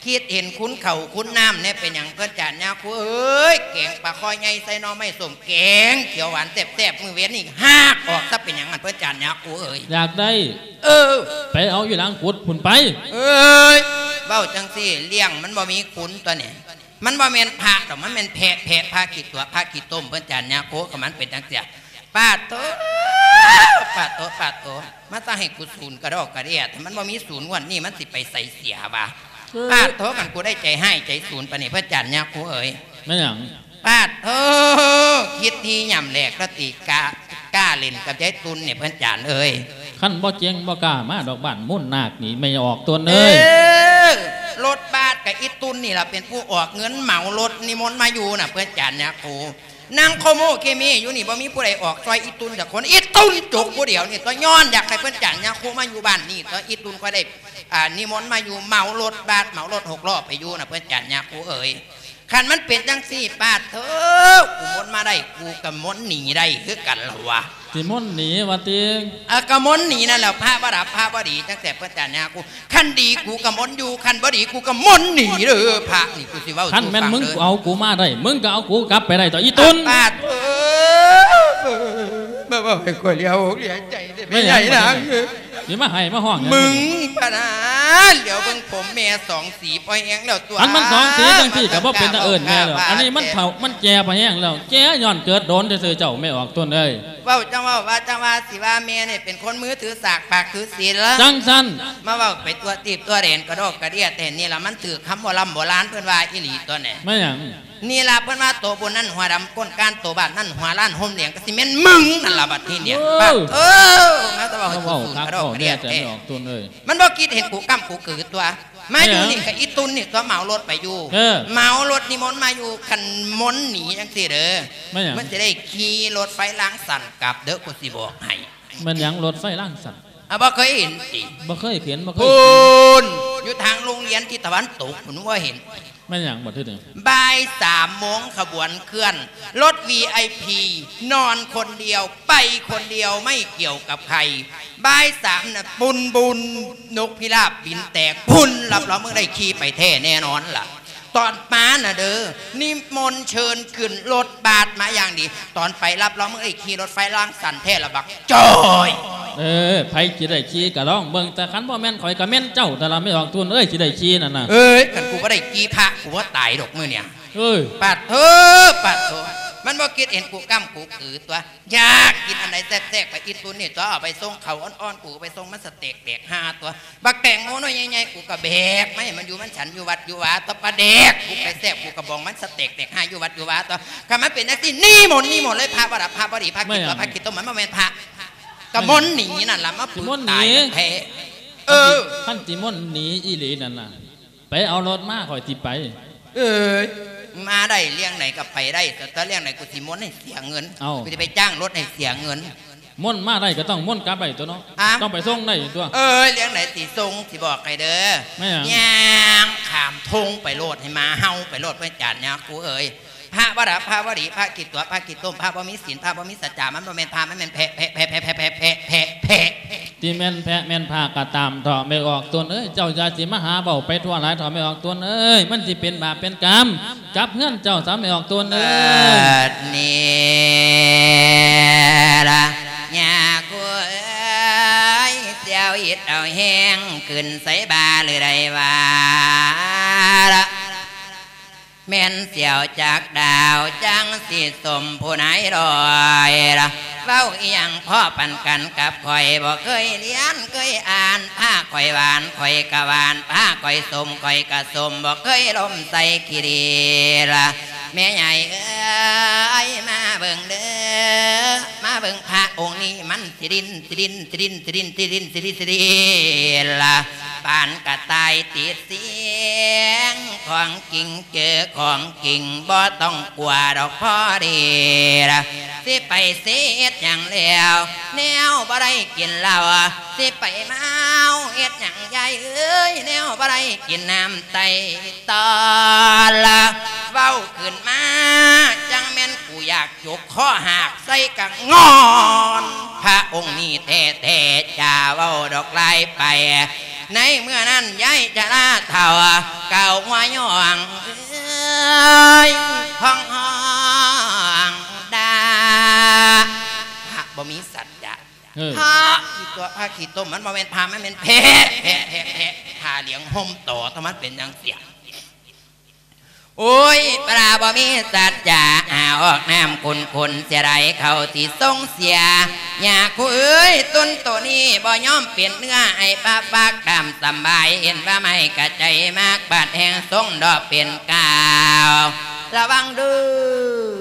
ຄິດເຫັນຄຸນເຂົ້າຄຸນນ້ຳແດ່ ເປັນຫຍັງເພິ່ນຈານຍາຄູເອີຍ? ແກງປາຄໍ່ໃຫຍ່ໃສ່ໜໍ່ໄມ້ສົ້ມ ແກງຂຽວຫວານແຊບໆ ມື້ເວັນນີ້ຫາກອອກຊະ ເປັນຫຍັງຫັ້ນເພິ່ນຈານຍາຄູເອີຍ? ຢາກໄດ້ ເອີ ໄປເອົາຢູ່ຫຼັງກຸດພຸ້ນໄປ. ເອີຍ ເວົ້າຈັ່ງຊີ້ ລ້ຽງມັນບໍ່ມີຄຸນຕົວະນີ້. ມັນບໍ່ແມ່ນພະດອກ ມັນແມ່ນແພະ ແພະພະຂີ້ຕົວະ ພະຂີ້ຕົມ ເພິ່ນຈານຍາຄູ ກໍມັນເປັນຈັ່ງຊີ້. ປາດໂທ້ ປາດໂຕ ປາດໂຕ ມາຊະໃຫ້ກູສູນກະດອກກະເດຍ ຖ້າມັນບໍ່ມີສູນງວດນີ້ມັນຊິໄປໃສເສຍວະ? ເອີ ປາດໂຕ ຄັນກູໄດ້ໃຈຮ້າຍໃຈສູນປານນີ້ ພະອາຈານຍາຄູເອີຍ. ແມ່ນຫຍັງ? ປາດໂທ ຄິດທີ່ຫຍ້ຳແຫຼກລະຕິ ກ້າ ກ້າຫຼິ້ນກັບຍາຍຕຸ່ນນີ້ ພະອາຈານເອີຍ. ຄັນບໍ່ເກັ່ງບໍ່ກ້າມາດອກບ້ານມູນນາກນີ້ ແມ່ອອກຕົວເອີຍ. ເອີ ລົດບາດກະອີຕຸ່ນນີ້ລະເປັນຜູ້ອອກເງິນເໝົາລົດນິມົນມາຢູ່ນະ ພະອາຈານຍາຄູ. ນັ່ງໂຄໂມເຄເມຢູ່ນີ້ ບໍ່ມີຜູ້ໃດອອກຊ່ອຍອີຕຸ່ນຈັກຄົນ. ອີຕຸ່ນຈົກຜູ້ດຽວນີ້ຕົວະ ຍ້ອນຢາກໃຫ້ເພິ່ນຈານຍາຄູມາຢູ່ບ້ານນີ້ຕົວະ ອີຕຸ່ນຄ່ອຍໄດ້ ອ່າ ນິມົນມາຢູ່ ເໝົາລົດບາດ ເໝົາລົດຫົກລໍ້ໄປຢູ່ນະ ເພິ່ນຈານຍາຄູເອີຍ. ຄັນມັນເປັນຈັ່ງຊີ້ ປາດໂທ ກູມົນມາໄດ້ ກູກະມົນໜີໄດ້ຄືກັນລະວະ. ຊິມົນໜີວ່າຕິ? ເອີ ກະມົນໜີນັ້ນແຫຼະ ພະບໍ່ດັບພະບໍ່ດີ ຈັ່ງແສບເພິ່ນຈານຍາຄູ. ຄັນດີກູກະມົນຢູ່ ຄັນບໍ່ດີກູກະມົນໜີເດີ ພະນີ້ກູຊິເວົ້າ. ຄັນແມ່ນມຶງເອົາກູມາໄດ້ ມຶງກະເອົາກູກັບໄປໄດ້ຕົວະ ອີຕຸ່ນ. ປາດເອີຍ ມາເວົ້າໃຫ້ຂ້ອຍເລີຍ ເລີຍໃຈເດ້ ແມ່ໃຫຍ່ນາງເອີຍ. ຊິມາໄຫ້ມາຮ້ອງຫຍັງ? ມຶງພະນາ ຫຼຽວເບິ່ງຜົມແມ່ສອງສີພໍແຮງແລ້ວຕົວະ. ຄັນມັນສອງສີຈັ່ງຊີ້ກະບໍ່ເປັນຕາເອີ້ນແມ່ແລ້ວ. ອັນນີ້ມັນເຖົ້າມັນແກ່ພໍແຮງແລ້ວ ແກ່ຍ້ອນເກີດໂດນຊື່ໆ ເຈົ້າແມ່ອອກຕົນເອີຍ. ເວົ້າຈັ່ງເວົ້າ ວ່າຈັ່ງວ່າ ຊິວ່າແມ່ນີ້ເປັນຄົນມືຖືສາກ ປາກຖືສີນລະ ຈັ່ງຊັ້ນ. ມາເວົ້າໄປທົ່ວຕີບທົ່ວແດນກະດອກກະເດຍແທ້ນີ້ລະ ມັນຖືກຄຳໂບລຳໂບລານເພິ່ນວ່າອີ່ຫຼີຕົວະແນ່. ແມ່ນຫຍັງ? ນີ້ລະເພິ່ນວ່າ ໂຕບຸນນັ້ນຫົວດຳກົ້ນການ ໂຕບາບນັ້ນຫົວລ້ານຫົວແດງ ກະຊິແມ່ນມຶງນັ້ນລະບັດທີນີ້. ເອີ ປາດໂທ ມາແຕ່ເວົ້າໃຫ້ກູສູນກະດອກກະເດຍແທ້ ແຕ່ແມ່ອອກຕົນເອີຍ. ມັນບໍ່ຄິດເຫັນກູກ້ຳກູກືຕົວະ. ມາຢູ່ນີ້ກະອີຕຸ່ນນີ້ຕົວະ ເໝົາລົດໄປຢູ່. ເອີ ເໝົາລົດນິມົນມາຢູ່ ຄັນມົນໜີຈັ່ງຊີ້ເດີ ແມ່ນຫຍັງ? ມັນຊິໄດ້ຂີ່ລົດໄຟລາງສັ້ນກັບເດີ ກູຊິບອກໃຫ້. ແມ່ນຫຍັງລົດໄຟລາງສັ້ນ? ອາ ບໍ່ເຄີຍເຫັນຕິ? ບໍ່ເຄີຍເຫັນ ບໍ່ເຄີຍ. ພຸ້ນ ຢູ່ທາງໂຮງຮຽນທິດຕາເວັນຕົກພຸ້ນ ບໍ່ເຫັນ. ແມ່ນຫຍັງບັດທີນີ້? ບ່າຍສາມໂມງຂະບວນເຄື່ອນ ລົດວີໄອພີ ນອນຄົນດຽວ ໄປຄົນດຽວ ໄມ່ກ່ຽວກັບໃຄ. ບ່າຍສາມນະ ປຸນບຸນ ນົກພິລາບບິນແຕກພຸ້ນ ຮັບຮອງມຶງໄດ້ຂີ່ໄປແທ້ແນ່ນອນລະ. ຕອນມານະເດີ ນິມົນເຊີນຂຶ້ນລົດບາດມາຢ່າງດີ ຕອນໄປຮັບຮອງມຶງໄດ້ຂີ່ລົດໄຟລາງສັ້ນແທ້ລະບັກຈ້ອຍ. ເອີ ໃຜຊິໄດ້ຂີ່ກະລອງເບິ່ງ ແຕ່ຄັນບໍ່ແມ່ນຂ້ອຍກະແມ່ນເຈົ້າຫັ້ນລະ ແມ່ອອກຕົນເອີຍ ຊິໄດ້ຂີ່ນັ້ນນະ. ເອີຍ ຄັນກູບໍ່ໄດ້ຂີ່ພະ ກູບໍ່ຕາຍດອກມື້ນີ້. ເອີຍ ປາດໂທ ປາດໂທ ມັນບໍ່ຄິດເຫັນກູກ້ຳກູກືຕົວະ. ຢາກກິນອັນໃດແຊບໆ ກະອີຕຸ່ນນີ້ຕົວະ ເອົາໄປສົ່ງເຂົ້າອ່ອນໆ ກູກະໄປສົ່ງມັນສະເຕັກແຕກຫ້າຕົວະ. ບັກແຕງໂມໜ່ວຍໃຫຍ່ໆ ກູກະແບກມາໃຫ້ມັນຢູ່ ມັນສັນຢູ່ວັດຢູ່ວາ ຕະປາແດກ ກູໄປແຊບ ກູກະບອງມັນສະເຕັກແຕກຫ້າຢູ່ວັດຢູ່ວາຕົວະ. ຄັນມັນເປັນຈັ່ງຊີ້ ນິມົນ ນິມົນເລີຍ ພະບໍ່ດັບພະບໍ່ດີ ພະຂີ້ຕົວະ ພະຂີ້ຕົມ ມັນບໍ່ແມ່ນພະ ກະມົນໜີນັ້ນລະ ມາປຶກຕາຍແທ້. ເອີ ຄັນຊິມົນໜີອີ່ຫຼີນັ້ນນະ ໄປເອົາລົດມາ ຂ້ອຍຊິໄປ. ເອີຍ ມາໄດ້ ລ້ຽງໃດກະໄປໄດ້ ແຕ່ລ້ຽງໃດກູຊິມົນໃຫ້ເສຍເງິນ. ເອົ້າ ກູຊິໄປຈ້າງລົດໃຫ້ເສຍເງິນ. ມົນມາໄດ້ກະຕ້ອງມົນກັບໄດ້ຕົວະເນາະ. ອ້າວ ຕ້ອງໄປສົ່ງໄດ້ຕົວະ. ເອີຍ ລ້ຽງໃດຊິສົ່ງ ຊິບອກໃຫ້ເດີ. ແມ່ນຫຍັງ? ຍ່າງຂ້າມທົ່ງໄປໂລດ ໃຫ້ໝາເຫົ່າໄປໂລດ ພະອາຈານຍາຄູເອີຍ. ພະບໍ່ດັບພະບໍ່ດີ ພະຂີ້ຕົວະ ພະຂີ້ຕົມ ພະບໍ່ມີສິນ ພະບໍ່ມີສັດຈາ ມັນບໍ່ແມ່ນພະ ມັນແມ່ນແພະ ແພະ ແພະ. ທີ່ແມ່ນແພະແມ່ນພະກະຕາມເຖາະ ແມ່ອອກຕົນເອີຍ ເຈົ້າຢ່າຊິມາຫາເວົ້າໄປທົ່ວຫຼາຍເຖາະ ແມ່ອອກຕົນເອີຍ ມັນຊິເປັນບາບເປັນກຳກັບເຮືອນເຈົ້າຊະ ແມ່ອອກຕົນເອີຍ. ເອີ ນີ້ລະ ຍາຄູເອີຍ ສຽວອິດເອົາແຮງ ຂຶ້ນໃສ່ບ່າຫຼືໃດວ່າລະ ແມ່ນສຽວຈັກດາວ ຈັ່ງຊິສົມຜູ້ນາຍດອຍລະ ເວົ້າອີ່ຫຍັງພໍ້ປານກັນກັບຂ້ອຍ ບໍ່ເຄີຍລຽນເຄີຍອ່ານ ພາຂ້ອຍຫວານ ຂ້ອຍກະຫວານ ພາຂ້ອຍສົມ ຂ້ອຍກະສົມ ບໍ່ເຄີຍລົມໃສ່ຂີ້ດີລະ. ແມ່ໃຫຍ່ເອີຍ ມາເບິ່ງເດີ ມາເບິ່ງພະອົງນີ້ ມັນຊິດິນ ຊິດິນ ຊິດິນ ຊິດິນ ຊິດິນ ຊິດິນ ຊິດິນ ຊິດິນລະ ປານກະຕ່າຍຕິດ ສຽງຂອງຈິງ ເຈີຂອງຈິງ ບໍ່ຕ້ອງກົວດອກພໍດີລະ ຊິໄປເສຍເຮັດຫຍັງແລ້ວ ແນວບໍ່ໄດ້ກິນເຫຼົ້າ ຊິໄປເມົາເຮັດຫຍັງຍາຍເອີຍ ແນວບໍ່ໄດ້ກິນນ້ຳໄຕຕອນລະ ເວົ້າຂຶ້ນມາ ຈັ່ງແມ່ນກູຢາກ ຈົກຄໍຫາກໃສ່ກະງອນ ພະອົງນີ້ແທ້ໆ ຈາເວົ້າດອກຫຼາຍໄປ ໃນເມື່ອນັ້ນຍາຍຈະລາເຖົ້າ ກ່າວຫົວຍ້ອງເອີຍ ຮ້ອງຮ້ອງດ່າ ພະບໍ່ມີສັດຈະ ເອີ ພະຂີ້ຕົວະ ພະຂີ້ຕົມ ມັນບໍ່ແມ່ນພະ ມັນແມ່ນແພະ ແພະ ແພະ ແພະ ຜ້າຫຼຽງຫົ່ມຕໍ່ ຖ້າມັນເປັນຈັ່ງຊີ້ ໂອ້ຍ ປາບໍ່ມີສັດຈະ ຫາອອກນ້ຳຂຸນໆ ເສຍດາຍເຂົາຊິຊົງເສຍ. ຍາຄູເອີຍ ຕຸນໂຕນີ້ບໍ່ຍອມເປັນເນື້ອ ໃຫ້ປະປັກຕາມສຳບາຍ ເຫັນວ່າໄມ້ກະໃຈມັກ ບາດແຫ່ງຊົງດອກເປັນກາວ. ລະວັງເດີ້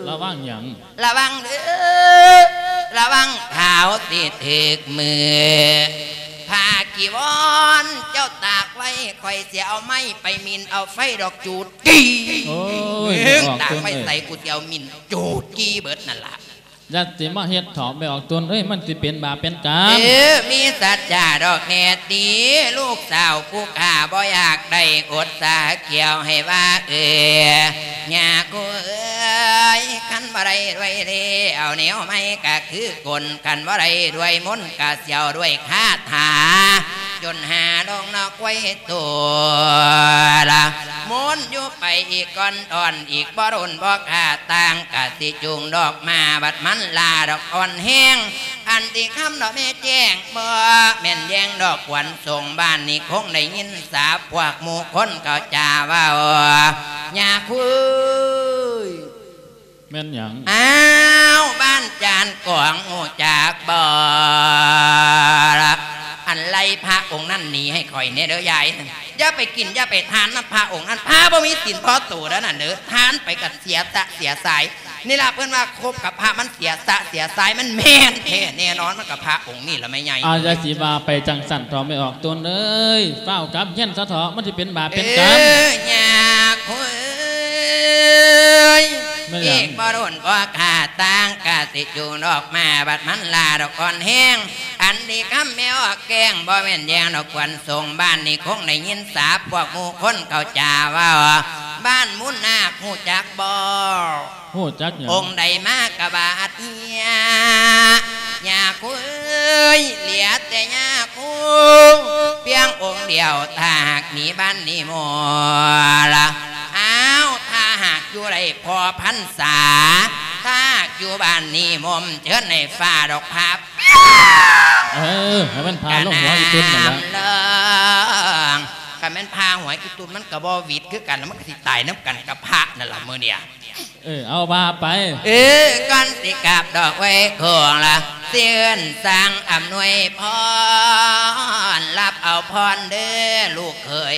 ລະວັງຫຍັງ? ລະວັງເດີ້ ລະວັງຂາວຊິຖືກມື. ຜ້າຈີວອນເຈົ້າຕາກໄວ້ ຂ້ອຍຊິເອົາໄມ້ໄປໝິ່ນເອົາໄຟດອກຈູດຈີ່. ໂອ້ຍ ແມ່ອອກຕຸນເອີຍ ຕາກໄວ້ໃສ ກູຊິເອົາໝິ່ນຈູດຈີ່ເບິດນັ້ນລະ. ຢ່າຊິມາເຮັດເຖາະແມ່ອອກຕຸນເອີຍ ມັນຊິເປັນບາບເປັນກຳ. ເອີ ມີສັດຈະດອກແນ່ຕິ ລູກສາວກູຂ້າບໍ່ຢາກໄດ້ອົດສາກ່ຽວໃຫ້ວ່າເອີ. ຍາຄູເອີຍ ຄັນບໍ່ໄດ້ດ້ວຍເດ ເອົາແນວໃໝ່ກະຄືກົນ ຄັນບໍ່ໄດ້ດ້ວຍມົນກະສຽວດ້ວຍຄາຖາ ຈົນຫາລົງນອກໄວ້ໂຕລະ. ມົນຢູ່ໄປອີກກ່ອນ ອ່ອນອີກບໍ່ດົນບໍ່ຂ້າຕ່າງ ກະຊິຈູງດອກມາ ບັດມັນລາດອກອ່ອນແຮງ ອັນຕິຄຳດອກແມ່ແຈ້ງ ບໍ່ແມ່ນແຍ່ງດອກຄວນສົ່ງ ບ້ານນີ້ຄົງໄດ້ຍິນສາບ ພວກໝູ່ຄົນເຂົາຈາເວົ້າ. ຍາຄູເອີຍ ແມ່ນຫຍັງ? ອ້າວ ບ້ານຈານກອງ ຮູ້ຈັກບໍ່ລະ? ອັນໄລ່ພະອົງນັ້ນໜີໃຫ້ຂ້ອຍແດ່ເດີ້ຍາຍ. ຢ່າໄປກິນ ຢ່າໄປທານນຳພະອົງນັ້ນ ພະບໍ່ມີສິນພໍໂຕເດີ້ນັ້ນເດີ້ ທານໄປກໍເສຍສະເສຍສາຍ. ນີ້ລະເພິ່ນວ່າຄົບກັບພະມັນເສຍສະເສຍສາຍ ມັນແມ່ນແທ້ແນ່ນອນ ມັນກໍພະອົງນີ້ລະແມ່ໃຫຍ່. ອາ ຢ່າຊິວ່າໄປຈັ່ງຊັ້ນເຖາະແມ່ອອກຕຸນເອີຍ ຟ້າວກັບເຮືອນຊະເຖາະ ມັນຊິເປັນບາບເປັນກຳ. ເອີ ຍາຄູເອີຍ ແມ່ນຫຍັງ? ອີກບໍ່ດົນບໍ່ຂ້າຕ່າງ ກະຊິຈູງດອກມາ ບັດມັນລາດອກອ່ອນແຮງ ອັນນີ້ຄຳແມ່ອອກແກ້ງ ບໍ່ແມ່ນແຍ່ງດອກຄວນສົ່ງ ບ້ານນີ້ຄົງໄດ້ຍິນສາບ ພວກໝູ່ຄົນເຂົາຈາເວົ້າ ບ້ານມູນນາກ ຮູ້ຈັກບໍ່? ຮູ້ຈັກຫຍັງ? ອົງໃດມາກະບາດເຮຍ ຍາຄູເອີຍ ເຫຼືອແຕ່ຍາຄູພຽງອົງດຽວ ຖ້າຫາກໜີບ້ານນີ້ໝົດລະ. ອ້າວ ຖ້າຫາກຢູ່ໄດ້ພໍພັນສາ ຖ້າຫາກຢູ່ບ້ານນີ້ໝົມ ເຊີນໃຫ້ຟ້າດອກພາ ເອີ ໃຫ້ມັນພາລົງຫົວອີ່ຕຸ່ນນັ້ນລະ. ກະແມ່ນພາຫົວອີ່ຕຸ່ນ ມັນກະບໍ່ຫວິດຄືກັນ ມັນກະຊິຕາຍນຳກັນກັບພະນັ້ນລະມື້ນີ້. ເອີ ເອົາວ່າໄປ. ເອີ ກ່ອນຊິກັບດອກໄວ້ໂຄງລະ ຊິເອີ້ນສັ່ງອຳນວຍພອນ ຮັບເອົາພອນເດີ້ລູກເຂີຍ.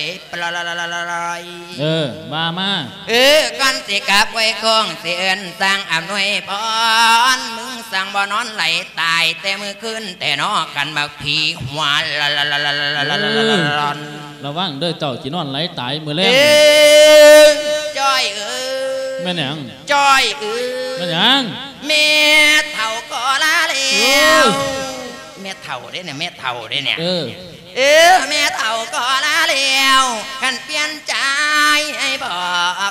ເອີ ວ່າມາ. ເອີ ກ່ອນຊິກັບໄວ້ໂຄງ ຊິເອີ້ນສັ່ງອຳນວຍພອນ ມຶງສັ່ງບໍ່ນອນໄຫຼຕາຍແຕ່ມື້ຄືນແຕ່ນໍ ຄັນບັກຜີຫົວ ລະວັງເດີ້ ເຈົ້າຊິນອນໄຫຼຕາຍມື້ແລງ. ເອີ ຈ້ອຍເອີຍ ແມ່ນຫຍັງ? ຈ້ອຍເອີຍ ແມ່ນຫຍັງ? ແມ່ເຖົ້າກໍລາແລ້ວ. ເອີ ແມ່ເຖົ້າເດ້ນີ້ ແມ່ເຖົ້າເດ້ນີ້. ເອີ ເອີ ແມ່ເຖົ້າກໍລາແລ້ວ ຄັນປ່ຽນໃຈໃຫ້ບອ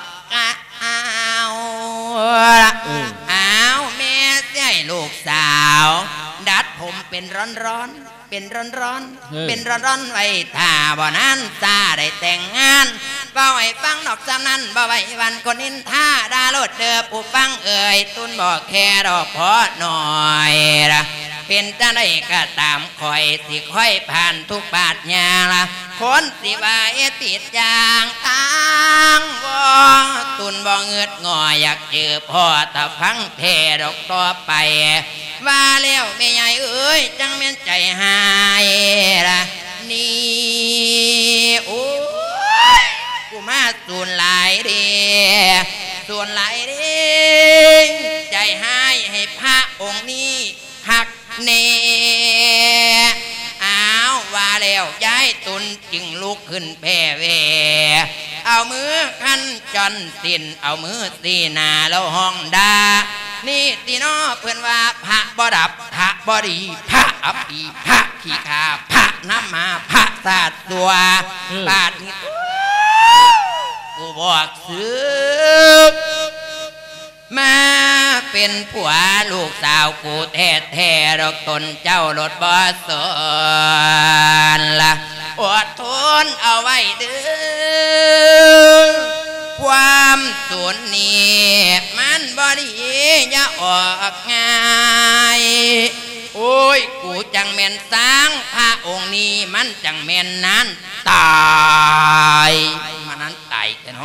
ກ. ອ້າວ ເອີ ອ້າວ ແມ່ຊິໃຫ້ລູກສາວດັດຜົມເປັນຮ້ອນໆ ເປັນຮ້ອນໆ ເອີ ເປັນຮ້ອນໆ ໄວ້ຖ້າບໍ່ນານຊາໄດ້ແຕ່ງງານ. ເວົ້າໃຫ້ຟັງນອກຈາກນັ້ນ ບໍ່ໄວ້ວັນຄົນນິນທາ ດ່າໂລດເດີຜູ້ຟັງເອີຍ ຕຸນບໍ່ແຄດອກພໍໜ້ອຍລະ. ເປັນຈັ່ງໃດກໍຕາມ ຂ້ອຍຊິຄອຍຜ່ານທຸກບາດຍ່າງລະ ຄົນຊິວ່າເຮັດຜິດຢ່າງທາງ ບໍ່ ຕຸນບໍ່ງຶດງໍ ຢາກເຈີພໍ່ ຖ້າຟັງແທ້ດອກຕໍ່ໄປ ວ່າແລ້ວແມ່ໃຫຍ່ເອີຍ ຈັ່ງແມ່ນໃຈຮ້າຍລະນີ້. ໂອ້ຍ ກູມາສູນຫຼາຍເດ້ ສູນຫຼາຍເດ້ ໃຈຮ້າຍໃຫ້ພະອົງນີ້ ຄັກແນ່. ອ້າວ ວ່າແລ້ວຍາຍຕຸນຈຶ່ງລຸກຂຶ້ນແຜ່ແວ່ ເອົາມືຄັນຈອນສິ້ນ ເອົາມືຊີ້ໜ້າແລ້ວຮ້ອງດ່າ ນີ້ຕິນໍ ເພິ່ນວ່າພະບໍ່ດັບ ພະບໍ່ດີ ພະອັບປີ ພະຂີ້ຂ້າ ພະນຳໝາ ພະຊາດຊົ່ວ. ເອີ ບາດນີ້ກູບອກສຶກ ມາເປັນຜົວລູກສາວກູແທ້ໆ ດອກ ຕົນເຈົ້າໂລດບໍ່ສົນລະ ອົດທົນເອົາໄວ້ເດີ້ ຄວາມສູນນີ້ມັນບໍ່ດີ ຢ່າອອກງ່າຍ. ໂອ້ຍ ກູຈັ່ງແມ່ນຊ້າງ ພະອົງນີ້ມັນຈັ່ງແມ່ນນານຕາຍ ມານານຕາຍແທ້ເນ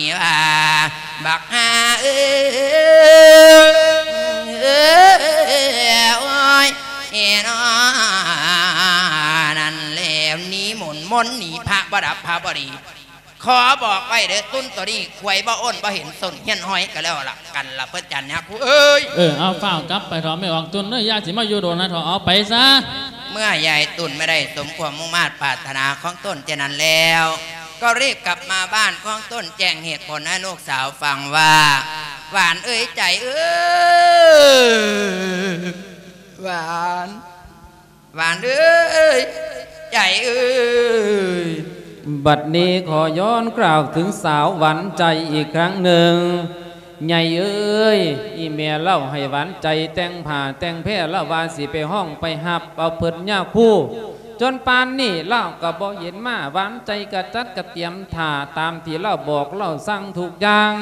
ນີ້ວ່າ ບັກຫ່າເອີຍ ໂອ້ຍ ເອີເນາະ ນັ້ນແຫຼະ ໜີມົນ ມົນໜີພະບໍ່ດັບພະບໍ່ດີ. ຂໍບອກໄວ້ເດີ ຕຸນໂຕນີ້ ຄວາຍບໍ່ໂອນ ບໍ່ເຫັນສົ້ນ ຮຽນຮອຍກໍແລ້ວລະກັນລະ ພະຈັນຍາຄູເອີຍ. ເອີ ເອົາ ຟ້າວກັບໄປເຖາະ ແມ່ອອກຕຸນເອີຍ ຢ່າຊິມາຢູ່ດົນນະເຖາະ ເອົາໄປຊະ. ເມື່ອຍາຍຕຸນໄດ້ສົມຄວາມມຸ່ງມາດປາດຖະໜາຂອງຕົນເຊັ່ນນັ້ນແລ້ວ ກໍຣີບກັບມາບ້ານຂອງຕົນ ແຈ້ງເຫດຜົນໃຫ້ລູກສາວຟັງວ່າ ຫວານເອີຍ ໃຈເອີຍ ຫວານ ຫວານເອີຍ ໃຈເອີຍ. ບັດນີ້ຂໍຍ້ອນກ່າວເຖິງສາວຫວານໃຈອີກຄັ້ງໜຶ່ງ. ໃຫຍ່ເອີຍ ອີ່ແມ່ເລົ່າໃຫ້ຫວານໃຈແຕ່ງຜ້າແຕ່ງແພ ລາວວ່າຊິໄປຮ້ອງໄປຮັບເອົາເພິ່ນຍາຄູ ຈົນປານນີ້ລາວກໍບໍ່ເຫັນມາ. ຫວານໃຈກະຈັດກະຕຽມຖ້າຕາມທີ່ລາວບອກລາວສັ່ງທຸກຢ່າງ.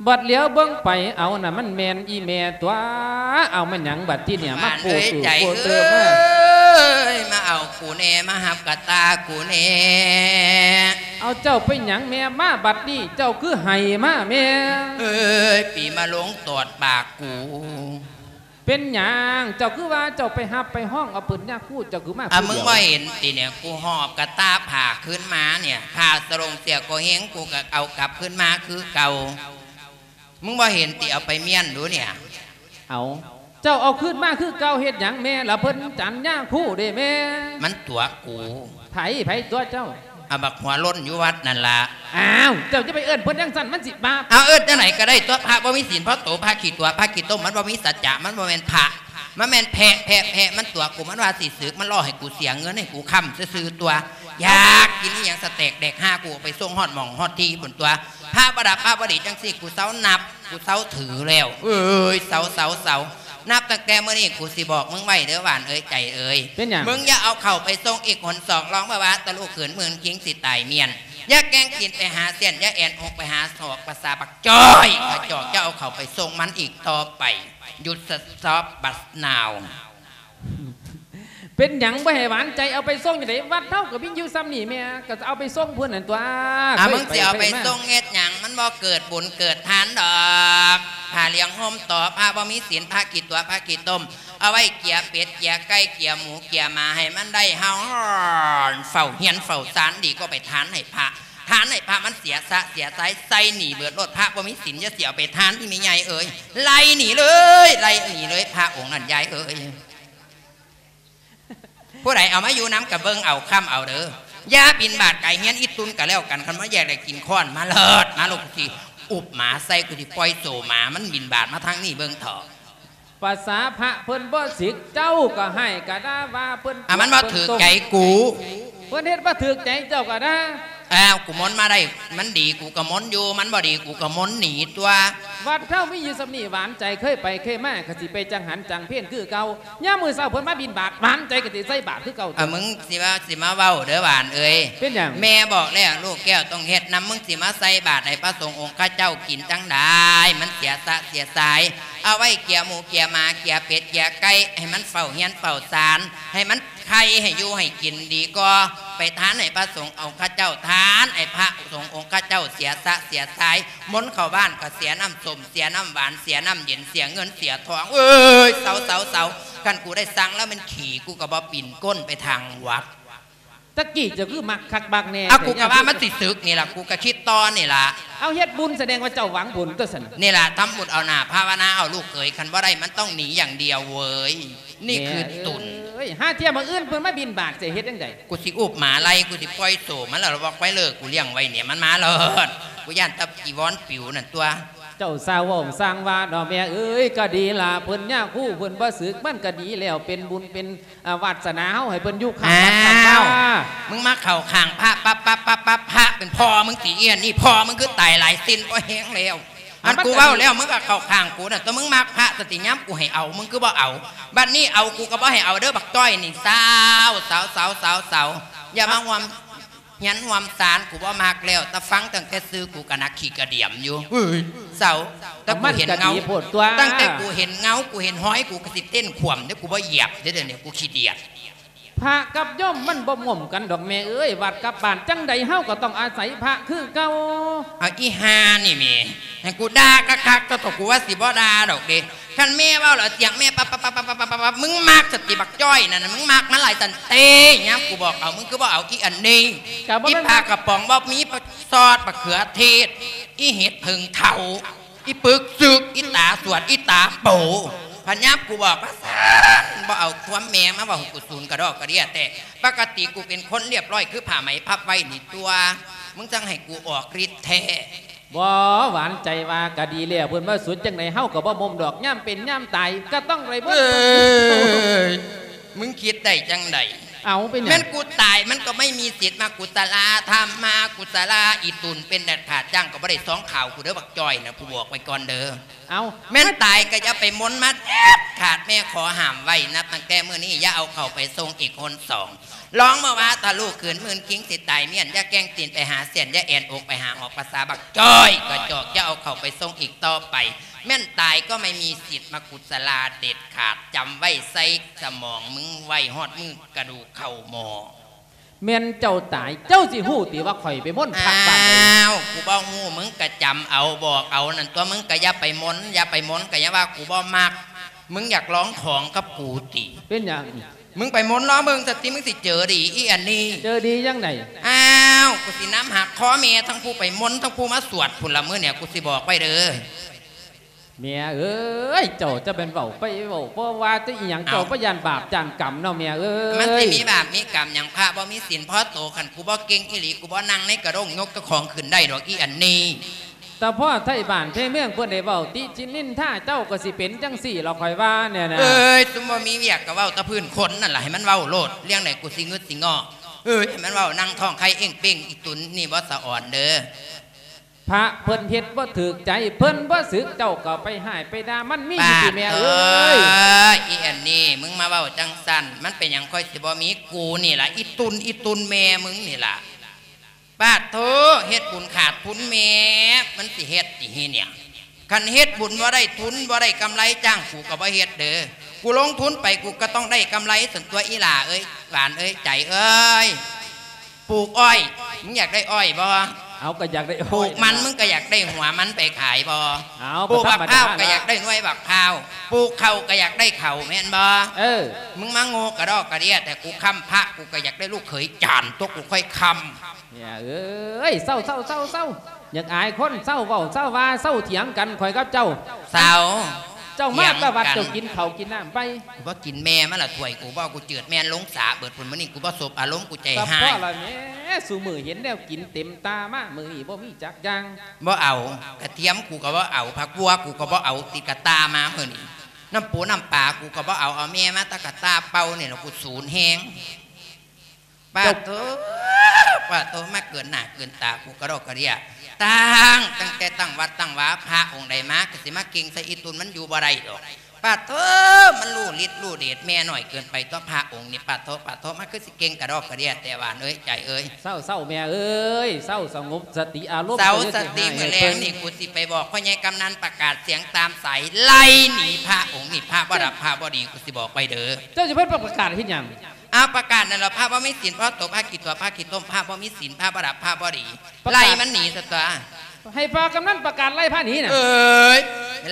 ບັດຫຼຽວເບິ່ງໄປ ເອົາ ນັ້ນມັນແມ່ນອີ່ແມ່ຕົວະ. ເອົາ ແມ່ນຫຍັງບັດທີນີ້ ມາໂປດ ຫວານເອີຍ ໃຈເອີຍ ມາເອົາກູແດ່ ມາຮັບກະຕ່າກູແດ່. ເອົາ ເຈົ້າເປັນຫຍັງແມ່ ມາບັດນີ້ເຈົ້າຄືໄຫ້ມາແມ່? ເອີຍ ປີມາລົງຕອດປາກກູ. ເປັນຫຍັງ ເຈົ້າຄືວ່າເຈົ້າໄປຮັບໄປຮ້ອງເອົາເພິ່ນຍາຄູ ເຈົ້າຄືມາ ອາ ຜູ້ດຽວ? ມຶງບໍ່ເຫັນຕິເນຍ ກູຫອບກະຕ່າຜ້າຄືນມາເນຍ ຜ້າສະໂຫຼງເສື້ອກໍເຮງ ກູກໍເອົາກັບຄືນມາຄືເກົ່າ. ມຶງບໍ່ເຫັນຕິ ເອົາໄປມ້ຽນດູເນຍ. ເອົາ ເຈົ້າເອົາຄືນມາຄືເກົ່າເຮັດຫຍັງແມ່ ລະເພິ່ນຈັນຍາຄູເດ້ແມ່? ມັນຕົວະກູ. ໃຜ ໃຜຕົວະເຈົ້າ? ອາ ບັກຫົວໂລ້ນຢູ່ວັດນັ້ນລະ. ອ້າວ ເຈົ້າຈະໄປເອີ້ນເພິ່ນຈັ່ງຊັ້ນ ມັນຊິບາບ. ເອົາ ເອີ້ນຈັ່ງໃດກໍໄດ້ຕົວະ ພະບໍ່ມີສິນພໍໂຕ ພະຂີ້ຕົວະ ພະຂີ້ຕົມ ມັນບໍ່ມີສັດຈະ ມັນບໍ່ແມ່ນພະ ມັນແມ່ນແພະ ແພະ ແພະ ມັນຕົວະກູ ມັນວ່າຊິສຶກ ມັນຫຼອກໃຫ້ກູເສຍເງິນ ໃຫ້ກູຄ້ຳຊື່ໆ ຕົວະ. ຢາກກິນອີ່ຫຍັງສະແຕັກແດກຫ້າ ກູເອົາໄປສົ່ງຮອດໝ່ອງຮອດທີ່ພຸ້ນຕົວະ. ພະບໍ່ດັບພະບໍ່ດີຈັ່ງຊີ້ ກູເຊົານັບ ກູເຊົາຖືແລ້ວ. ເອີຍ ເຊົາ ເຊົາ ເຊົາ. ນັບຕັ້ງແຕ່ມື້ນີ້ ກູຊິບອກມຶງໄວ້ເດີ ຫວານເອີຍ ໃຈເອີຍ. ເປັນຫຍັງ? ມຶງຢ່າເອົາເຂົ້າໄປສົ່ງອີກຫົນສອງ ລອງເບິ່ງວ່າຕະລຸກຂືນໝື່ນຄິງຊິຕາຍມ້ຽນ. ຢ່າແກ່ງກິນໄປຫາເສັ້ນ ຢ່າແອນອົກໄປຫາສອກ ພາສາບັກຈ້ອຍກະຈອກ ຢ່າເອົາເຂົ້າໄປສົ່ງມັນອີກຕໍ່ໄປ. ຢຸດສະຕັອບບັດນາວ. ເປັນຫຍັງບໍ່ໃຫ້ຫວານໃຈເອົາໄປສົ່ງຈັ່ງໃດ? ວັດເຮົາກໍມີຢູ່ຊ່ຳນີ້ແມ່ ກໍເອົາໄປສົ່ງເພິ່ນຫັ້ນຕົວະ. ອ່າ ມຶງຊິເອົາໄປສົ່ງເຮັດຫຍັງ? ມັນບໍ່ເກີດບຸນເກີດທານດອກ. ຜ້າຫຼຽງຫົ່ມຕໍ່ ພະບໍ່ມີສິນ ພະຂີ້ຕົວະ ພະຂີ້ຕົມ ເອົາໄວ້ເກຍເປັດ ເກຍໄກ່ ເກຍໝູ ເກຍໝາ ໃຫ້ມັນໄດ້ເຮົາຮ້ອນ ເຝົ້າເຮືອນເຝົ້າຊານ ດີກວ່າໄປທານໃຫ້ພະ. ທານໃຫ້ພະມັນເສຍຊະເສຍຊາຍ ໃສ່ໜີເບິດໂລດ. ພະບໍ່ມີສິນ ຢ່າຊິເອົາໄປທານ ອີ່ແມ່ໃຫຍ່ເອີຍ. ໄລ່ໜີເລີຍ ໄລ່ໜີເລີຍ ພະອົງນັ້ນ ຍາຍເອີຍ. ຜູ້ໃດເອົາມາຢູ່ນຳກະເບິ່ງເອົາ ຄ້ຳເອົາເດີ. ຢ່າບິນບາດໄກເຮືອນອີ່ຕຸນກະແລ້ວກັນ. ຄັນບໍ່ຢາກໄດ້ກິນຄ້ອນ ມາເລີດ ມາໂລດ ກູຊິອຸບໝາໃສ່ ກູຊິປ່ອຍໂສໝາ ມັນບິນບາດມາທາງນີ້ເບິ່ງເຖາະ. ພາສາພະເພິ່ນບໍ່ສິກ ເຈົ້າກໍຮ້າຍກະດ່າວ່າເພິ່ນ. ອ່າ ມັນບໍ່ຖືກໃຈກູ. ເພິ່ນເຮັດບໍ່ຖືກໃຈເຈົ້າກໍດ່າ. ອ້າວ ກູມົນມາໄດ້ ມັນດີກູກໍມົນຢູ່ ມັນບໍ່ດີກູກໍມົນໜີຕົວະ. ວັດເຮົາມີຢູ່ຊ່ຳນີ້ ຫວານໃຈເຄີຍໄປເຄີຍມາ ກໍຊິໄປຈັງຫັນຈັງເພນຄືເກົ່າ. ຍາມມື້ເຊົ້າເພິ່ນມາບິນບາດ ຫວານໃຈກໍຊິໃສ່ບາດຄືເກົ່າ. ອ່າ ມຶງຊິວ່າ ຊິມາເວົ້າເດີຫວານເອີຍ. ເປັນຫຍັງ? ແມ່ບອກແລ້ວ ລູກແກ້ວຕ້ອງເຮັດນຳ. ມຶງຊິມາໃສ່ບາດໃຫ້ພະສົງອົງຄະເຈົ້າກິນຈັ່ງໃດ? ມັນເສຍຊະເສຍຊາຍ. ເອົາໄວ້ເກຍໝູເກຍໝາ ເກຍເປັດເກຍໄກ່ ໃຫ້ມັນເຝົ້າເຮືອນເຝົ້າຊານ ໃຫ້ມັນໄຂ່ໃຫ້ຢູ່ໃຫ້ກິນດີກວ່າ. ໄປທານໃຫ້ພະສົງອົງຄະເຈົ້າ ທານໃຫ້ພະສົງອົງຄະເຈົ້າເສຍສະເສຍຊາຍ ມົນເຂົ້າບ້ານກໍເສຍນ້ຳສົ້ມ ເສຍນ້ຳຫວານ ເສຍນ້ຳເຢັນ ເສຍເງິນເສຍທອງ. ເອີຍ ເຊົາໆໆ ຄັນກູໄດ້ສັ່ງແລ້ວແມ່ນຂີ້ ກູກໍບໍ່ປິ່ນກົ້ນໄປທາງວັດ. ຕະກີ້ເຈົ້າຄືມັກຄັກມັກແນ່ ເອົາ ແທ້ ກູກໍວ່າມັນຊິສຶກນີ້ລະ ກູກໍຄິດຕໍ່ນີ້ລະ. ເອົາ ເຮັດບຸນສະແດງວ່າເຈົ້າຫວັງບຸນຕົວຊັ້ນ. ນີ້ລະ ທຳບຸນເອົາໜ້າ ພາວະນາເອົາລູກເອີຍ ຄັນບໍ່ໄດ້ມັນຕ້ອງໜີຢ່າງດຽວເວີຍ. ນີ້ຄືຕຸນ. ແມ່ເອີຍ ຫາທ່ຽມມື້ອື່ນເພິ່ນມາບິນບາດ ຈະເຮັດຈັ່ງໃດ? ກູຊິອຸບໝາໄລ່ ກູຊິປ່ອຍໂສມັນລະ ລະບອກໄວ້ເລີຍ ກູລ້ຽງໄວ້ນີ້ ມັນມາໂລດ. ກູຢ້ານແຕ່ຈີວອນປິວນັ້ນຕົວະ. ເຈົ້າຊ່າງເວົ້າຊ່າງວ່າເນາະແມ່ເອີຍ. ກໍດີລະ ເພິ່ນຍາຄູເພິ່ນບໍ່ສຶກ ມັນກໍດີແລ້ວ ເປັນບຸນເປັນ ອາ ວາດສະໜາເຮົາໃຫ້ເພິ່ນຢູ່ຂ້າງວັດຂ້າງວາ. ອ້າວ ມຶງມາເຂົ້າຂ້າງພະປັບໆໆ ພະເປັນພໍ່ມຶງຕິ? ອີ່ອັນນີ້ ພໍ່ມຶງຄືຕາຍຫຼາຍເຊັ່ນພໍແຮງແລ້ວ. ອັນ ມັນ ກູເວົ້າແລ້ວ ມຶງກໍເຂົ້າຂ້າງກູນັ້ນຕົວະ. ມຶງມັກພະສະຕິ ຍາມກູໃຫ້ເອົາ ມຶງຄືບໍ່ເອົາ? ບັດນີ້ເອົາ ກູກໍບໍ່ໃຫ້ເອົາເດີບັກຈ້ອຍນີ້. ເຊົາ ເຊົາ ເຊົາ ເຊົາ ເຊົາ ເຊົາ ຢ່າມາຮ່ວມ ຮຽນຮ່ວມສານ ກູບໍ່ມັກແລ້ວ. ແຕ່ຟັງຕັ້ງແຕ່ຊື່ ກູກໍໜັກຂີ້ກະດຽມຢູ່. ເອີຍ ເຊົາ. ແຕ່ກູເຫັນເງົາ ມັນກໍດີໂພດຕົວະ. ຕັ້ງແຕ່ກູເຫັນເງົາ ກູເຫັນຮອຍ ກູກໍຊິເຕັ້ນຂວ້ຳເດ້. ກູບໍ່ຢຽບເດ້ ດຽວນີ້ ກູຂີ້ດຽດ. ພະກັບໂຍມມັນບໍ່ໝົມກັນດອກແມ່ເອີຍ. ວັດກັບບ້ານ ຈັ່ງໃດເຮົາກໍຕ້ອງອາໄສພະຄືເກົ່າ. ເອົາ ອີ່ຫ່ານີ້ແໝ່ ໃຫ້ກູດ່າຄັກໆ ຕົວະ ຕົວະ ກູວ່າຊິບໍ່ດ່າດອກເດ້. ຄັນແມ່ເວົ້າແລ້ວສຽງແມ່ປັບໆໆ ມຶງມັກສະຕິບັກຈ້ອຍນັ້ນນະ ມຶງມັກມັນຫຼາຍຊັ້ນເຕ. ຍາມກູບອກເອົາ ມຶງຄືບໍ່ເອົາ? ອີ່ອັນນີ້ ອີ່ປາກະປ໋ອງບໍ່ມີຊອດ ບັກເຂືອເທດ ອີ່ເຫັດເຜິ້ງເຖົ້າ ອີ່ປຶກຊຶກ ອີ່ຕາສວດ ອີ່ຕາໂປ. ຄັນຍາມກູບອກວ່າຊັ້ນ ບໍ່ເອົາ ຄວາມແມ່ມາເວົ້າໃຫ້ກູສູນກະດອກກະເດຍແທ້. ປົກກະຕິກູເປັນຄົນລຽບລ້ອຍ ຄືຜ້າໄໝພັບໄວ້ນີ້ຕົວະ ມຶງຈັ່ງໃຫ້ກູອອກລິດແທ້. ບໍ່ ຫວານໃຈວ່າກະດີແລ້ວ ເພິ່ນວ່າສຸດຈັ່ງໃດເຮົາກໍບໍ່ໝົມດອກ. ຍາມເປັນຍາມຕາຍກໍຕ້ອງໄດ້ໝົດ. ເອີຍ ມຶງຄິດໄດ້ຈັ່ງໃດ? ເອົາ ເປັນຫຍັງ? ແມ່ນກູຕາຍມັນກໍໄມ່ມີສິດມາກຸສະລາທຳມາກຸສະລາ. ອີ່ຕຸນເປັນແດດຂາດຈ້າງກໍບໍ່ໄດ້ຊອງຂາວກູເດີບັກຈ້ອຍນະ ກູບອກໄວ້ກ່ອນເດີ. ເອົາ ແມ່ນຕາຍກໍຢ່າໄປມົນມາເດັດຂາດ ແມ່ຂໍຫ້າມໄວ້. ນັບຕັ້ງແຕ່ມື້ນີ້ຢ່າເອົາເຂົ້າໄປສົ່ງອີກຄົນສອງ. ລອງເມື່ອວ່າທະລຸຄືນໝື່ນຄິງຊິຕາຍມ້ຽນ ຢ່າແກ່ງຕີນໄປຫາແສນ ຢ່າແອນອົກໄປຫາອອກ ພາສາບັກຈ້ອຍກະຈອກ ຢ່າເອົາເຂົ້າໄປສົ່ງອີກຕໍ່ໄປ. ແມ່ນຕາຍກໍໄມ່ມີສິດມາກຸສະລາເດັດຂາດ. ຈຳໄວ້ໃສ່ສະໝອງມຶງໄວ້ຮອດມື້ກະດູກເຂົ້າໝໍ້. ແມ່ນເຈົ້າຕາຍ ເຈົ້າຊິຮູ້ຕິວ່າຂ້ອຍໄປມົນພະບ້ານໃດ? ອ້າວ ກູບໍ່ຮູ້ ມຶງກະຈຳເອົາ ບອກເອົານັ້ນຕົວະ. ມຶງກະຢ່າໄປມົນ ຢ່າໄປມົນ ກະຢ່າວ່າກູບໍ່ມັກ. ມຶງຢາກລອງຂອງກັບກູຕິ? ເປັນຫຍັງ? ມຶງໄປມົນລອງເບິ່ງສະຕິ ມຶງຊິເຈີດີ. ອີ່ອັນນີ້ ເຈີດີຈັ່ງໃດ? ອ້າວ ກູຊິນຳຫັກຄໍແມ່ທັງຜູ້ໄປມົນ ທັງຜູ້ມາສວດພຸ້ນລະ. ມື້ນີ້ກູຊິບອກໄວ້ເດີ ແມ່ເອີຍ ເຈົ້າຈະແມ່ນເວົ້າໄປເວົ້າ ບໍ່ວ່າແຕ່ອີ່ຫຍັງ ເຈົ້າບໍ່ຢ້ານບາບຢ້ານກຳເນາະແມ່ເອີຍ. ມັນຊິມີບາບມີກຳຫຍັງ? ພະບໍ່ມີສິນພໍໂຕ. ຄັນກູບໍ່ເກັ່ງອີ່ຫຼີ ກູບໍ່ນັ່ງໃນກະດ້ງຍົກເຈົ້າຂອງຂຶ້ນໄດ້ດອກ ອີ່ອັນນີ້. ຕາພໍ່ໄທບ້ານໄທເມືອງເພິ່ນໄດ້ເວົ້າຕິຊິນິນທາເຈົ້າ ກໍຊິເປັນຈັ່ງຊີ້ລະ ຂ້ອຍວ່າແນ່ນະ. ເອີຍ ຊຸມບໍ່ມີວຽກກໍເວົ້າແຕ່ພື້ນຄົນນັ້ນລະ ໃຫ້ມັນເວົ້າໂລດ. ເລື່ອງໃດກູຊິງຶດຊິງໍ້. ເອີຍ ໃຫ້ມັນເວົ້າ ນັ່ງທ້ອງໄຂ່ເອີ່ງເປ່ງ. ອີ່ຕຸນນີ້ບໍ່ສະອອນເດີ. ພະເພິ່ນເຮັດບໍ່ຖືກໃຈ ເພິ່ນບໍ່ສຶກ ເຈົ້າກໍໄປຮ້າຍໄປດ່າ ມັນມີຢູ່ຕິແມ່ເອີຍ? ປາດໂທ້ ອີ່ອັນນີ້ ມຶງມາເວົ້າຈັ່ງຊັ້ນ ມັນເປັນຫຍັງຂ້ອຍຊິບໍ່ມີ? ກູນີ້ລະ ອີ່ຕຸນ ອີ່ຕຸນແມ່ມຶງນີ້ລະ. ປາດໂທ້ ເຮັດບຸນຂາດທຶນແມ່ ມັນຊິເຮັດຕິເຮຍ? ຄັນເຮັດບຸນບໍ່ໄດ້ທຶນ ບໍ່ໄດ້ກຳໄລ ຈ້າງກູກໍບໍ່ເຮັດເດີ. ກູລົງທຶນໄປ ກູກໍຕ້ອງໄດ້ກຳໄລຊັ້ນຕົວະ ອີ່ຫຼ້າເອີຍ ຫວານເອີຍ ໃຈເອີຍ. ປູກອ້ອຍ ມຶງຢາກໄດ້ອ້ອຍບໍ່? ເອົາ ກໍຢາກໄດ້ອ້ອຍ. ປູກມັນ ນະ ມຶງກໍຢາກໄດ້ຫົວມັນໄປຂາຍບໍ່? ເອົາ ປູກບັກພ້າວ ກໍຢາກໄດ້ໜ່ວຍບັກພ້າວ. ປູກເຂົ້າກໍຢາກໄດ້ເຂົ້າແມ່ນບໍ່? ເອີ ມຶງມາໂງ່ກະດອກກະເດຍແຕ່. ກູຄ້ຳພະ ກູກໍຢາກໄດ້ລູກເຂີຍຈານຕົວະ ກູຄ່ອຍຄ້ຳ. ເອີຍ ເຊົາ ເຊົາ ເຊົາ ເຊົາ ຢາກອາຍຄົນ ເຊົາເວົ້າ ເຊົາວ່າ ເຊົາຖຽງກັນ ຂ້ອຍກັບເຈົ້າ. ເຊົາ ເຈົ້າມາແຕ່ວັດ ຖຽງກັນ ເຈົ້າກິນເຂົ້າກິນນ້ຳໄປ. ບໍ່ກິນແມ່ມັນລະຖ້ວຍກູບໍ່ ກູເຈີດແມ່ນລົງສາເບີດພຸ້ນ. ມື້ນີ້ກູບໍ່ສົບອາລົມ ກູໃຈຮ້າຍ. ພໍລະແມ່ ຊຸມື້ເຫັນແນວກິນເຕັມຕາມາ ມື້ນີ້ບໍ່ມີຈັກຢ່າງ. ບໍ່ເອົາ ກະທຽມກູກໍບໍ່ເອົາ ຜັກບົວກູກໍບໍ່ເອົາ ຕິດກະຕ່າມາມື້ນີ້. ນ້ຳປູນ້ຳປາກູກໍບໍ່ເອົາ ເອົາແມ່ມາແຕ່ກະຕ່າເປົ່ານີ້ລະ ກູສູນແຮງ. ປາດໂທ້ ປາດໂທ້ ມາເກີນໜ້າເກີນຕາກູກະດອກກະເດຍ. ຕັ້ງ ຕັ້ງແຕ່ຕັ້ງວັດຕັ້ງວາ ພະອົງໃດມາ ກໍຊິມາເກັ່ງໃສ່ອີ່ຕຸນ ມັນຢູ່ບໍ່ໄດ້ດອກ. ປ ປາໂທ ມັນຮູ້ລິດຮູ້ເດດແມ່ນ້ອຍເກີນໄປຕົວະພະອົງນີ້ ປາໂທ ປາໂທ ມັນຄືຊິເກັ່ງກະດອກກະເດຍແທ້ຫວານເອີຍ ໃຈເອີຍ. ເຊົາ ເຊົາແມ່ເອີຍ ເຊົາ ສະຫງົບສະຕິອາລົມ ເຊົາສະຕິ ເຈົ້າຢ່າຊິ ມື້ແລງນີ້ ໃຫ້ເພິ່ນ ກູຊິໄປບອກພໍ່ໃຫຍ່ກຳນັນປະກາດສຽງຕາມສາຍ ໄລ່ໜີພະອົງນີ້ ພະບໍ່ດັບພະບໍ່ດີ ກູຊິບອກໄວ້ເດີ. ເຈົ້າຊິເພິ່ນປະກາດເຮັດຫຍັງ? ອ້າວ ປະກາດນັ້ນລະ ພະບໍ່ມີສິນ ພະຕົກພະຂີ້ຕົວະພະຂີ້ຕົມ ພະບໍ່ມີສິນ ພະບໍ່ດັບພະບໍ່ດີ ປະກາດ ໄລ່ມັນໜີຊະຕົວະ. ໃຫ້ພໍ່ກຳນັນປະກາດໄລ່ພະໜີນະ. ເອີຍ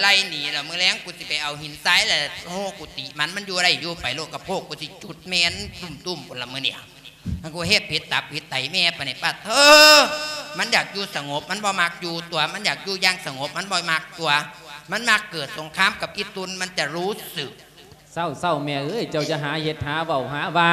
ໄລ່ໜີລະ ມື້ແລງກູຊິໄປເອົາຫີນຊາຍລະໂຮກຸຕິມັນ ມັນຢູ່ໄດ້ຢູ່ໄປໂລດ ກະໂພກກູຊິຈຸດແມ່ນຕຸ້ມໆພຸ້ນລະມື້ນີ້. ມັນກູເຮັດຜິດຕັບຜິດໄຕແມ່ປານນີ້ ປາໂທ ມັນຢາກຢູ່ສະຫງົບ ມັນບໍ່ມັກຢູ່ຕົວະ ມັນຢາກຢູ່ຢ່າງສະຫງົບ ມັນບໍ່ມັກຕົວະ ມັນມັກເກີດສົງຄາມກັບອີ່ຕຸ່ນ ມັນຈະຮູ້ສຶກ. ເຊົາ ເຊົາແມ່ເອີຍ ເຈົ້າຢ່າຫາເຮັດຫາເວົ້າຫາວ່າ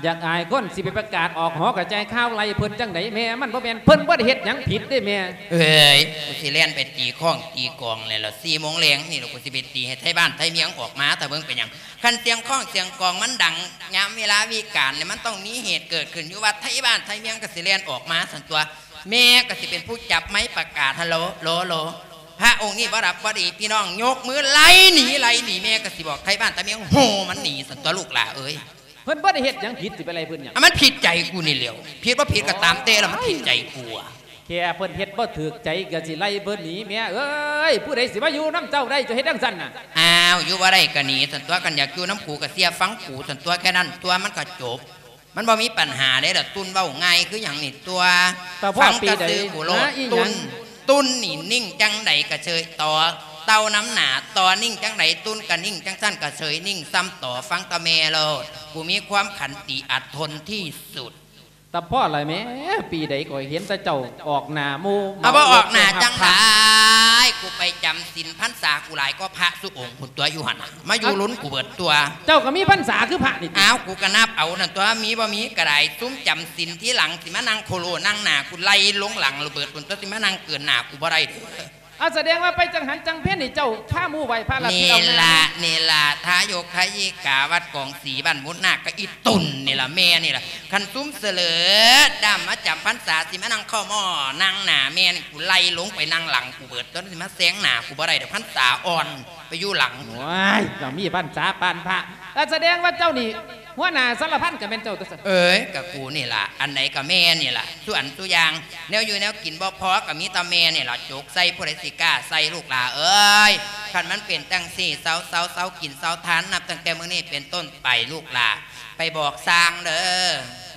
ຢາກອາຍຄົນ ຊິໄປປະກາດອອກຫໍກະຈາຍຂ່າວໄລ່ເພິ່ນຈັ່ງໃດແມ່ ມັນບໍ່ແມ່ນ ເພິ່ນບໍ່ໄດ້ເຮັດຫຍັງຜິດເດ້ແມ່. ເອີຍ ກູຊິແລ່ນໄປຕີຄ້ອງຕີກອງແລ້ວລະ ສີ່ໂມງແລງນີ້ລະ ກູຊິໄປຕີໃຫ້ໄທບ້ານໄທເມືອງອອກມາ ຖ້າເບິ່ງເປັນຫຍັງ ຄັນສຽງຄ້ອງສຽງກອງມັນດັງຍາມເວລາວິການນີ້ ມັນຕ້ອງມີເຫດເກີດຂຶ້ນຢູ່ວັດ ໄທບ້ານໄທເມືອງກະຊິແລ່ນອອກມາຊັ້ນຕົວະ ແມ່ກະຊິເປັນຜູ້ຈັບໄມປະກາດ ຮາໂຫຼ ໂຫຼ ໂຫຼ ພະອົງນີ້ບໍ່ດັບບໍ່ດີ ພີ່ນ້ອງຍົກມືໄລ່ໜີ ໄລ່ໜີ ແມ່ກະຊິບອກໄທບ້ານໄທເມືອງໂຫ່ມັນໜີຊັ້ນຕົວະ ລູກຫຼ້າເອີຍ. ເພິ່ນບໍ່ໄດ້ເຮັດຫຍັງຜິດ ຊິໄປໄລ່ເພິ່ນຫຍັງ? ອະ ມັນຜິດໃຈກູນີ້ແຫຼ້ວ ຜິດບໍ່ຜິດກະຕາມແຕ່ລະ ມັນຜິດໃຈກູ. ແຄ່ເພິ່ນເຮັດບໍ່ຖືກໃຈກະຊິໄລ່ເພິ່ນໜີ ແມ່ເອີຍ ຜູ້ໃດຊິມາຢູ່ນຳເຈົ້າໄດ້ ເຈົ້າເຮັດຈັ່ງຊັ້ນນະ. ອ້າວ ຢູ່ບໍ່ໄດ້ກະໜີຊັ້ນຕົວະ ຄັນຢາກຢູ່ນຳກູກະເຊື່ອຟັງກູຊັ້ນຕົວະ ແຄ່ນັ້ນຕົວະ ມັນກະຈົບ. ມັນບໍ່ມີປັນຫາເດ້ລະ ຕຸ່ນເວົ້າງ່າຍຄືຫຍັງນີ້ຕົວະ. ຕາພໍ່ ຟັງແຕ່ຊື່ກູໂລດ ປີໃດ ຫາອີຫຍັງ? ຕຸ່ນ ຕຸ່ນນີ້ນິ່ງຈັ່ງໃດກະເຊີຍຕໍ່ ເຕົ່ານຳໜ້າຕໍ່ນິ່ງຈັ່ງໃດ ຕຸ່ນກະນິ່ງຈັ່ງຊັ້ນກະເຊີຍນິ່ງຊ້ຳຕໍ່ ຟັງແຕ່ແມ່ໂລດ ກູມີຄວາມຂັນຕິອດທົນທີ່ສຸດ. ຕາພໍ່ລະແມ່ ປີໃດຂ້ອຍເຫັນແຕ່ເຈົ້າອອກໜ້າໝູ່ ເອົາ ບໍ່ອອກໜ້າຈັ່ງໃດ ກູໄປຈຳສິນພັນສາກູຫຼາຍກວ່າພະຊຸອົງພຸ້ນຕົວະ ຢູ່ຫັ້ນນະ ມາຢູ່ລຸ້ນກູເບີດຕົວະ. ເຈົ້າກະມີພັນສາຄືພະນີ້ຕິ? ອ້າວ ກູກະນັບເອົານັ້ນຕົວະ ມີບໍ່ມີກະໄດ້ ຊຸມຈຳສິນທີຫຼັງ ຊິມານັ່ງໂຄໂລນັ່ງໜ້າກູໄລ່ລົງຫຼັງລະເບີດພຸ້ນຕົວະ ຊິມານັ່ງເກີນໜ້າກູບໍ່ໄດ້ເດີ. ອາ ສະແດງວ່າໄປຈັງຫັນຈັງເພັນນີ້ ເຈົ້າພາໝູ່ໄຫວ້ພະລະ ນີ້ລະ ນີ້ລະ ທາຍົກທາຍິກາ ວັດກອງສີ ບ້ານມຸດນາກ ກະອີ່ຕຸ່ນນີ້ລະ ແມ່ນີ້ລະ ຄັນຊຸມສະເຫຼີດດຳມາຈຳພັນສາ ຊິມານັ່ງເຂົ້າໝໍ້ນັ່ງໜ້າແມ່ນີ້ ກູໄລ່ລົງໄປນັ່ງຫຼັງກູເບີດ ຈົນຊິມາແຊງໜ້າກູບໍ່ໄດ້ດອກ ພັນສາອ່ອນ ໄປຢູ່ຫຼັງ. ໂອ້ຍ ກະມີພັນສາປານພະ ອາ ສະແດງວ່າເຈົ້ານີ້ ຫົວໜ້າສາລະພັນກະແມ່ນເຈົ້າຕົວະຊັ້ນ. ເອີຍ ກະກູນີ້ລະ ອັນໃດກະແມ່ນີ້ລະ ສູ່ອັນສູ່ຢ່າງ ແນວຢູ່ແນວກິນບໍ່ພໍກະມີແຕ່ແມ່ນີ້ລະ ຈົກໃສ່ ຜູ້ໃດຊິກ້າໃສ່ ລູກຫຼ້າເອີຍ. ຄັນມັນເປັນຈັ່ງຊີ້ ເຊົາ ເຊົາ ເຊົາກິນເຊົາທານ ນັບຕັ້ງແຕ່ມື້ນີ້ເປັນຕົ້ນໄປ ລູກຫຼ້າ ໄປບອກຊ່າງເດີ.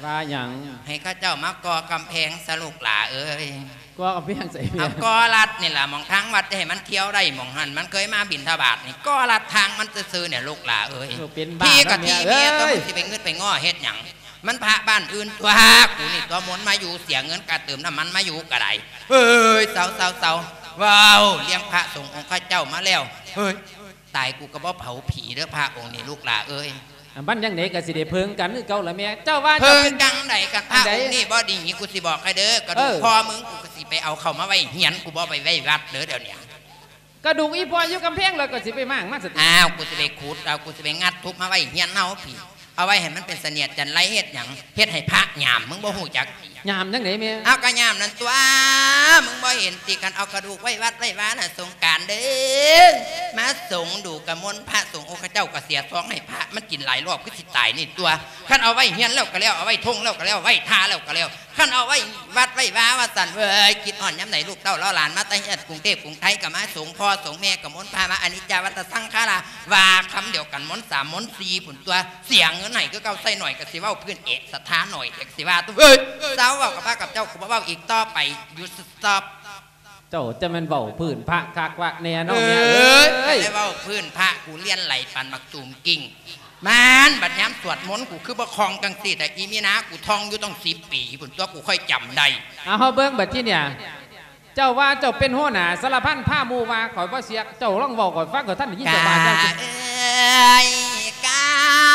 ວ່າຫຍັງ? ໃຫ້ເຂົາເຈົ້າມາກໍ່ກຳແພງຊະ ລູກຫຼ້າເອີຍ. ກໍ່ກຳແພງໃສແມ່? ເອົາ ກໍ່ລັດນີ້ລະ ໝ່ອງທາງວັດ ຈະໃຫ້ມັນທ່ຽວໄດ້ ໝ່ອງຫັ້ນມັນເຄີຍມາບິນທະບາດນີ້ ກໍ່ລັດທາງມັນຊື່ໆນີ້ ລູກຫຼ້າເອີຍ. ເອີ ເປັນບ້າ ທີ່ກະທີ່ແມ່ ແຕ່ມຶງຊິໄປງຶດໄປງໍ້ເຮັດຫຍັງ? ມັນພະບ້ານອື່ນຕົວະ ກູນີ້ຕົວະມົນມາຢູ່ ເສຍເງິນກາເຕີມນ້ຳມັນມາຢູ່ກະໄດ້. ເອີຍ ເຊົາ ເຊົາ ເຊົາ ເວົ້າລຽງພະສົງອົງເຂົາເຈົ້າມາແລ້ວ ເຮີ້ຍ ຕາຍກູກະບໍ່ເຜົາຜີເດີ ພະອົງນີ້ ລູກຫຼ້າເອີຍ. ອັນມັນຈັ່ງໃດກະຊິໄດ້ເພິ່ງກັນຄືເກົ່າລະແມ່. ເຈົ້າວ່າເພິ່ງຈັ່ງໃດກະພະອົງນີ້ບໍ່ດີ ກູຊິບອກໃຫ້ເດີ ກະດູກພໍ່ມຶງ ກູກະຊິໄປເອົາເຂົ້າມາໄວ້ເຮືອນ ກູບໍ່ໄປໄວ້ວັດເດີ ດຽວນີ້. ກະດູກອີ່ພໍ່ຢູ່ກຳແພງ ແລ້ວກະຊິໄປມ້າງມາຊະຕິ. ອ້າວ ກູຊິໄປຂຸດເອົາ ກູຊິໄປງັດທຸບມາໄວ້ເຮືອນເຮົາພີ້ ເອົາໄວ້ໃຫ້ມັນເປັນສະເໜຽດຈັນໄລ ເຮັດຫຍັງ? ເຮັດໃຫ້ພະຍາມ ມຶງບໍ່ຮູ້ຈັກ ຍາມຈັ່ງໃດແມ່? ເອົາ ກະຍາມນັ້ນຕົວະ ມຶງບໍ່ເຫັນຕິ ຄັນເອົາກະດູກໄວ້ວັດໄວ້ວານະ ສົງການເດີ ມາສົງດູກະມົນພະສົງ ໂອ ເຂົາເຈົ້າກະເສຍຊອງໃຫ້ພະ ມັນກິນຫຼາຍລອບຄືຊິຕາຍນີ້ຕົວະ. ຄັນເອົາໄວ້ເຮືອນແລ້ວກະແລ້ວ ເອົາໄວ້ທົ່ງແລ້ວກະແລ້ວ ໄວ້ທ່າແລ້ວກະແລ້ວ ຄັນເອົາໄວ້ວັດໄວ້ວາວ່າຊັ້ນເວີຍ. ຄິດຮອດຍາມໃດ ລູກເຕົ້າເລາະຫຼານມາແຕ່ເຮືອນກຸງເທບກຸງໄທ ກະມາສົງພໍ່ສົງແມ່ ກະມົນພະວ່າອະນິດຈາວັດຕະສັງຂາລາ ວ່າຄຳດຽວກັນ ມົນສາມມົນສີ່ພຸ້ນຕົວະ. ເສຍເງິນໃຫ້ຄືເກົ່າ ໃຊ້ໜ້ອຍກະຊິເວົ້າພື້ນເອກ ສັດທາໜ້ອຍກະຊິວ່າຕົວະ. ເວີຍ ເຊົາເວົ້າກັບພະກັບເຈົ້າ ກູບໍ່ເວົ້າອີກຕໍ່ໄປ ຢຸດ ສະຕັອບ. ເຈົ້າຈະແມ່ນເວົ້າພື້ນພະຄັກວະແນ່ເນາະ ເອີຍ ແມ່ເອີຍ. ໄດ້ເວົ້າພື້ນພະ ກູລຽນໄຫຼປານບັກຕູມກິ້ງ. ມານ ບັດຍາມສວດມົນ ກູຄືບໍ່ຄ່ອງຈັ່ງຊີ້ແຕ່ ອີ່ມີນາ ກູທ່ອງຢູ່ຕັ້ງສິບປີພຸ້ນຕົວະ ກູຄ່ອຍຈຳໄດ້. ເອົາ ເຮົາເບິ່ງບັດທີເນີ້ຍ ເຈົ້າວ່າເຈົ້າເປັນຫົວໜ້າສາລະພັນ ພາໝູ່ວ່າ ຂ້ອຍບໍ່ເຊື່ອ ເຈົ້າລອງເວົ້າຂ້ອຍຟັງ ຂ້ອຍທັນໄດ້ຍິນເຈົ້າວ່າ. ກາ ເອີຍ ກາ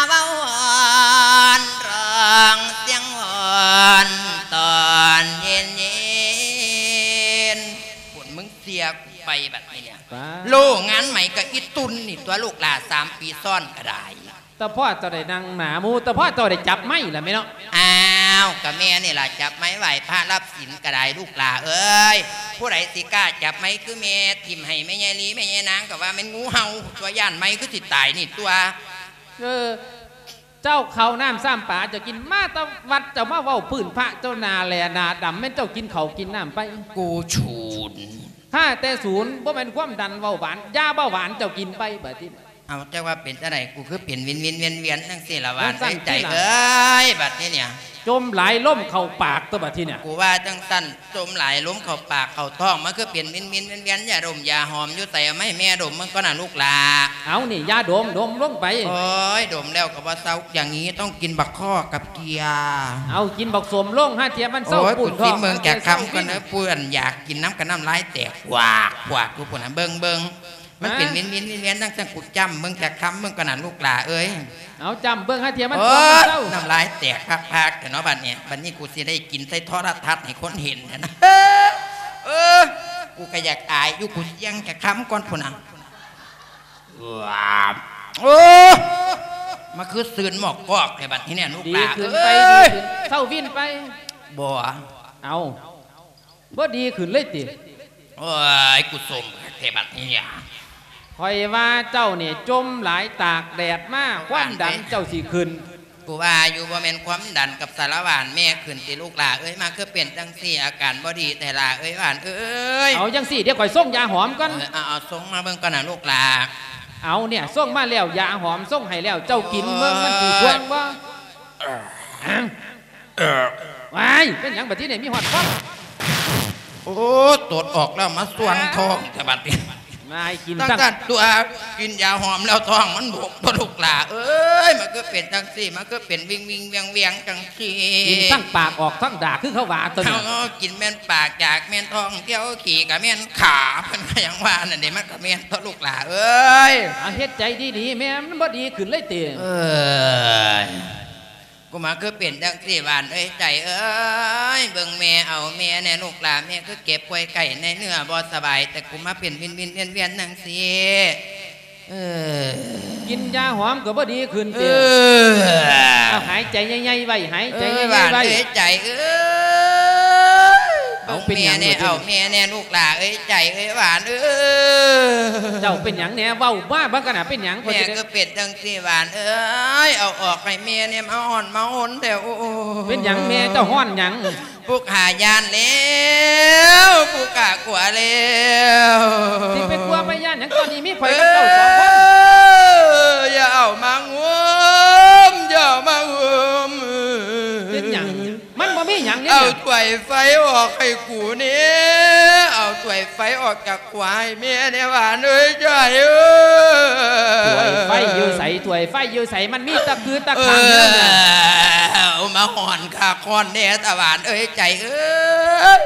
ເວົ້າວອນ ຮ້ອງສຽງວອນຕອນເຢັນໆ ພຸ້ນ ມຶງເຊື່ອກູໄປບັດນີ້ເນຍ. ໂລງານໃໝ່ກະອີ່ຕຸ່ນນີ້ຕົວະ ລູກຫຼ້າ ສາມປີຊ້ອນກະໄດ້. ຕາພໍ່ເຈົ້າໄດ້ນັ່ງໜ້າໝູ່ ຕາພໍ່ເຈົ້າໄດ້ຈັບໄມ້ລະແມ່ເນາະ. ອ້າວ ກະແມ່ນີ້ລະ ຈັບໄມ້ໄຫວ້ພະ ຮັບສິນກະໄດ້ ລູກຫຼ້າເອີຍ. ຜູ້ໃດຊິກ້າຈັບໄມ້ຄືແມ່ ຖິ້ມໃຫ້ແມ່ໃຫຍ່ລີ ແມ່ໃຫຍ່ນາງກໍວ່າແມ່ນງູເຫົ່າຕົວະ ຢ້ານໄມ້ຄືຊິຕາຍນີ້ຕົວະ. ເອີ ເຈົ້າເຂົ້ານ້ຳຊ້ຳປາເຈົ້າກິນມາແຕ່ວັດ ເຈົ້າມາເວົ້າພື້ນພະ ເຈົ້າໜ້າແຫຼ້ໜ້າດຳ ແມ່ນເຈົ້າກິນເຂົ້າກິນນ້ຳໄປ? ກູສູນ ຂ້າແຕ່ສູນ ບໍ່ແມ່ນຄວາມດັນເບົາຫວານ ຢາເບົາຫວານເຈົ້າກິນໄປ ບາດນີ້. ເອົາ ຈັກວ່າເປັນຈັ່ງໃດ ກູຄືເປັນວິນໆວຽນໆຈັ່ງຊີ້ລະ ຫວານເອີຍ ໃຈເອີຍ ບາດນີ້ເນຍ ຈົ່ມຫຼາຍລົມເຂົ້າປາກຕົວະ ບາດນີ້ເນຍ. ກູວ່າຈັ່ງຊັ້ນ ຈົ່ມຫຼາຍລົມເຂົ້າປາກເຂົ້າທ້ອງ ມັນຄືເປັນວິນໆວຽນໆ ຢາດົມຢາຫອມຢູ່ໃສ ເອົາມາໃຫ້ແມ່ດົມເບິ່ງກ່ອນນະລູກຫຼ້າ. ເອົານີ້ ຢາດົມ ດົມລົງໄປ. ໂອ້ຍ ດົມແລ້ວກໍບໍ່ເຊົາ ຢ່າງນີ້ຕ້ອງກິນບັກຄໍ່ກັບເກືອ. ເອົາ ກິນບັກສົ້ມລົງ ຫາເທື່ອມັນເຊົາປຸ້ນທ້ອງ. ໂອ້ຍ ກູຊິເບິ່ງຈັກຄຳກ່ອນເດີ ເພື່ອນຢາກກິນນຳກັນ ນ້ຳລາຍແຕກ ພວກໆຢູ່ພຸ້ນນະ ເບິ່ງໆ. ມັນເປັນ ຮະ ວິນໆວຽນໆ ຈັ່ງຊັ້ນ ກູຈ້ຳເບິ່ງຈັກຄຳເບິ່ງກ່ອນນະລູກຫຼ້າເອີຍ. ເອົາຈ້ຳເບິ່ງ ຫາເທື່ອມັນ ໂອ້ຍ ທ້ອງເຊົາ. ນ້ຳລາຍແຕກພາກໆແທ້ເນາະ ບາດນີ້ ບາດນີ້ກູຊິໄດ້ກິນໃສ່ໂທລະທັດໃຫ້ຄົນເຫັນຫັ້ນນະ. ເອີ ກູກໍຢາກອາຍຢູ່ ກູສ່ຽງຈັກຄຳກ່ອນພຸ້ນນະ. ໂອ້ ມາຄືຊືນໝອກກອກແທ້ບາດນີ້ເນຍລູກຫຼ້າ ດີຂຶ້ນໄປ ເອີຍ ດີຂຶ້ນ ເຊົາວິນໄປ. ບໍ່ ເອົາ ບໍ່ດີຂຶ້ນເລີຍຕິ? ໂອ້ຍ ກູສົມຄັກແທ້ບັດນີ້. ຂ້ອຍວ່າເຈົ້ານີ້ຈົ່ມຫຼາຍຕາກແດດມາ ຄວາມດັນເຈົ້າຊິຂຶ້ນ. ກູວ່າຢູ່ ບໍ່ແມ່ນຄວາມດັນກັບສາລະຫວ່ານແມ່ຂຶ້ນຕິລູກຫຼ້າເອີຍ? ມາຄືເປັນຈັ່ງຊີ້ ອາການບໍ່ດີແທ້ຫຼ້າເອີຍ ຫວ່ານເອີຍ. ເອົາຈັ່ງຊີ້ ດຽວຂ້ອຍສົ່ງຢາຫອມກ່ອນ. ເອີ ເອົາ ເອົາ ສົ່ງມາເບິ່ງກ່ອນນະລູກຫຼ້າ. ເອົາເນຍ ສົ່ງມາແລ້ວ ຢາຫອມສົ່ງໃຫ້ແລ້ວ ເຈົ້າກິນເບິ່ງມັນຊິຊ່ວງບໍ່? ເອີ ຫຍັງ? ເອີ ວ້າຍ ເປັນຫຍັງບັດທີນີ້ ມີຮອດຄວັນ. ໂອ້ ຕົດອອກແລ້ວມາສ່ວງທ້ອງແທ້ບັດນີ້. ນາຍກິນ ຕັ້ງ ຕັ້ງ ກັນຕົວະ ກິນຢາຫອມແລ້ວທ້ອງມັນບົກຕົວະລູກຫຼ້າເອີຍ. ມັນຄືເປັນຈັ່ງຊີ້ ມັນຄືເປັນວິງໆວຽງໆຈັ່ງຊີ້ ກິນທັງປາກອອກທັງດາກ ຄືເຂົາວ່າຕົວະ. ເອົາ ກິນແມ່ນປາກຢາກແມ່ນທ້ອງ ທ່ຽວຂີ້ກໍແມ່ນຂາ ເພິ່ນກໍຫຍັງວ່ານັ້ນເດ ມັນກໍແມ່ນຕົວະລູກຫຼ້າເອີຍ. ເອົາ ເຮັດໃຈດີໆແມ່ ມັນບໍ່ດີຂຶ້ນເລີຍຕິ? ເອີຍ ກູມາຄືເປັນຈັ່ງຊີ້ຫວານເອີຍ ໃຈເອີຍ. ເບິ່ງແມ່ເອົາແມ່ແດ່ລູກຫຼ້າ ແມ່ຄືເຈັບປ່ວຍໄຂ້ໃນເນື້ອບໍ່ສະບາຍ ແຕ່ກູມາເປັນວິນໆວຽນໆຈັ່ງຊີ້. ເອີ ກິນຢາຫອມກໍບໍ່ດີຂຶ້ນຕິ? ເອີ ເອົາ ຫາຍໃຈໃຫຍ່ໆໄວ້ ຫາຍໃຈໃຫຍ່ໆໄວ້ ເອີ ຫວານເອີຍ ໃຈເອີຍ. ເອົາ ເອົາ ເປັນຫຍັງແດ່ ເອົາແມ່ແດ່ລູກຫຼ້າເອີຍ ໃຈເອີຍ ຫວານເອີຍ. ເຈົ້າເປັນຫຍັງແດ່ ເວົ້າມາເບິ່ງກັນນະ ເປັນຫຍັງ? ແມ່ຄືເປັນຈັ່ງ ຊິຫວານເອີຍ ເອົາອອກໃຫ້ແມ່ແດ່ ມາຮ້ອນມາຫົນແທ້ໂອ້. ເປັນຫຍັງແມ່ ເຈົ້າຮ້ອນຫຍັງ? ຜູ້ຂ້າຢ້ານແລ້ວ ຜູ້ຂ້າກົວແລ້ວ. ຊິໄປກົວໄປຢ້ານຫຍັງ ຕອນນີ້ມີຂ້ອຍກັບເຈົ້າສອງຄົນ. ເອີ ຢ່າເອົາມາງຸມ ຢ່າເອົາມາງຸມ. ເປັນຫຍັງ? ມັນບໍ່ມີຫຍັງນີ້ ເອົາຖ້ວຍໄຟອອກໃຫ້ກູແດ່ ເອົາຖ້ວຍໄຟອອກຈາກຫົວໃຫ້ແມ່ແດ່ຫວານເອີຍ ໃຈເອີຍ. ຖ້ວຍໄຟຢູ່ໃສ? ຖ້ວຍໄຟຢູ່ໃສ? ມັນມີຕະຄືຕະຄັງຢູ່ນັ້ນນະ. ເອີ ເອົາມາຮ້ອນຄັກຮ້ອນແນ່ຕາຫວານເອີຍ ໃຈເອີຍ.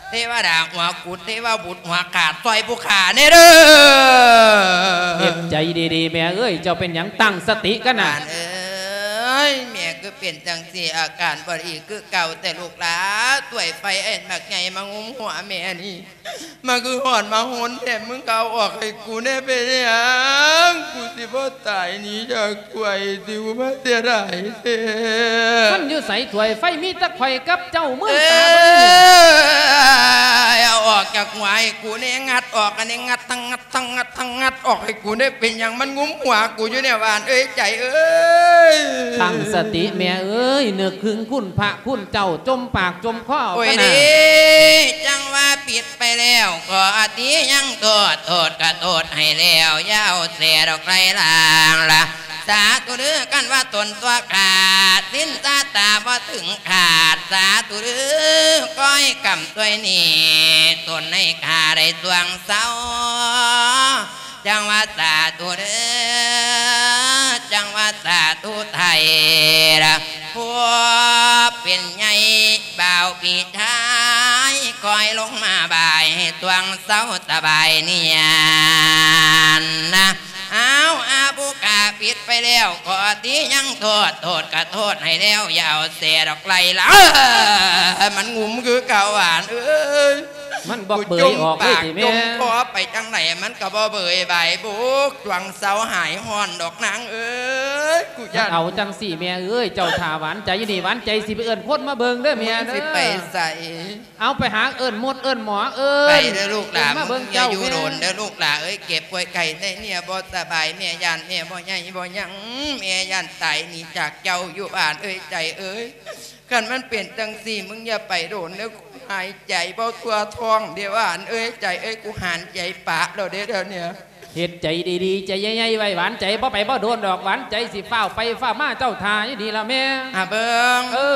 ເທວະດາຫົວກຸດ ເທວະບຸດຫົວຂາດ ຊ່ອຍຜູ້ຂ້າແດ່ເດີ. ເຮັດໃຈດີໆ ແມ່ເອີຍ ເຈົ້າເປັນຫຍັງ? ຕັ້ງສະຕິກັນນະ ຫຼານເອີຍ. ແມ່ຄືເປັນຈັ່ງຊີ້ ອາການບໍ່ດີຄືເກົ່າແຕ່ລູກຫຼ້າ. ຖ້ວຍໄຟອັນບັກໃຫຍ່ມາງຸມຫົວແມ່ນີ້ ມາຄືຮ້ອນມາຫົນແທ້. ມຶງກໍເອົາອອກໃຫ້ກູແດ່ ເປັນຫຍັງ? ກູຊິບໍ່ຕາຍໜີຈາກ ກວຍຕິວມາເສຍດາຍແທ້. ມັນຢູ່ໃສຖ້ວຍໄຟ? ມີແຕ່ຂ້ອຍກັບເຈົ້າ ມືນຕາເບິ່ງ. ເອີຍ ເອົາອອກຈາກຫົວໃຫ້ກູແດ່ ງັດອອກອັນນີ້ ງັດທັງງັດ ທັງງັດ ທັງງັດອອກໃຫ້ກູແດ່. ເປັນຫຍັງມັນງຸມຫົວກູຢູ່ແດ່ຫວານເອີຍ ໃຈເອີຍ? ຕັ້ງສະຕິແມ່ເອີຍ ນຶກເຖິງຄຸນພະຄຸນເຈົ້າ ຈົ່ມປາກຈົ່ມຄໍເອົາ ໂອ້ຍ ກັນນະ ເດ້ ຈັ່ງວ່າຜິດ ໄປແລ້ວກໍອະຕິຍັງໂທດ ໂທດກະໂທດໃຫ້ແລ້ວ ຢ່າເອົາແສດອກໄລ່ລ້າງລະ ສາທຸເດີ. ຄັນວ່າຕົນຕົວະຂາດ ສິນສາຕາບໍ່ເຖິງຂາດ ສາທຸເດີ. ຂໍໃຫ້ກຳຊ່ວຍໜີຕົນໃຫ້ຂ້າໄດ້ຊ່ວງເຊົາ ຈັ່ງວ່າສາທຸເດີ ຈັ່ງວ່າສາທຸໄທລະ ຜູ້ເປັນໃຫຍ່ບ່າວພີ່ຊາຍ ຄ່ອຍລົງມາບາຍໃຫ້ຊ່ວງເຊົາສະບາຍເນຍນະ. ອ້າວ ອາ ຜູ້ຂ້າຜິດໄປແລ້ວ ຂໍອະຕິຍັງໂທດ ໂທດກະໂທດໃຫ້ແລ້ວ ຢ່າເອົາແສດອກໄລ່ລະ ມັນງຸມຄືເກົ່າຫວານເອີຍ. ມັນບໍ່ເບີຍອອກເລີຍຕິແມ່? ຈົມຄອໄປຈັ່ງໃດມັນກໍບໍ່ເບີຍບາຍບຸກ ຊ່ວງເຊົາຫາຍຮ້ອນດອກນາງເອີຍ. ເອີຍ ກູຢ້ານ ເອົາຈັ່ງຊີ້ແມ່ເອີຍ ເຈົ້າຖ້າຫວານໃຈຢູ່ນີ້ ຫວານໃຈຊິໄປເອີ້ນຄົນມາເບິ່ງເດີແມ່ເດີ ຊິໄປໃສ? ເອົາໄປຫາເອີ້ນໝົດເອີ້ນໝໍເອີຍ ໄປເດີລູກຫຼານ ມາເບິ່ງເຈົ້າ ຢ່າຢູ່ດົນເດີລູກຫຼາເອີຍ ເຈັບປ່ວຍໄຂ້ໄຂ້ເນຍ ບໍ່ສະບາຍ ແມ່ຢ້ານ ແມ່ບໍ່ໃຫຍ່ບໍ່ຍັງ ແມ່ຢ້ານຕາຍໜີຈາກເຈົ້າຢູ່ບ້ານເອີຍ ໃຈເອີຍ. ຄັນມັນເປັນຈັ່ງຊີ້ ມຶງຢ່າໄປດົນເດີ ຫາຍໃຈບໍ່ທົ່ວທ້ອງເດ້ ຫວານເອີຍ ໃຈເອີຍ ກູຫາຍໃຈປະແລ້ວເດ້ດຽວນີ້. ເຮັດໃຈດີໆ ໃຈໃຫຍ່ໆໄວ້ ຫວານໃຈ ບໍ່ໄປບໍ່ດົນດອກ ຫວານໃຈຊິຟ້າວໄປຟ້າວມາ ເຈົ້າຖ້າຢູ່ນີ້ລະແມ່. ຫາເບິ່ງ ເອີ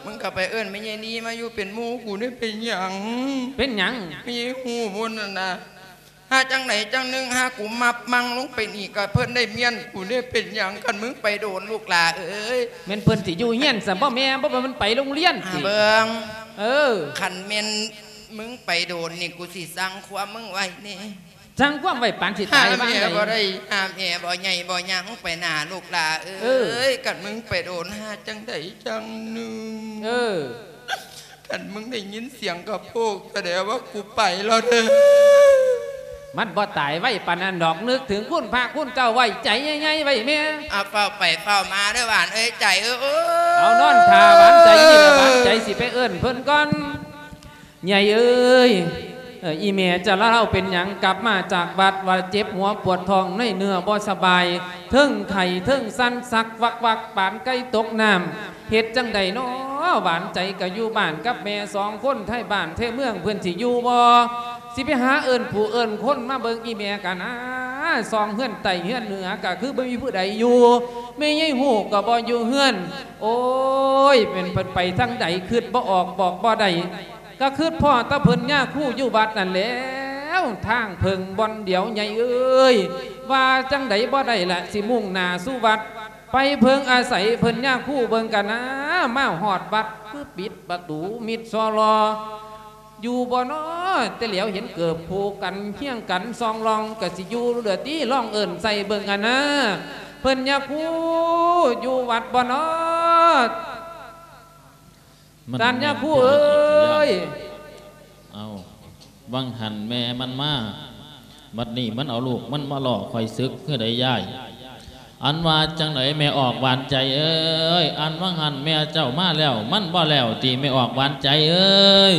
ມຶງກໍໄປເອີ້ນແມ່ໃຫຍ່ນີ້ມາຢູ່ເປັນໝູ່ກູເດ້ ເປັນຫຍັງ? ເປັນຫຍັງ? ແມ່ໃຫຍ່ຮູ້ພຸ້ນນັ້ນນະ ຫາຈັ່ງໃດຈັ່ງໜຶ່ງ ຫາກູມັບມັ່ງລົງໄປນີ້ ກໍເພິ່ນໄດ້ມ້ຽນກູເດ້ ເປັນຫຍັງ? ຄັນມຶງໄປໂດນລູກຫຼ້າເອີຍ ແມ່ນເພິ່ນຊິຢູ່ເຮືອນຊັ້ນບໍ່ແມ່? ບໍ່ແມ່ນມັນໄປໂຮງຮຽນຕິ? ຫາເບິ່ງ ເອີ ຄັນແມ່ນມຶງໄປໂດນນີ້ ກູຊິສັ່ງຄວາມມຶງໄວ້ນີ້. ສັ່ງຄວາມໄວ້ປານຊິຕາຍວ່າງໃດ? ຫາແມ່ບໍ່ໄດ້ ຫາແມ່ບໍ່ໃຫຍ່ບໍ່ຍັງໄປໜ້າລູກຫຼ້າເອີຍ ເອີ ຄັນມຶງໄປໂດນ ຫາຈັ່ງໃດຈັ່ງໜຶ່ງ ເອີ ຄັນມຶງໄດ້ຍິນສຽງກະໂພກ ສະແດງວ່າກູໄປແລ້ວເດີ. ມັນບໍ່ຕາຍໄວປານນັ້ນດອກ ນຶກເຖິງຄຸນພະຄຸນເຈົ້າໄວ້ ໃຈໃຫຍ່ໆໄວ້ແມ່. ອາ ຟ້າວໄປຟ້າວມາເດີຫວານເອີຍ ໃຈເອີຍ. ເອົານອນຖ້າຫວານໃຈນີ້ລະ ຫວານໃຈຊິໄປເອີ້ນເພິ່ນກ່ອນ. ໃຫຍ່ເອີຍ ເອີ ອີແມ່ຈະລາວເປັນຫຍັງກັບມາຈາກວັດ ວ່າເຈັບຫົວປວດທ້ອງໃນເນື້ອບໍ່ສະບາຍ ເທິງໄຂ້ເທິງສັ່ນ ສັກວັກໆ ປານໄກ່ຕົກນ້ຳ. ເຮັດຈັ່ງໃດນໍ ຫວານໃຈກະຢູ່ບ້ານກັບແມ່ສອງຄົນ ໄທບ້ານໄທເມືອງເພິ່ນຊິຢູ່ບໍ່? ຊິໄປຫາເອີ້ນຜູ້ເອີ້ນຄົນມາເບິ່ງອີແມ່ກະນາ ສ່ອງເຮືອນໃຕ້ເຮືອນເໜືອກະຄືບໍ່ມີຜູ້ໃດຢູ່ ແມ່ໃຫຍ່ຮູ້ກະບໍ່ຢູ່ເຮືອນ. ໂອ້ຍ ແມ່ນເພິ່ນໄປທາງໃດ ຄຶດບໍ່ອອກບອກບໍ່ໄດ້ ກະຄຶດພໍ້ແຕ່ເພິ່ນຍາຄູຢູ່ວັດນັ້ນແຫຼ້ວ ທາງເພິ່ງບ່ອນດຽວໃຫຍ່ເອີຍ. ວ່າຈັ່ງໃດບໍ່ໄດ້ລະ ຊິມຸ່ງໜ້າສູ່ວັດ ໄປເພິ່ງອາໄສເພິ່ນຍາຄູເບິ່ງກະນາ ມາຮອດວັດຄືປິດປະຕູມິດຊໍລໍ ຢູ່ບໍ່ນໍ? ແຕ່ແຫຼວເຫັນເກີບຄູ່ກັນຄຽງກັນສ່ອງລອງ ກະຊິຢູ່ເຫຼືອຕິ ລອງເອີ້ນໃສ່ເບິ່ງຫັ້ນນາ ເພິ່ນຍາຄູຢູ່ວັດບໍ່ນໍ? ມັນ ທ່ານຍາຄູເອີຍ ເອົ້າ ຫວ່າງຫັ້ນແມ່ມັນມາ ບັດນີ້ມັນເອົາລູກມັນມາລໍ້ຂ້ອຍສຶກຄືໃດຍາຍ? ອັນວ່າຈັ່ງໃດແມ່ອອກຫວານໃຈເອີຍ? ອັນຫວ່າງຫັ້ນແມ່ເຈົ້າມາແລ້ວ ມັນບໍ່ແລ້ວຕິແມ່ອອກຫວານໃຈເອີຍ?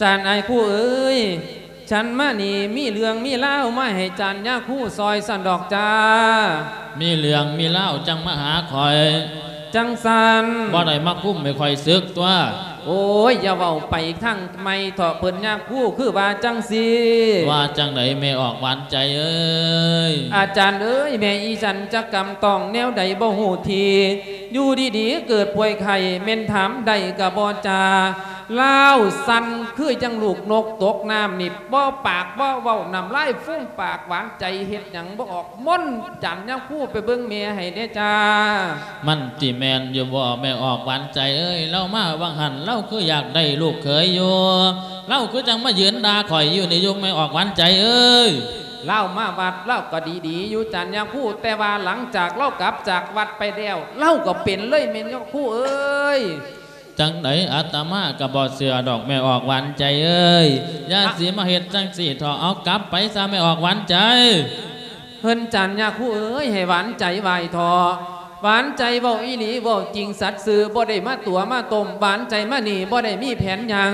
ທ່ານອ້າຍຄູເອີຍ ສັນມານີ້ມີເລື່ອງມີລາວມາໃຫ້ຈານຍາຄູຊ່ອຍຊັ້ນດອກຈ້າ. ມີເລື່ອງມີລາວຈັ່ງມາຫາຂ້ອຍ ຈັ່ງຊັ້ນ ບໍ່ໄດ້ມາຄຸມໃຫ້ຂ້ອຍສຶກຕົວະ. ໂອ້ຍ ຢ່າເວົ້າໄປທາງໃໝ່ເຖາະເພິ່ນຍາຄູ ຄືວ່າຈັ່ງຊີ້. ວ່າຈັ່ງໃດແມ່ອອກຫວານໃຈເອີຍ? ອາຈານເອີຍ ແມ່ອີສັນຈັກກຳຕ້ອງແນວໃດບໍ່ຮູ້ທີ່ ຢູ່ດີໆເກີດປ່ວຍໄຂ້ ແມ່ນຖາມໄດ້ກະບໍ່ຈາ ລາວສັ່ນຄືຈັ່ງລູກນົກຕົກນ້ຳນີ້ ບໍ່ປາກບໍ່ເວົ້າ ນ້ຳລາຍຟູມປາກ ຫວານໃຈເຮັດຫຍັງບໍ່ອອກ. ມົນຈັນຍາຄູໄປເບິ່ງແມ່ໃຫ້ແດ່ຈ້າ. ມັນຊິແມ່ນຢູ່ບໍ່ແມ່ອອກຫວານໃຈເອີຍ? ລາວມາຫວ່າງຫັ້ນ ລາວຄືຢາກໄດ້ລູກເຂີຍຢູ່ ລາວຄືຈັ່ງມາຢືນດ່າຂ້ອຍຢູ່ນີ້ຢູ່ແມ່ອອກຫວານໃຈເອີຍ? ລາວມາວັດລາວກໍດີໆຢູ່ຈັນຍາຄູ ແຕ່ວ່າຫຼັງຈາກລາວກັບຈາກວັດໄປແລ້ວ ລາວກໍເປັນເລີຍແມ່ນຍາຄູເອີຍ. ຈັ່ງໃດອາດຕະມາກໍບໍ່ເຊື່ອດອກແມ່ອອກຫວານໃຈເອີຍ ຢ່າ ອະ ຊິມາເຮັດຈັ່ງຊີ້ເຖາະ ເອົາກັບໄປຊະແມ່ອອກຫວານໃຈ. ເພິ່ນຈັນຍາຄູເອີຍ ໃຫ້ຫວານໃຈໄຫວ້ເຖາະ ຫວານໃຈເວົ້າອີ່ຫຼີ ເວົ້າຈິງສັດຊື່ ບໍ່ໄດ້ມາຕົວະມາຕົ້ມ ຫວານໃຈມານີ້ບໍ່ໄດ້ມີແຜນຫຍັງ.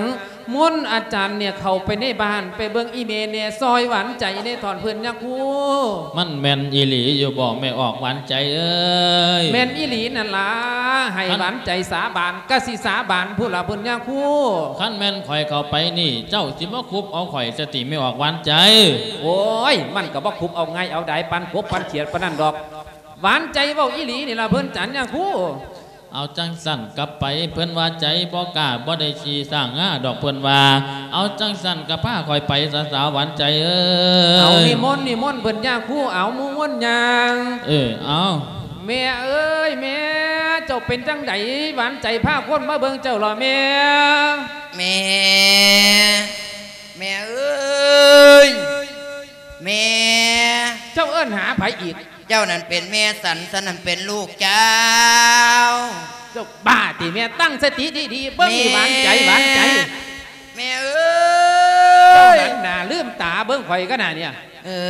ມົນອາຈານເນຍເຂົ້າໄປໃນບ້ານ ໄປເບິ່ງອີ່ແມ່ແດ່ ຊ່ອຍຫວານໃຈແດ່ ຖອນເພິ່ນຍາຄູ. ມັນແມ່ນອີ່ຫຼີຢູ່ບໍ່ແມ່ອອກຫວານໃຈເອີຍ? ແມ່ນອີ່ຫຼີນັ້ນລະ ໃຫ້ ຄັນ ຫວານໃຈສາບານ ກະຊິສາບານພຸ້ນລະເພິ່ນຍາຄູ. ຄັນແມ່ນຂ້ອຍເຂົ້າໄປນີ້ ເຈົ້າຊິມາຄຸບເອົາຂ້ອຍຊະຕິແມ່ອອກຫວານໃຈ? ໂອ້ຍ ມັນກະບໍ່ຄຸບເອົາງ່າຍເອົາດາຍປານກົບປານຂຽດປານນັ້ນດອກ ຫວານໃຈເວົ້າອີ່ຫຼີນີ້ລະເພິ່ນຈັນຍາຄູ. ເອົາຈັ່ງຊັ້ນກັບໄປ ເພິ່ນວ່າໃຈບໍ່ກ້າບໍ່ໄດ້ຂີ່ຊ້າງງາດອກ ເພິ່ນວ່າ. ເອົາຈັ່ງຊັ້ນກໍພາຂ້ອຍໄປຊະສາວຫວານໃຈເອີຍ. ເອົາ ນິມົນ ນິມົນເພິ່ນຍາຄູ ເອົາ ໝູ່ມົນຍ່າງ. ເອີ ເອົາ ແມ່ເອີຍ ແມ່ ເຈົ້າເປັນຈັ່ງໃດ? ຫວານໃຈພາຄົນມາເບິ່ງເຈົ້າລະແມ່. ແມ່ ແມ່ເອີຍ ແມ່. ເຈົ້າເອີ້ນຫາໃຜອີກ? ເຈົ້ານັ້ນເປັນແມ່ສັນ ສັນນັ້ນເປັນລູກເຈົ້າ. ເຈົ້າບ້າຕິແມ່? ຕັ້ງສະຕິດີໆ ເບິ່ງນີ້ ຫວານໃຈ ຫວານໃຈ. ແມ່ເອີຍ ເຈົ້າຫັນໜ້າລືມຕາເບິ່ງຂ້ອຍກະໜ້າເນຍ. ເອີ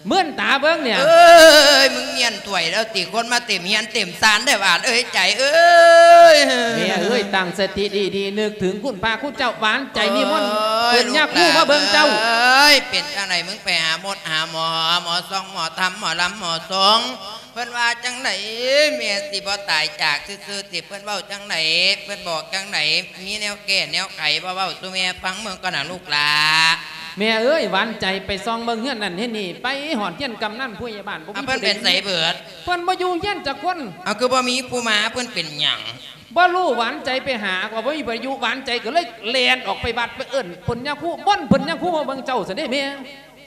ເມື່ອນຕາເບິ່ງເນ່ຍ. ເອີຍ ມຶງມຽນຖ້ວຍແລ້ວຕິ ຄົນມາເຕັມເຮືອນເຕັມຊານແທ້ຫວານເອີຍ ໃຈເອີຍ. ແມ່ເອີຍ ຕັ້ງສະຕິດີໆ ນຶກເຖິງຄຸນພະຄຸນເຈົ້າ ຫວານໃຈນິມົນເພິ່ນຍາຄູມາເບິ່ງເຈົ້າ. ເອີຍ ເປັນຈັ່ງໃດ ມຶງໄປຫາໝົດຫາໝໍ ໝໍຊອງ ໝໍທຳ ໝໍລຳ ໝໍສົງ ເພິ່ນວ່າຈັ່ງໃດ ແມ່ຊິບໍ່ຕາຍຈາກຊື່ໆຕິ ເພິ່ນເວົ້າຈັ່ງໃດ ເພິ່ນບອກຈັ່ງໃດ ມີແນວແກ້ແນວໄຂບໍ່ ເວົ້າສູ່ແມ່ຟັງເບິ່ງກ່ອນນະລູກຫຼ້າ. ແມ່ເອີຍ ຫວານໃຈໄປສ່ອງເບິ່ງເຮືອນນັ້ນເຮືອນນີ້ ໄປຮອດເຮືອນກຳນັນຜູ້ໃຫຍ່ບ້ານ ບໍ່ມີ ເພິ່ນໄປໃສເບິດ? ເພິ່ນບໍ່ຢູ່ເຮືອນຈັກຄົນ. ເອົາ ຄືບໍ່ມີຜູ້ມາ ເພິ່ນເປັນຫຍັງ? ບໍ່ຮູ້ ຫວານໃຈໄປຫາກໍບໍ່ມີໃຜຢູ່ ຫວານໃຈກໍເລີຍແລ່ນອອກໄປວັດ ໄປເອີ້ນເພິ່ນຍາຄູ ມົນເພິ່ນຍາຄູມາເບິ່ງເຈົ້າຊັ້ນເດ້ແມ່.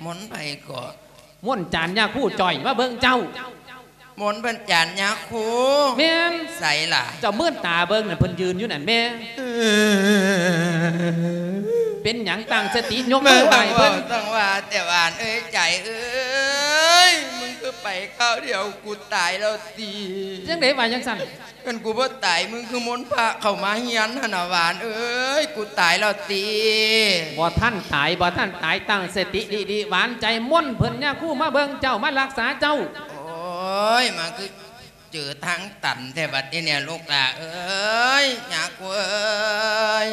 ມົນໃຜເກາະ? ມົນຈານຍາຄູຈ່ອຍມາເບິ່ງເຈົ້າ. ມົນເພິ່ນຈານຍາຄູ? ແມ່ນ. ໃສລະ? ເຈົ້າເມີນຕາເບິ່ງນັ້ນ ເພິ່ນຢືນຢູ່ນັ້ນແມ່. ເປັນຫຍັງ? ຕັ້ງສະຕິ ຍົກມືໄຫວ້ເພິ່ນ. ແມ່ນບໍ່ ຕ້ອງວ່າແຕ່ຫວານເອີຍ ໃຈເອີຍ ມຶງຄືໄປຄາວດຽວ ກູຕາຍແລ້ວຕິ. ຈັ່ງໃດວ່າຈັ່ງຊັ້ນ? ຄັນກູບໍ່ຕາຍ ມຶງຄືມົນພະເຂົ້າມາເຮືອນຫັ້ນນະ ຫວານເອີຍ ກູຕາຍແລ້ວຕິ. ບໍ່ທັນຕາຍ ບໍ່ທັນຕາຍ ຕັ້ງສະຕິດີໆ ຫວານໃຈ ມົນເພິ່ນຍາຄູມາເບິ່ງເຈົ້າ ມາລັກສາເຈົ້າ. ໂອ້ຍ ມາຄືເຈີທາງຕັນແທ້ບັດນີ້ເນຍ ລູກຫຼ້າເອີຍ ຍາຄູເອີຍ.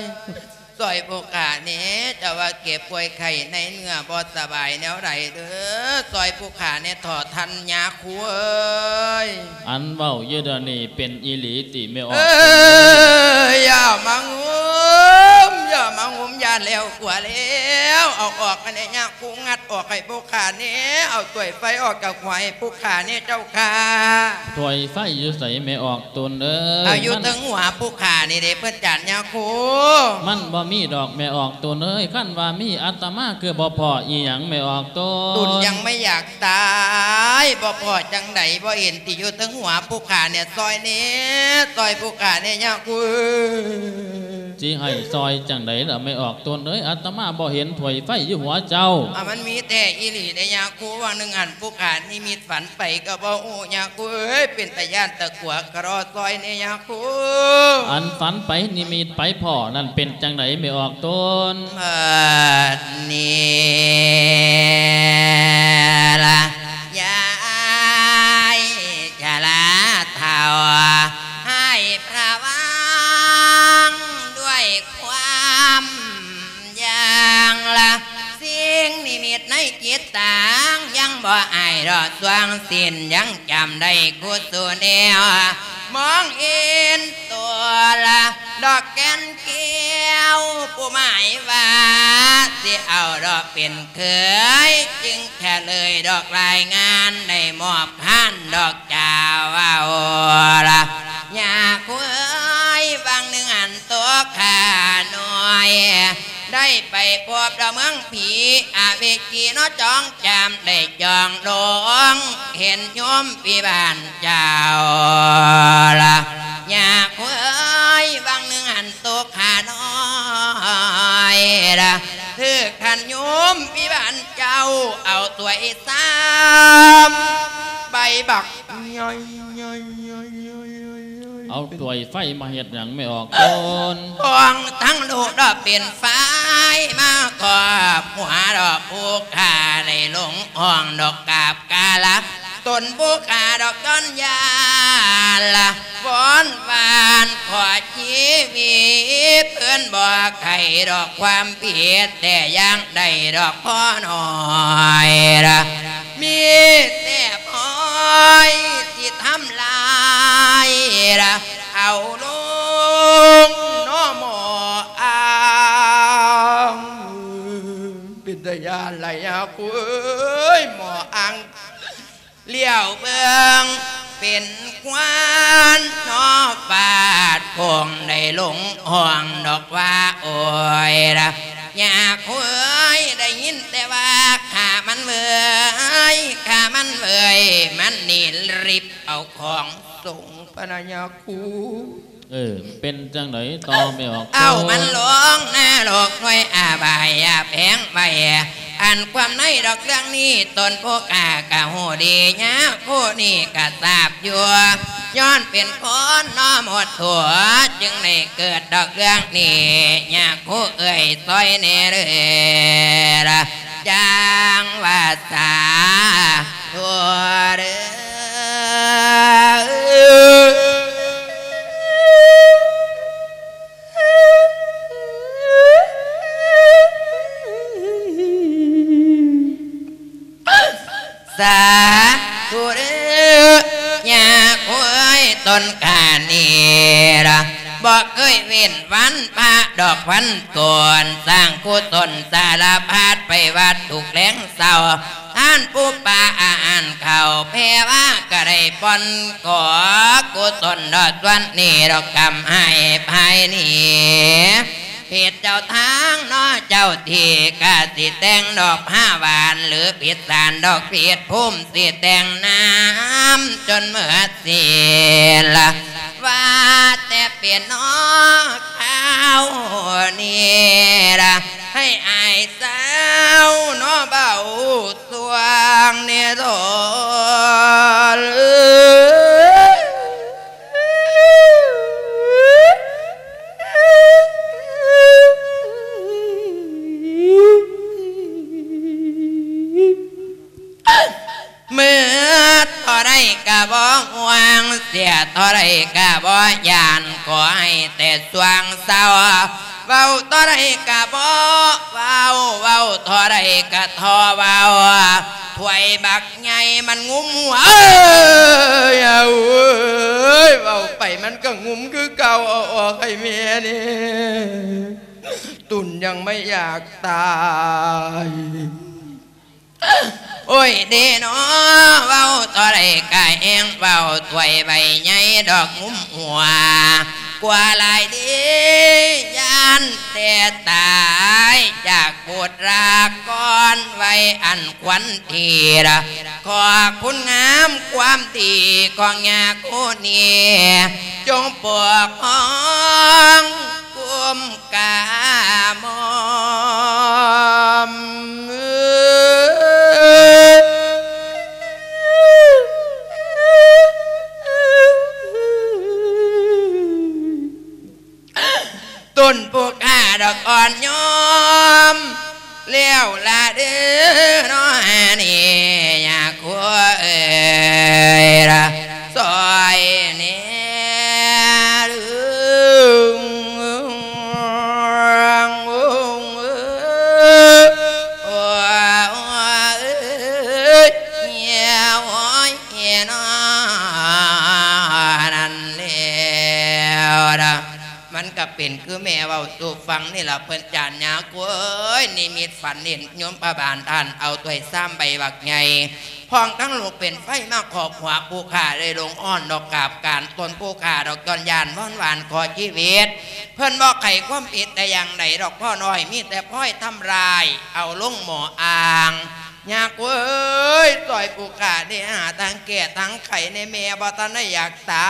ຊ່ອຍຜູ້ຂ້າແດ່ ເຈົ້າວ່າເຈັບປ່ວຍໄຂ້ໃນເນື້ອບໍ່ສະບາຍແນວໃດເດີ ຊ່ອຍຜູ້ຂ້າແດ່ເຖາະທ່ານຍາຄູເອີຍ. ອັນເວົ້າຢູ່ດຽວນີ້ເປັນອີ່ຫຼີຕິແມ່ອອກ? ເອີຍ ຢ່າມາງຸມ ຢ່າມາງຸມ ຢ້ານແລ້ວກົວແລ້ວ ເອົາອອກມາແດ່ຍາຄູ ງັດອອກໃຫ້ຜູ້ຂ້າແດ່ ເອົາຖ້ວຍໄຟອອກຈາກຫົວໃຫ້ຜູ້ຂ້າແດ່ເຈົ້າຂ້າ. ຖ້ວຍໄຟຢູ່ໃສແມ່ອອກ? ຕົນເອີຍ ເອົາຢູ່ເທິງຫົວຜູ້ຂ້ານີ້ເດ້ ເພິ່ນຈານຍາຄູ. ມັນບໍ່ມີດອກແມ່ອອກຕົນເອີຍ ຄັນວ່າມີອາດຕະມາຄືບໍ່ພໍອີ່ຫຍັງແມ່ອອກຕົນ. ຕົນຍັງໄມ່ຢາກຕາຍ ບໍ່ພໍຈັ່ງໃດ ບໍ່ເຫັນຕິຢູ່ເທິງຫົວຜູ້ຂ້າແດ່ ຊ່ອຍແດ່ ຊ່ອຍຜູ້ຂ້າແດ່ຍາຄູ. ຊິໃຫ້ຊ່ອຍຈັ່ງໃດລະແມ່ອອກຕົນເອີຍ ອາດຕະມາບໍ່ເຫັນຖ້ວຍໄຟຢູ່ຫົວເຈົ້າ. ອາ ມັນມີແທ້ອີ່ຫຼີເດ້ຍາຄູ ຫວ່າງໜຶ່ງຫັ້ນຜູ້ຂ້ານິມິດຝັນໄປກໍບໍ່ຮູ້ຍາຄູເອີຍ ເປັນຕາຢ້ານຕາກົວ ກະລໍຊ່ອຍແດ່ຍາຄູ. ອັນຝັນໄປນິມິດໄປພໍ້ນັ້ນເປັນຈັ່ງໃດແມ່ອອກຕົນ? ບັດນີ້ລະ ຍາຍຊະລາເຖົ້າ ໃຫ້ພະວັງດ້ວຍຄວາມຢ່າງລະ ສິ່ງນິມິດໃນຈິດຕາ ຍັງບໍ່ອາຍດອກ ຊ່ວງສິ້ນຍັງຈຳໄດ້ຄູ່ສູ່ແນວ ມອງເຫັນໂຕລະ ດອກແກ່ນແກ້ວ ຜູ້ໝາຍວ່າ ຊິເອົາດອກເປັນເຂີຍ ຈຶ່ງສະເຫຼີຍດອກລາຍງານ ໄດ້ມອບພານດອກເຈົ້າເອົາລະ ຍາຄູເອີຍ ຫວ່າງໜຶ່ງອັນໂຕຂ້ານ້ອຍ ໄດ້ໄປພົບດອກເມືອງຜີ ອາວິຄີເນາະ ຈອງຈາມໄດ້ຈອງລົງ ເຫັນໂຍມພີ່ບ້ານເຈົ້າລະ ຍາຄູເອີຍ ຫວ່າງໜຶ່ງອັນໂຕຂ້ານ້ອຍລະ ຖືກທ່ານໂຍມພີ່ບ້ານເຈົ້າ ເອົາຖ້ວຍຊາມໃບບັກໃຫຍ່ ເອົາຖ້ວຍໄຟມາເຮັດຫຍັງແມ່ອອກຕົນ? ຂອງທັງລູກດອກເປັນໄຟ ມາຄອບຫົວດອກຜູ້ຂ້າ ໄດ້ລົງຫ້ອງດອກກາບກາລະ ຕົນຜູ້ຂ້າດອກຍ້ອນຢາລະ ວອນວານຂໍຊີວິດ ເພິ່ນບໍ່ໃຄ່ດອກຄວາມຜິດ ແຕ່ຢ່າງໃດດອກພໍ່ນ້ອຍລະ ມີແຕ່ພອຍຊິທຳລາຍລະ ເອົາລົງເນາະໝໍອັງ. ເປັນຕາຢ້ານຫຼາຍຍາຄູເອີຍ ໝໍອັງ ຫຼຽວເບິ່ງເປັນຄວັນເນາະ ຟາດໂພງໄດ້ລົງຫ້ອງດອກວ່າ ໂອຍລະ ຍາຄູເອີຍ ໄດ້ຍິນແຕ່ວ່າຂ້າມັນເວີຍ ຂ້າມັນເວີຍ ມັນໜີລິບເອົາຂອງສົງ ພະນະຍາຄູ. ເອີ ເປັນຈັ່ງໃດຕໍ່ແມ່ອອກຕົນ? ເອົາມັນລົງນະລົກ ໜ່ວຍອະບາຍອະແພງໄວ້ ອັນຄວາມໃນດອກເລື່ອງນີ້ ຕົນຜູ້ຂ້າກະຮູ້ດີ ຍາຄູນີ້ກະຊາບຢູ່ ຍ້ອນເປັນຄົນເນາະໝົດຕົວ ຈຶ່ງໄດ້ເກີດດອກເລື່ອງນີ້ ຍາຄູເອີຍ ຊ່ອຍແດ່ເດີລະ ຈັ່ງວ່າສາ ສາທຸເດີ້ ຍາໂອ້ຍ ຕົນຂ້ານີ້ລະ ບໍ່ເຄີຍເວັ້ນວັນພະດອກວັນໂກນ ສ້າງກຸສົນສາລະພັດໄປວັດທຸກແລງເຊົ້າ ທານປູປາອາຫານເຂົ້າ ແຜ່ວ່າກະໄດ້ປ່ອນ ຂໍກຸສົນດອກສ່ວນນີ້ດອກກຳໃຫ້ພາຍນີ້ ຜິດເຈົ້າທາງເນາະເຈົ້າທີ່ ກະຊິແຕ່ງດອກຜ້າຫວານ ຫຼືຜິດສານດອກຜິດພູມ ຊິແຕ່ງນ້ຳຈົນເໝິດສິ້ນລະ ວ່າແຕ່ເປັນເນາະຄາວນີ້ລະ ໃຫ້ອ້າຍສາວເນາະເວົ້າ ຊ່ວງນີ້ໂດນ ເໝິດເທົ່າໃດກະບໍ່ຫ່ວງ ເສຍເທົ່າໃດກະບໍ່ຢ້ານ ຂໍໃຫ້ແຕ່ຊ່ວງເຊົ້າ ເວົ້າເທົ່າໃດກະບໍ່ເວົ້າ ເວົ້າເທົ່າໃດກະທໍ່ເວົ້າ ຖ້ວຍບັກໃຫຍ່ມັນງຸ້ມຫົວ ເອີຍ ເອີຍ ເວົ້າໄປມັນກະງຸ້ມຄືເກົ່າ ເອົາອອກໃຫ້ແມ່ແດ່ ຕຸນຍັງໄມ່ຢາກຕາຍ. ໂອ້ຍເດເນາະ ເວົ້າເທົ່າໃດກະແຮງເວົ້າ ຖ້ວຍໃບໃຫຍ່ດອກງຸ້ມຫົວ ກວ່າຫຼາຍເດ ຢ້ານແຕ່ຕາຍຈາກບຸດລາກອນ ໄວອັນຄວັນທີລະ ຂໍຄຸນງາມຄວາມດີຂອງຍາຄູນີ້ ຈົ່ງປົກປ້ອງ ກຸມກາໝອມ ຕົ້ນຜູ້ຂ້າດອກອ່ອນໂຍມ ແລ້ວລະເດີເນາະ ອັນນີ້ຍາຄູເອີຍລະ ຊ່ອຍແດ່ ໂອ້ຍ ໂອ້ຍ ໂອ້ຍ ເນາະ ນັ້ນແລ້ວລະ ມັນກະເປັນຄືແມ່ເວົ້າສູ່ຟັງນີ້ລະ ເພິ່ນຈານຍາກູເອີຍ ນິມິດຝັນເຫັນໂຍມພະບານທ່ານເອົາຖ້ວຍຊາມໃບບັກໃຫຍ່ ພ້ອມທັງລູກເປັນໄຟມາຄອບຫົວ ຜູ້ຂ້າໄດ້ລົງອ້ອນດອກກາບການ ຕົ້ນຜູ້ຂ້າດອກຍ້ອນຢ້ານວອນຫວານຂໍຊີວິດ ເພິ່ນບໍ່ໄຂຄວາມຜິດແຕ່ຢ່າງໃດດອກພໍ່ນ້ອຍ ມີແຕ່ພອຍທຳລາຍ ເອົາລົງໝໍ້ອ່າງ ຍາກູເອີຍ ຊ່ອຍຜູ້ຂ້າແດ່ ຫາທາງແກ້ທາງໄຂແດ່ ແມ່ບໍ່ທັນໄດ້ຢາກຕາ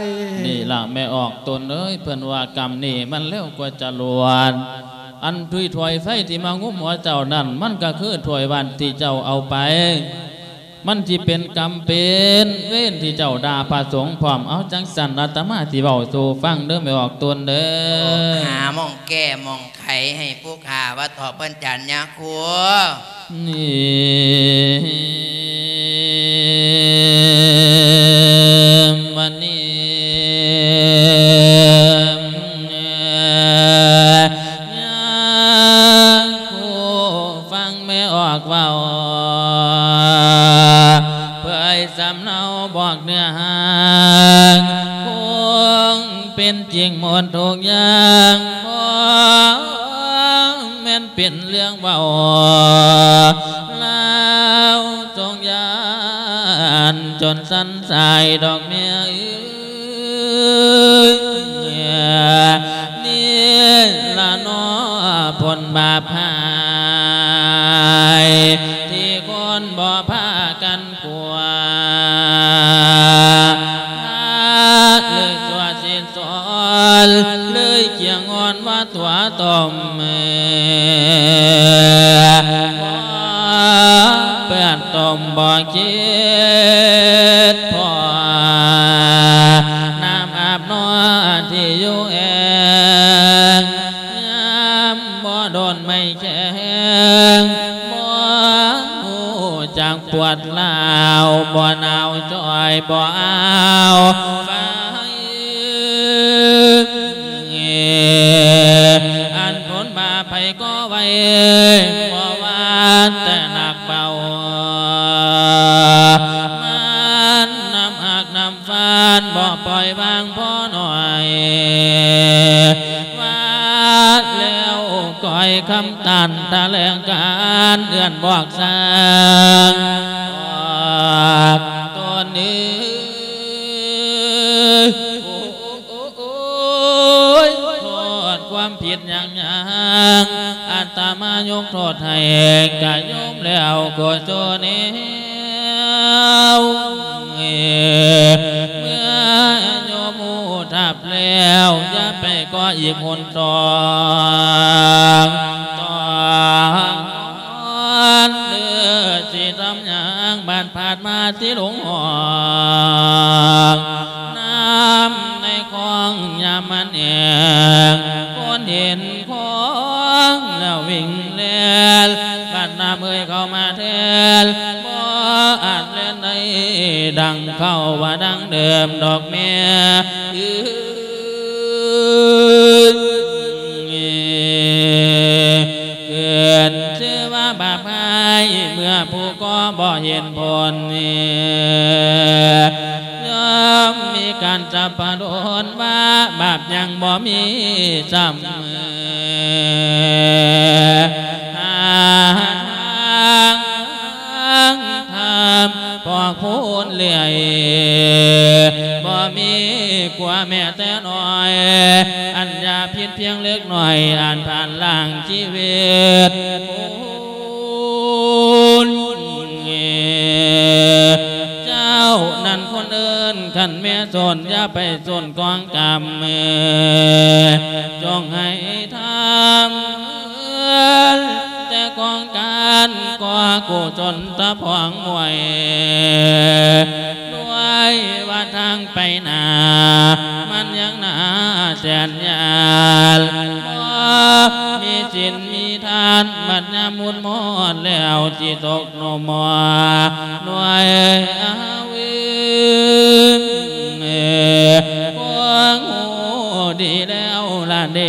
ຍ. ນີ້ລະແມ່ອອກຕົນເອີຍ ເພິ່ນວ່າກຳນີ້ມັນເລັວກວ່າຈະລວດ ອັນຖ້ວຍ ຖ້ວຍໄຟທີ່ມາງຸ້ມຫົວເຈົ້ານັ້ນ ມັນກະຄືຖ້ວຍວັດທີ່ເຈົ້າເອົາໄປ ມັນຊິເປັນກຳເປັນເວນທີ່ເຈົ້າດ່າພະສົງພ້ອມ ເອົາ ຈັ່ງຊັ້ນອາດຕະມາຊິເວົ້າສູ່ຟັງເດີແມ່ອອກຕົນເດີ ຫາໝ່ອງແກ້ໝ່ອງ ໄຂໃຫ້ຜູ້ຂ້າວ່າເຖາະເພິ່ນຈານຍາຄູ ນີ້ ມະນີ ຍາຄູ ຟັງແມ່ອອກເວົ້າ ເຜີຍສຳເນົາບອກເນື້ອຫາ ຄົງເປັນຈິງໝົດທຸກຢ່າງ ບໍ່ແມ່ນເປັນເລື່ອງເວົ້າ ລາວຊົງຢ້ານຈົນສັ່ນສາຍດອກແມ່ເອີຍ ນີ້ລະເນາະຜົນບາບຫາຍ ທີ່ຄົນບໍ່ພາກັນ ກົວ ເລີຍຊົ່ວສິ້ນສອນ ເລີຍຈຽງອ່ອນວ່າຕົວຕົມ ບໍ່ເປື້ອນຕົມບໍ່ຄິດພໍ ນ້ຳອາບນອນທີ່ຢູ່ແອງ ຍາມບໍ່ດົນໄມ້ ແຂງ ບໍ່ຮູ້ຈັກປວດລາວ ບໍ່ໜາວຈ່ອຍ ບໍ່ອ້າວໄຟ ອັນຜົນບາບໃຜກໍໄວ ບໍ່ວ່າແຕ່ໜັກເບົາ ຄຳຕັນຖະແຫຼງການເຮືອນບອກສ້າງອອກຕົນເອີຍ ໂອ້ຍ ໂທດຄວາມຜິດຫຍັງຫຍັງ ອາດຕະມາຍົກໂທດໃຫ້ກະໂຍມແລ້ວກໍໂຊແນວ ເມື່ອໂຍມຮູ້ທັບແລ້ວ ຢ່າໄປກໍ່ອີກຫົນ ຕ້ອງ ຕ້ອງເດີ ຊິທຳຫຍັງ ບາດພາດມາຊິຫຼົງຫ້ອງ ນຳໃນຄອງຍາມມັນແຫ້ງ ຄົນເຫັນຄອງແລ້ວວິ່ງແລ່ນ ບາດນ້ຳເອີຍເຂົ້າມາແທນ ບໍ່ອາດແລ່ນໄດ້ ດັ່ງເກົ່າວ່າດັ່ງເດີມດອກແມ່ເອີຍ. ເກີດຊື່ວ່າບາບຮ້າຍ ເມື່ອຜູ້ກໍ່ບໍ່ເຫັນຜົນ ຍ່ອມມີການສັບພະດົນວ່າ ບາບຍັງບໍ່ມີຊ້ຳ ຫາທາງ ທຳພອກພູນເລື່ອຍ ບໍ່ມີກົວແມ້ແຕ່ນ້ອຍ ອັນຢ່າຜິດພຽງເລັກນ້ອຍ ອັນຜ່ານລ້າງຊີວິດ ເຈົ້ານັ້ນຄົນເອີ້ນ ຄັນແມ່ສົນ ຢ່າໄປສົນກອງກຳ ຈົ່ງໃຫ້ທຳ ແຕ່ກອງການກໍ່ກຸສົນຕະພອງມວຍ ດ້ວຍວ່າທາງໄປໜ້າ ມັນຍັງໜ້າແສນຍານ ບໍ່ມີສິນມີທານ ບັດຍາມມຸນມອດແລ້ວ ຊິຕົກໜຸ່ມໝໍ ໜ່ວຍອາວິນ ຄວນຮູ້ດີແລ້ວລະເດ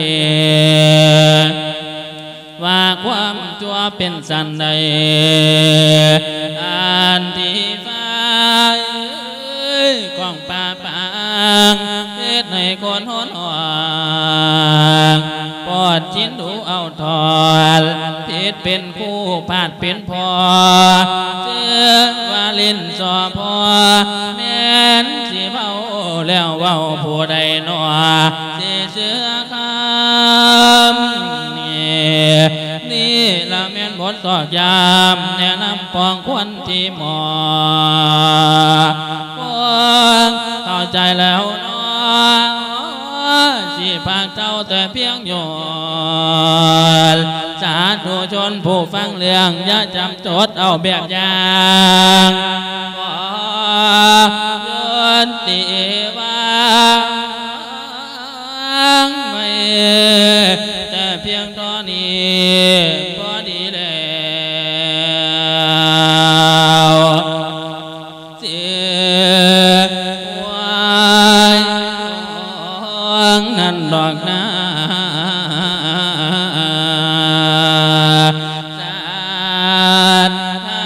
ວ່າຄວາມຊົ່ວເປັນສັນໃດ ອັນທີ່ຟ້າເອີຍຂອງປ່າປາງ ເຮັດໃຫ້ຄົນຫົນຫອງ ປອດຈິນດູເອົາຖອນ ຜິດເປັນ ຜູ້ພາດເປັນພໍ່ ເຊື່ອວ່າຫຼິ້ນສໍ່ພໍ່ ແມ່ນຊິເວົ້າແລ້ວເວົ້າຜູ້ໃດໜໍ ຊິເຊື່ອຄຳນີ້ ນີ້ລະແມ່ນບົດຊອກຢາມ ແນະນຳປອງຄວນທີ່ໝໍ ເຂົ້າໃຈແລ້ວໜໍ ຊິພາກເຈົ້າແຕ່ພຽງໂຍນ ສາທຸຊົນຜູ້ຟັງເລື່ອງ ຢ່າຈຳຈົດເອົາແບບຢ່າງ ຂໍໂຍນຕິວາງໄວ້ ແຕ່ພຽງທໍ່ນີ້ພໍດີແລ້ວ ເສຍຫວຍຂອງນັ້ນດອກນາ ສາທາ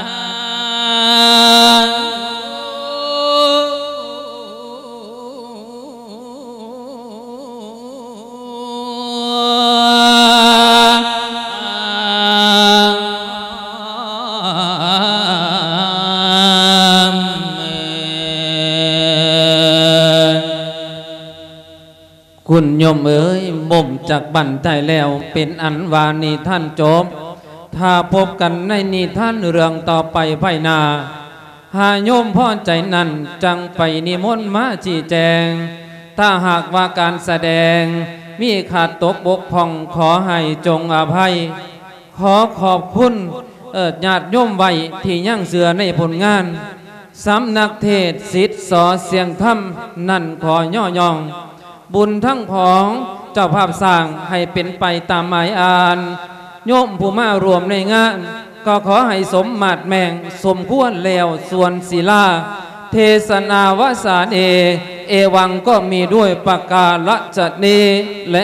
ຄຸນໂຍມເອີຍ ໝົມຈັກບັນໄທແລ້ວ ເປັນອັນວ່ານິທານຈົບ. ຖ້າພົບກັນໃນນິທານເລື່ອງຕໍ່ໄປພາຍໜ້າ ຫາໂຍມພໍໃຈນັ້ນ ຈັ່ງໄປນິມົນມາຊີ້ແຈງ. ຖ້າຫາກວ່າການສະແດງມີຂາດຕົກບົກຜ່ອງ ຂໍໃຫ້ຈົ່ງອະໄພ. ຂໍຂອບຄຸນ ເອີ ຍາດໂຍມໄວ້ທີ່ຍັງເຊື່ອໃນຜົນງານ. ສຳນັກເທດສິດ ສ.ສຽງທຳ ນັ້ນຂໍຍໍຍ້ອງ ບຸນທັງຂອງເຈົ້າພາບສ້າງໃຫ້ເປັນໄປຕາມໝາຍອ່ານ. ໂຍມຜູ້ມາຮ່ວມໃນງານ ກໍຂໍໃຫ້ສົມມາດແມ່ງສົມຄວນແລ້ວສ່ວນສິລາ. ເທສະນາວະສາເນ ເອວັງກໍມີດ້ວຍປະກາລະຈະນີ້ແລ.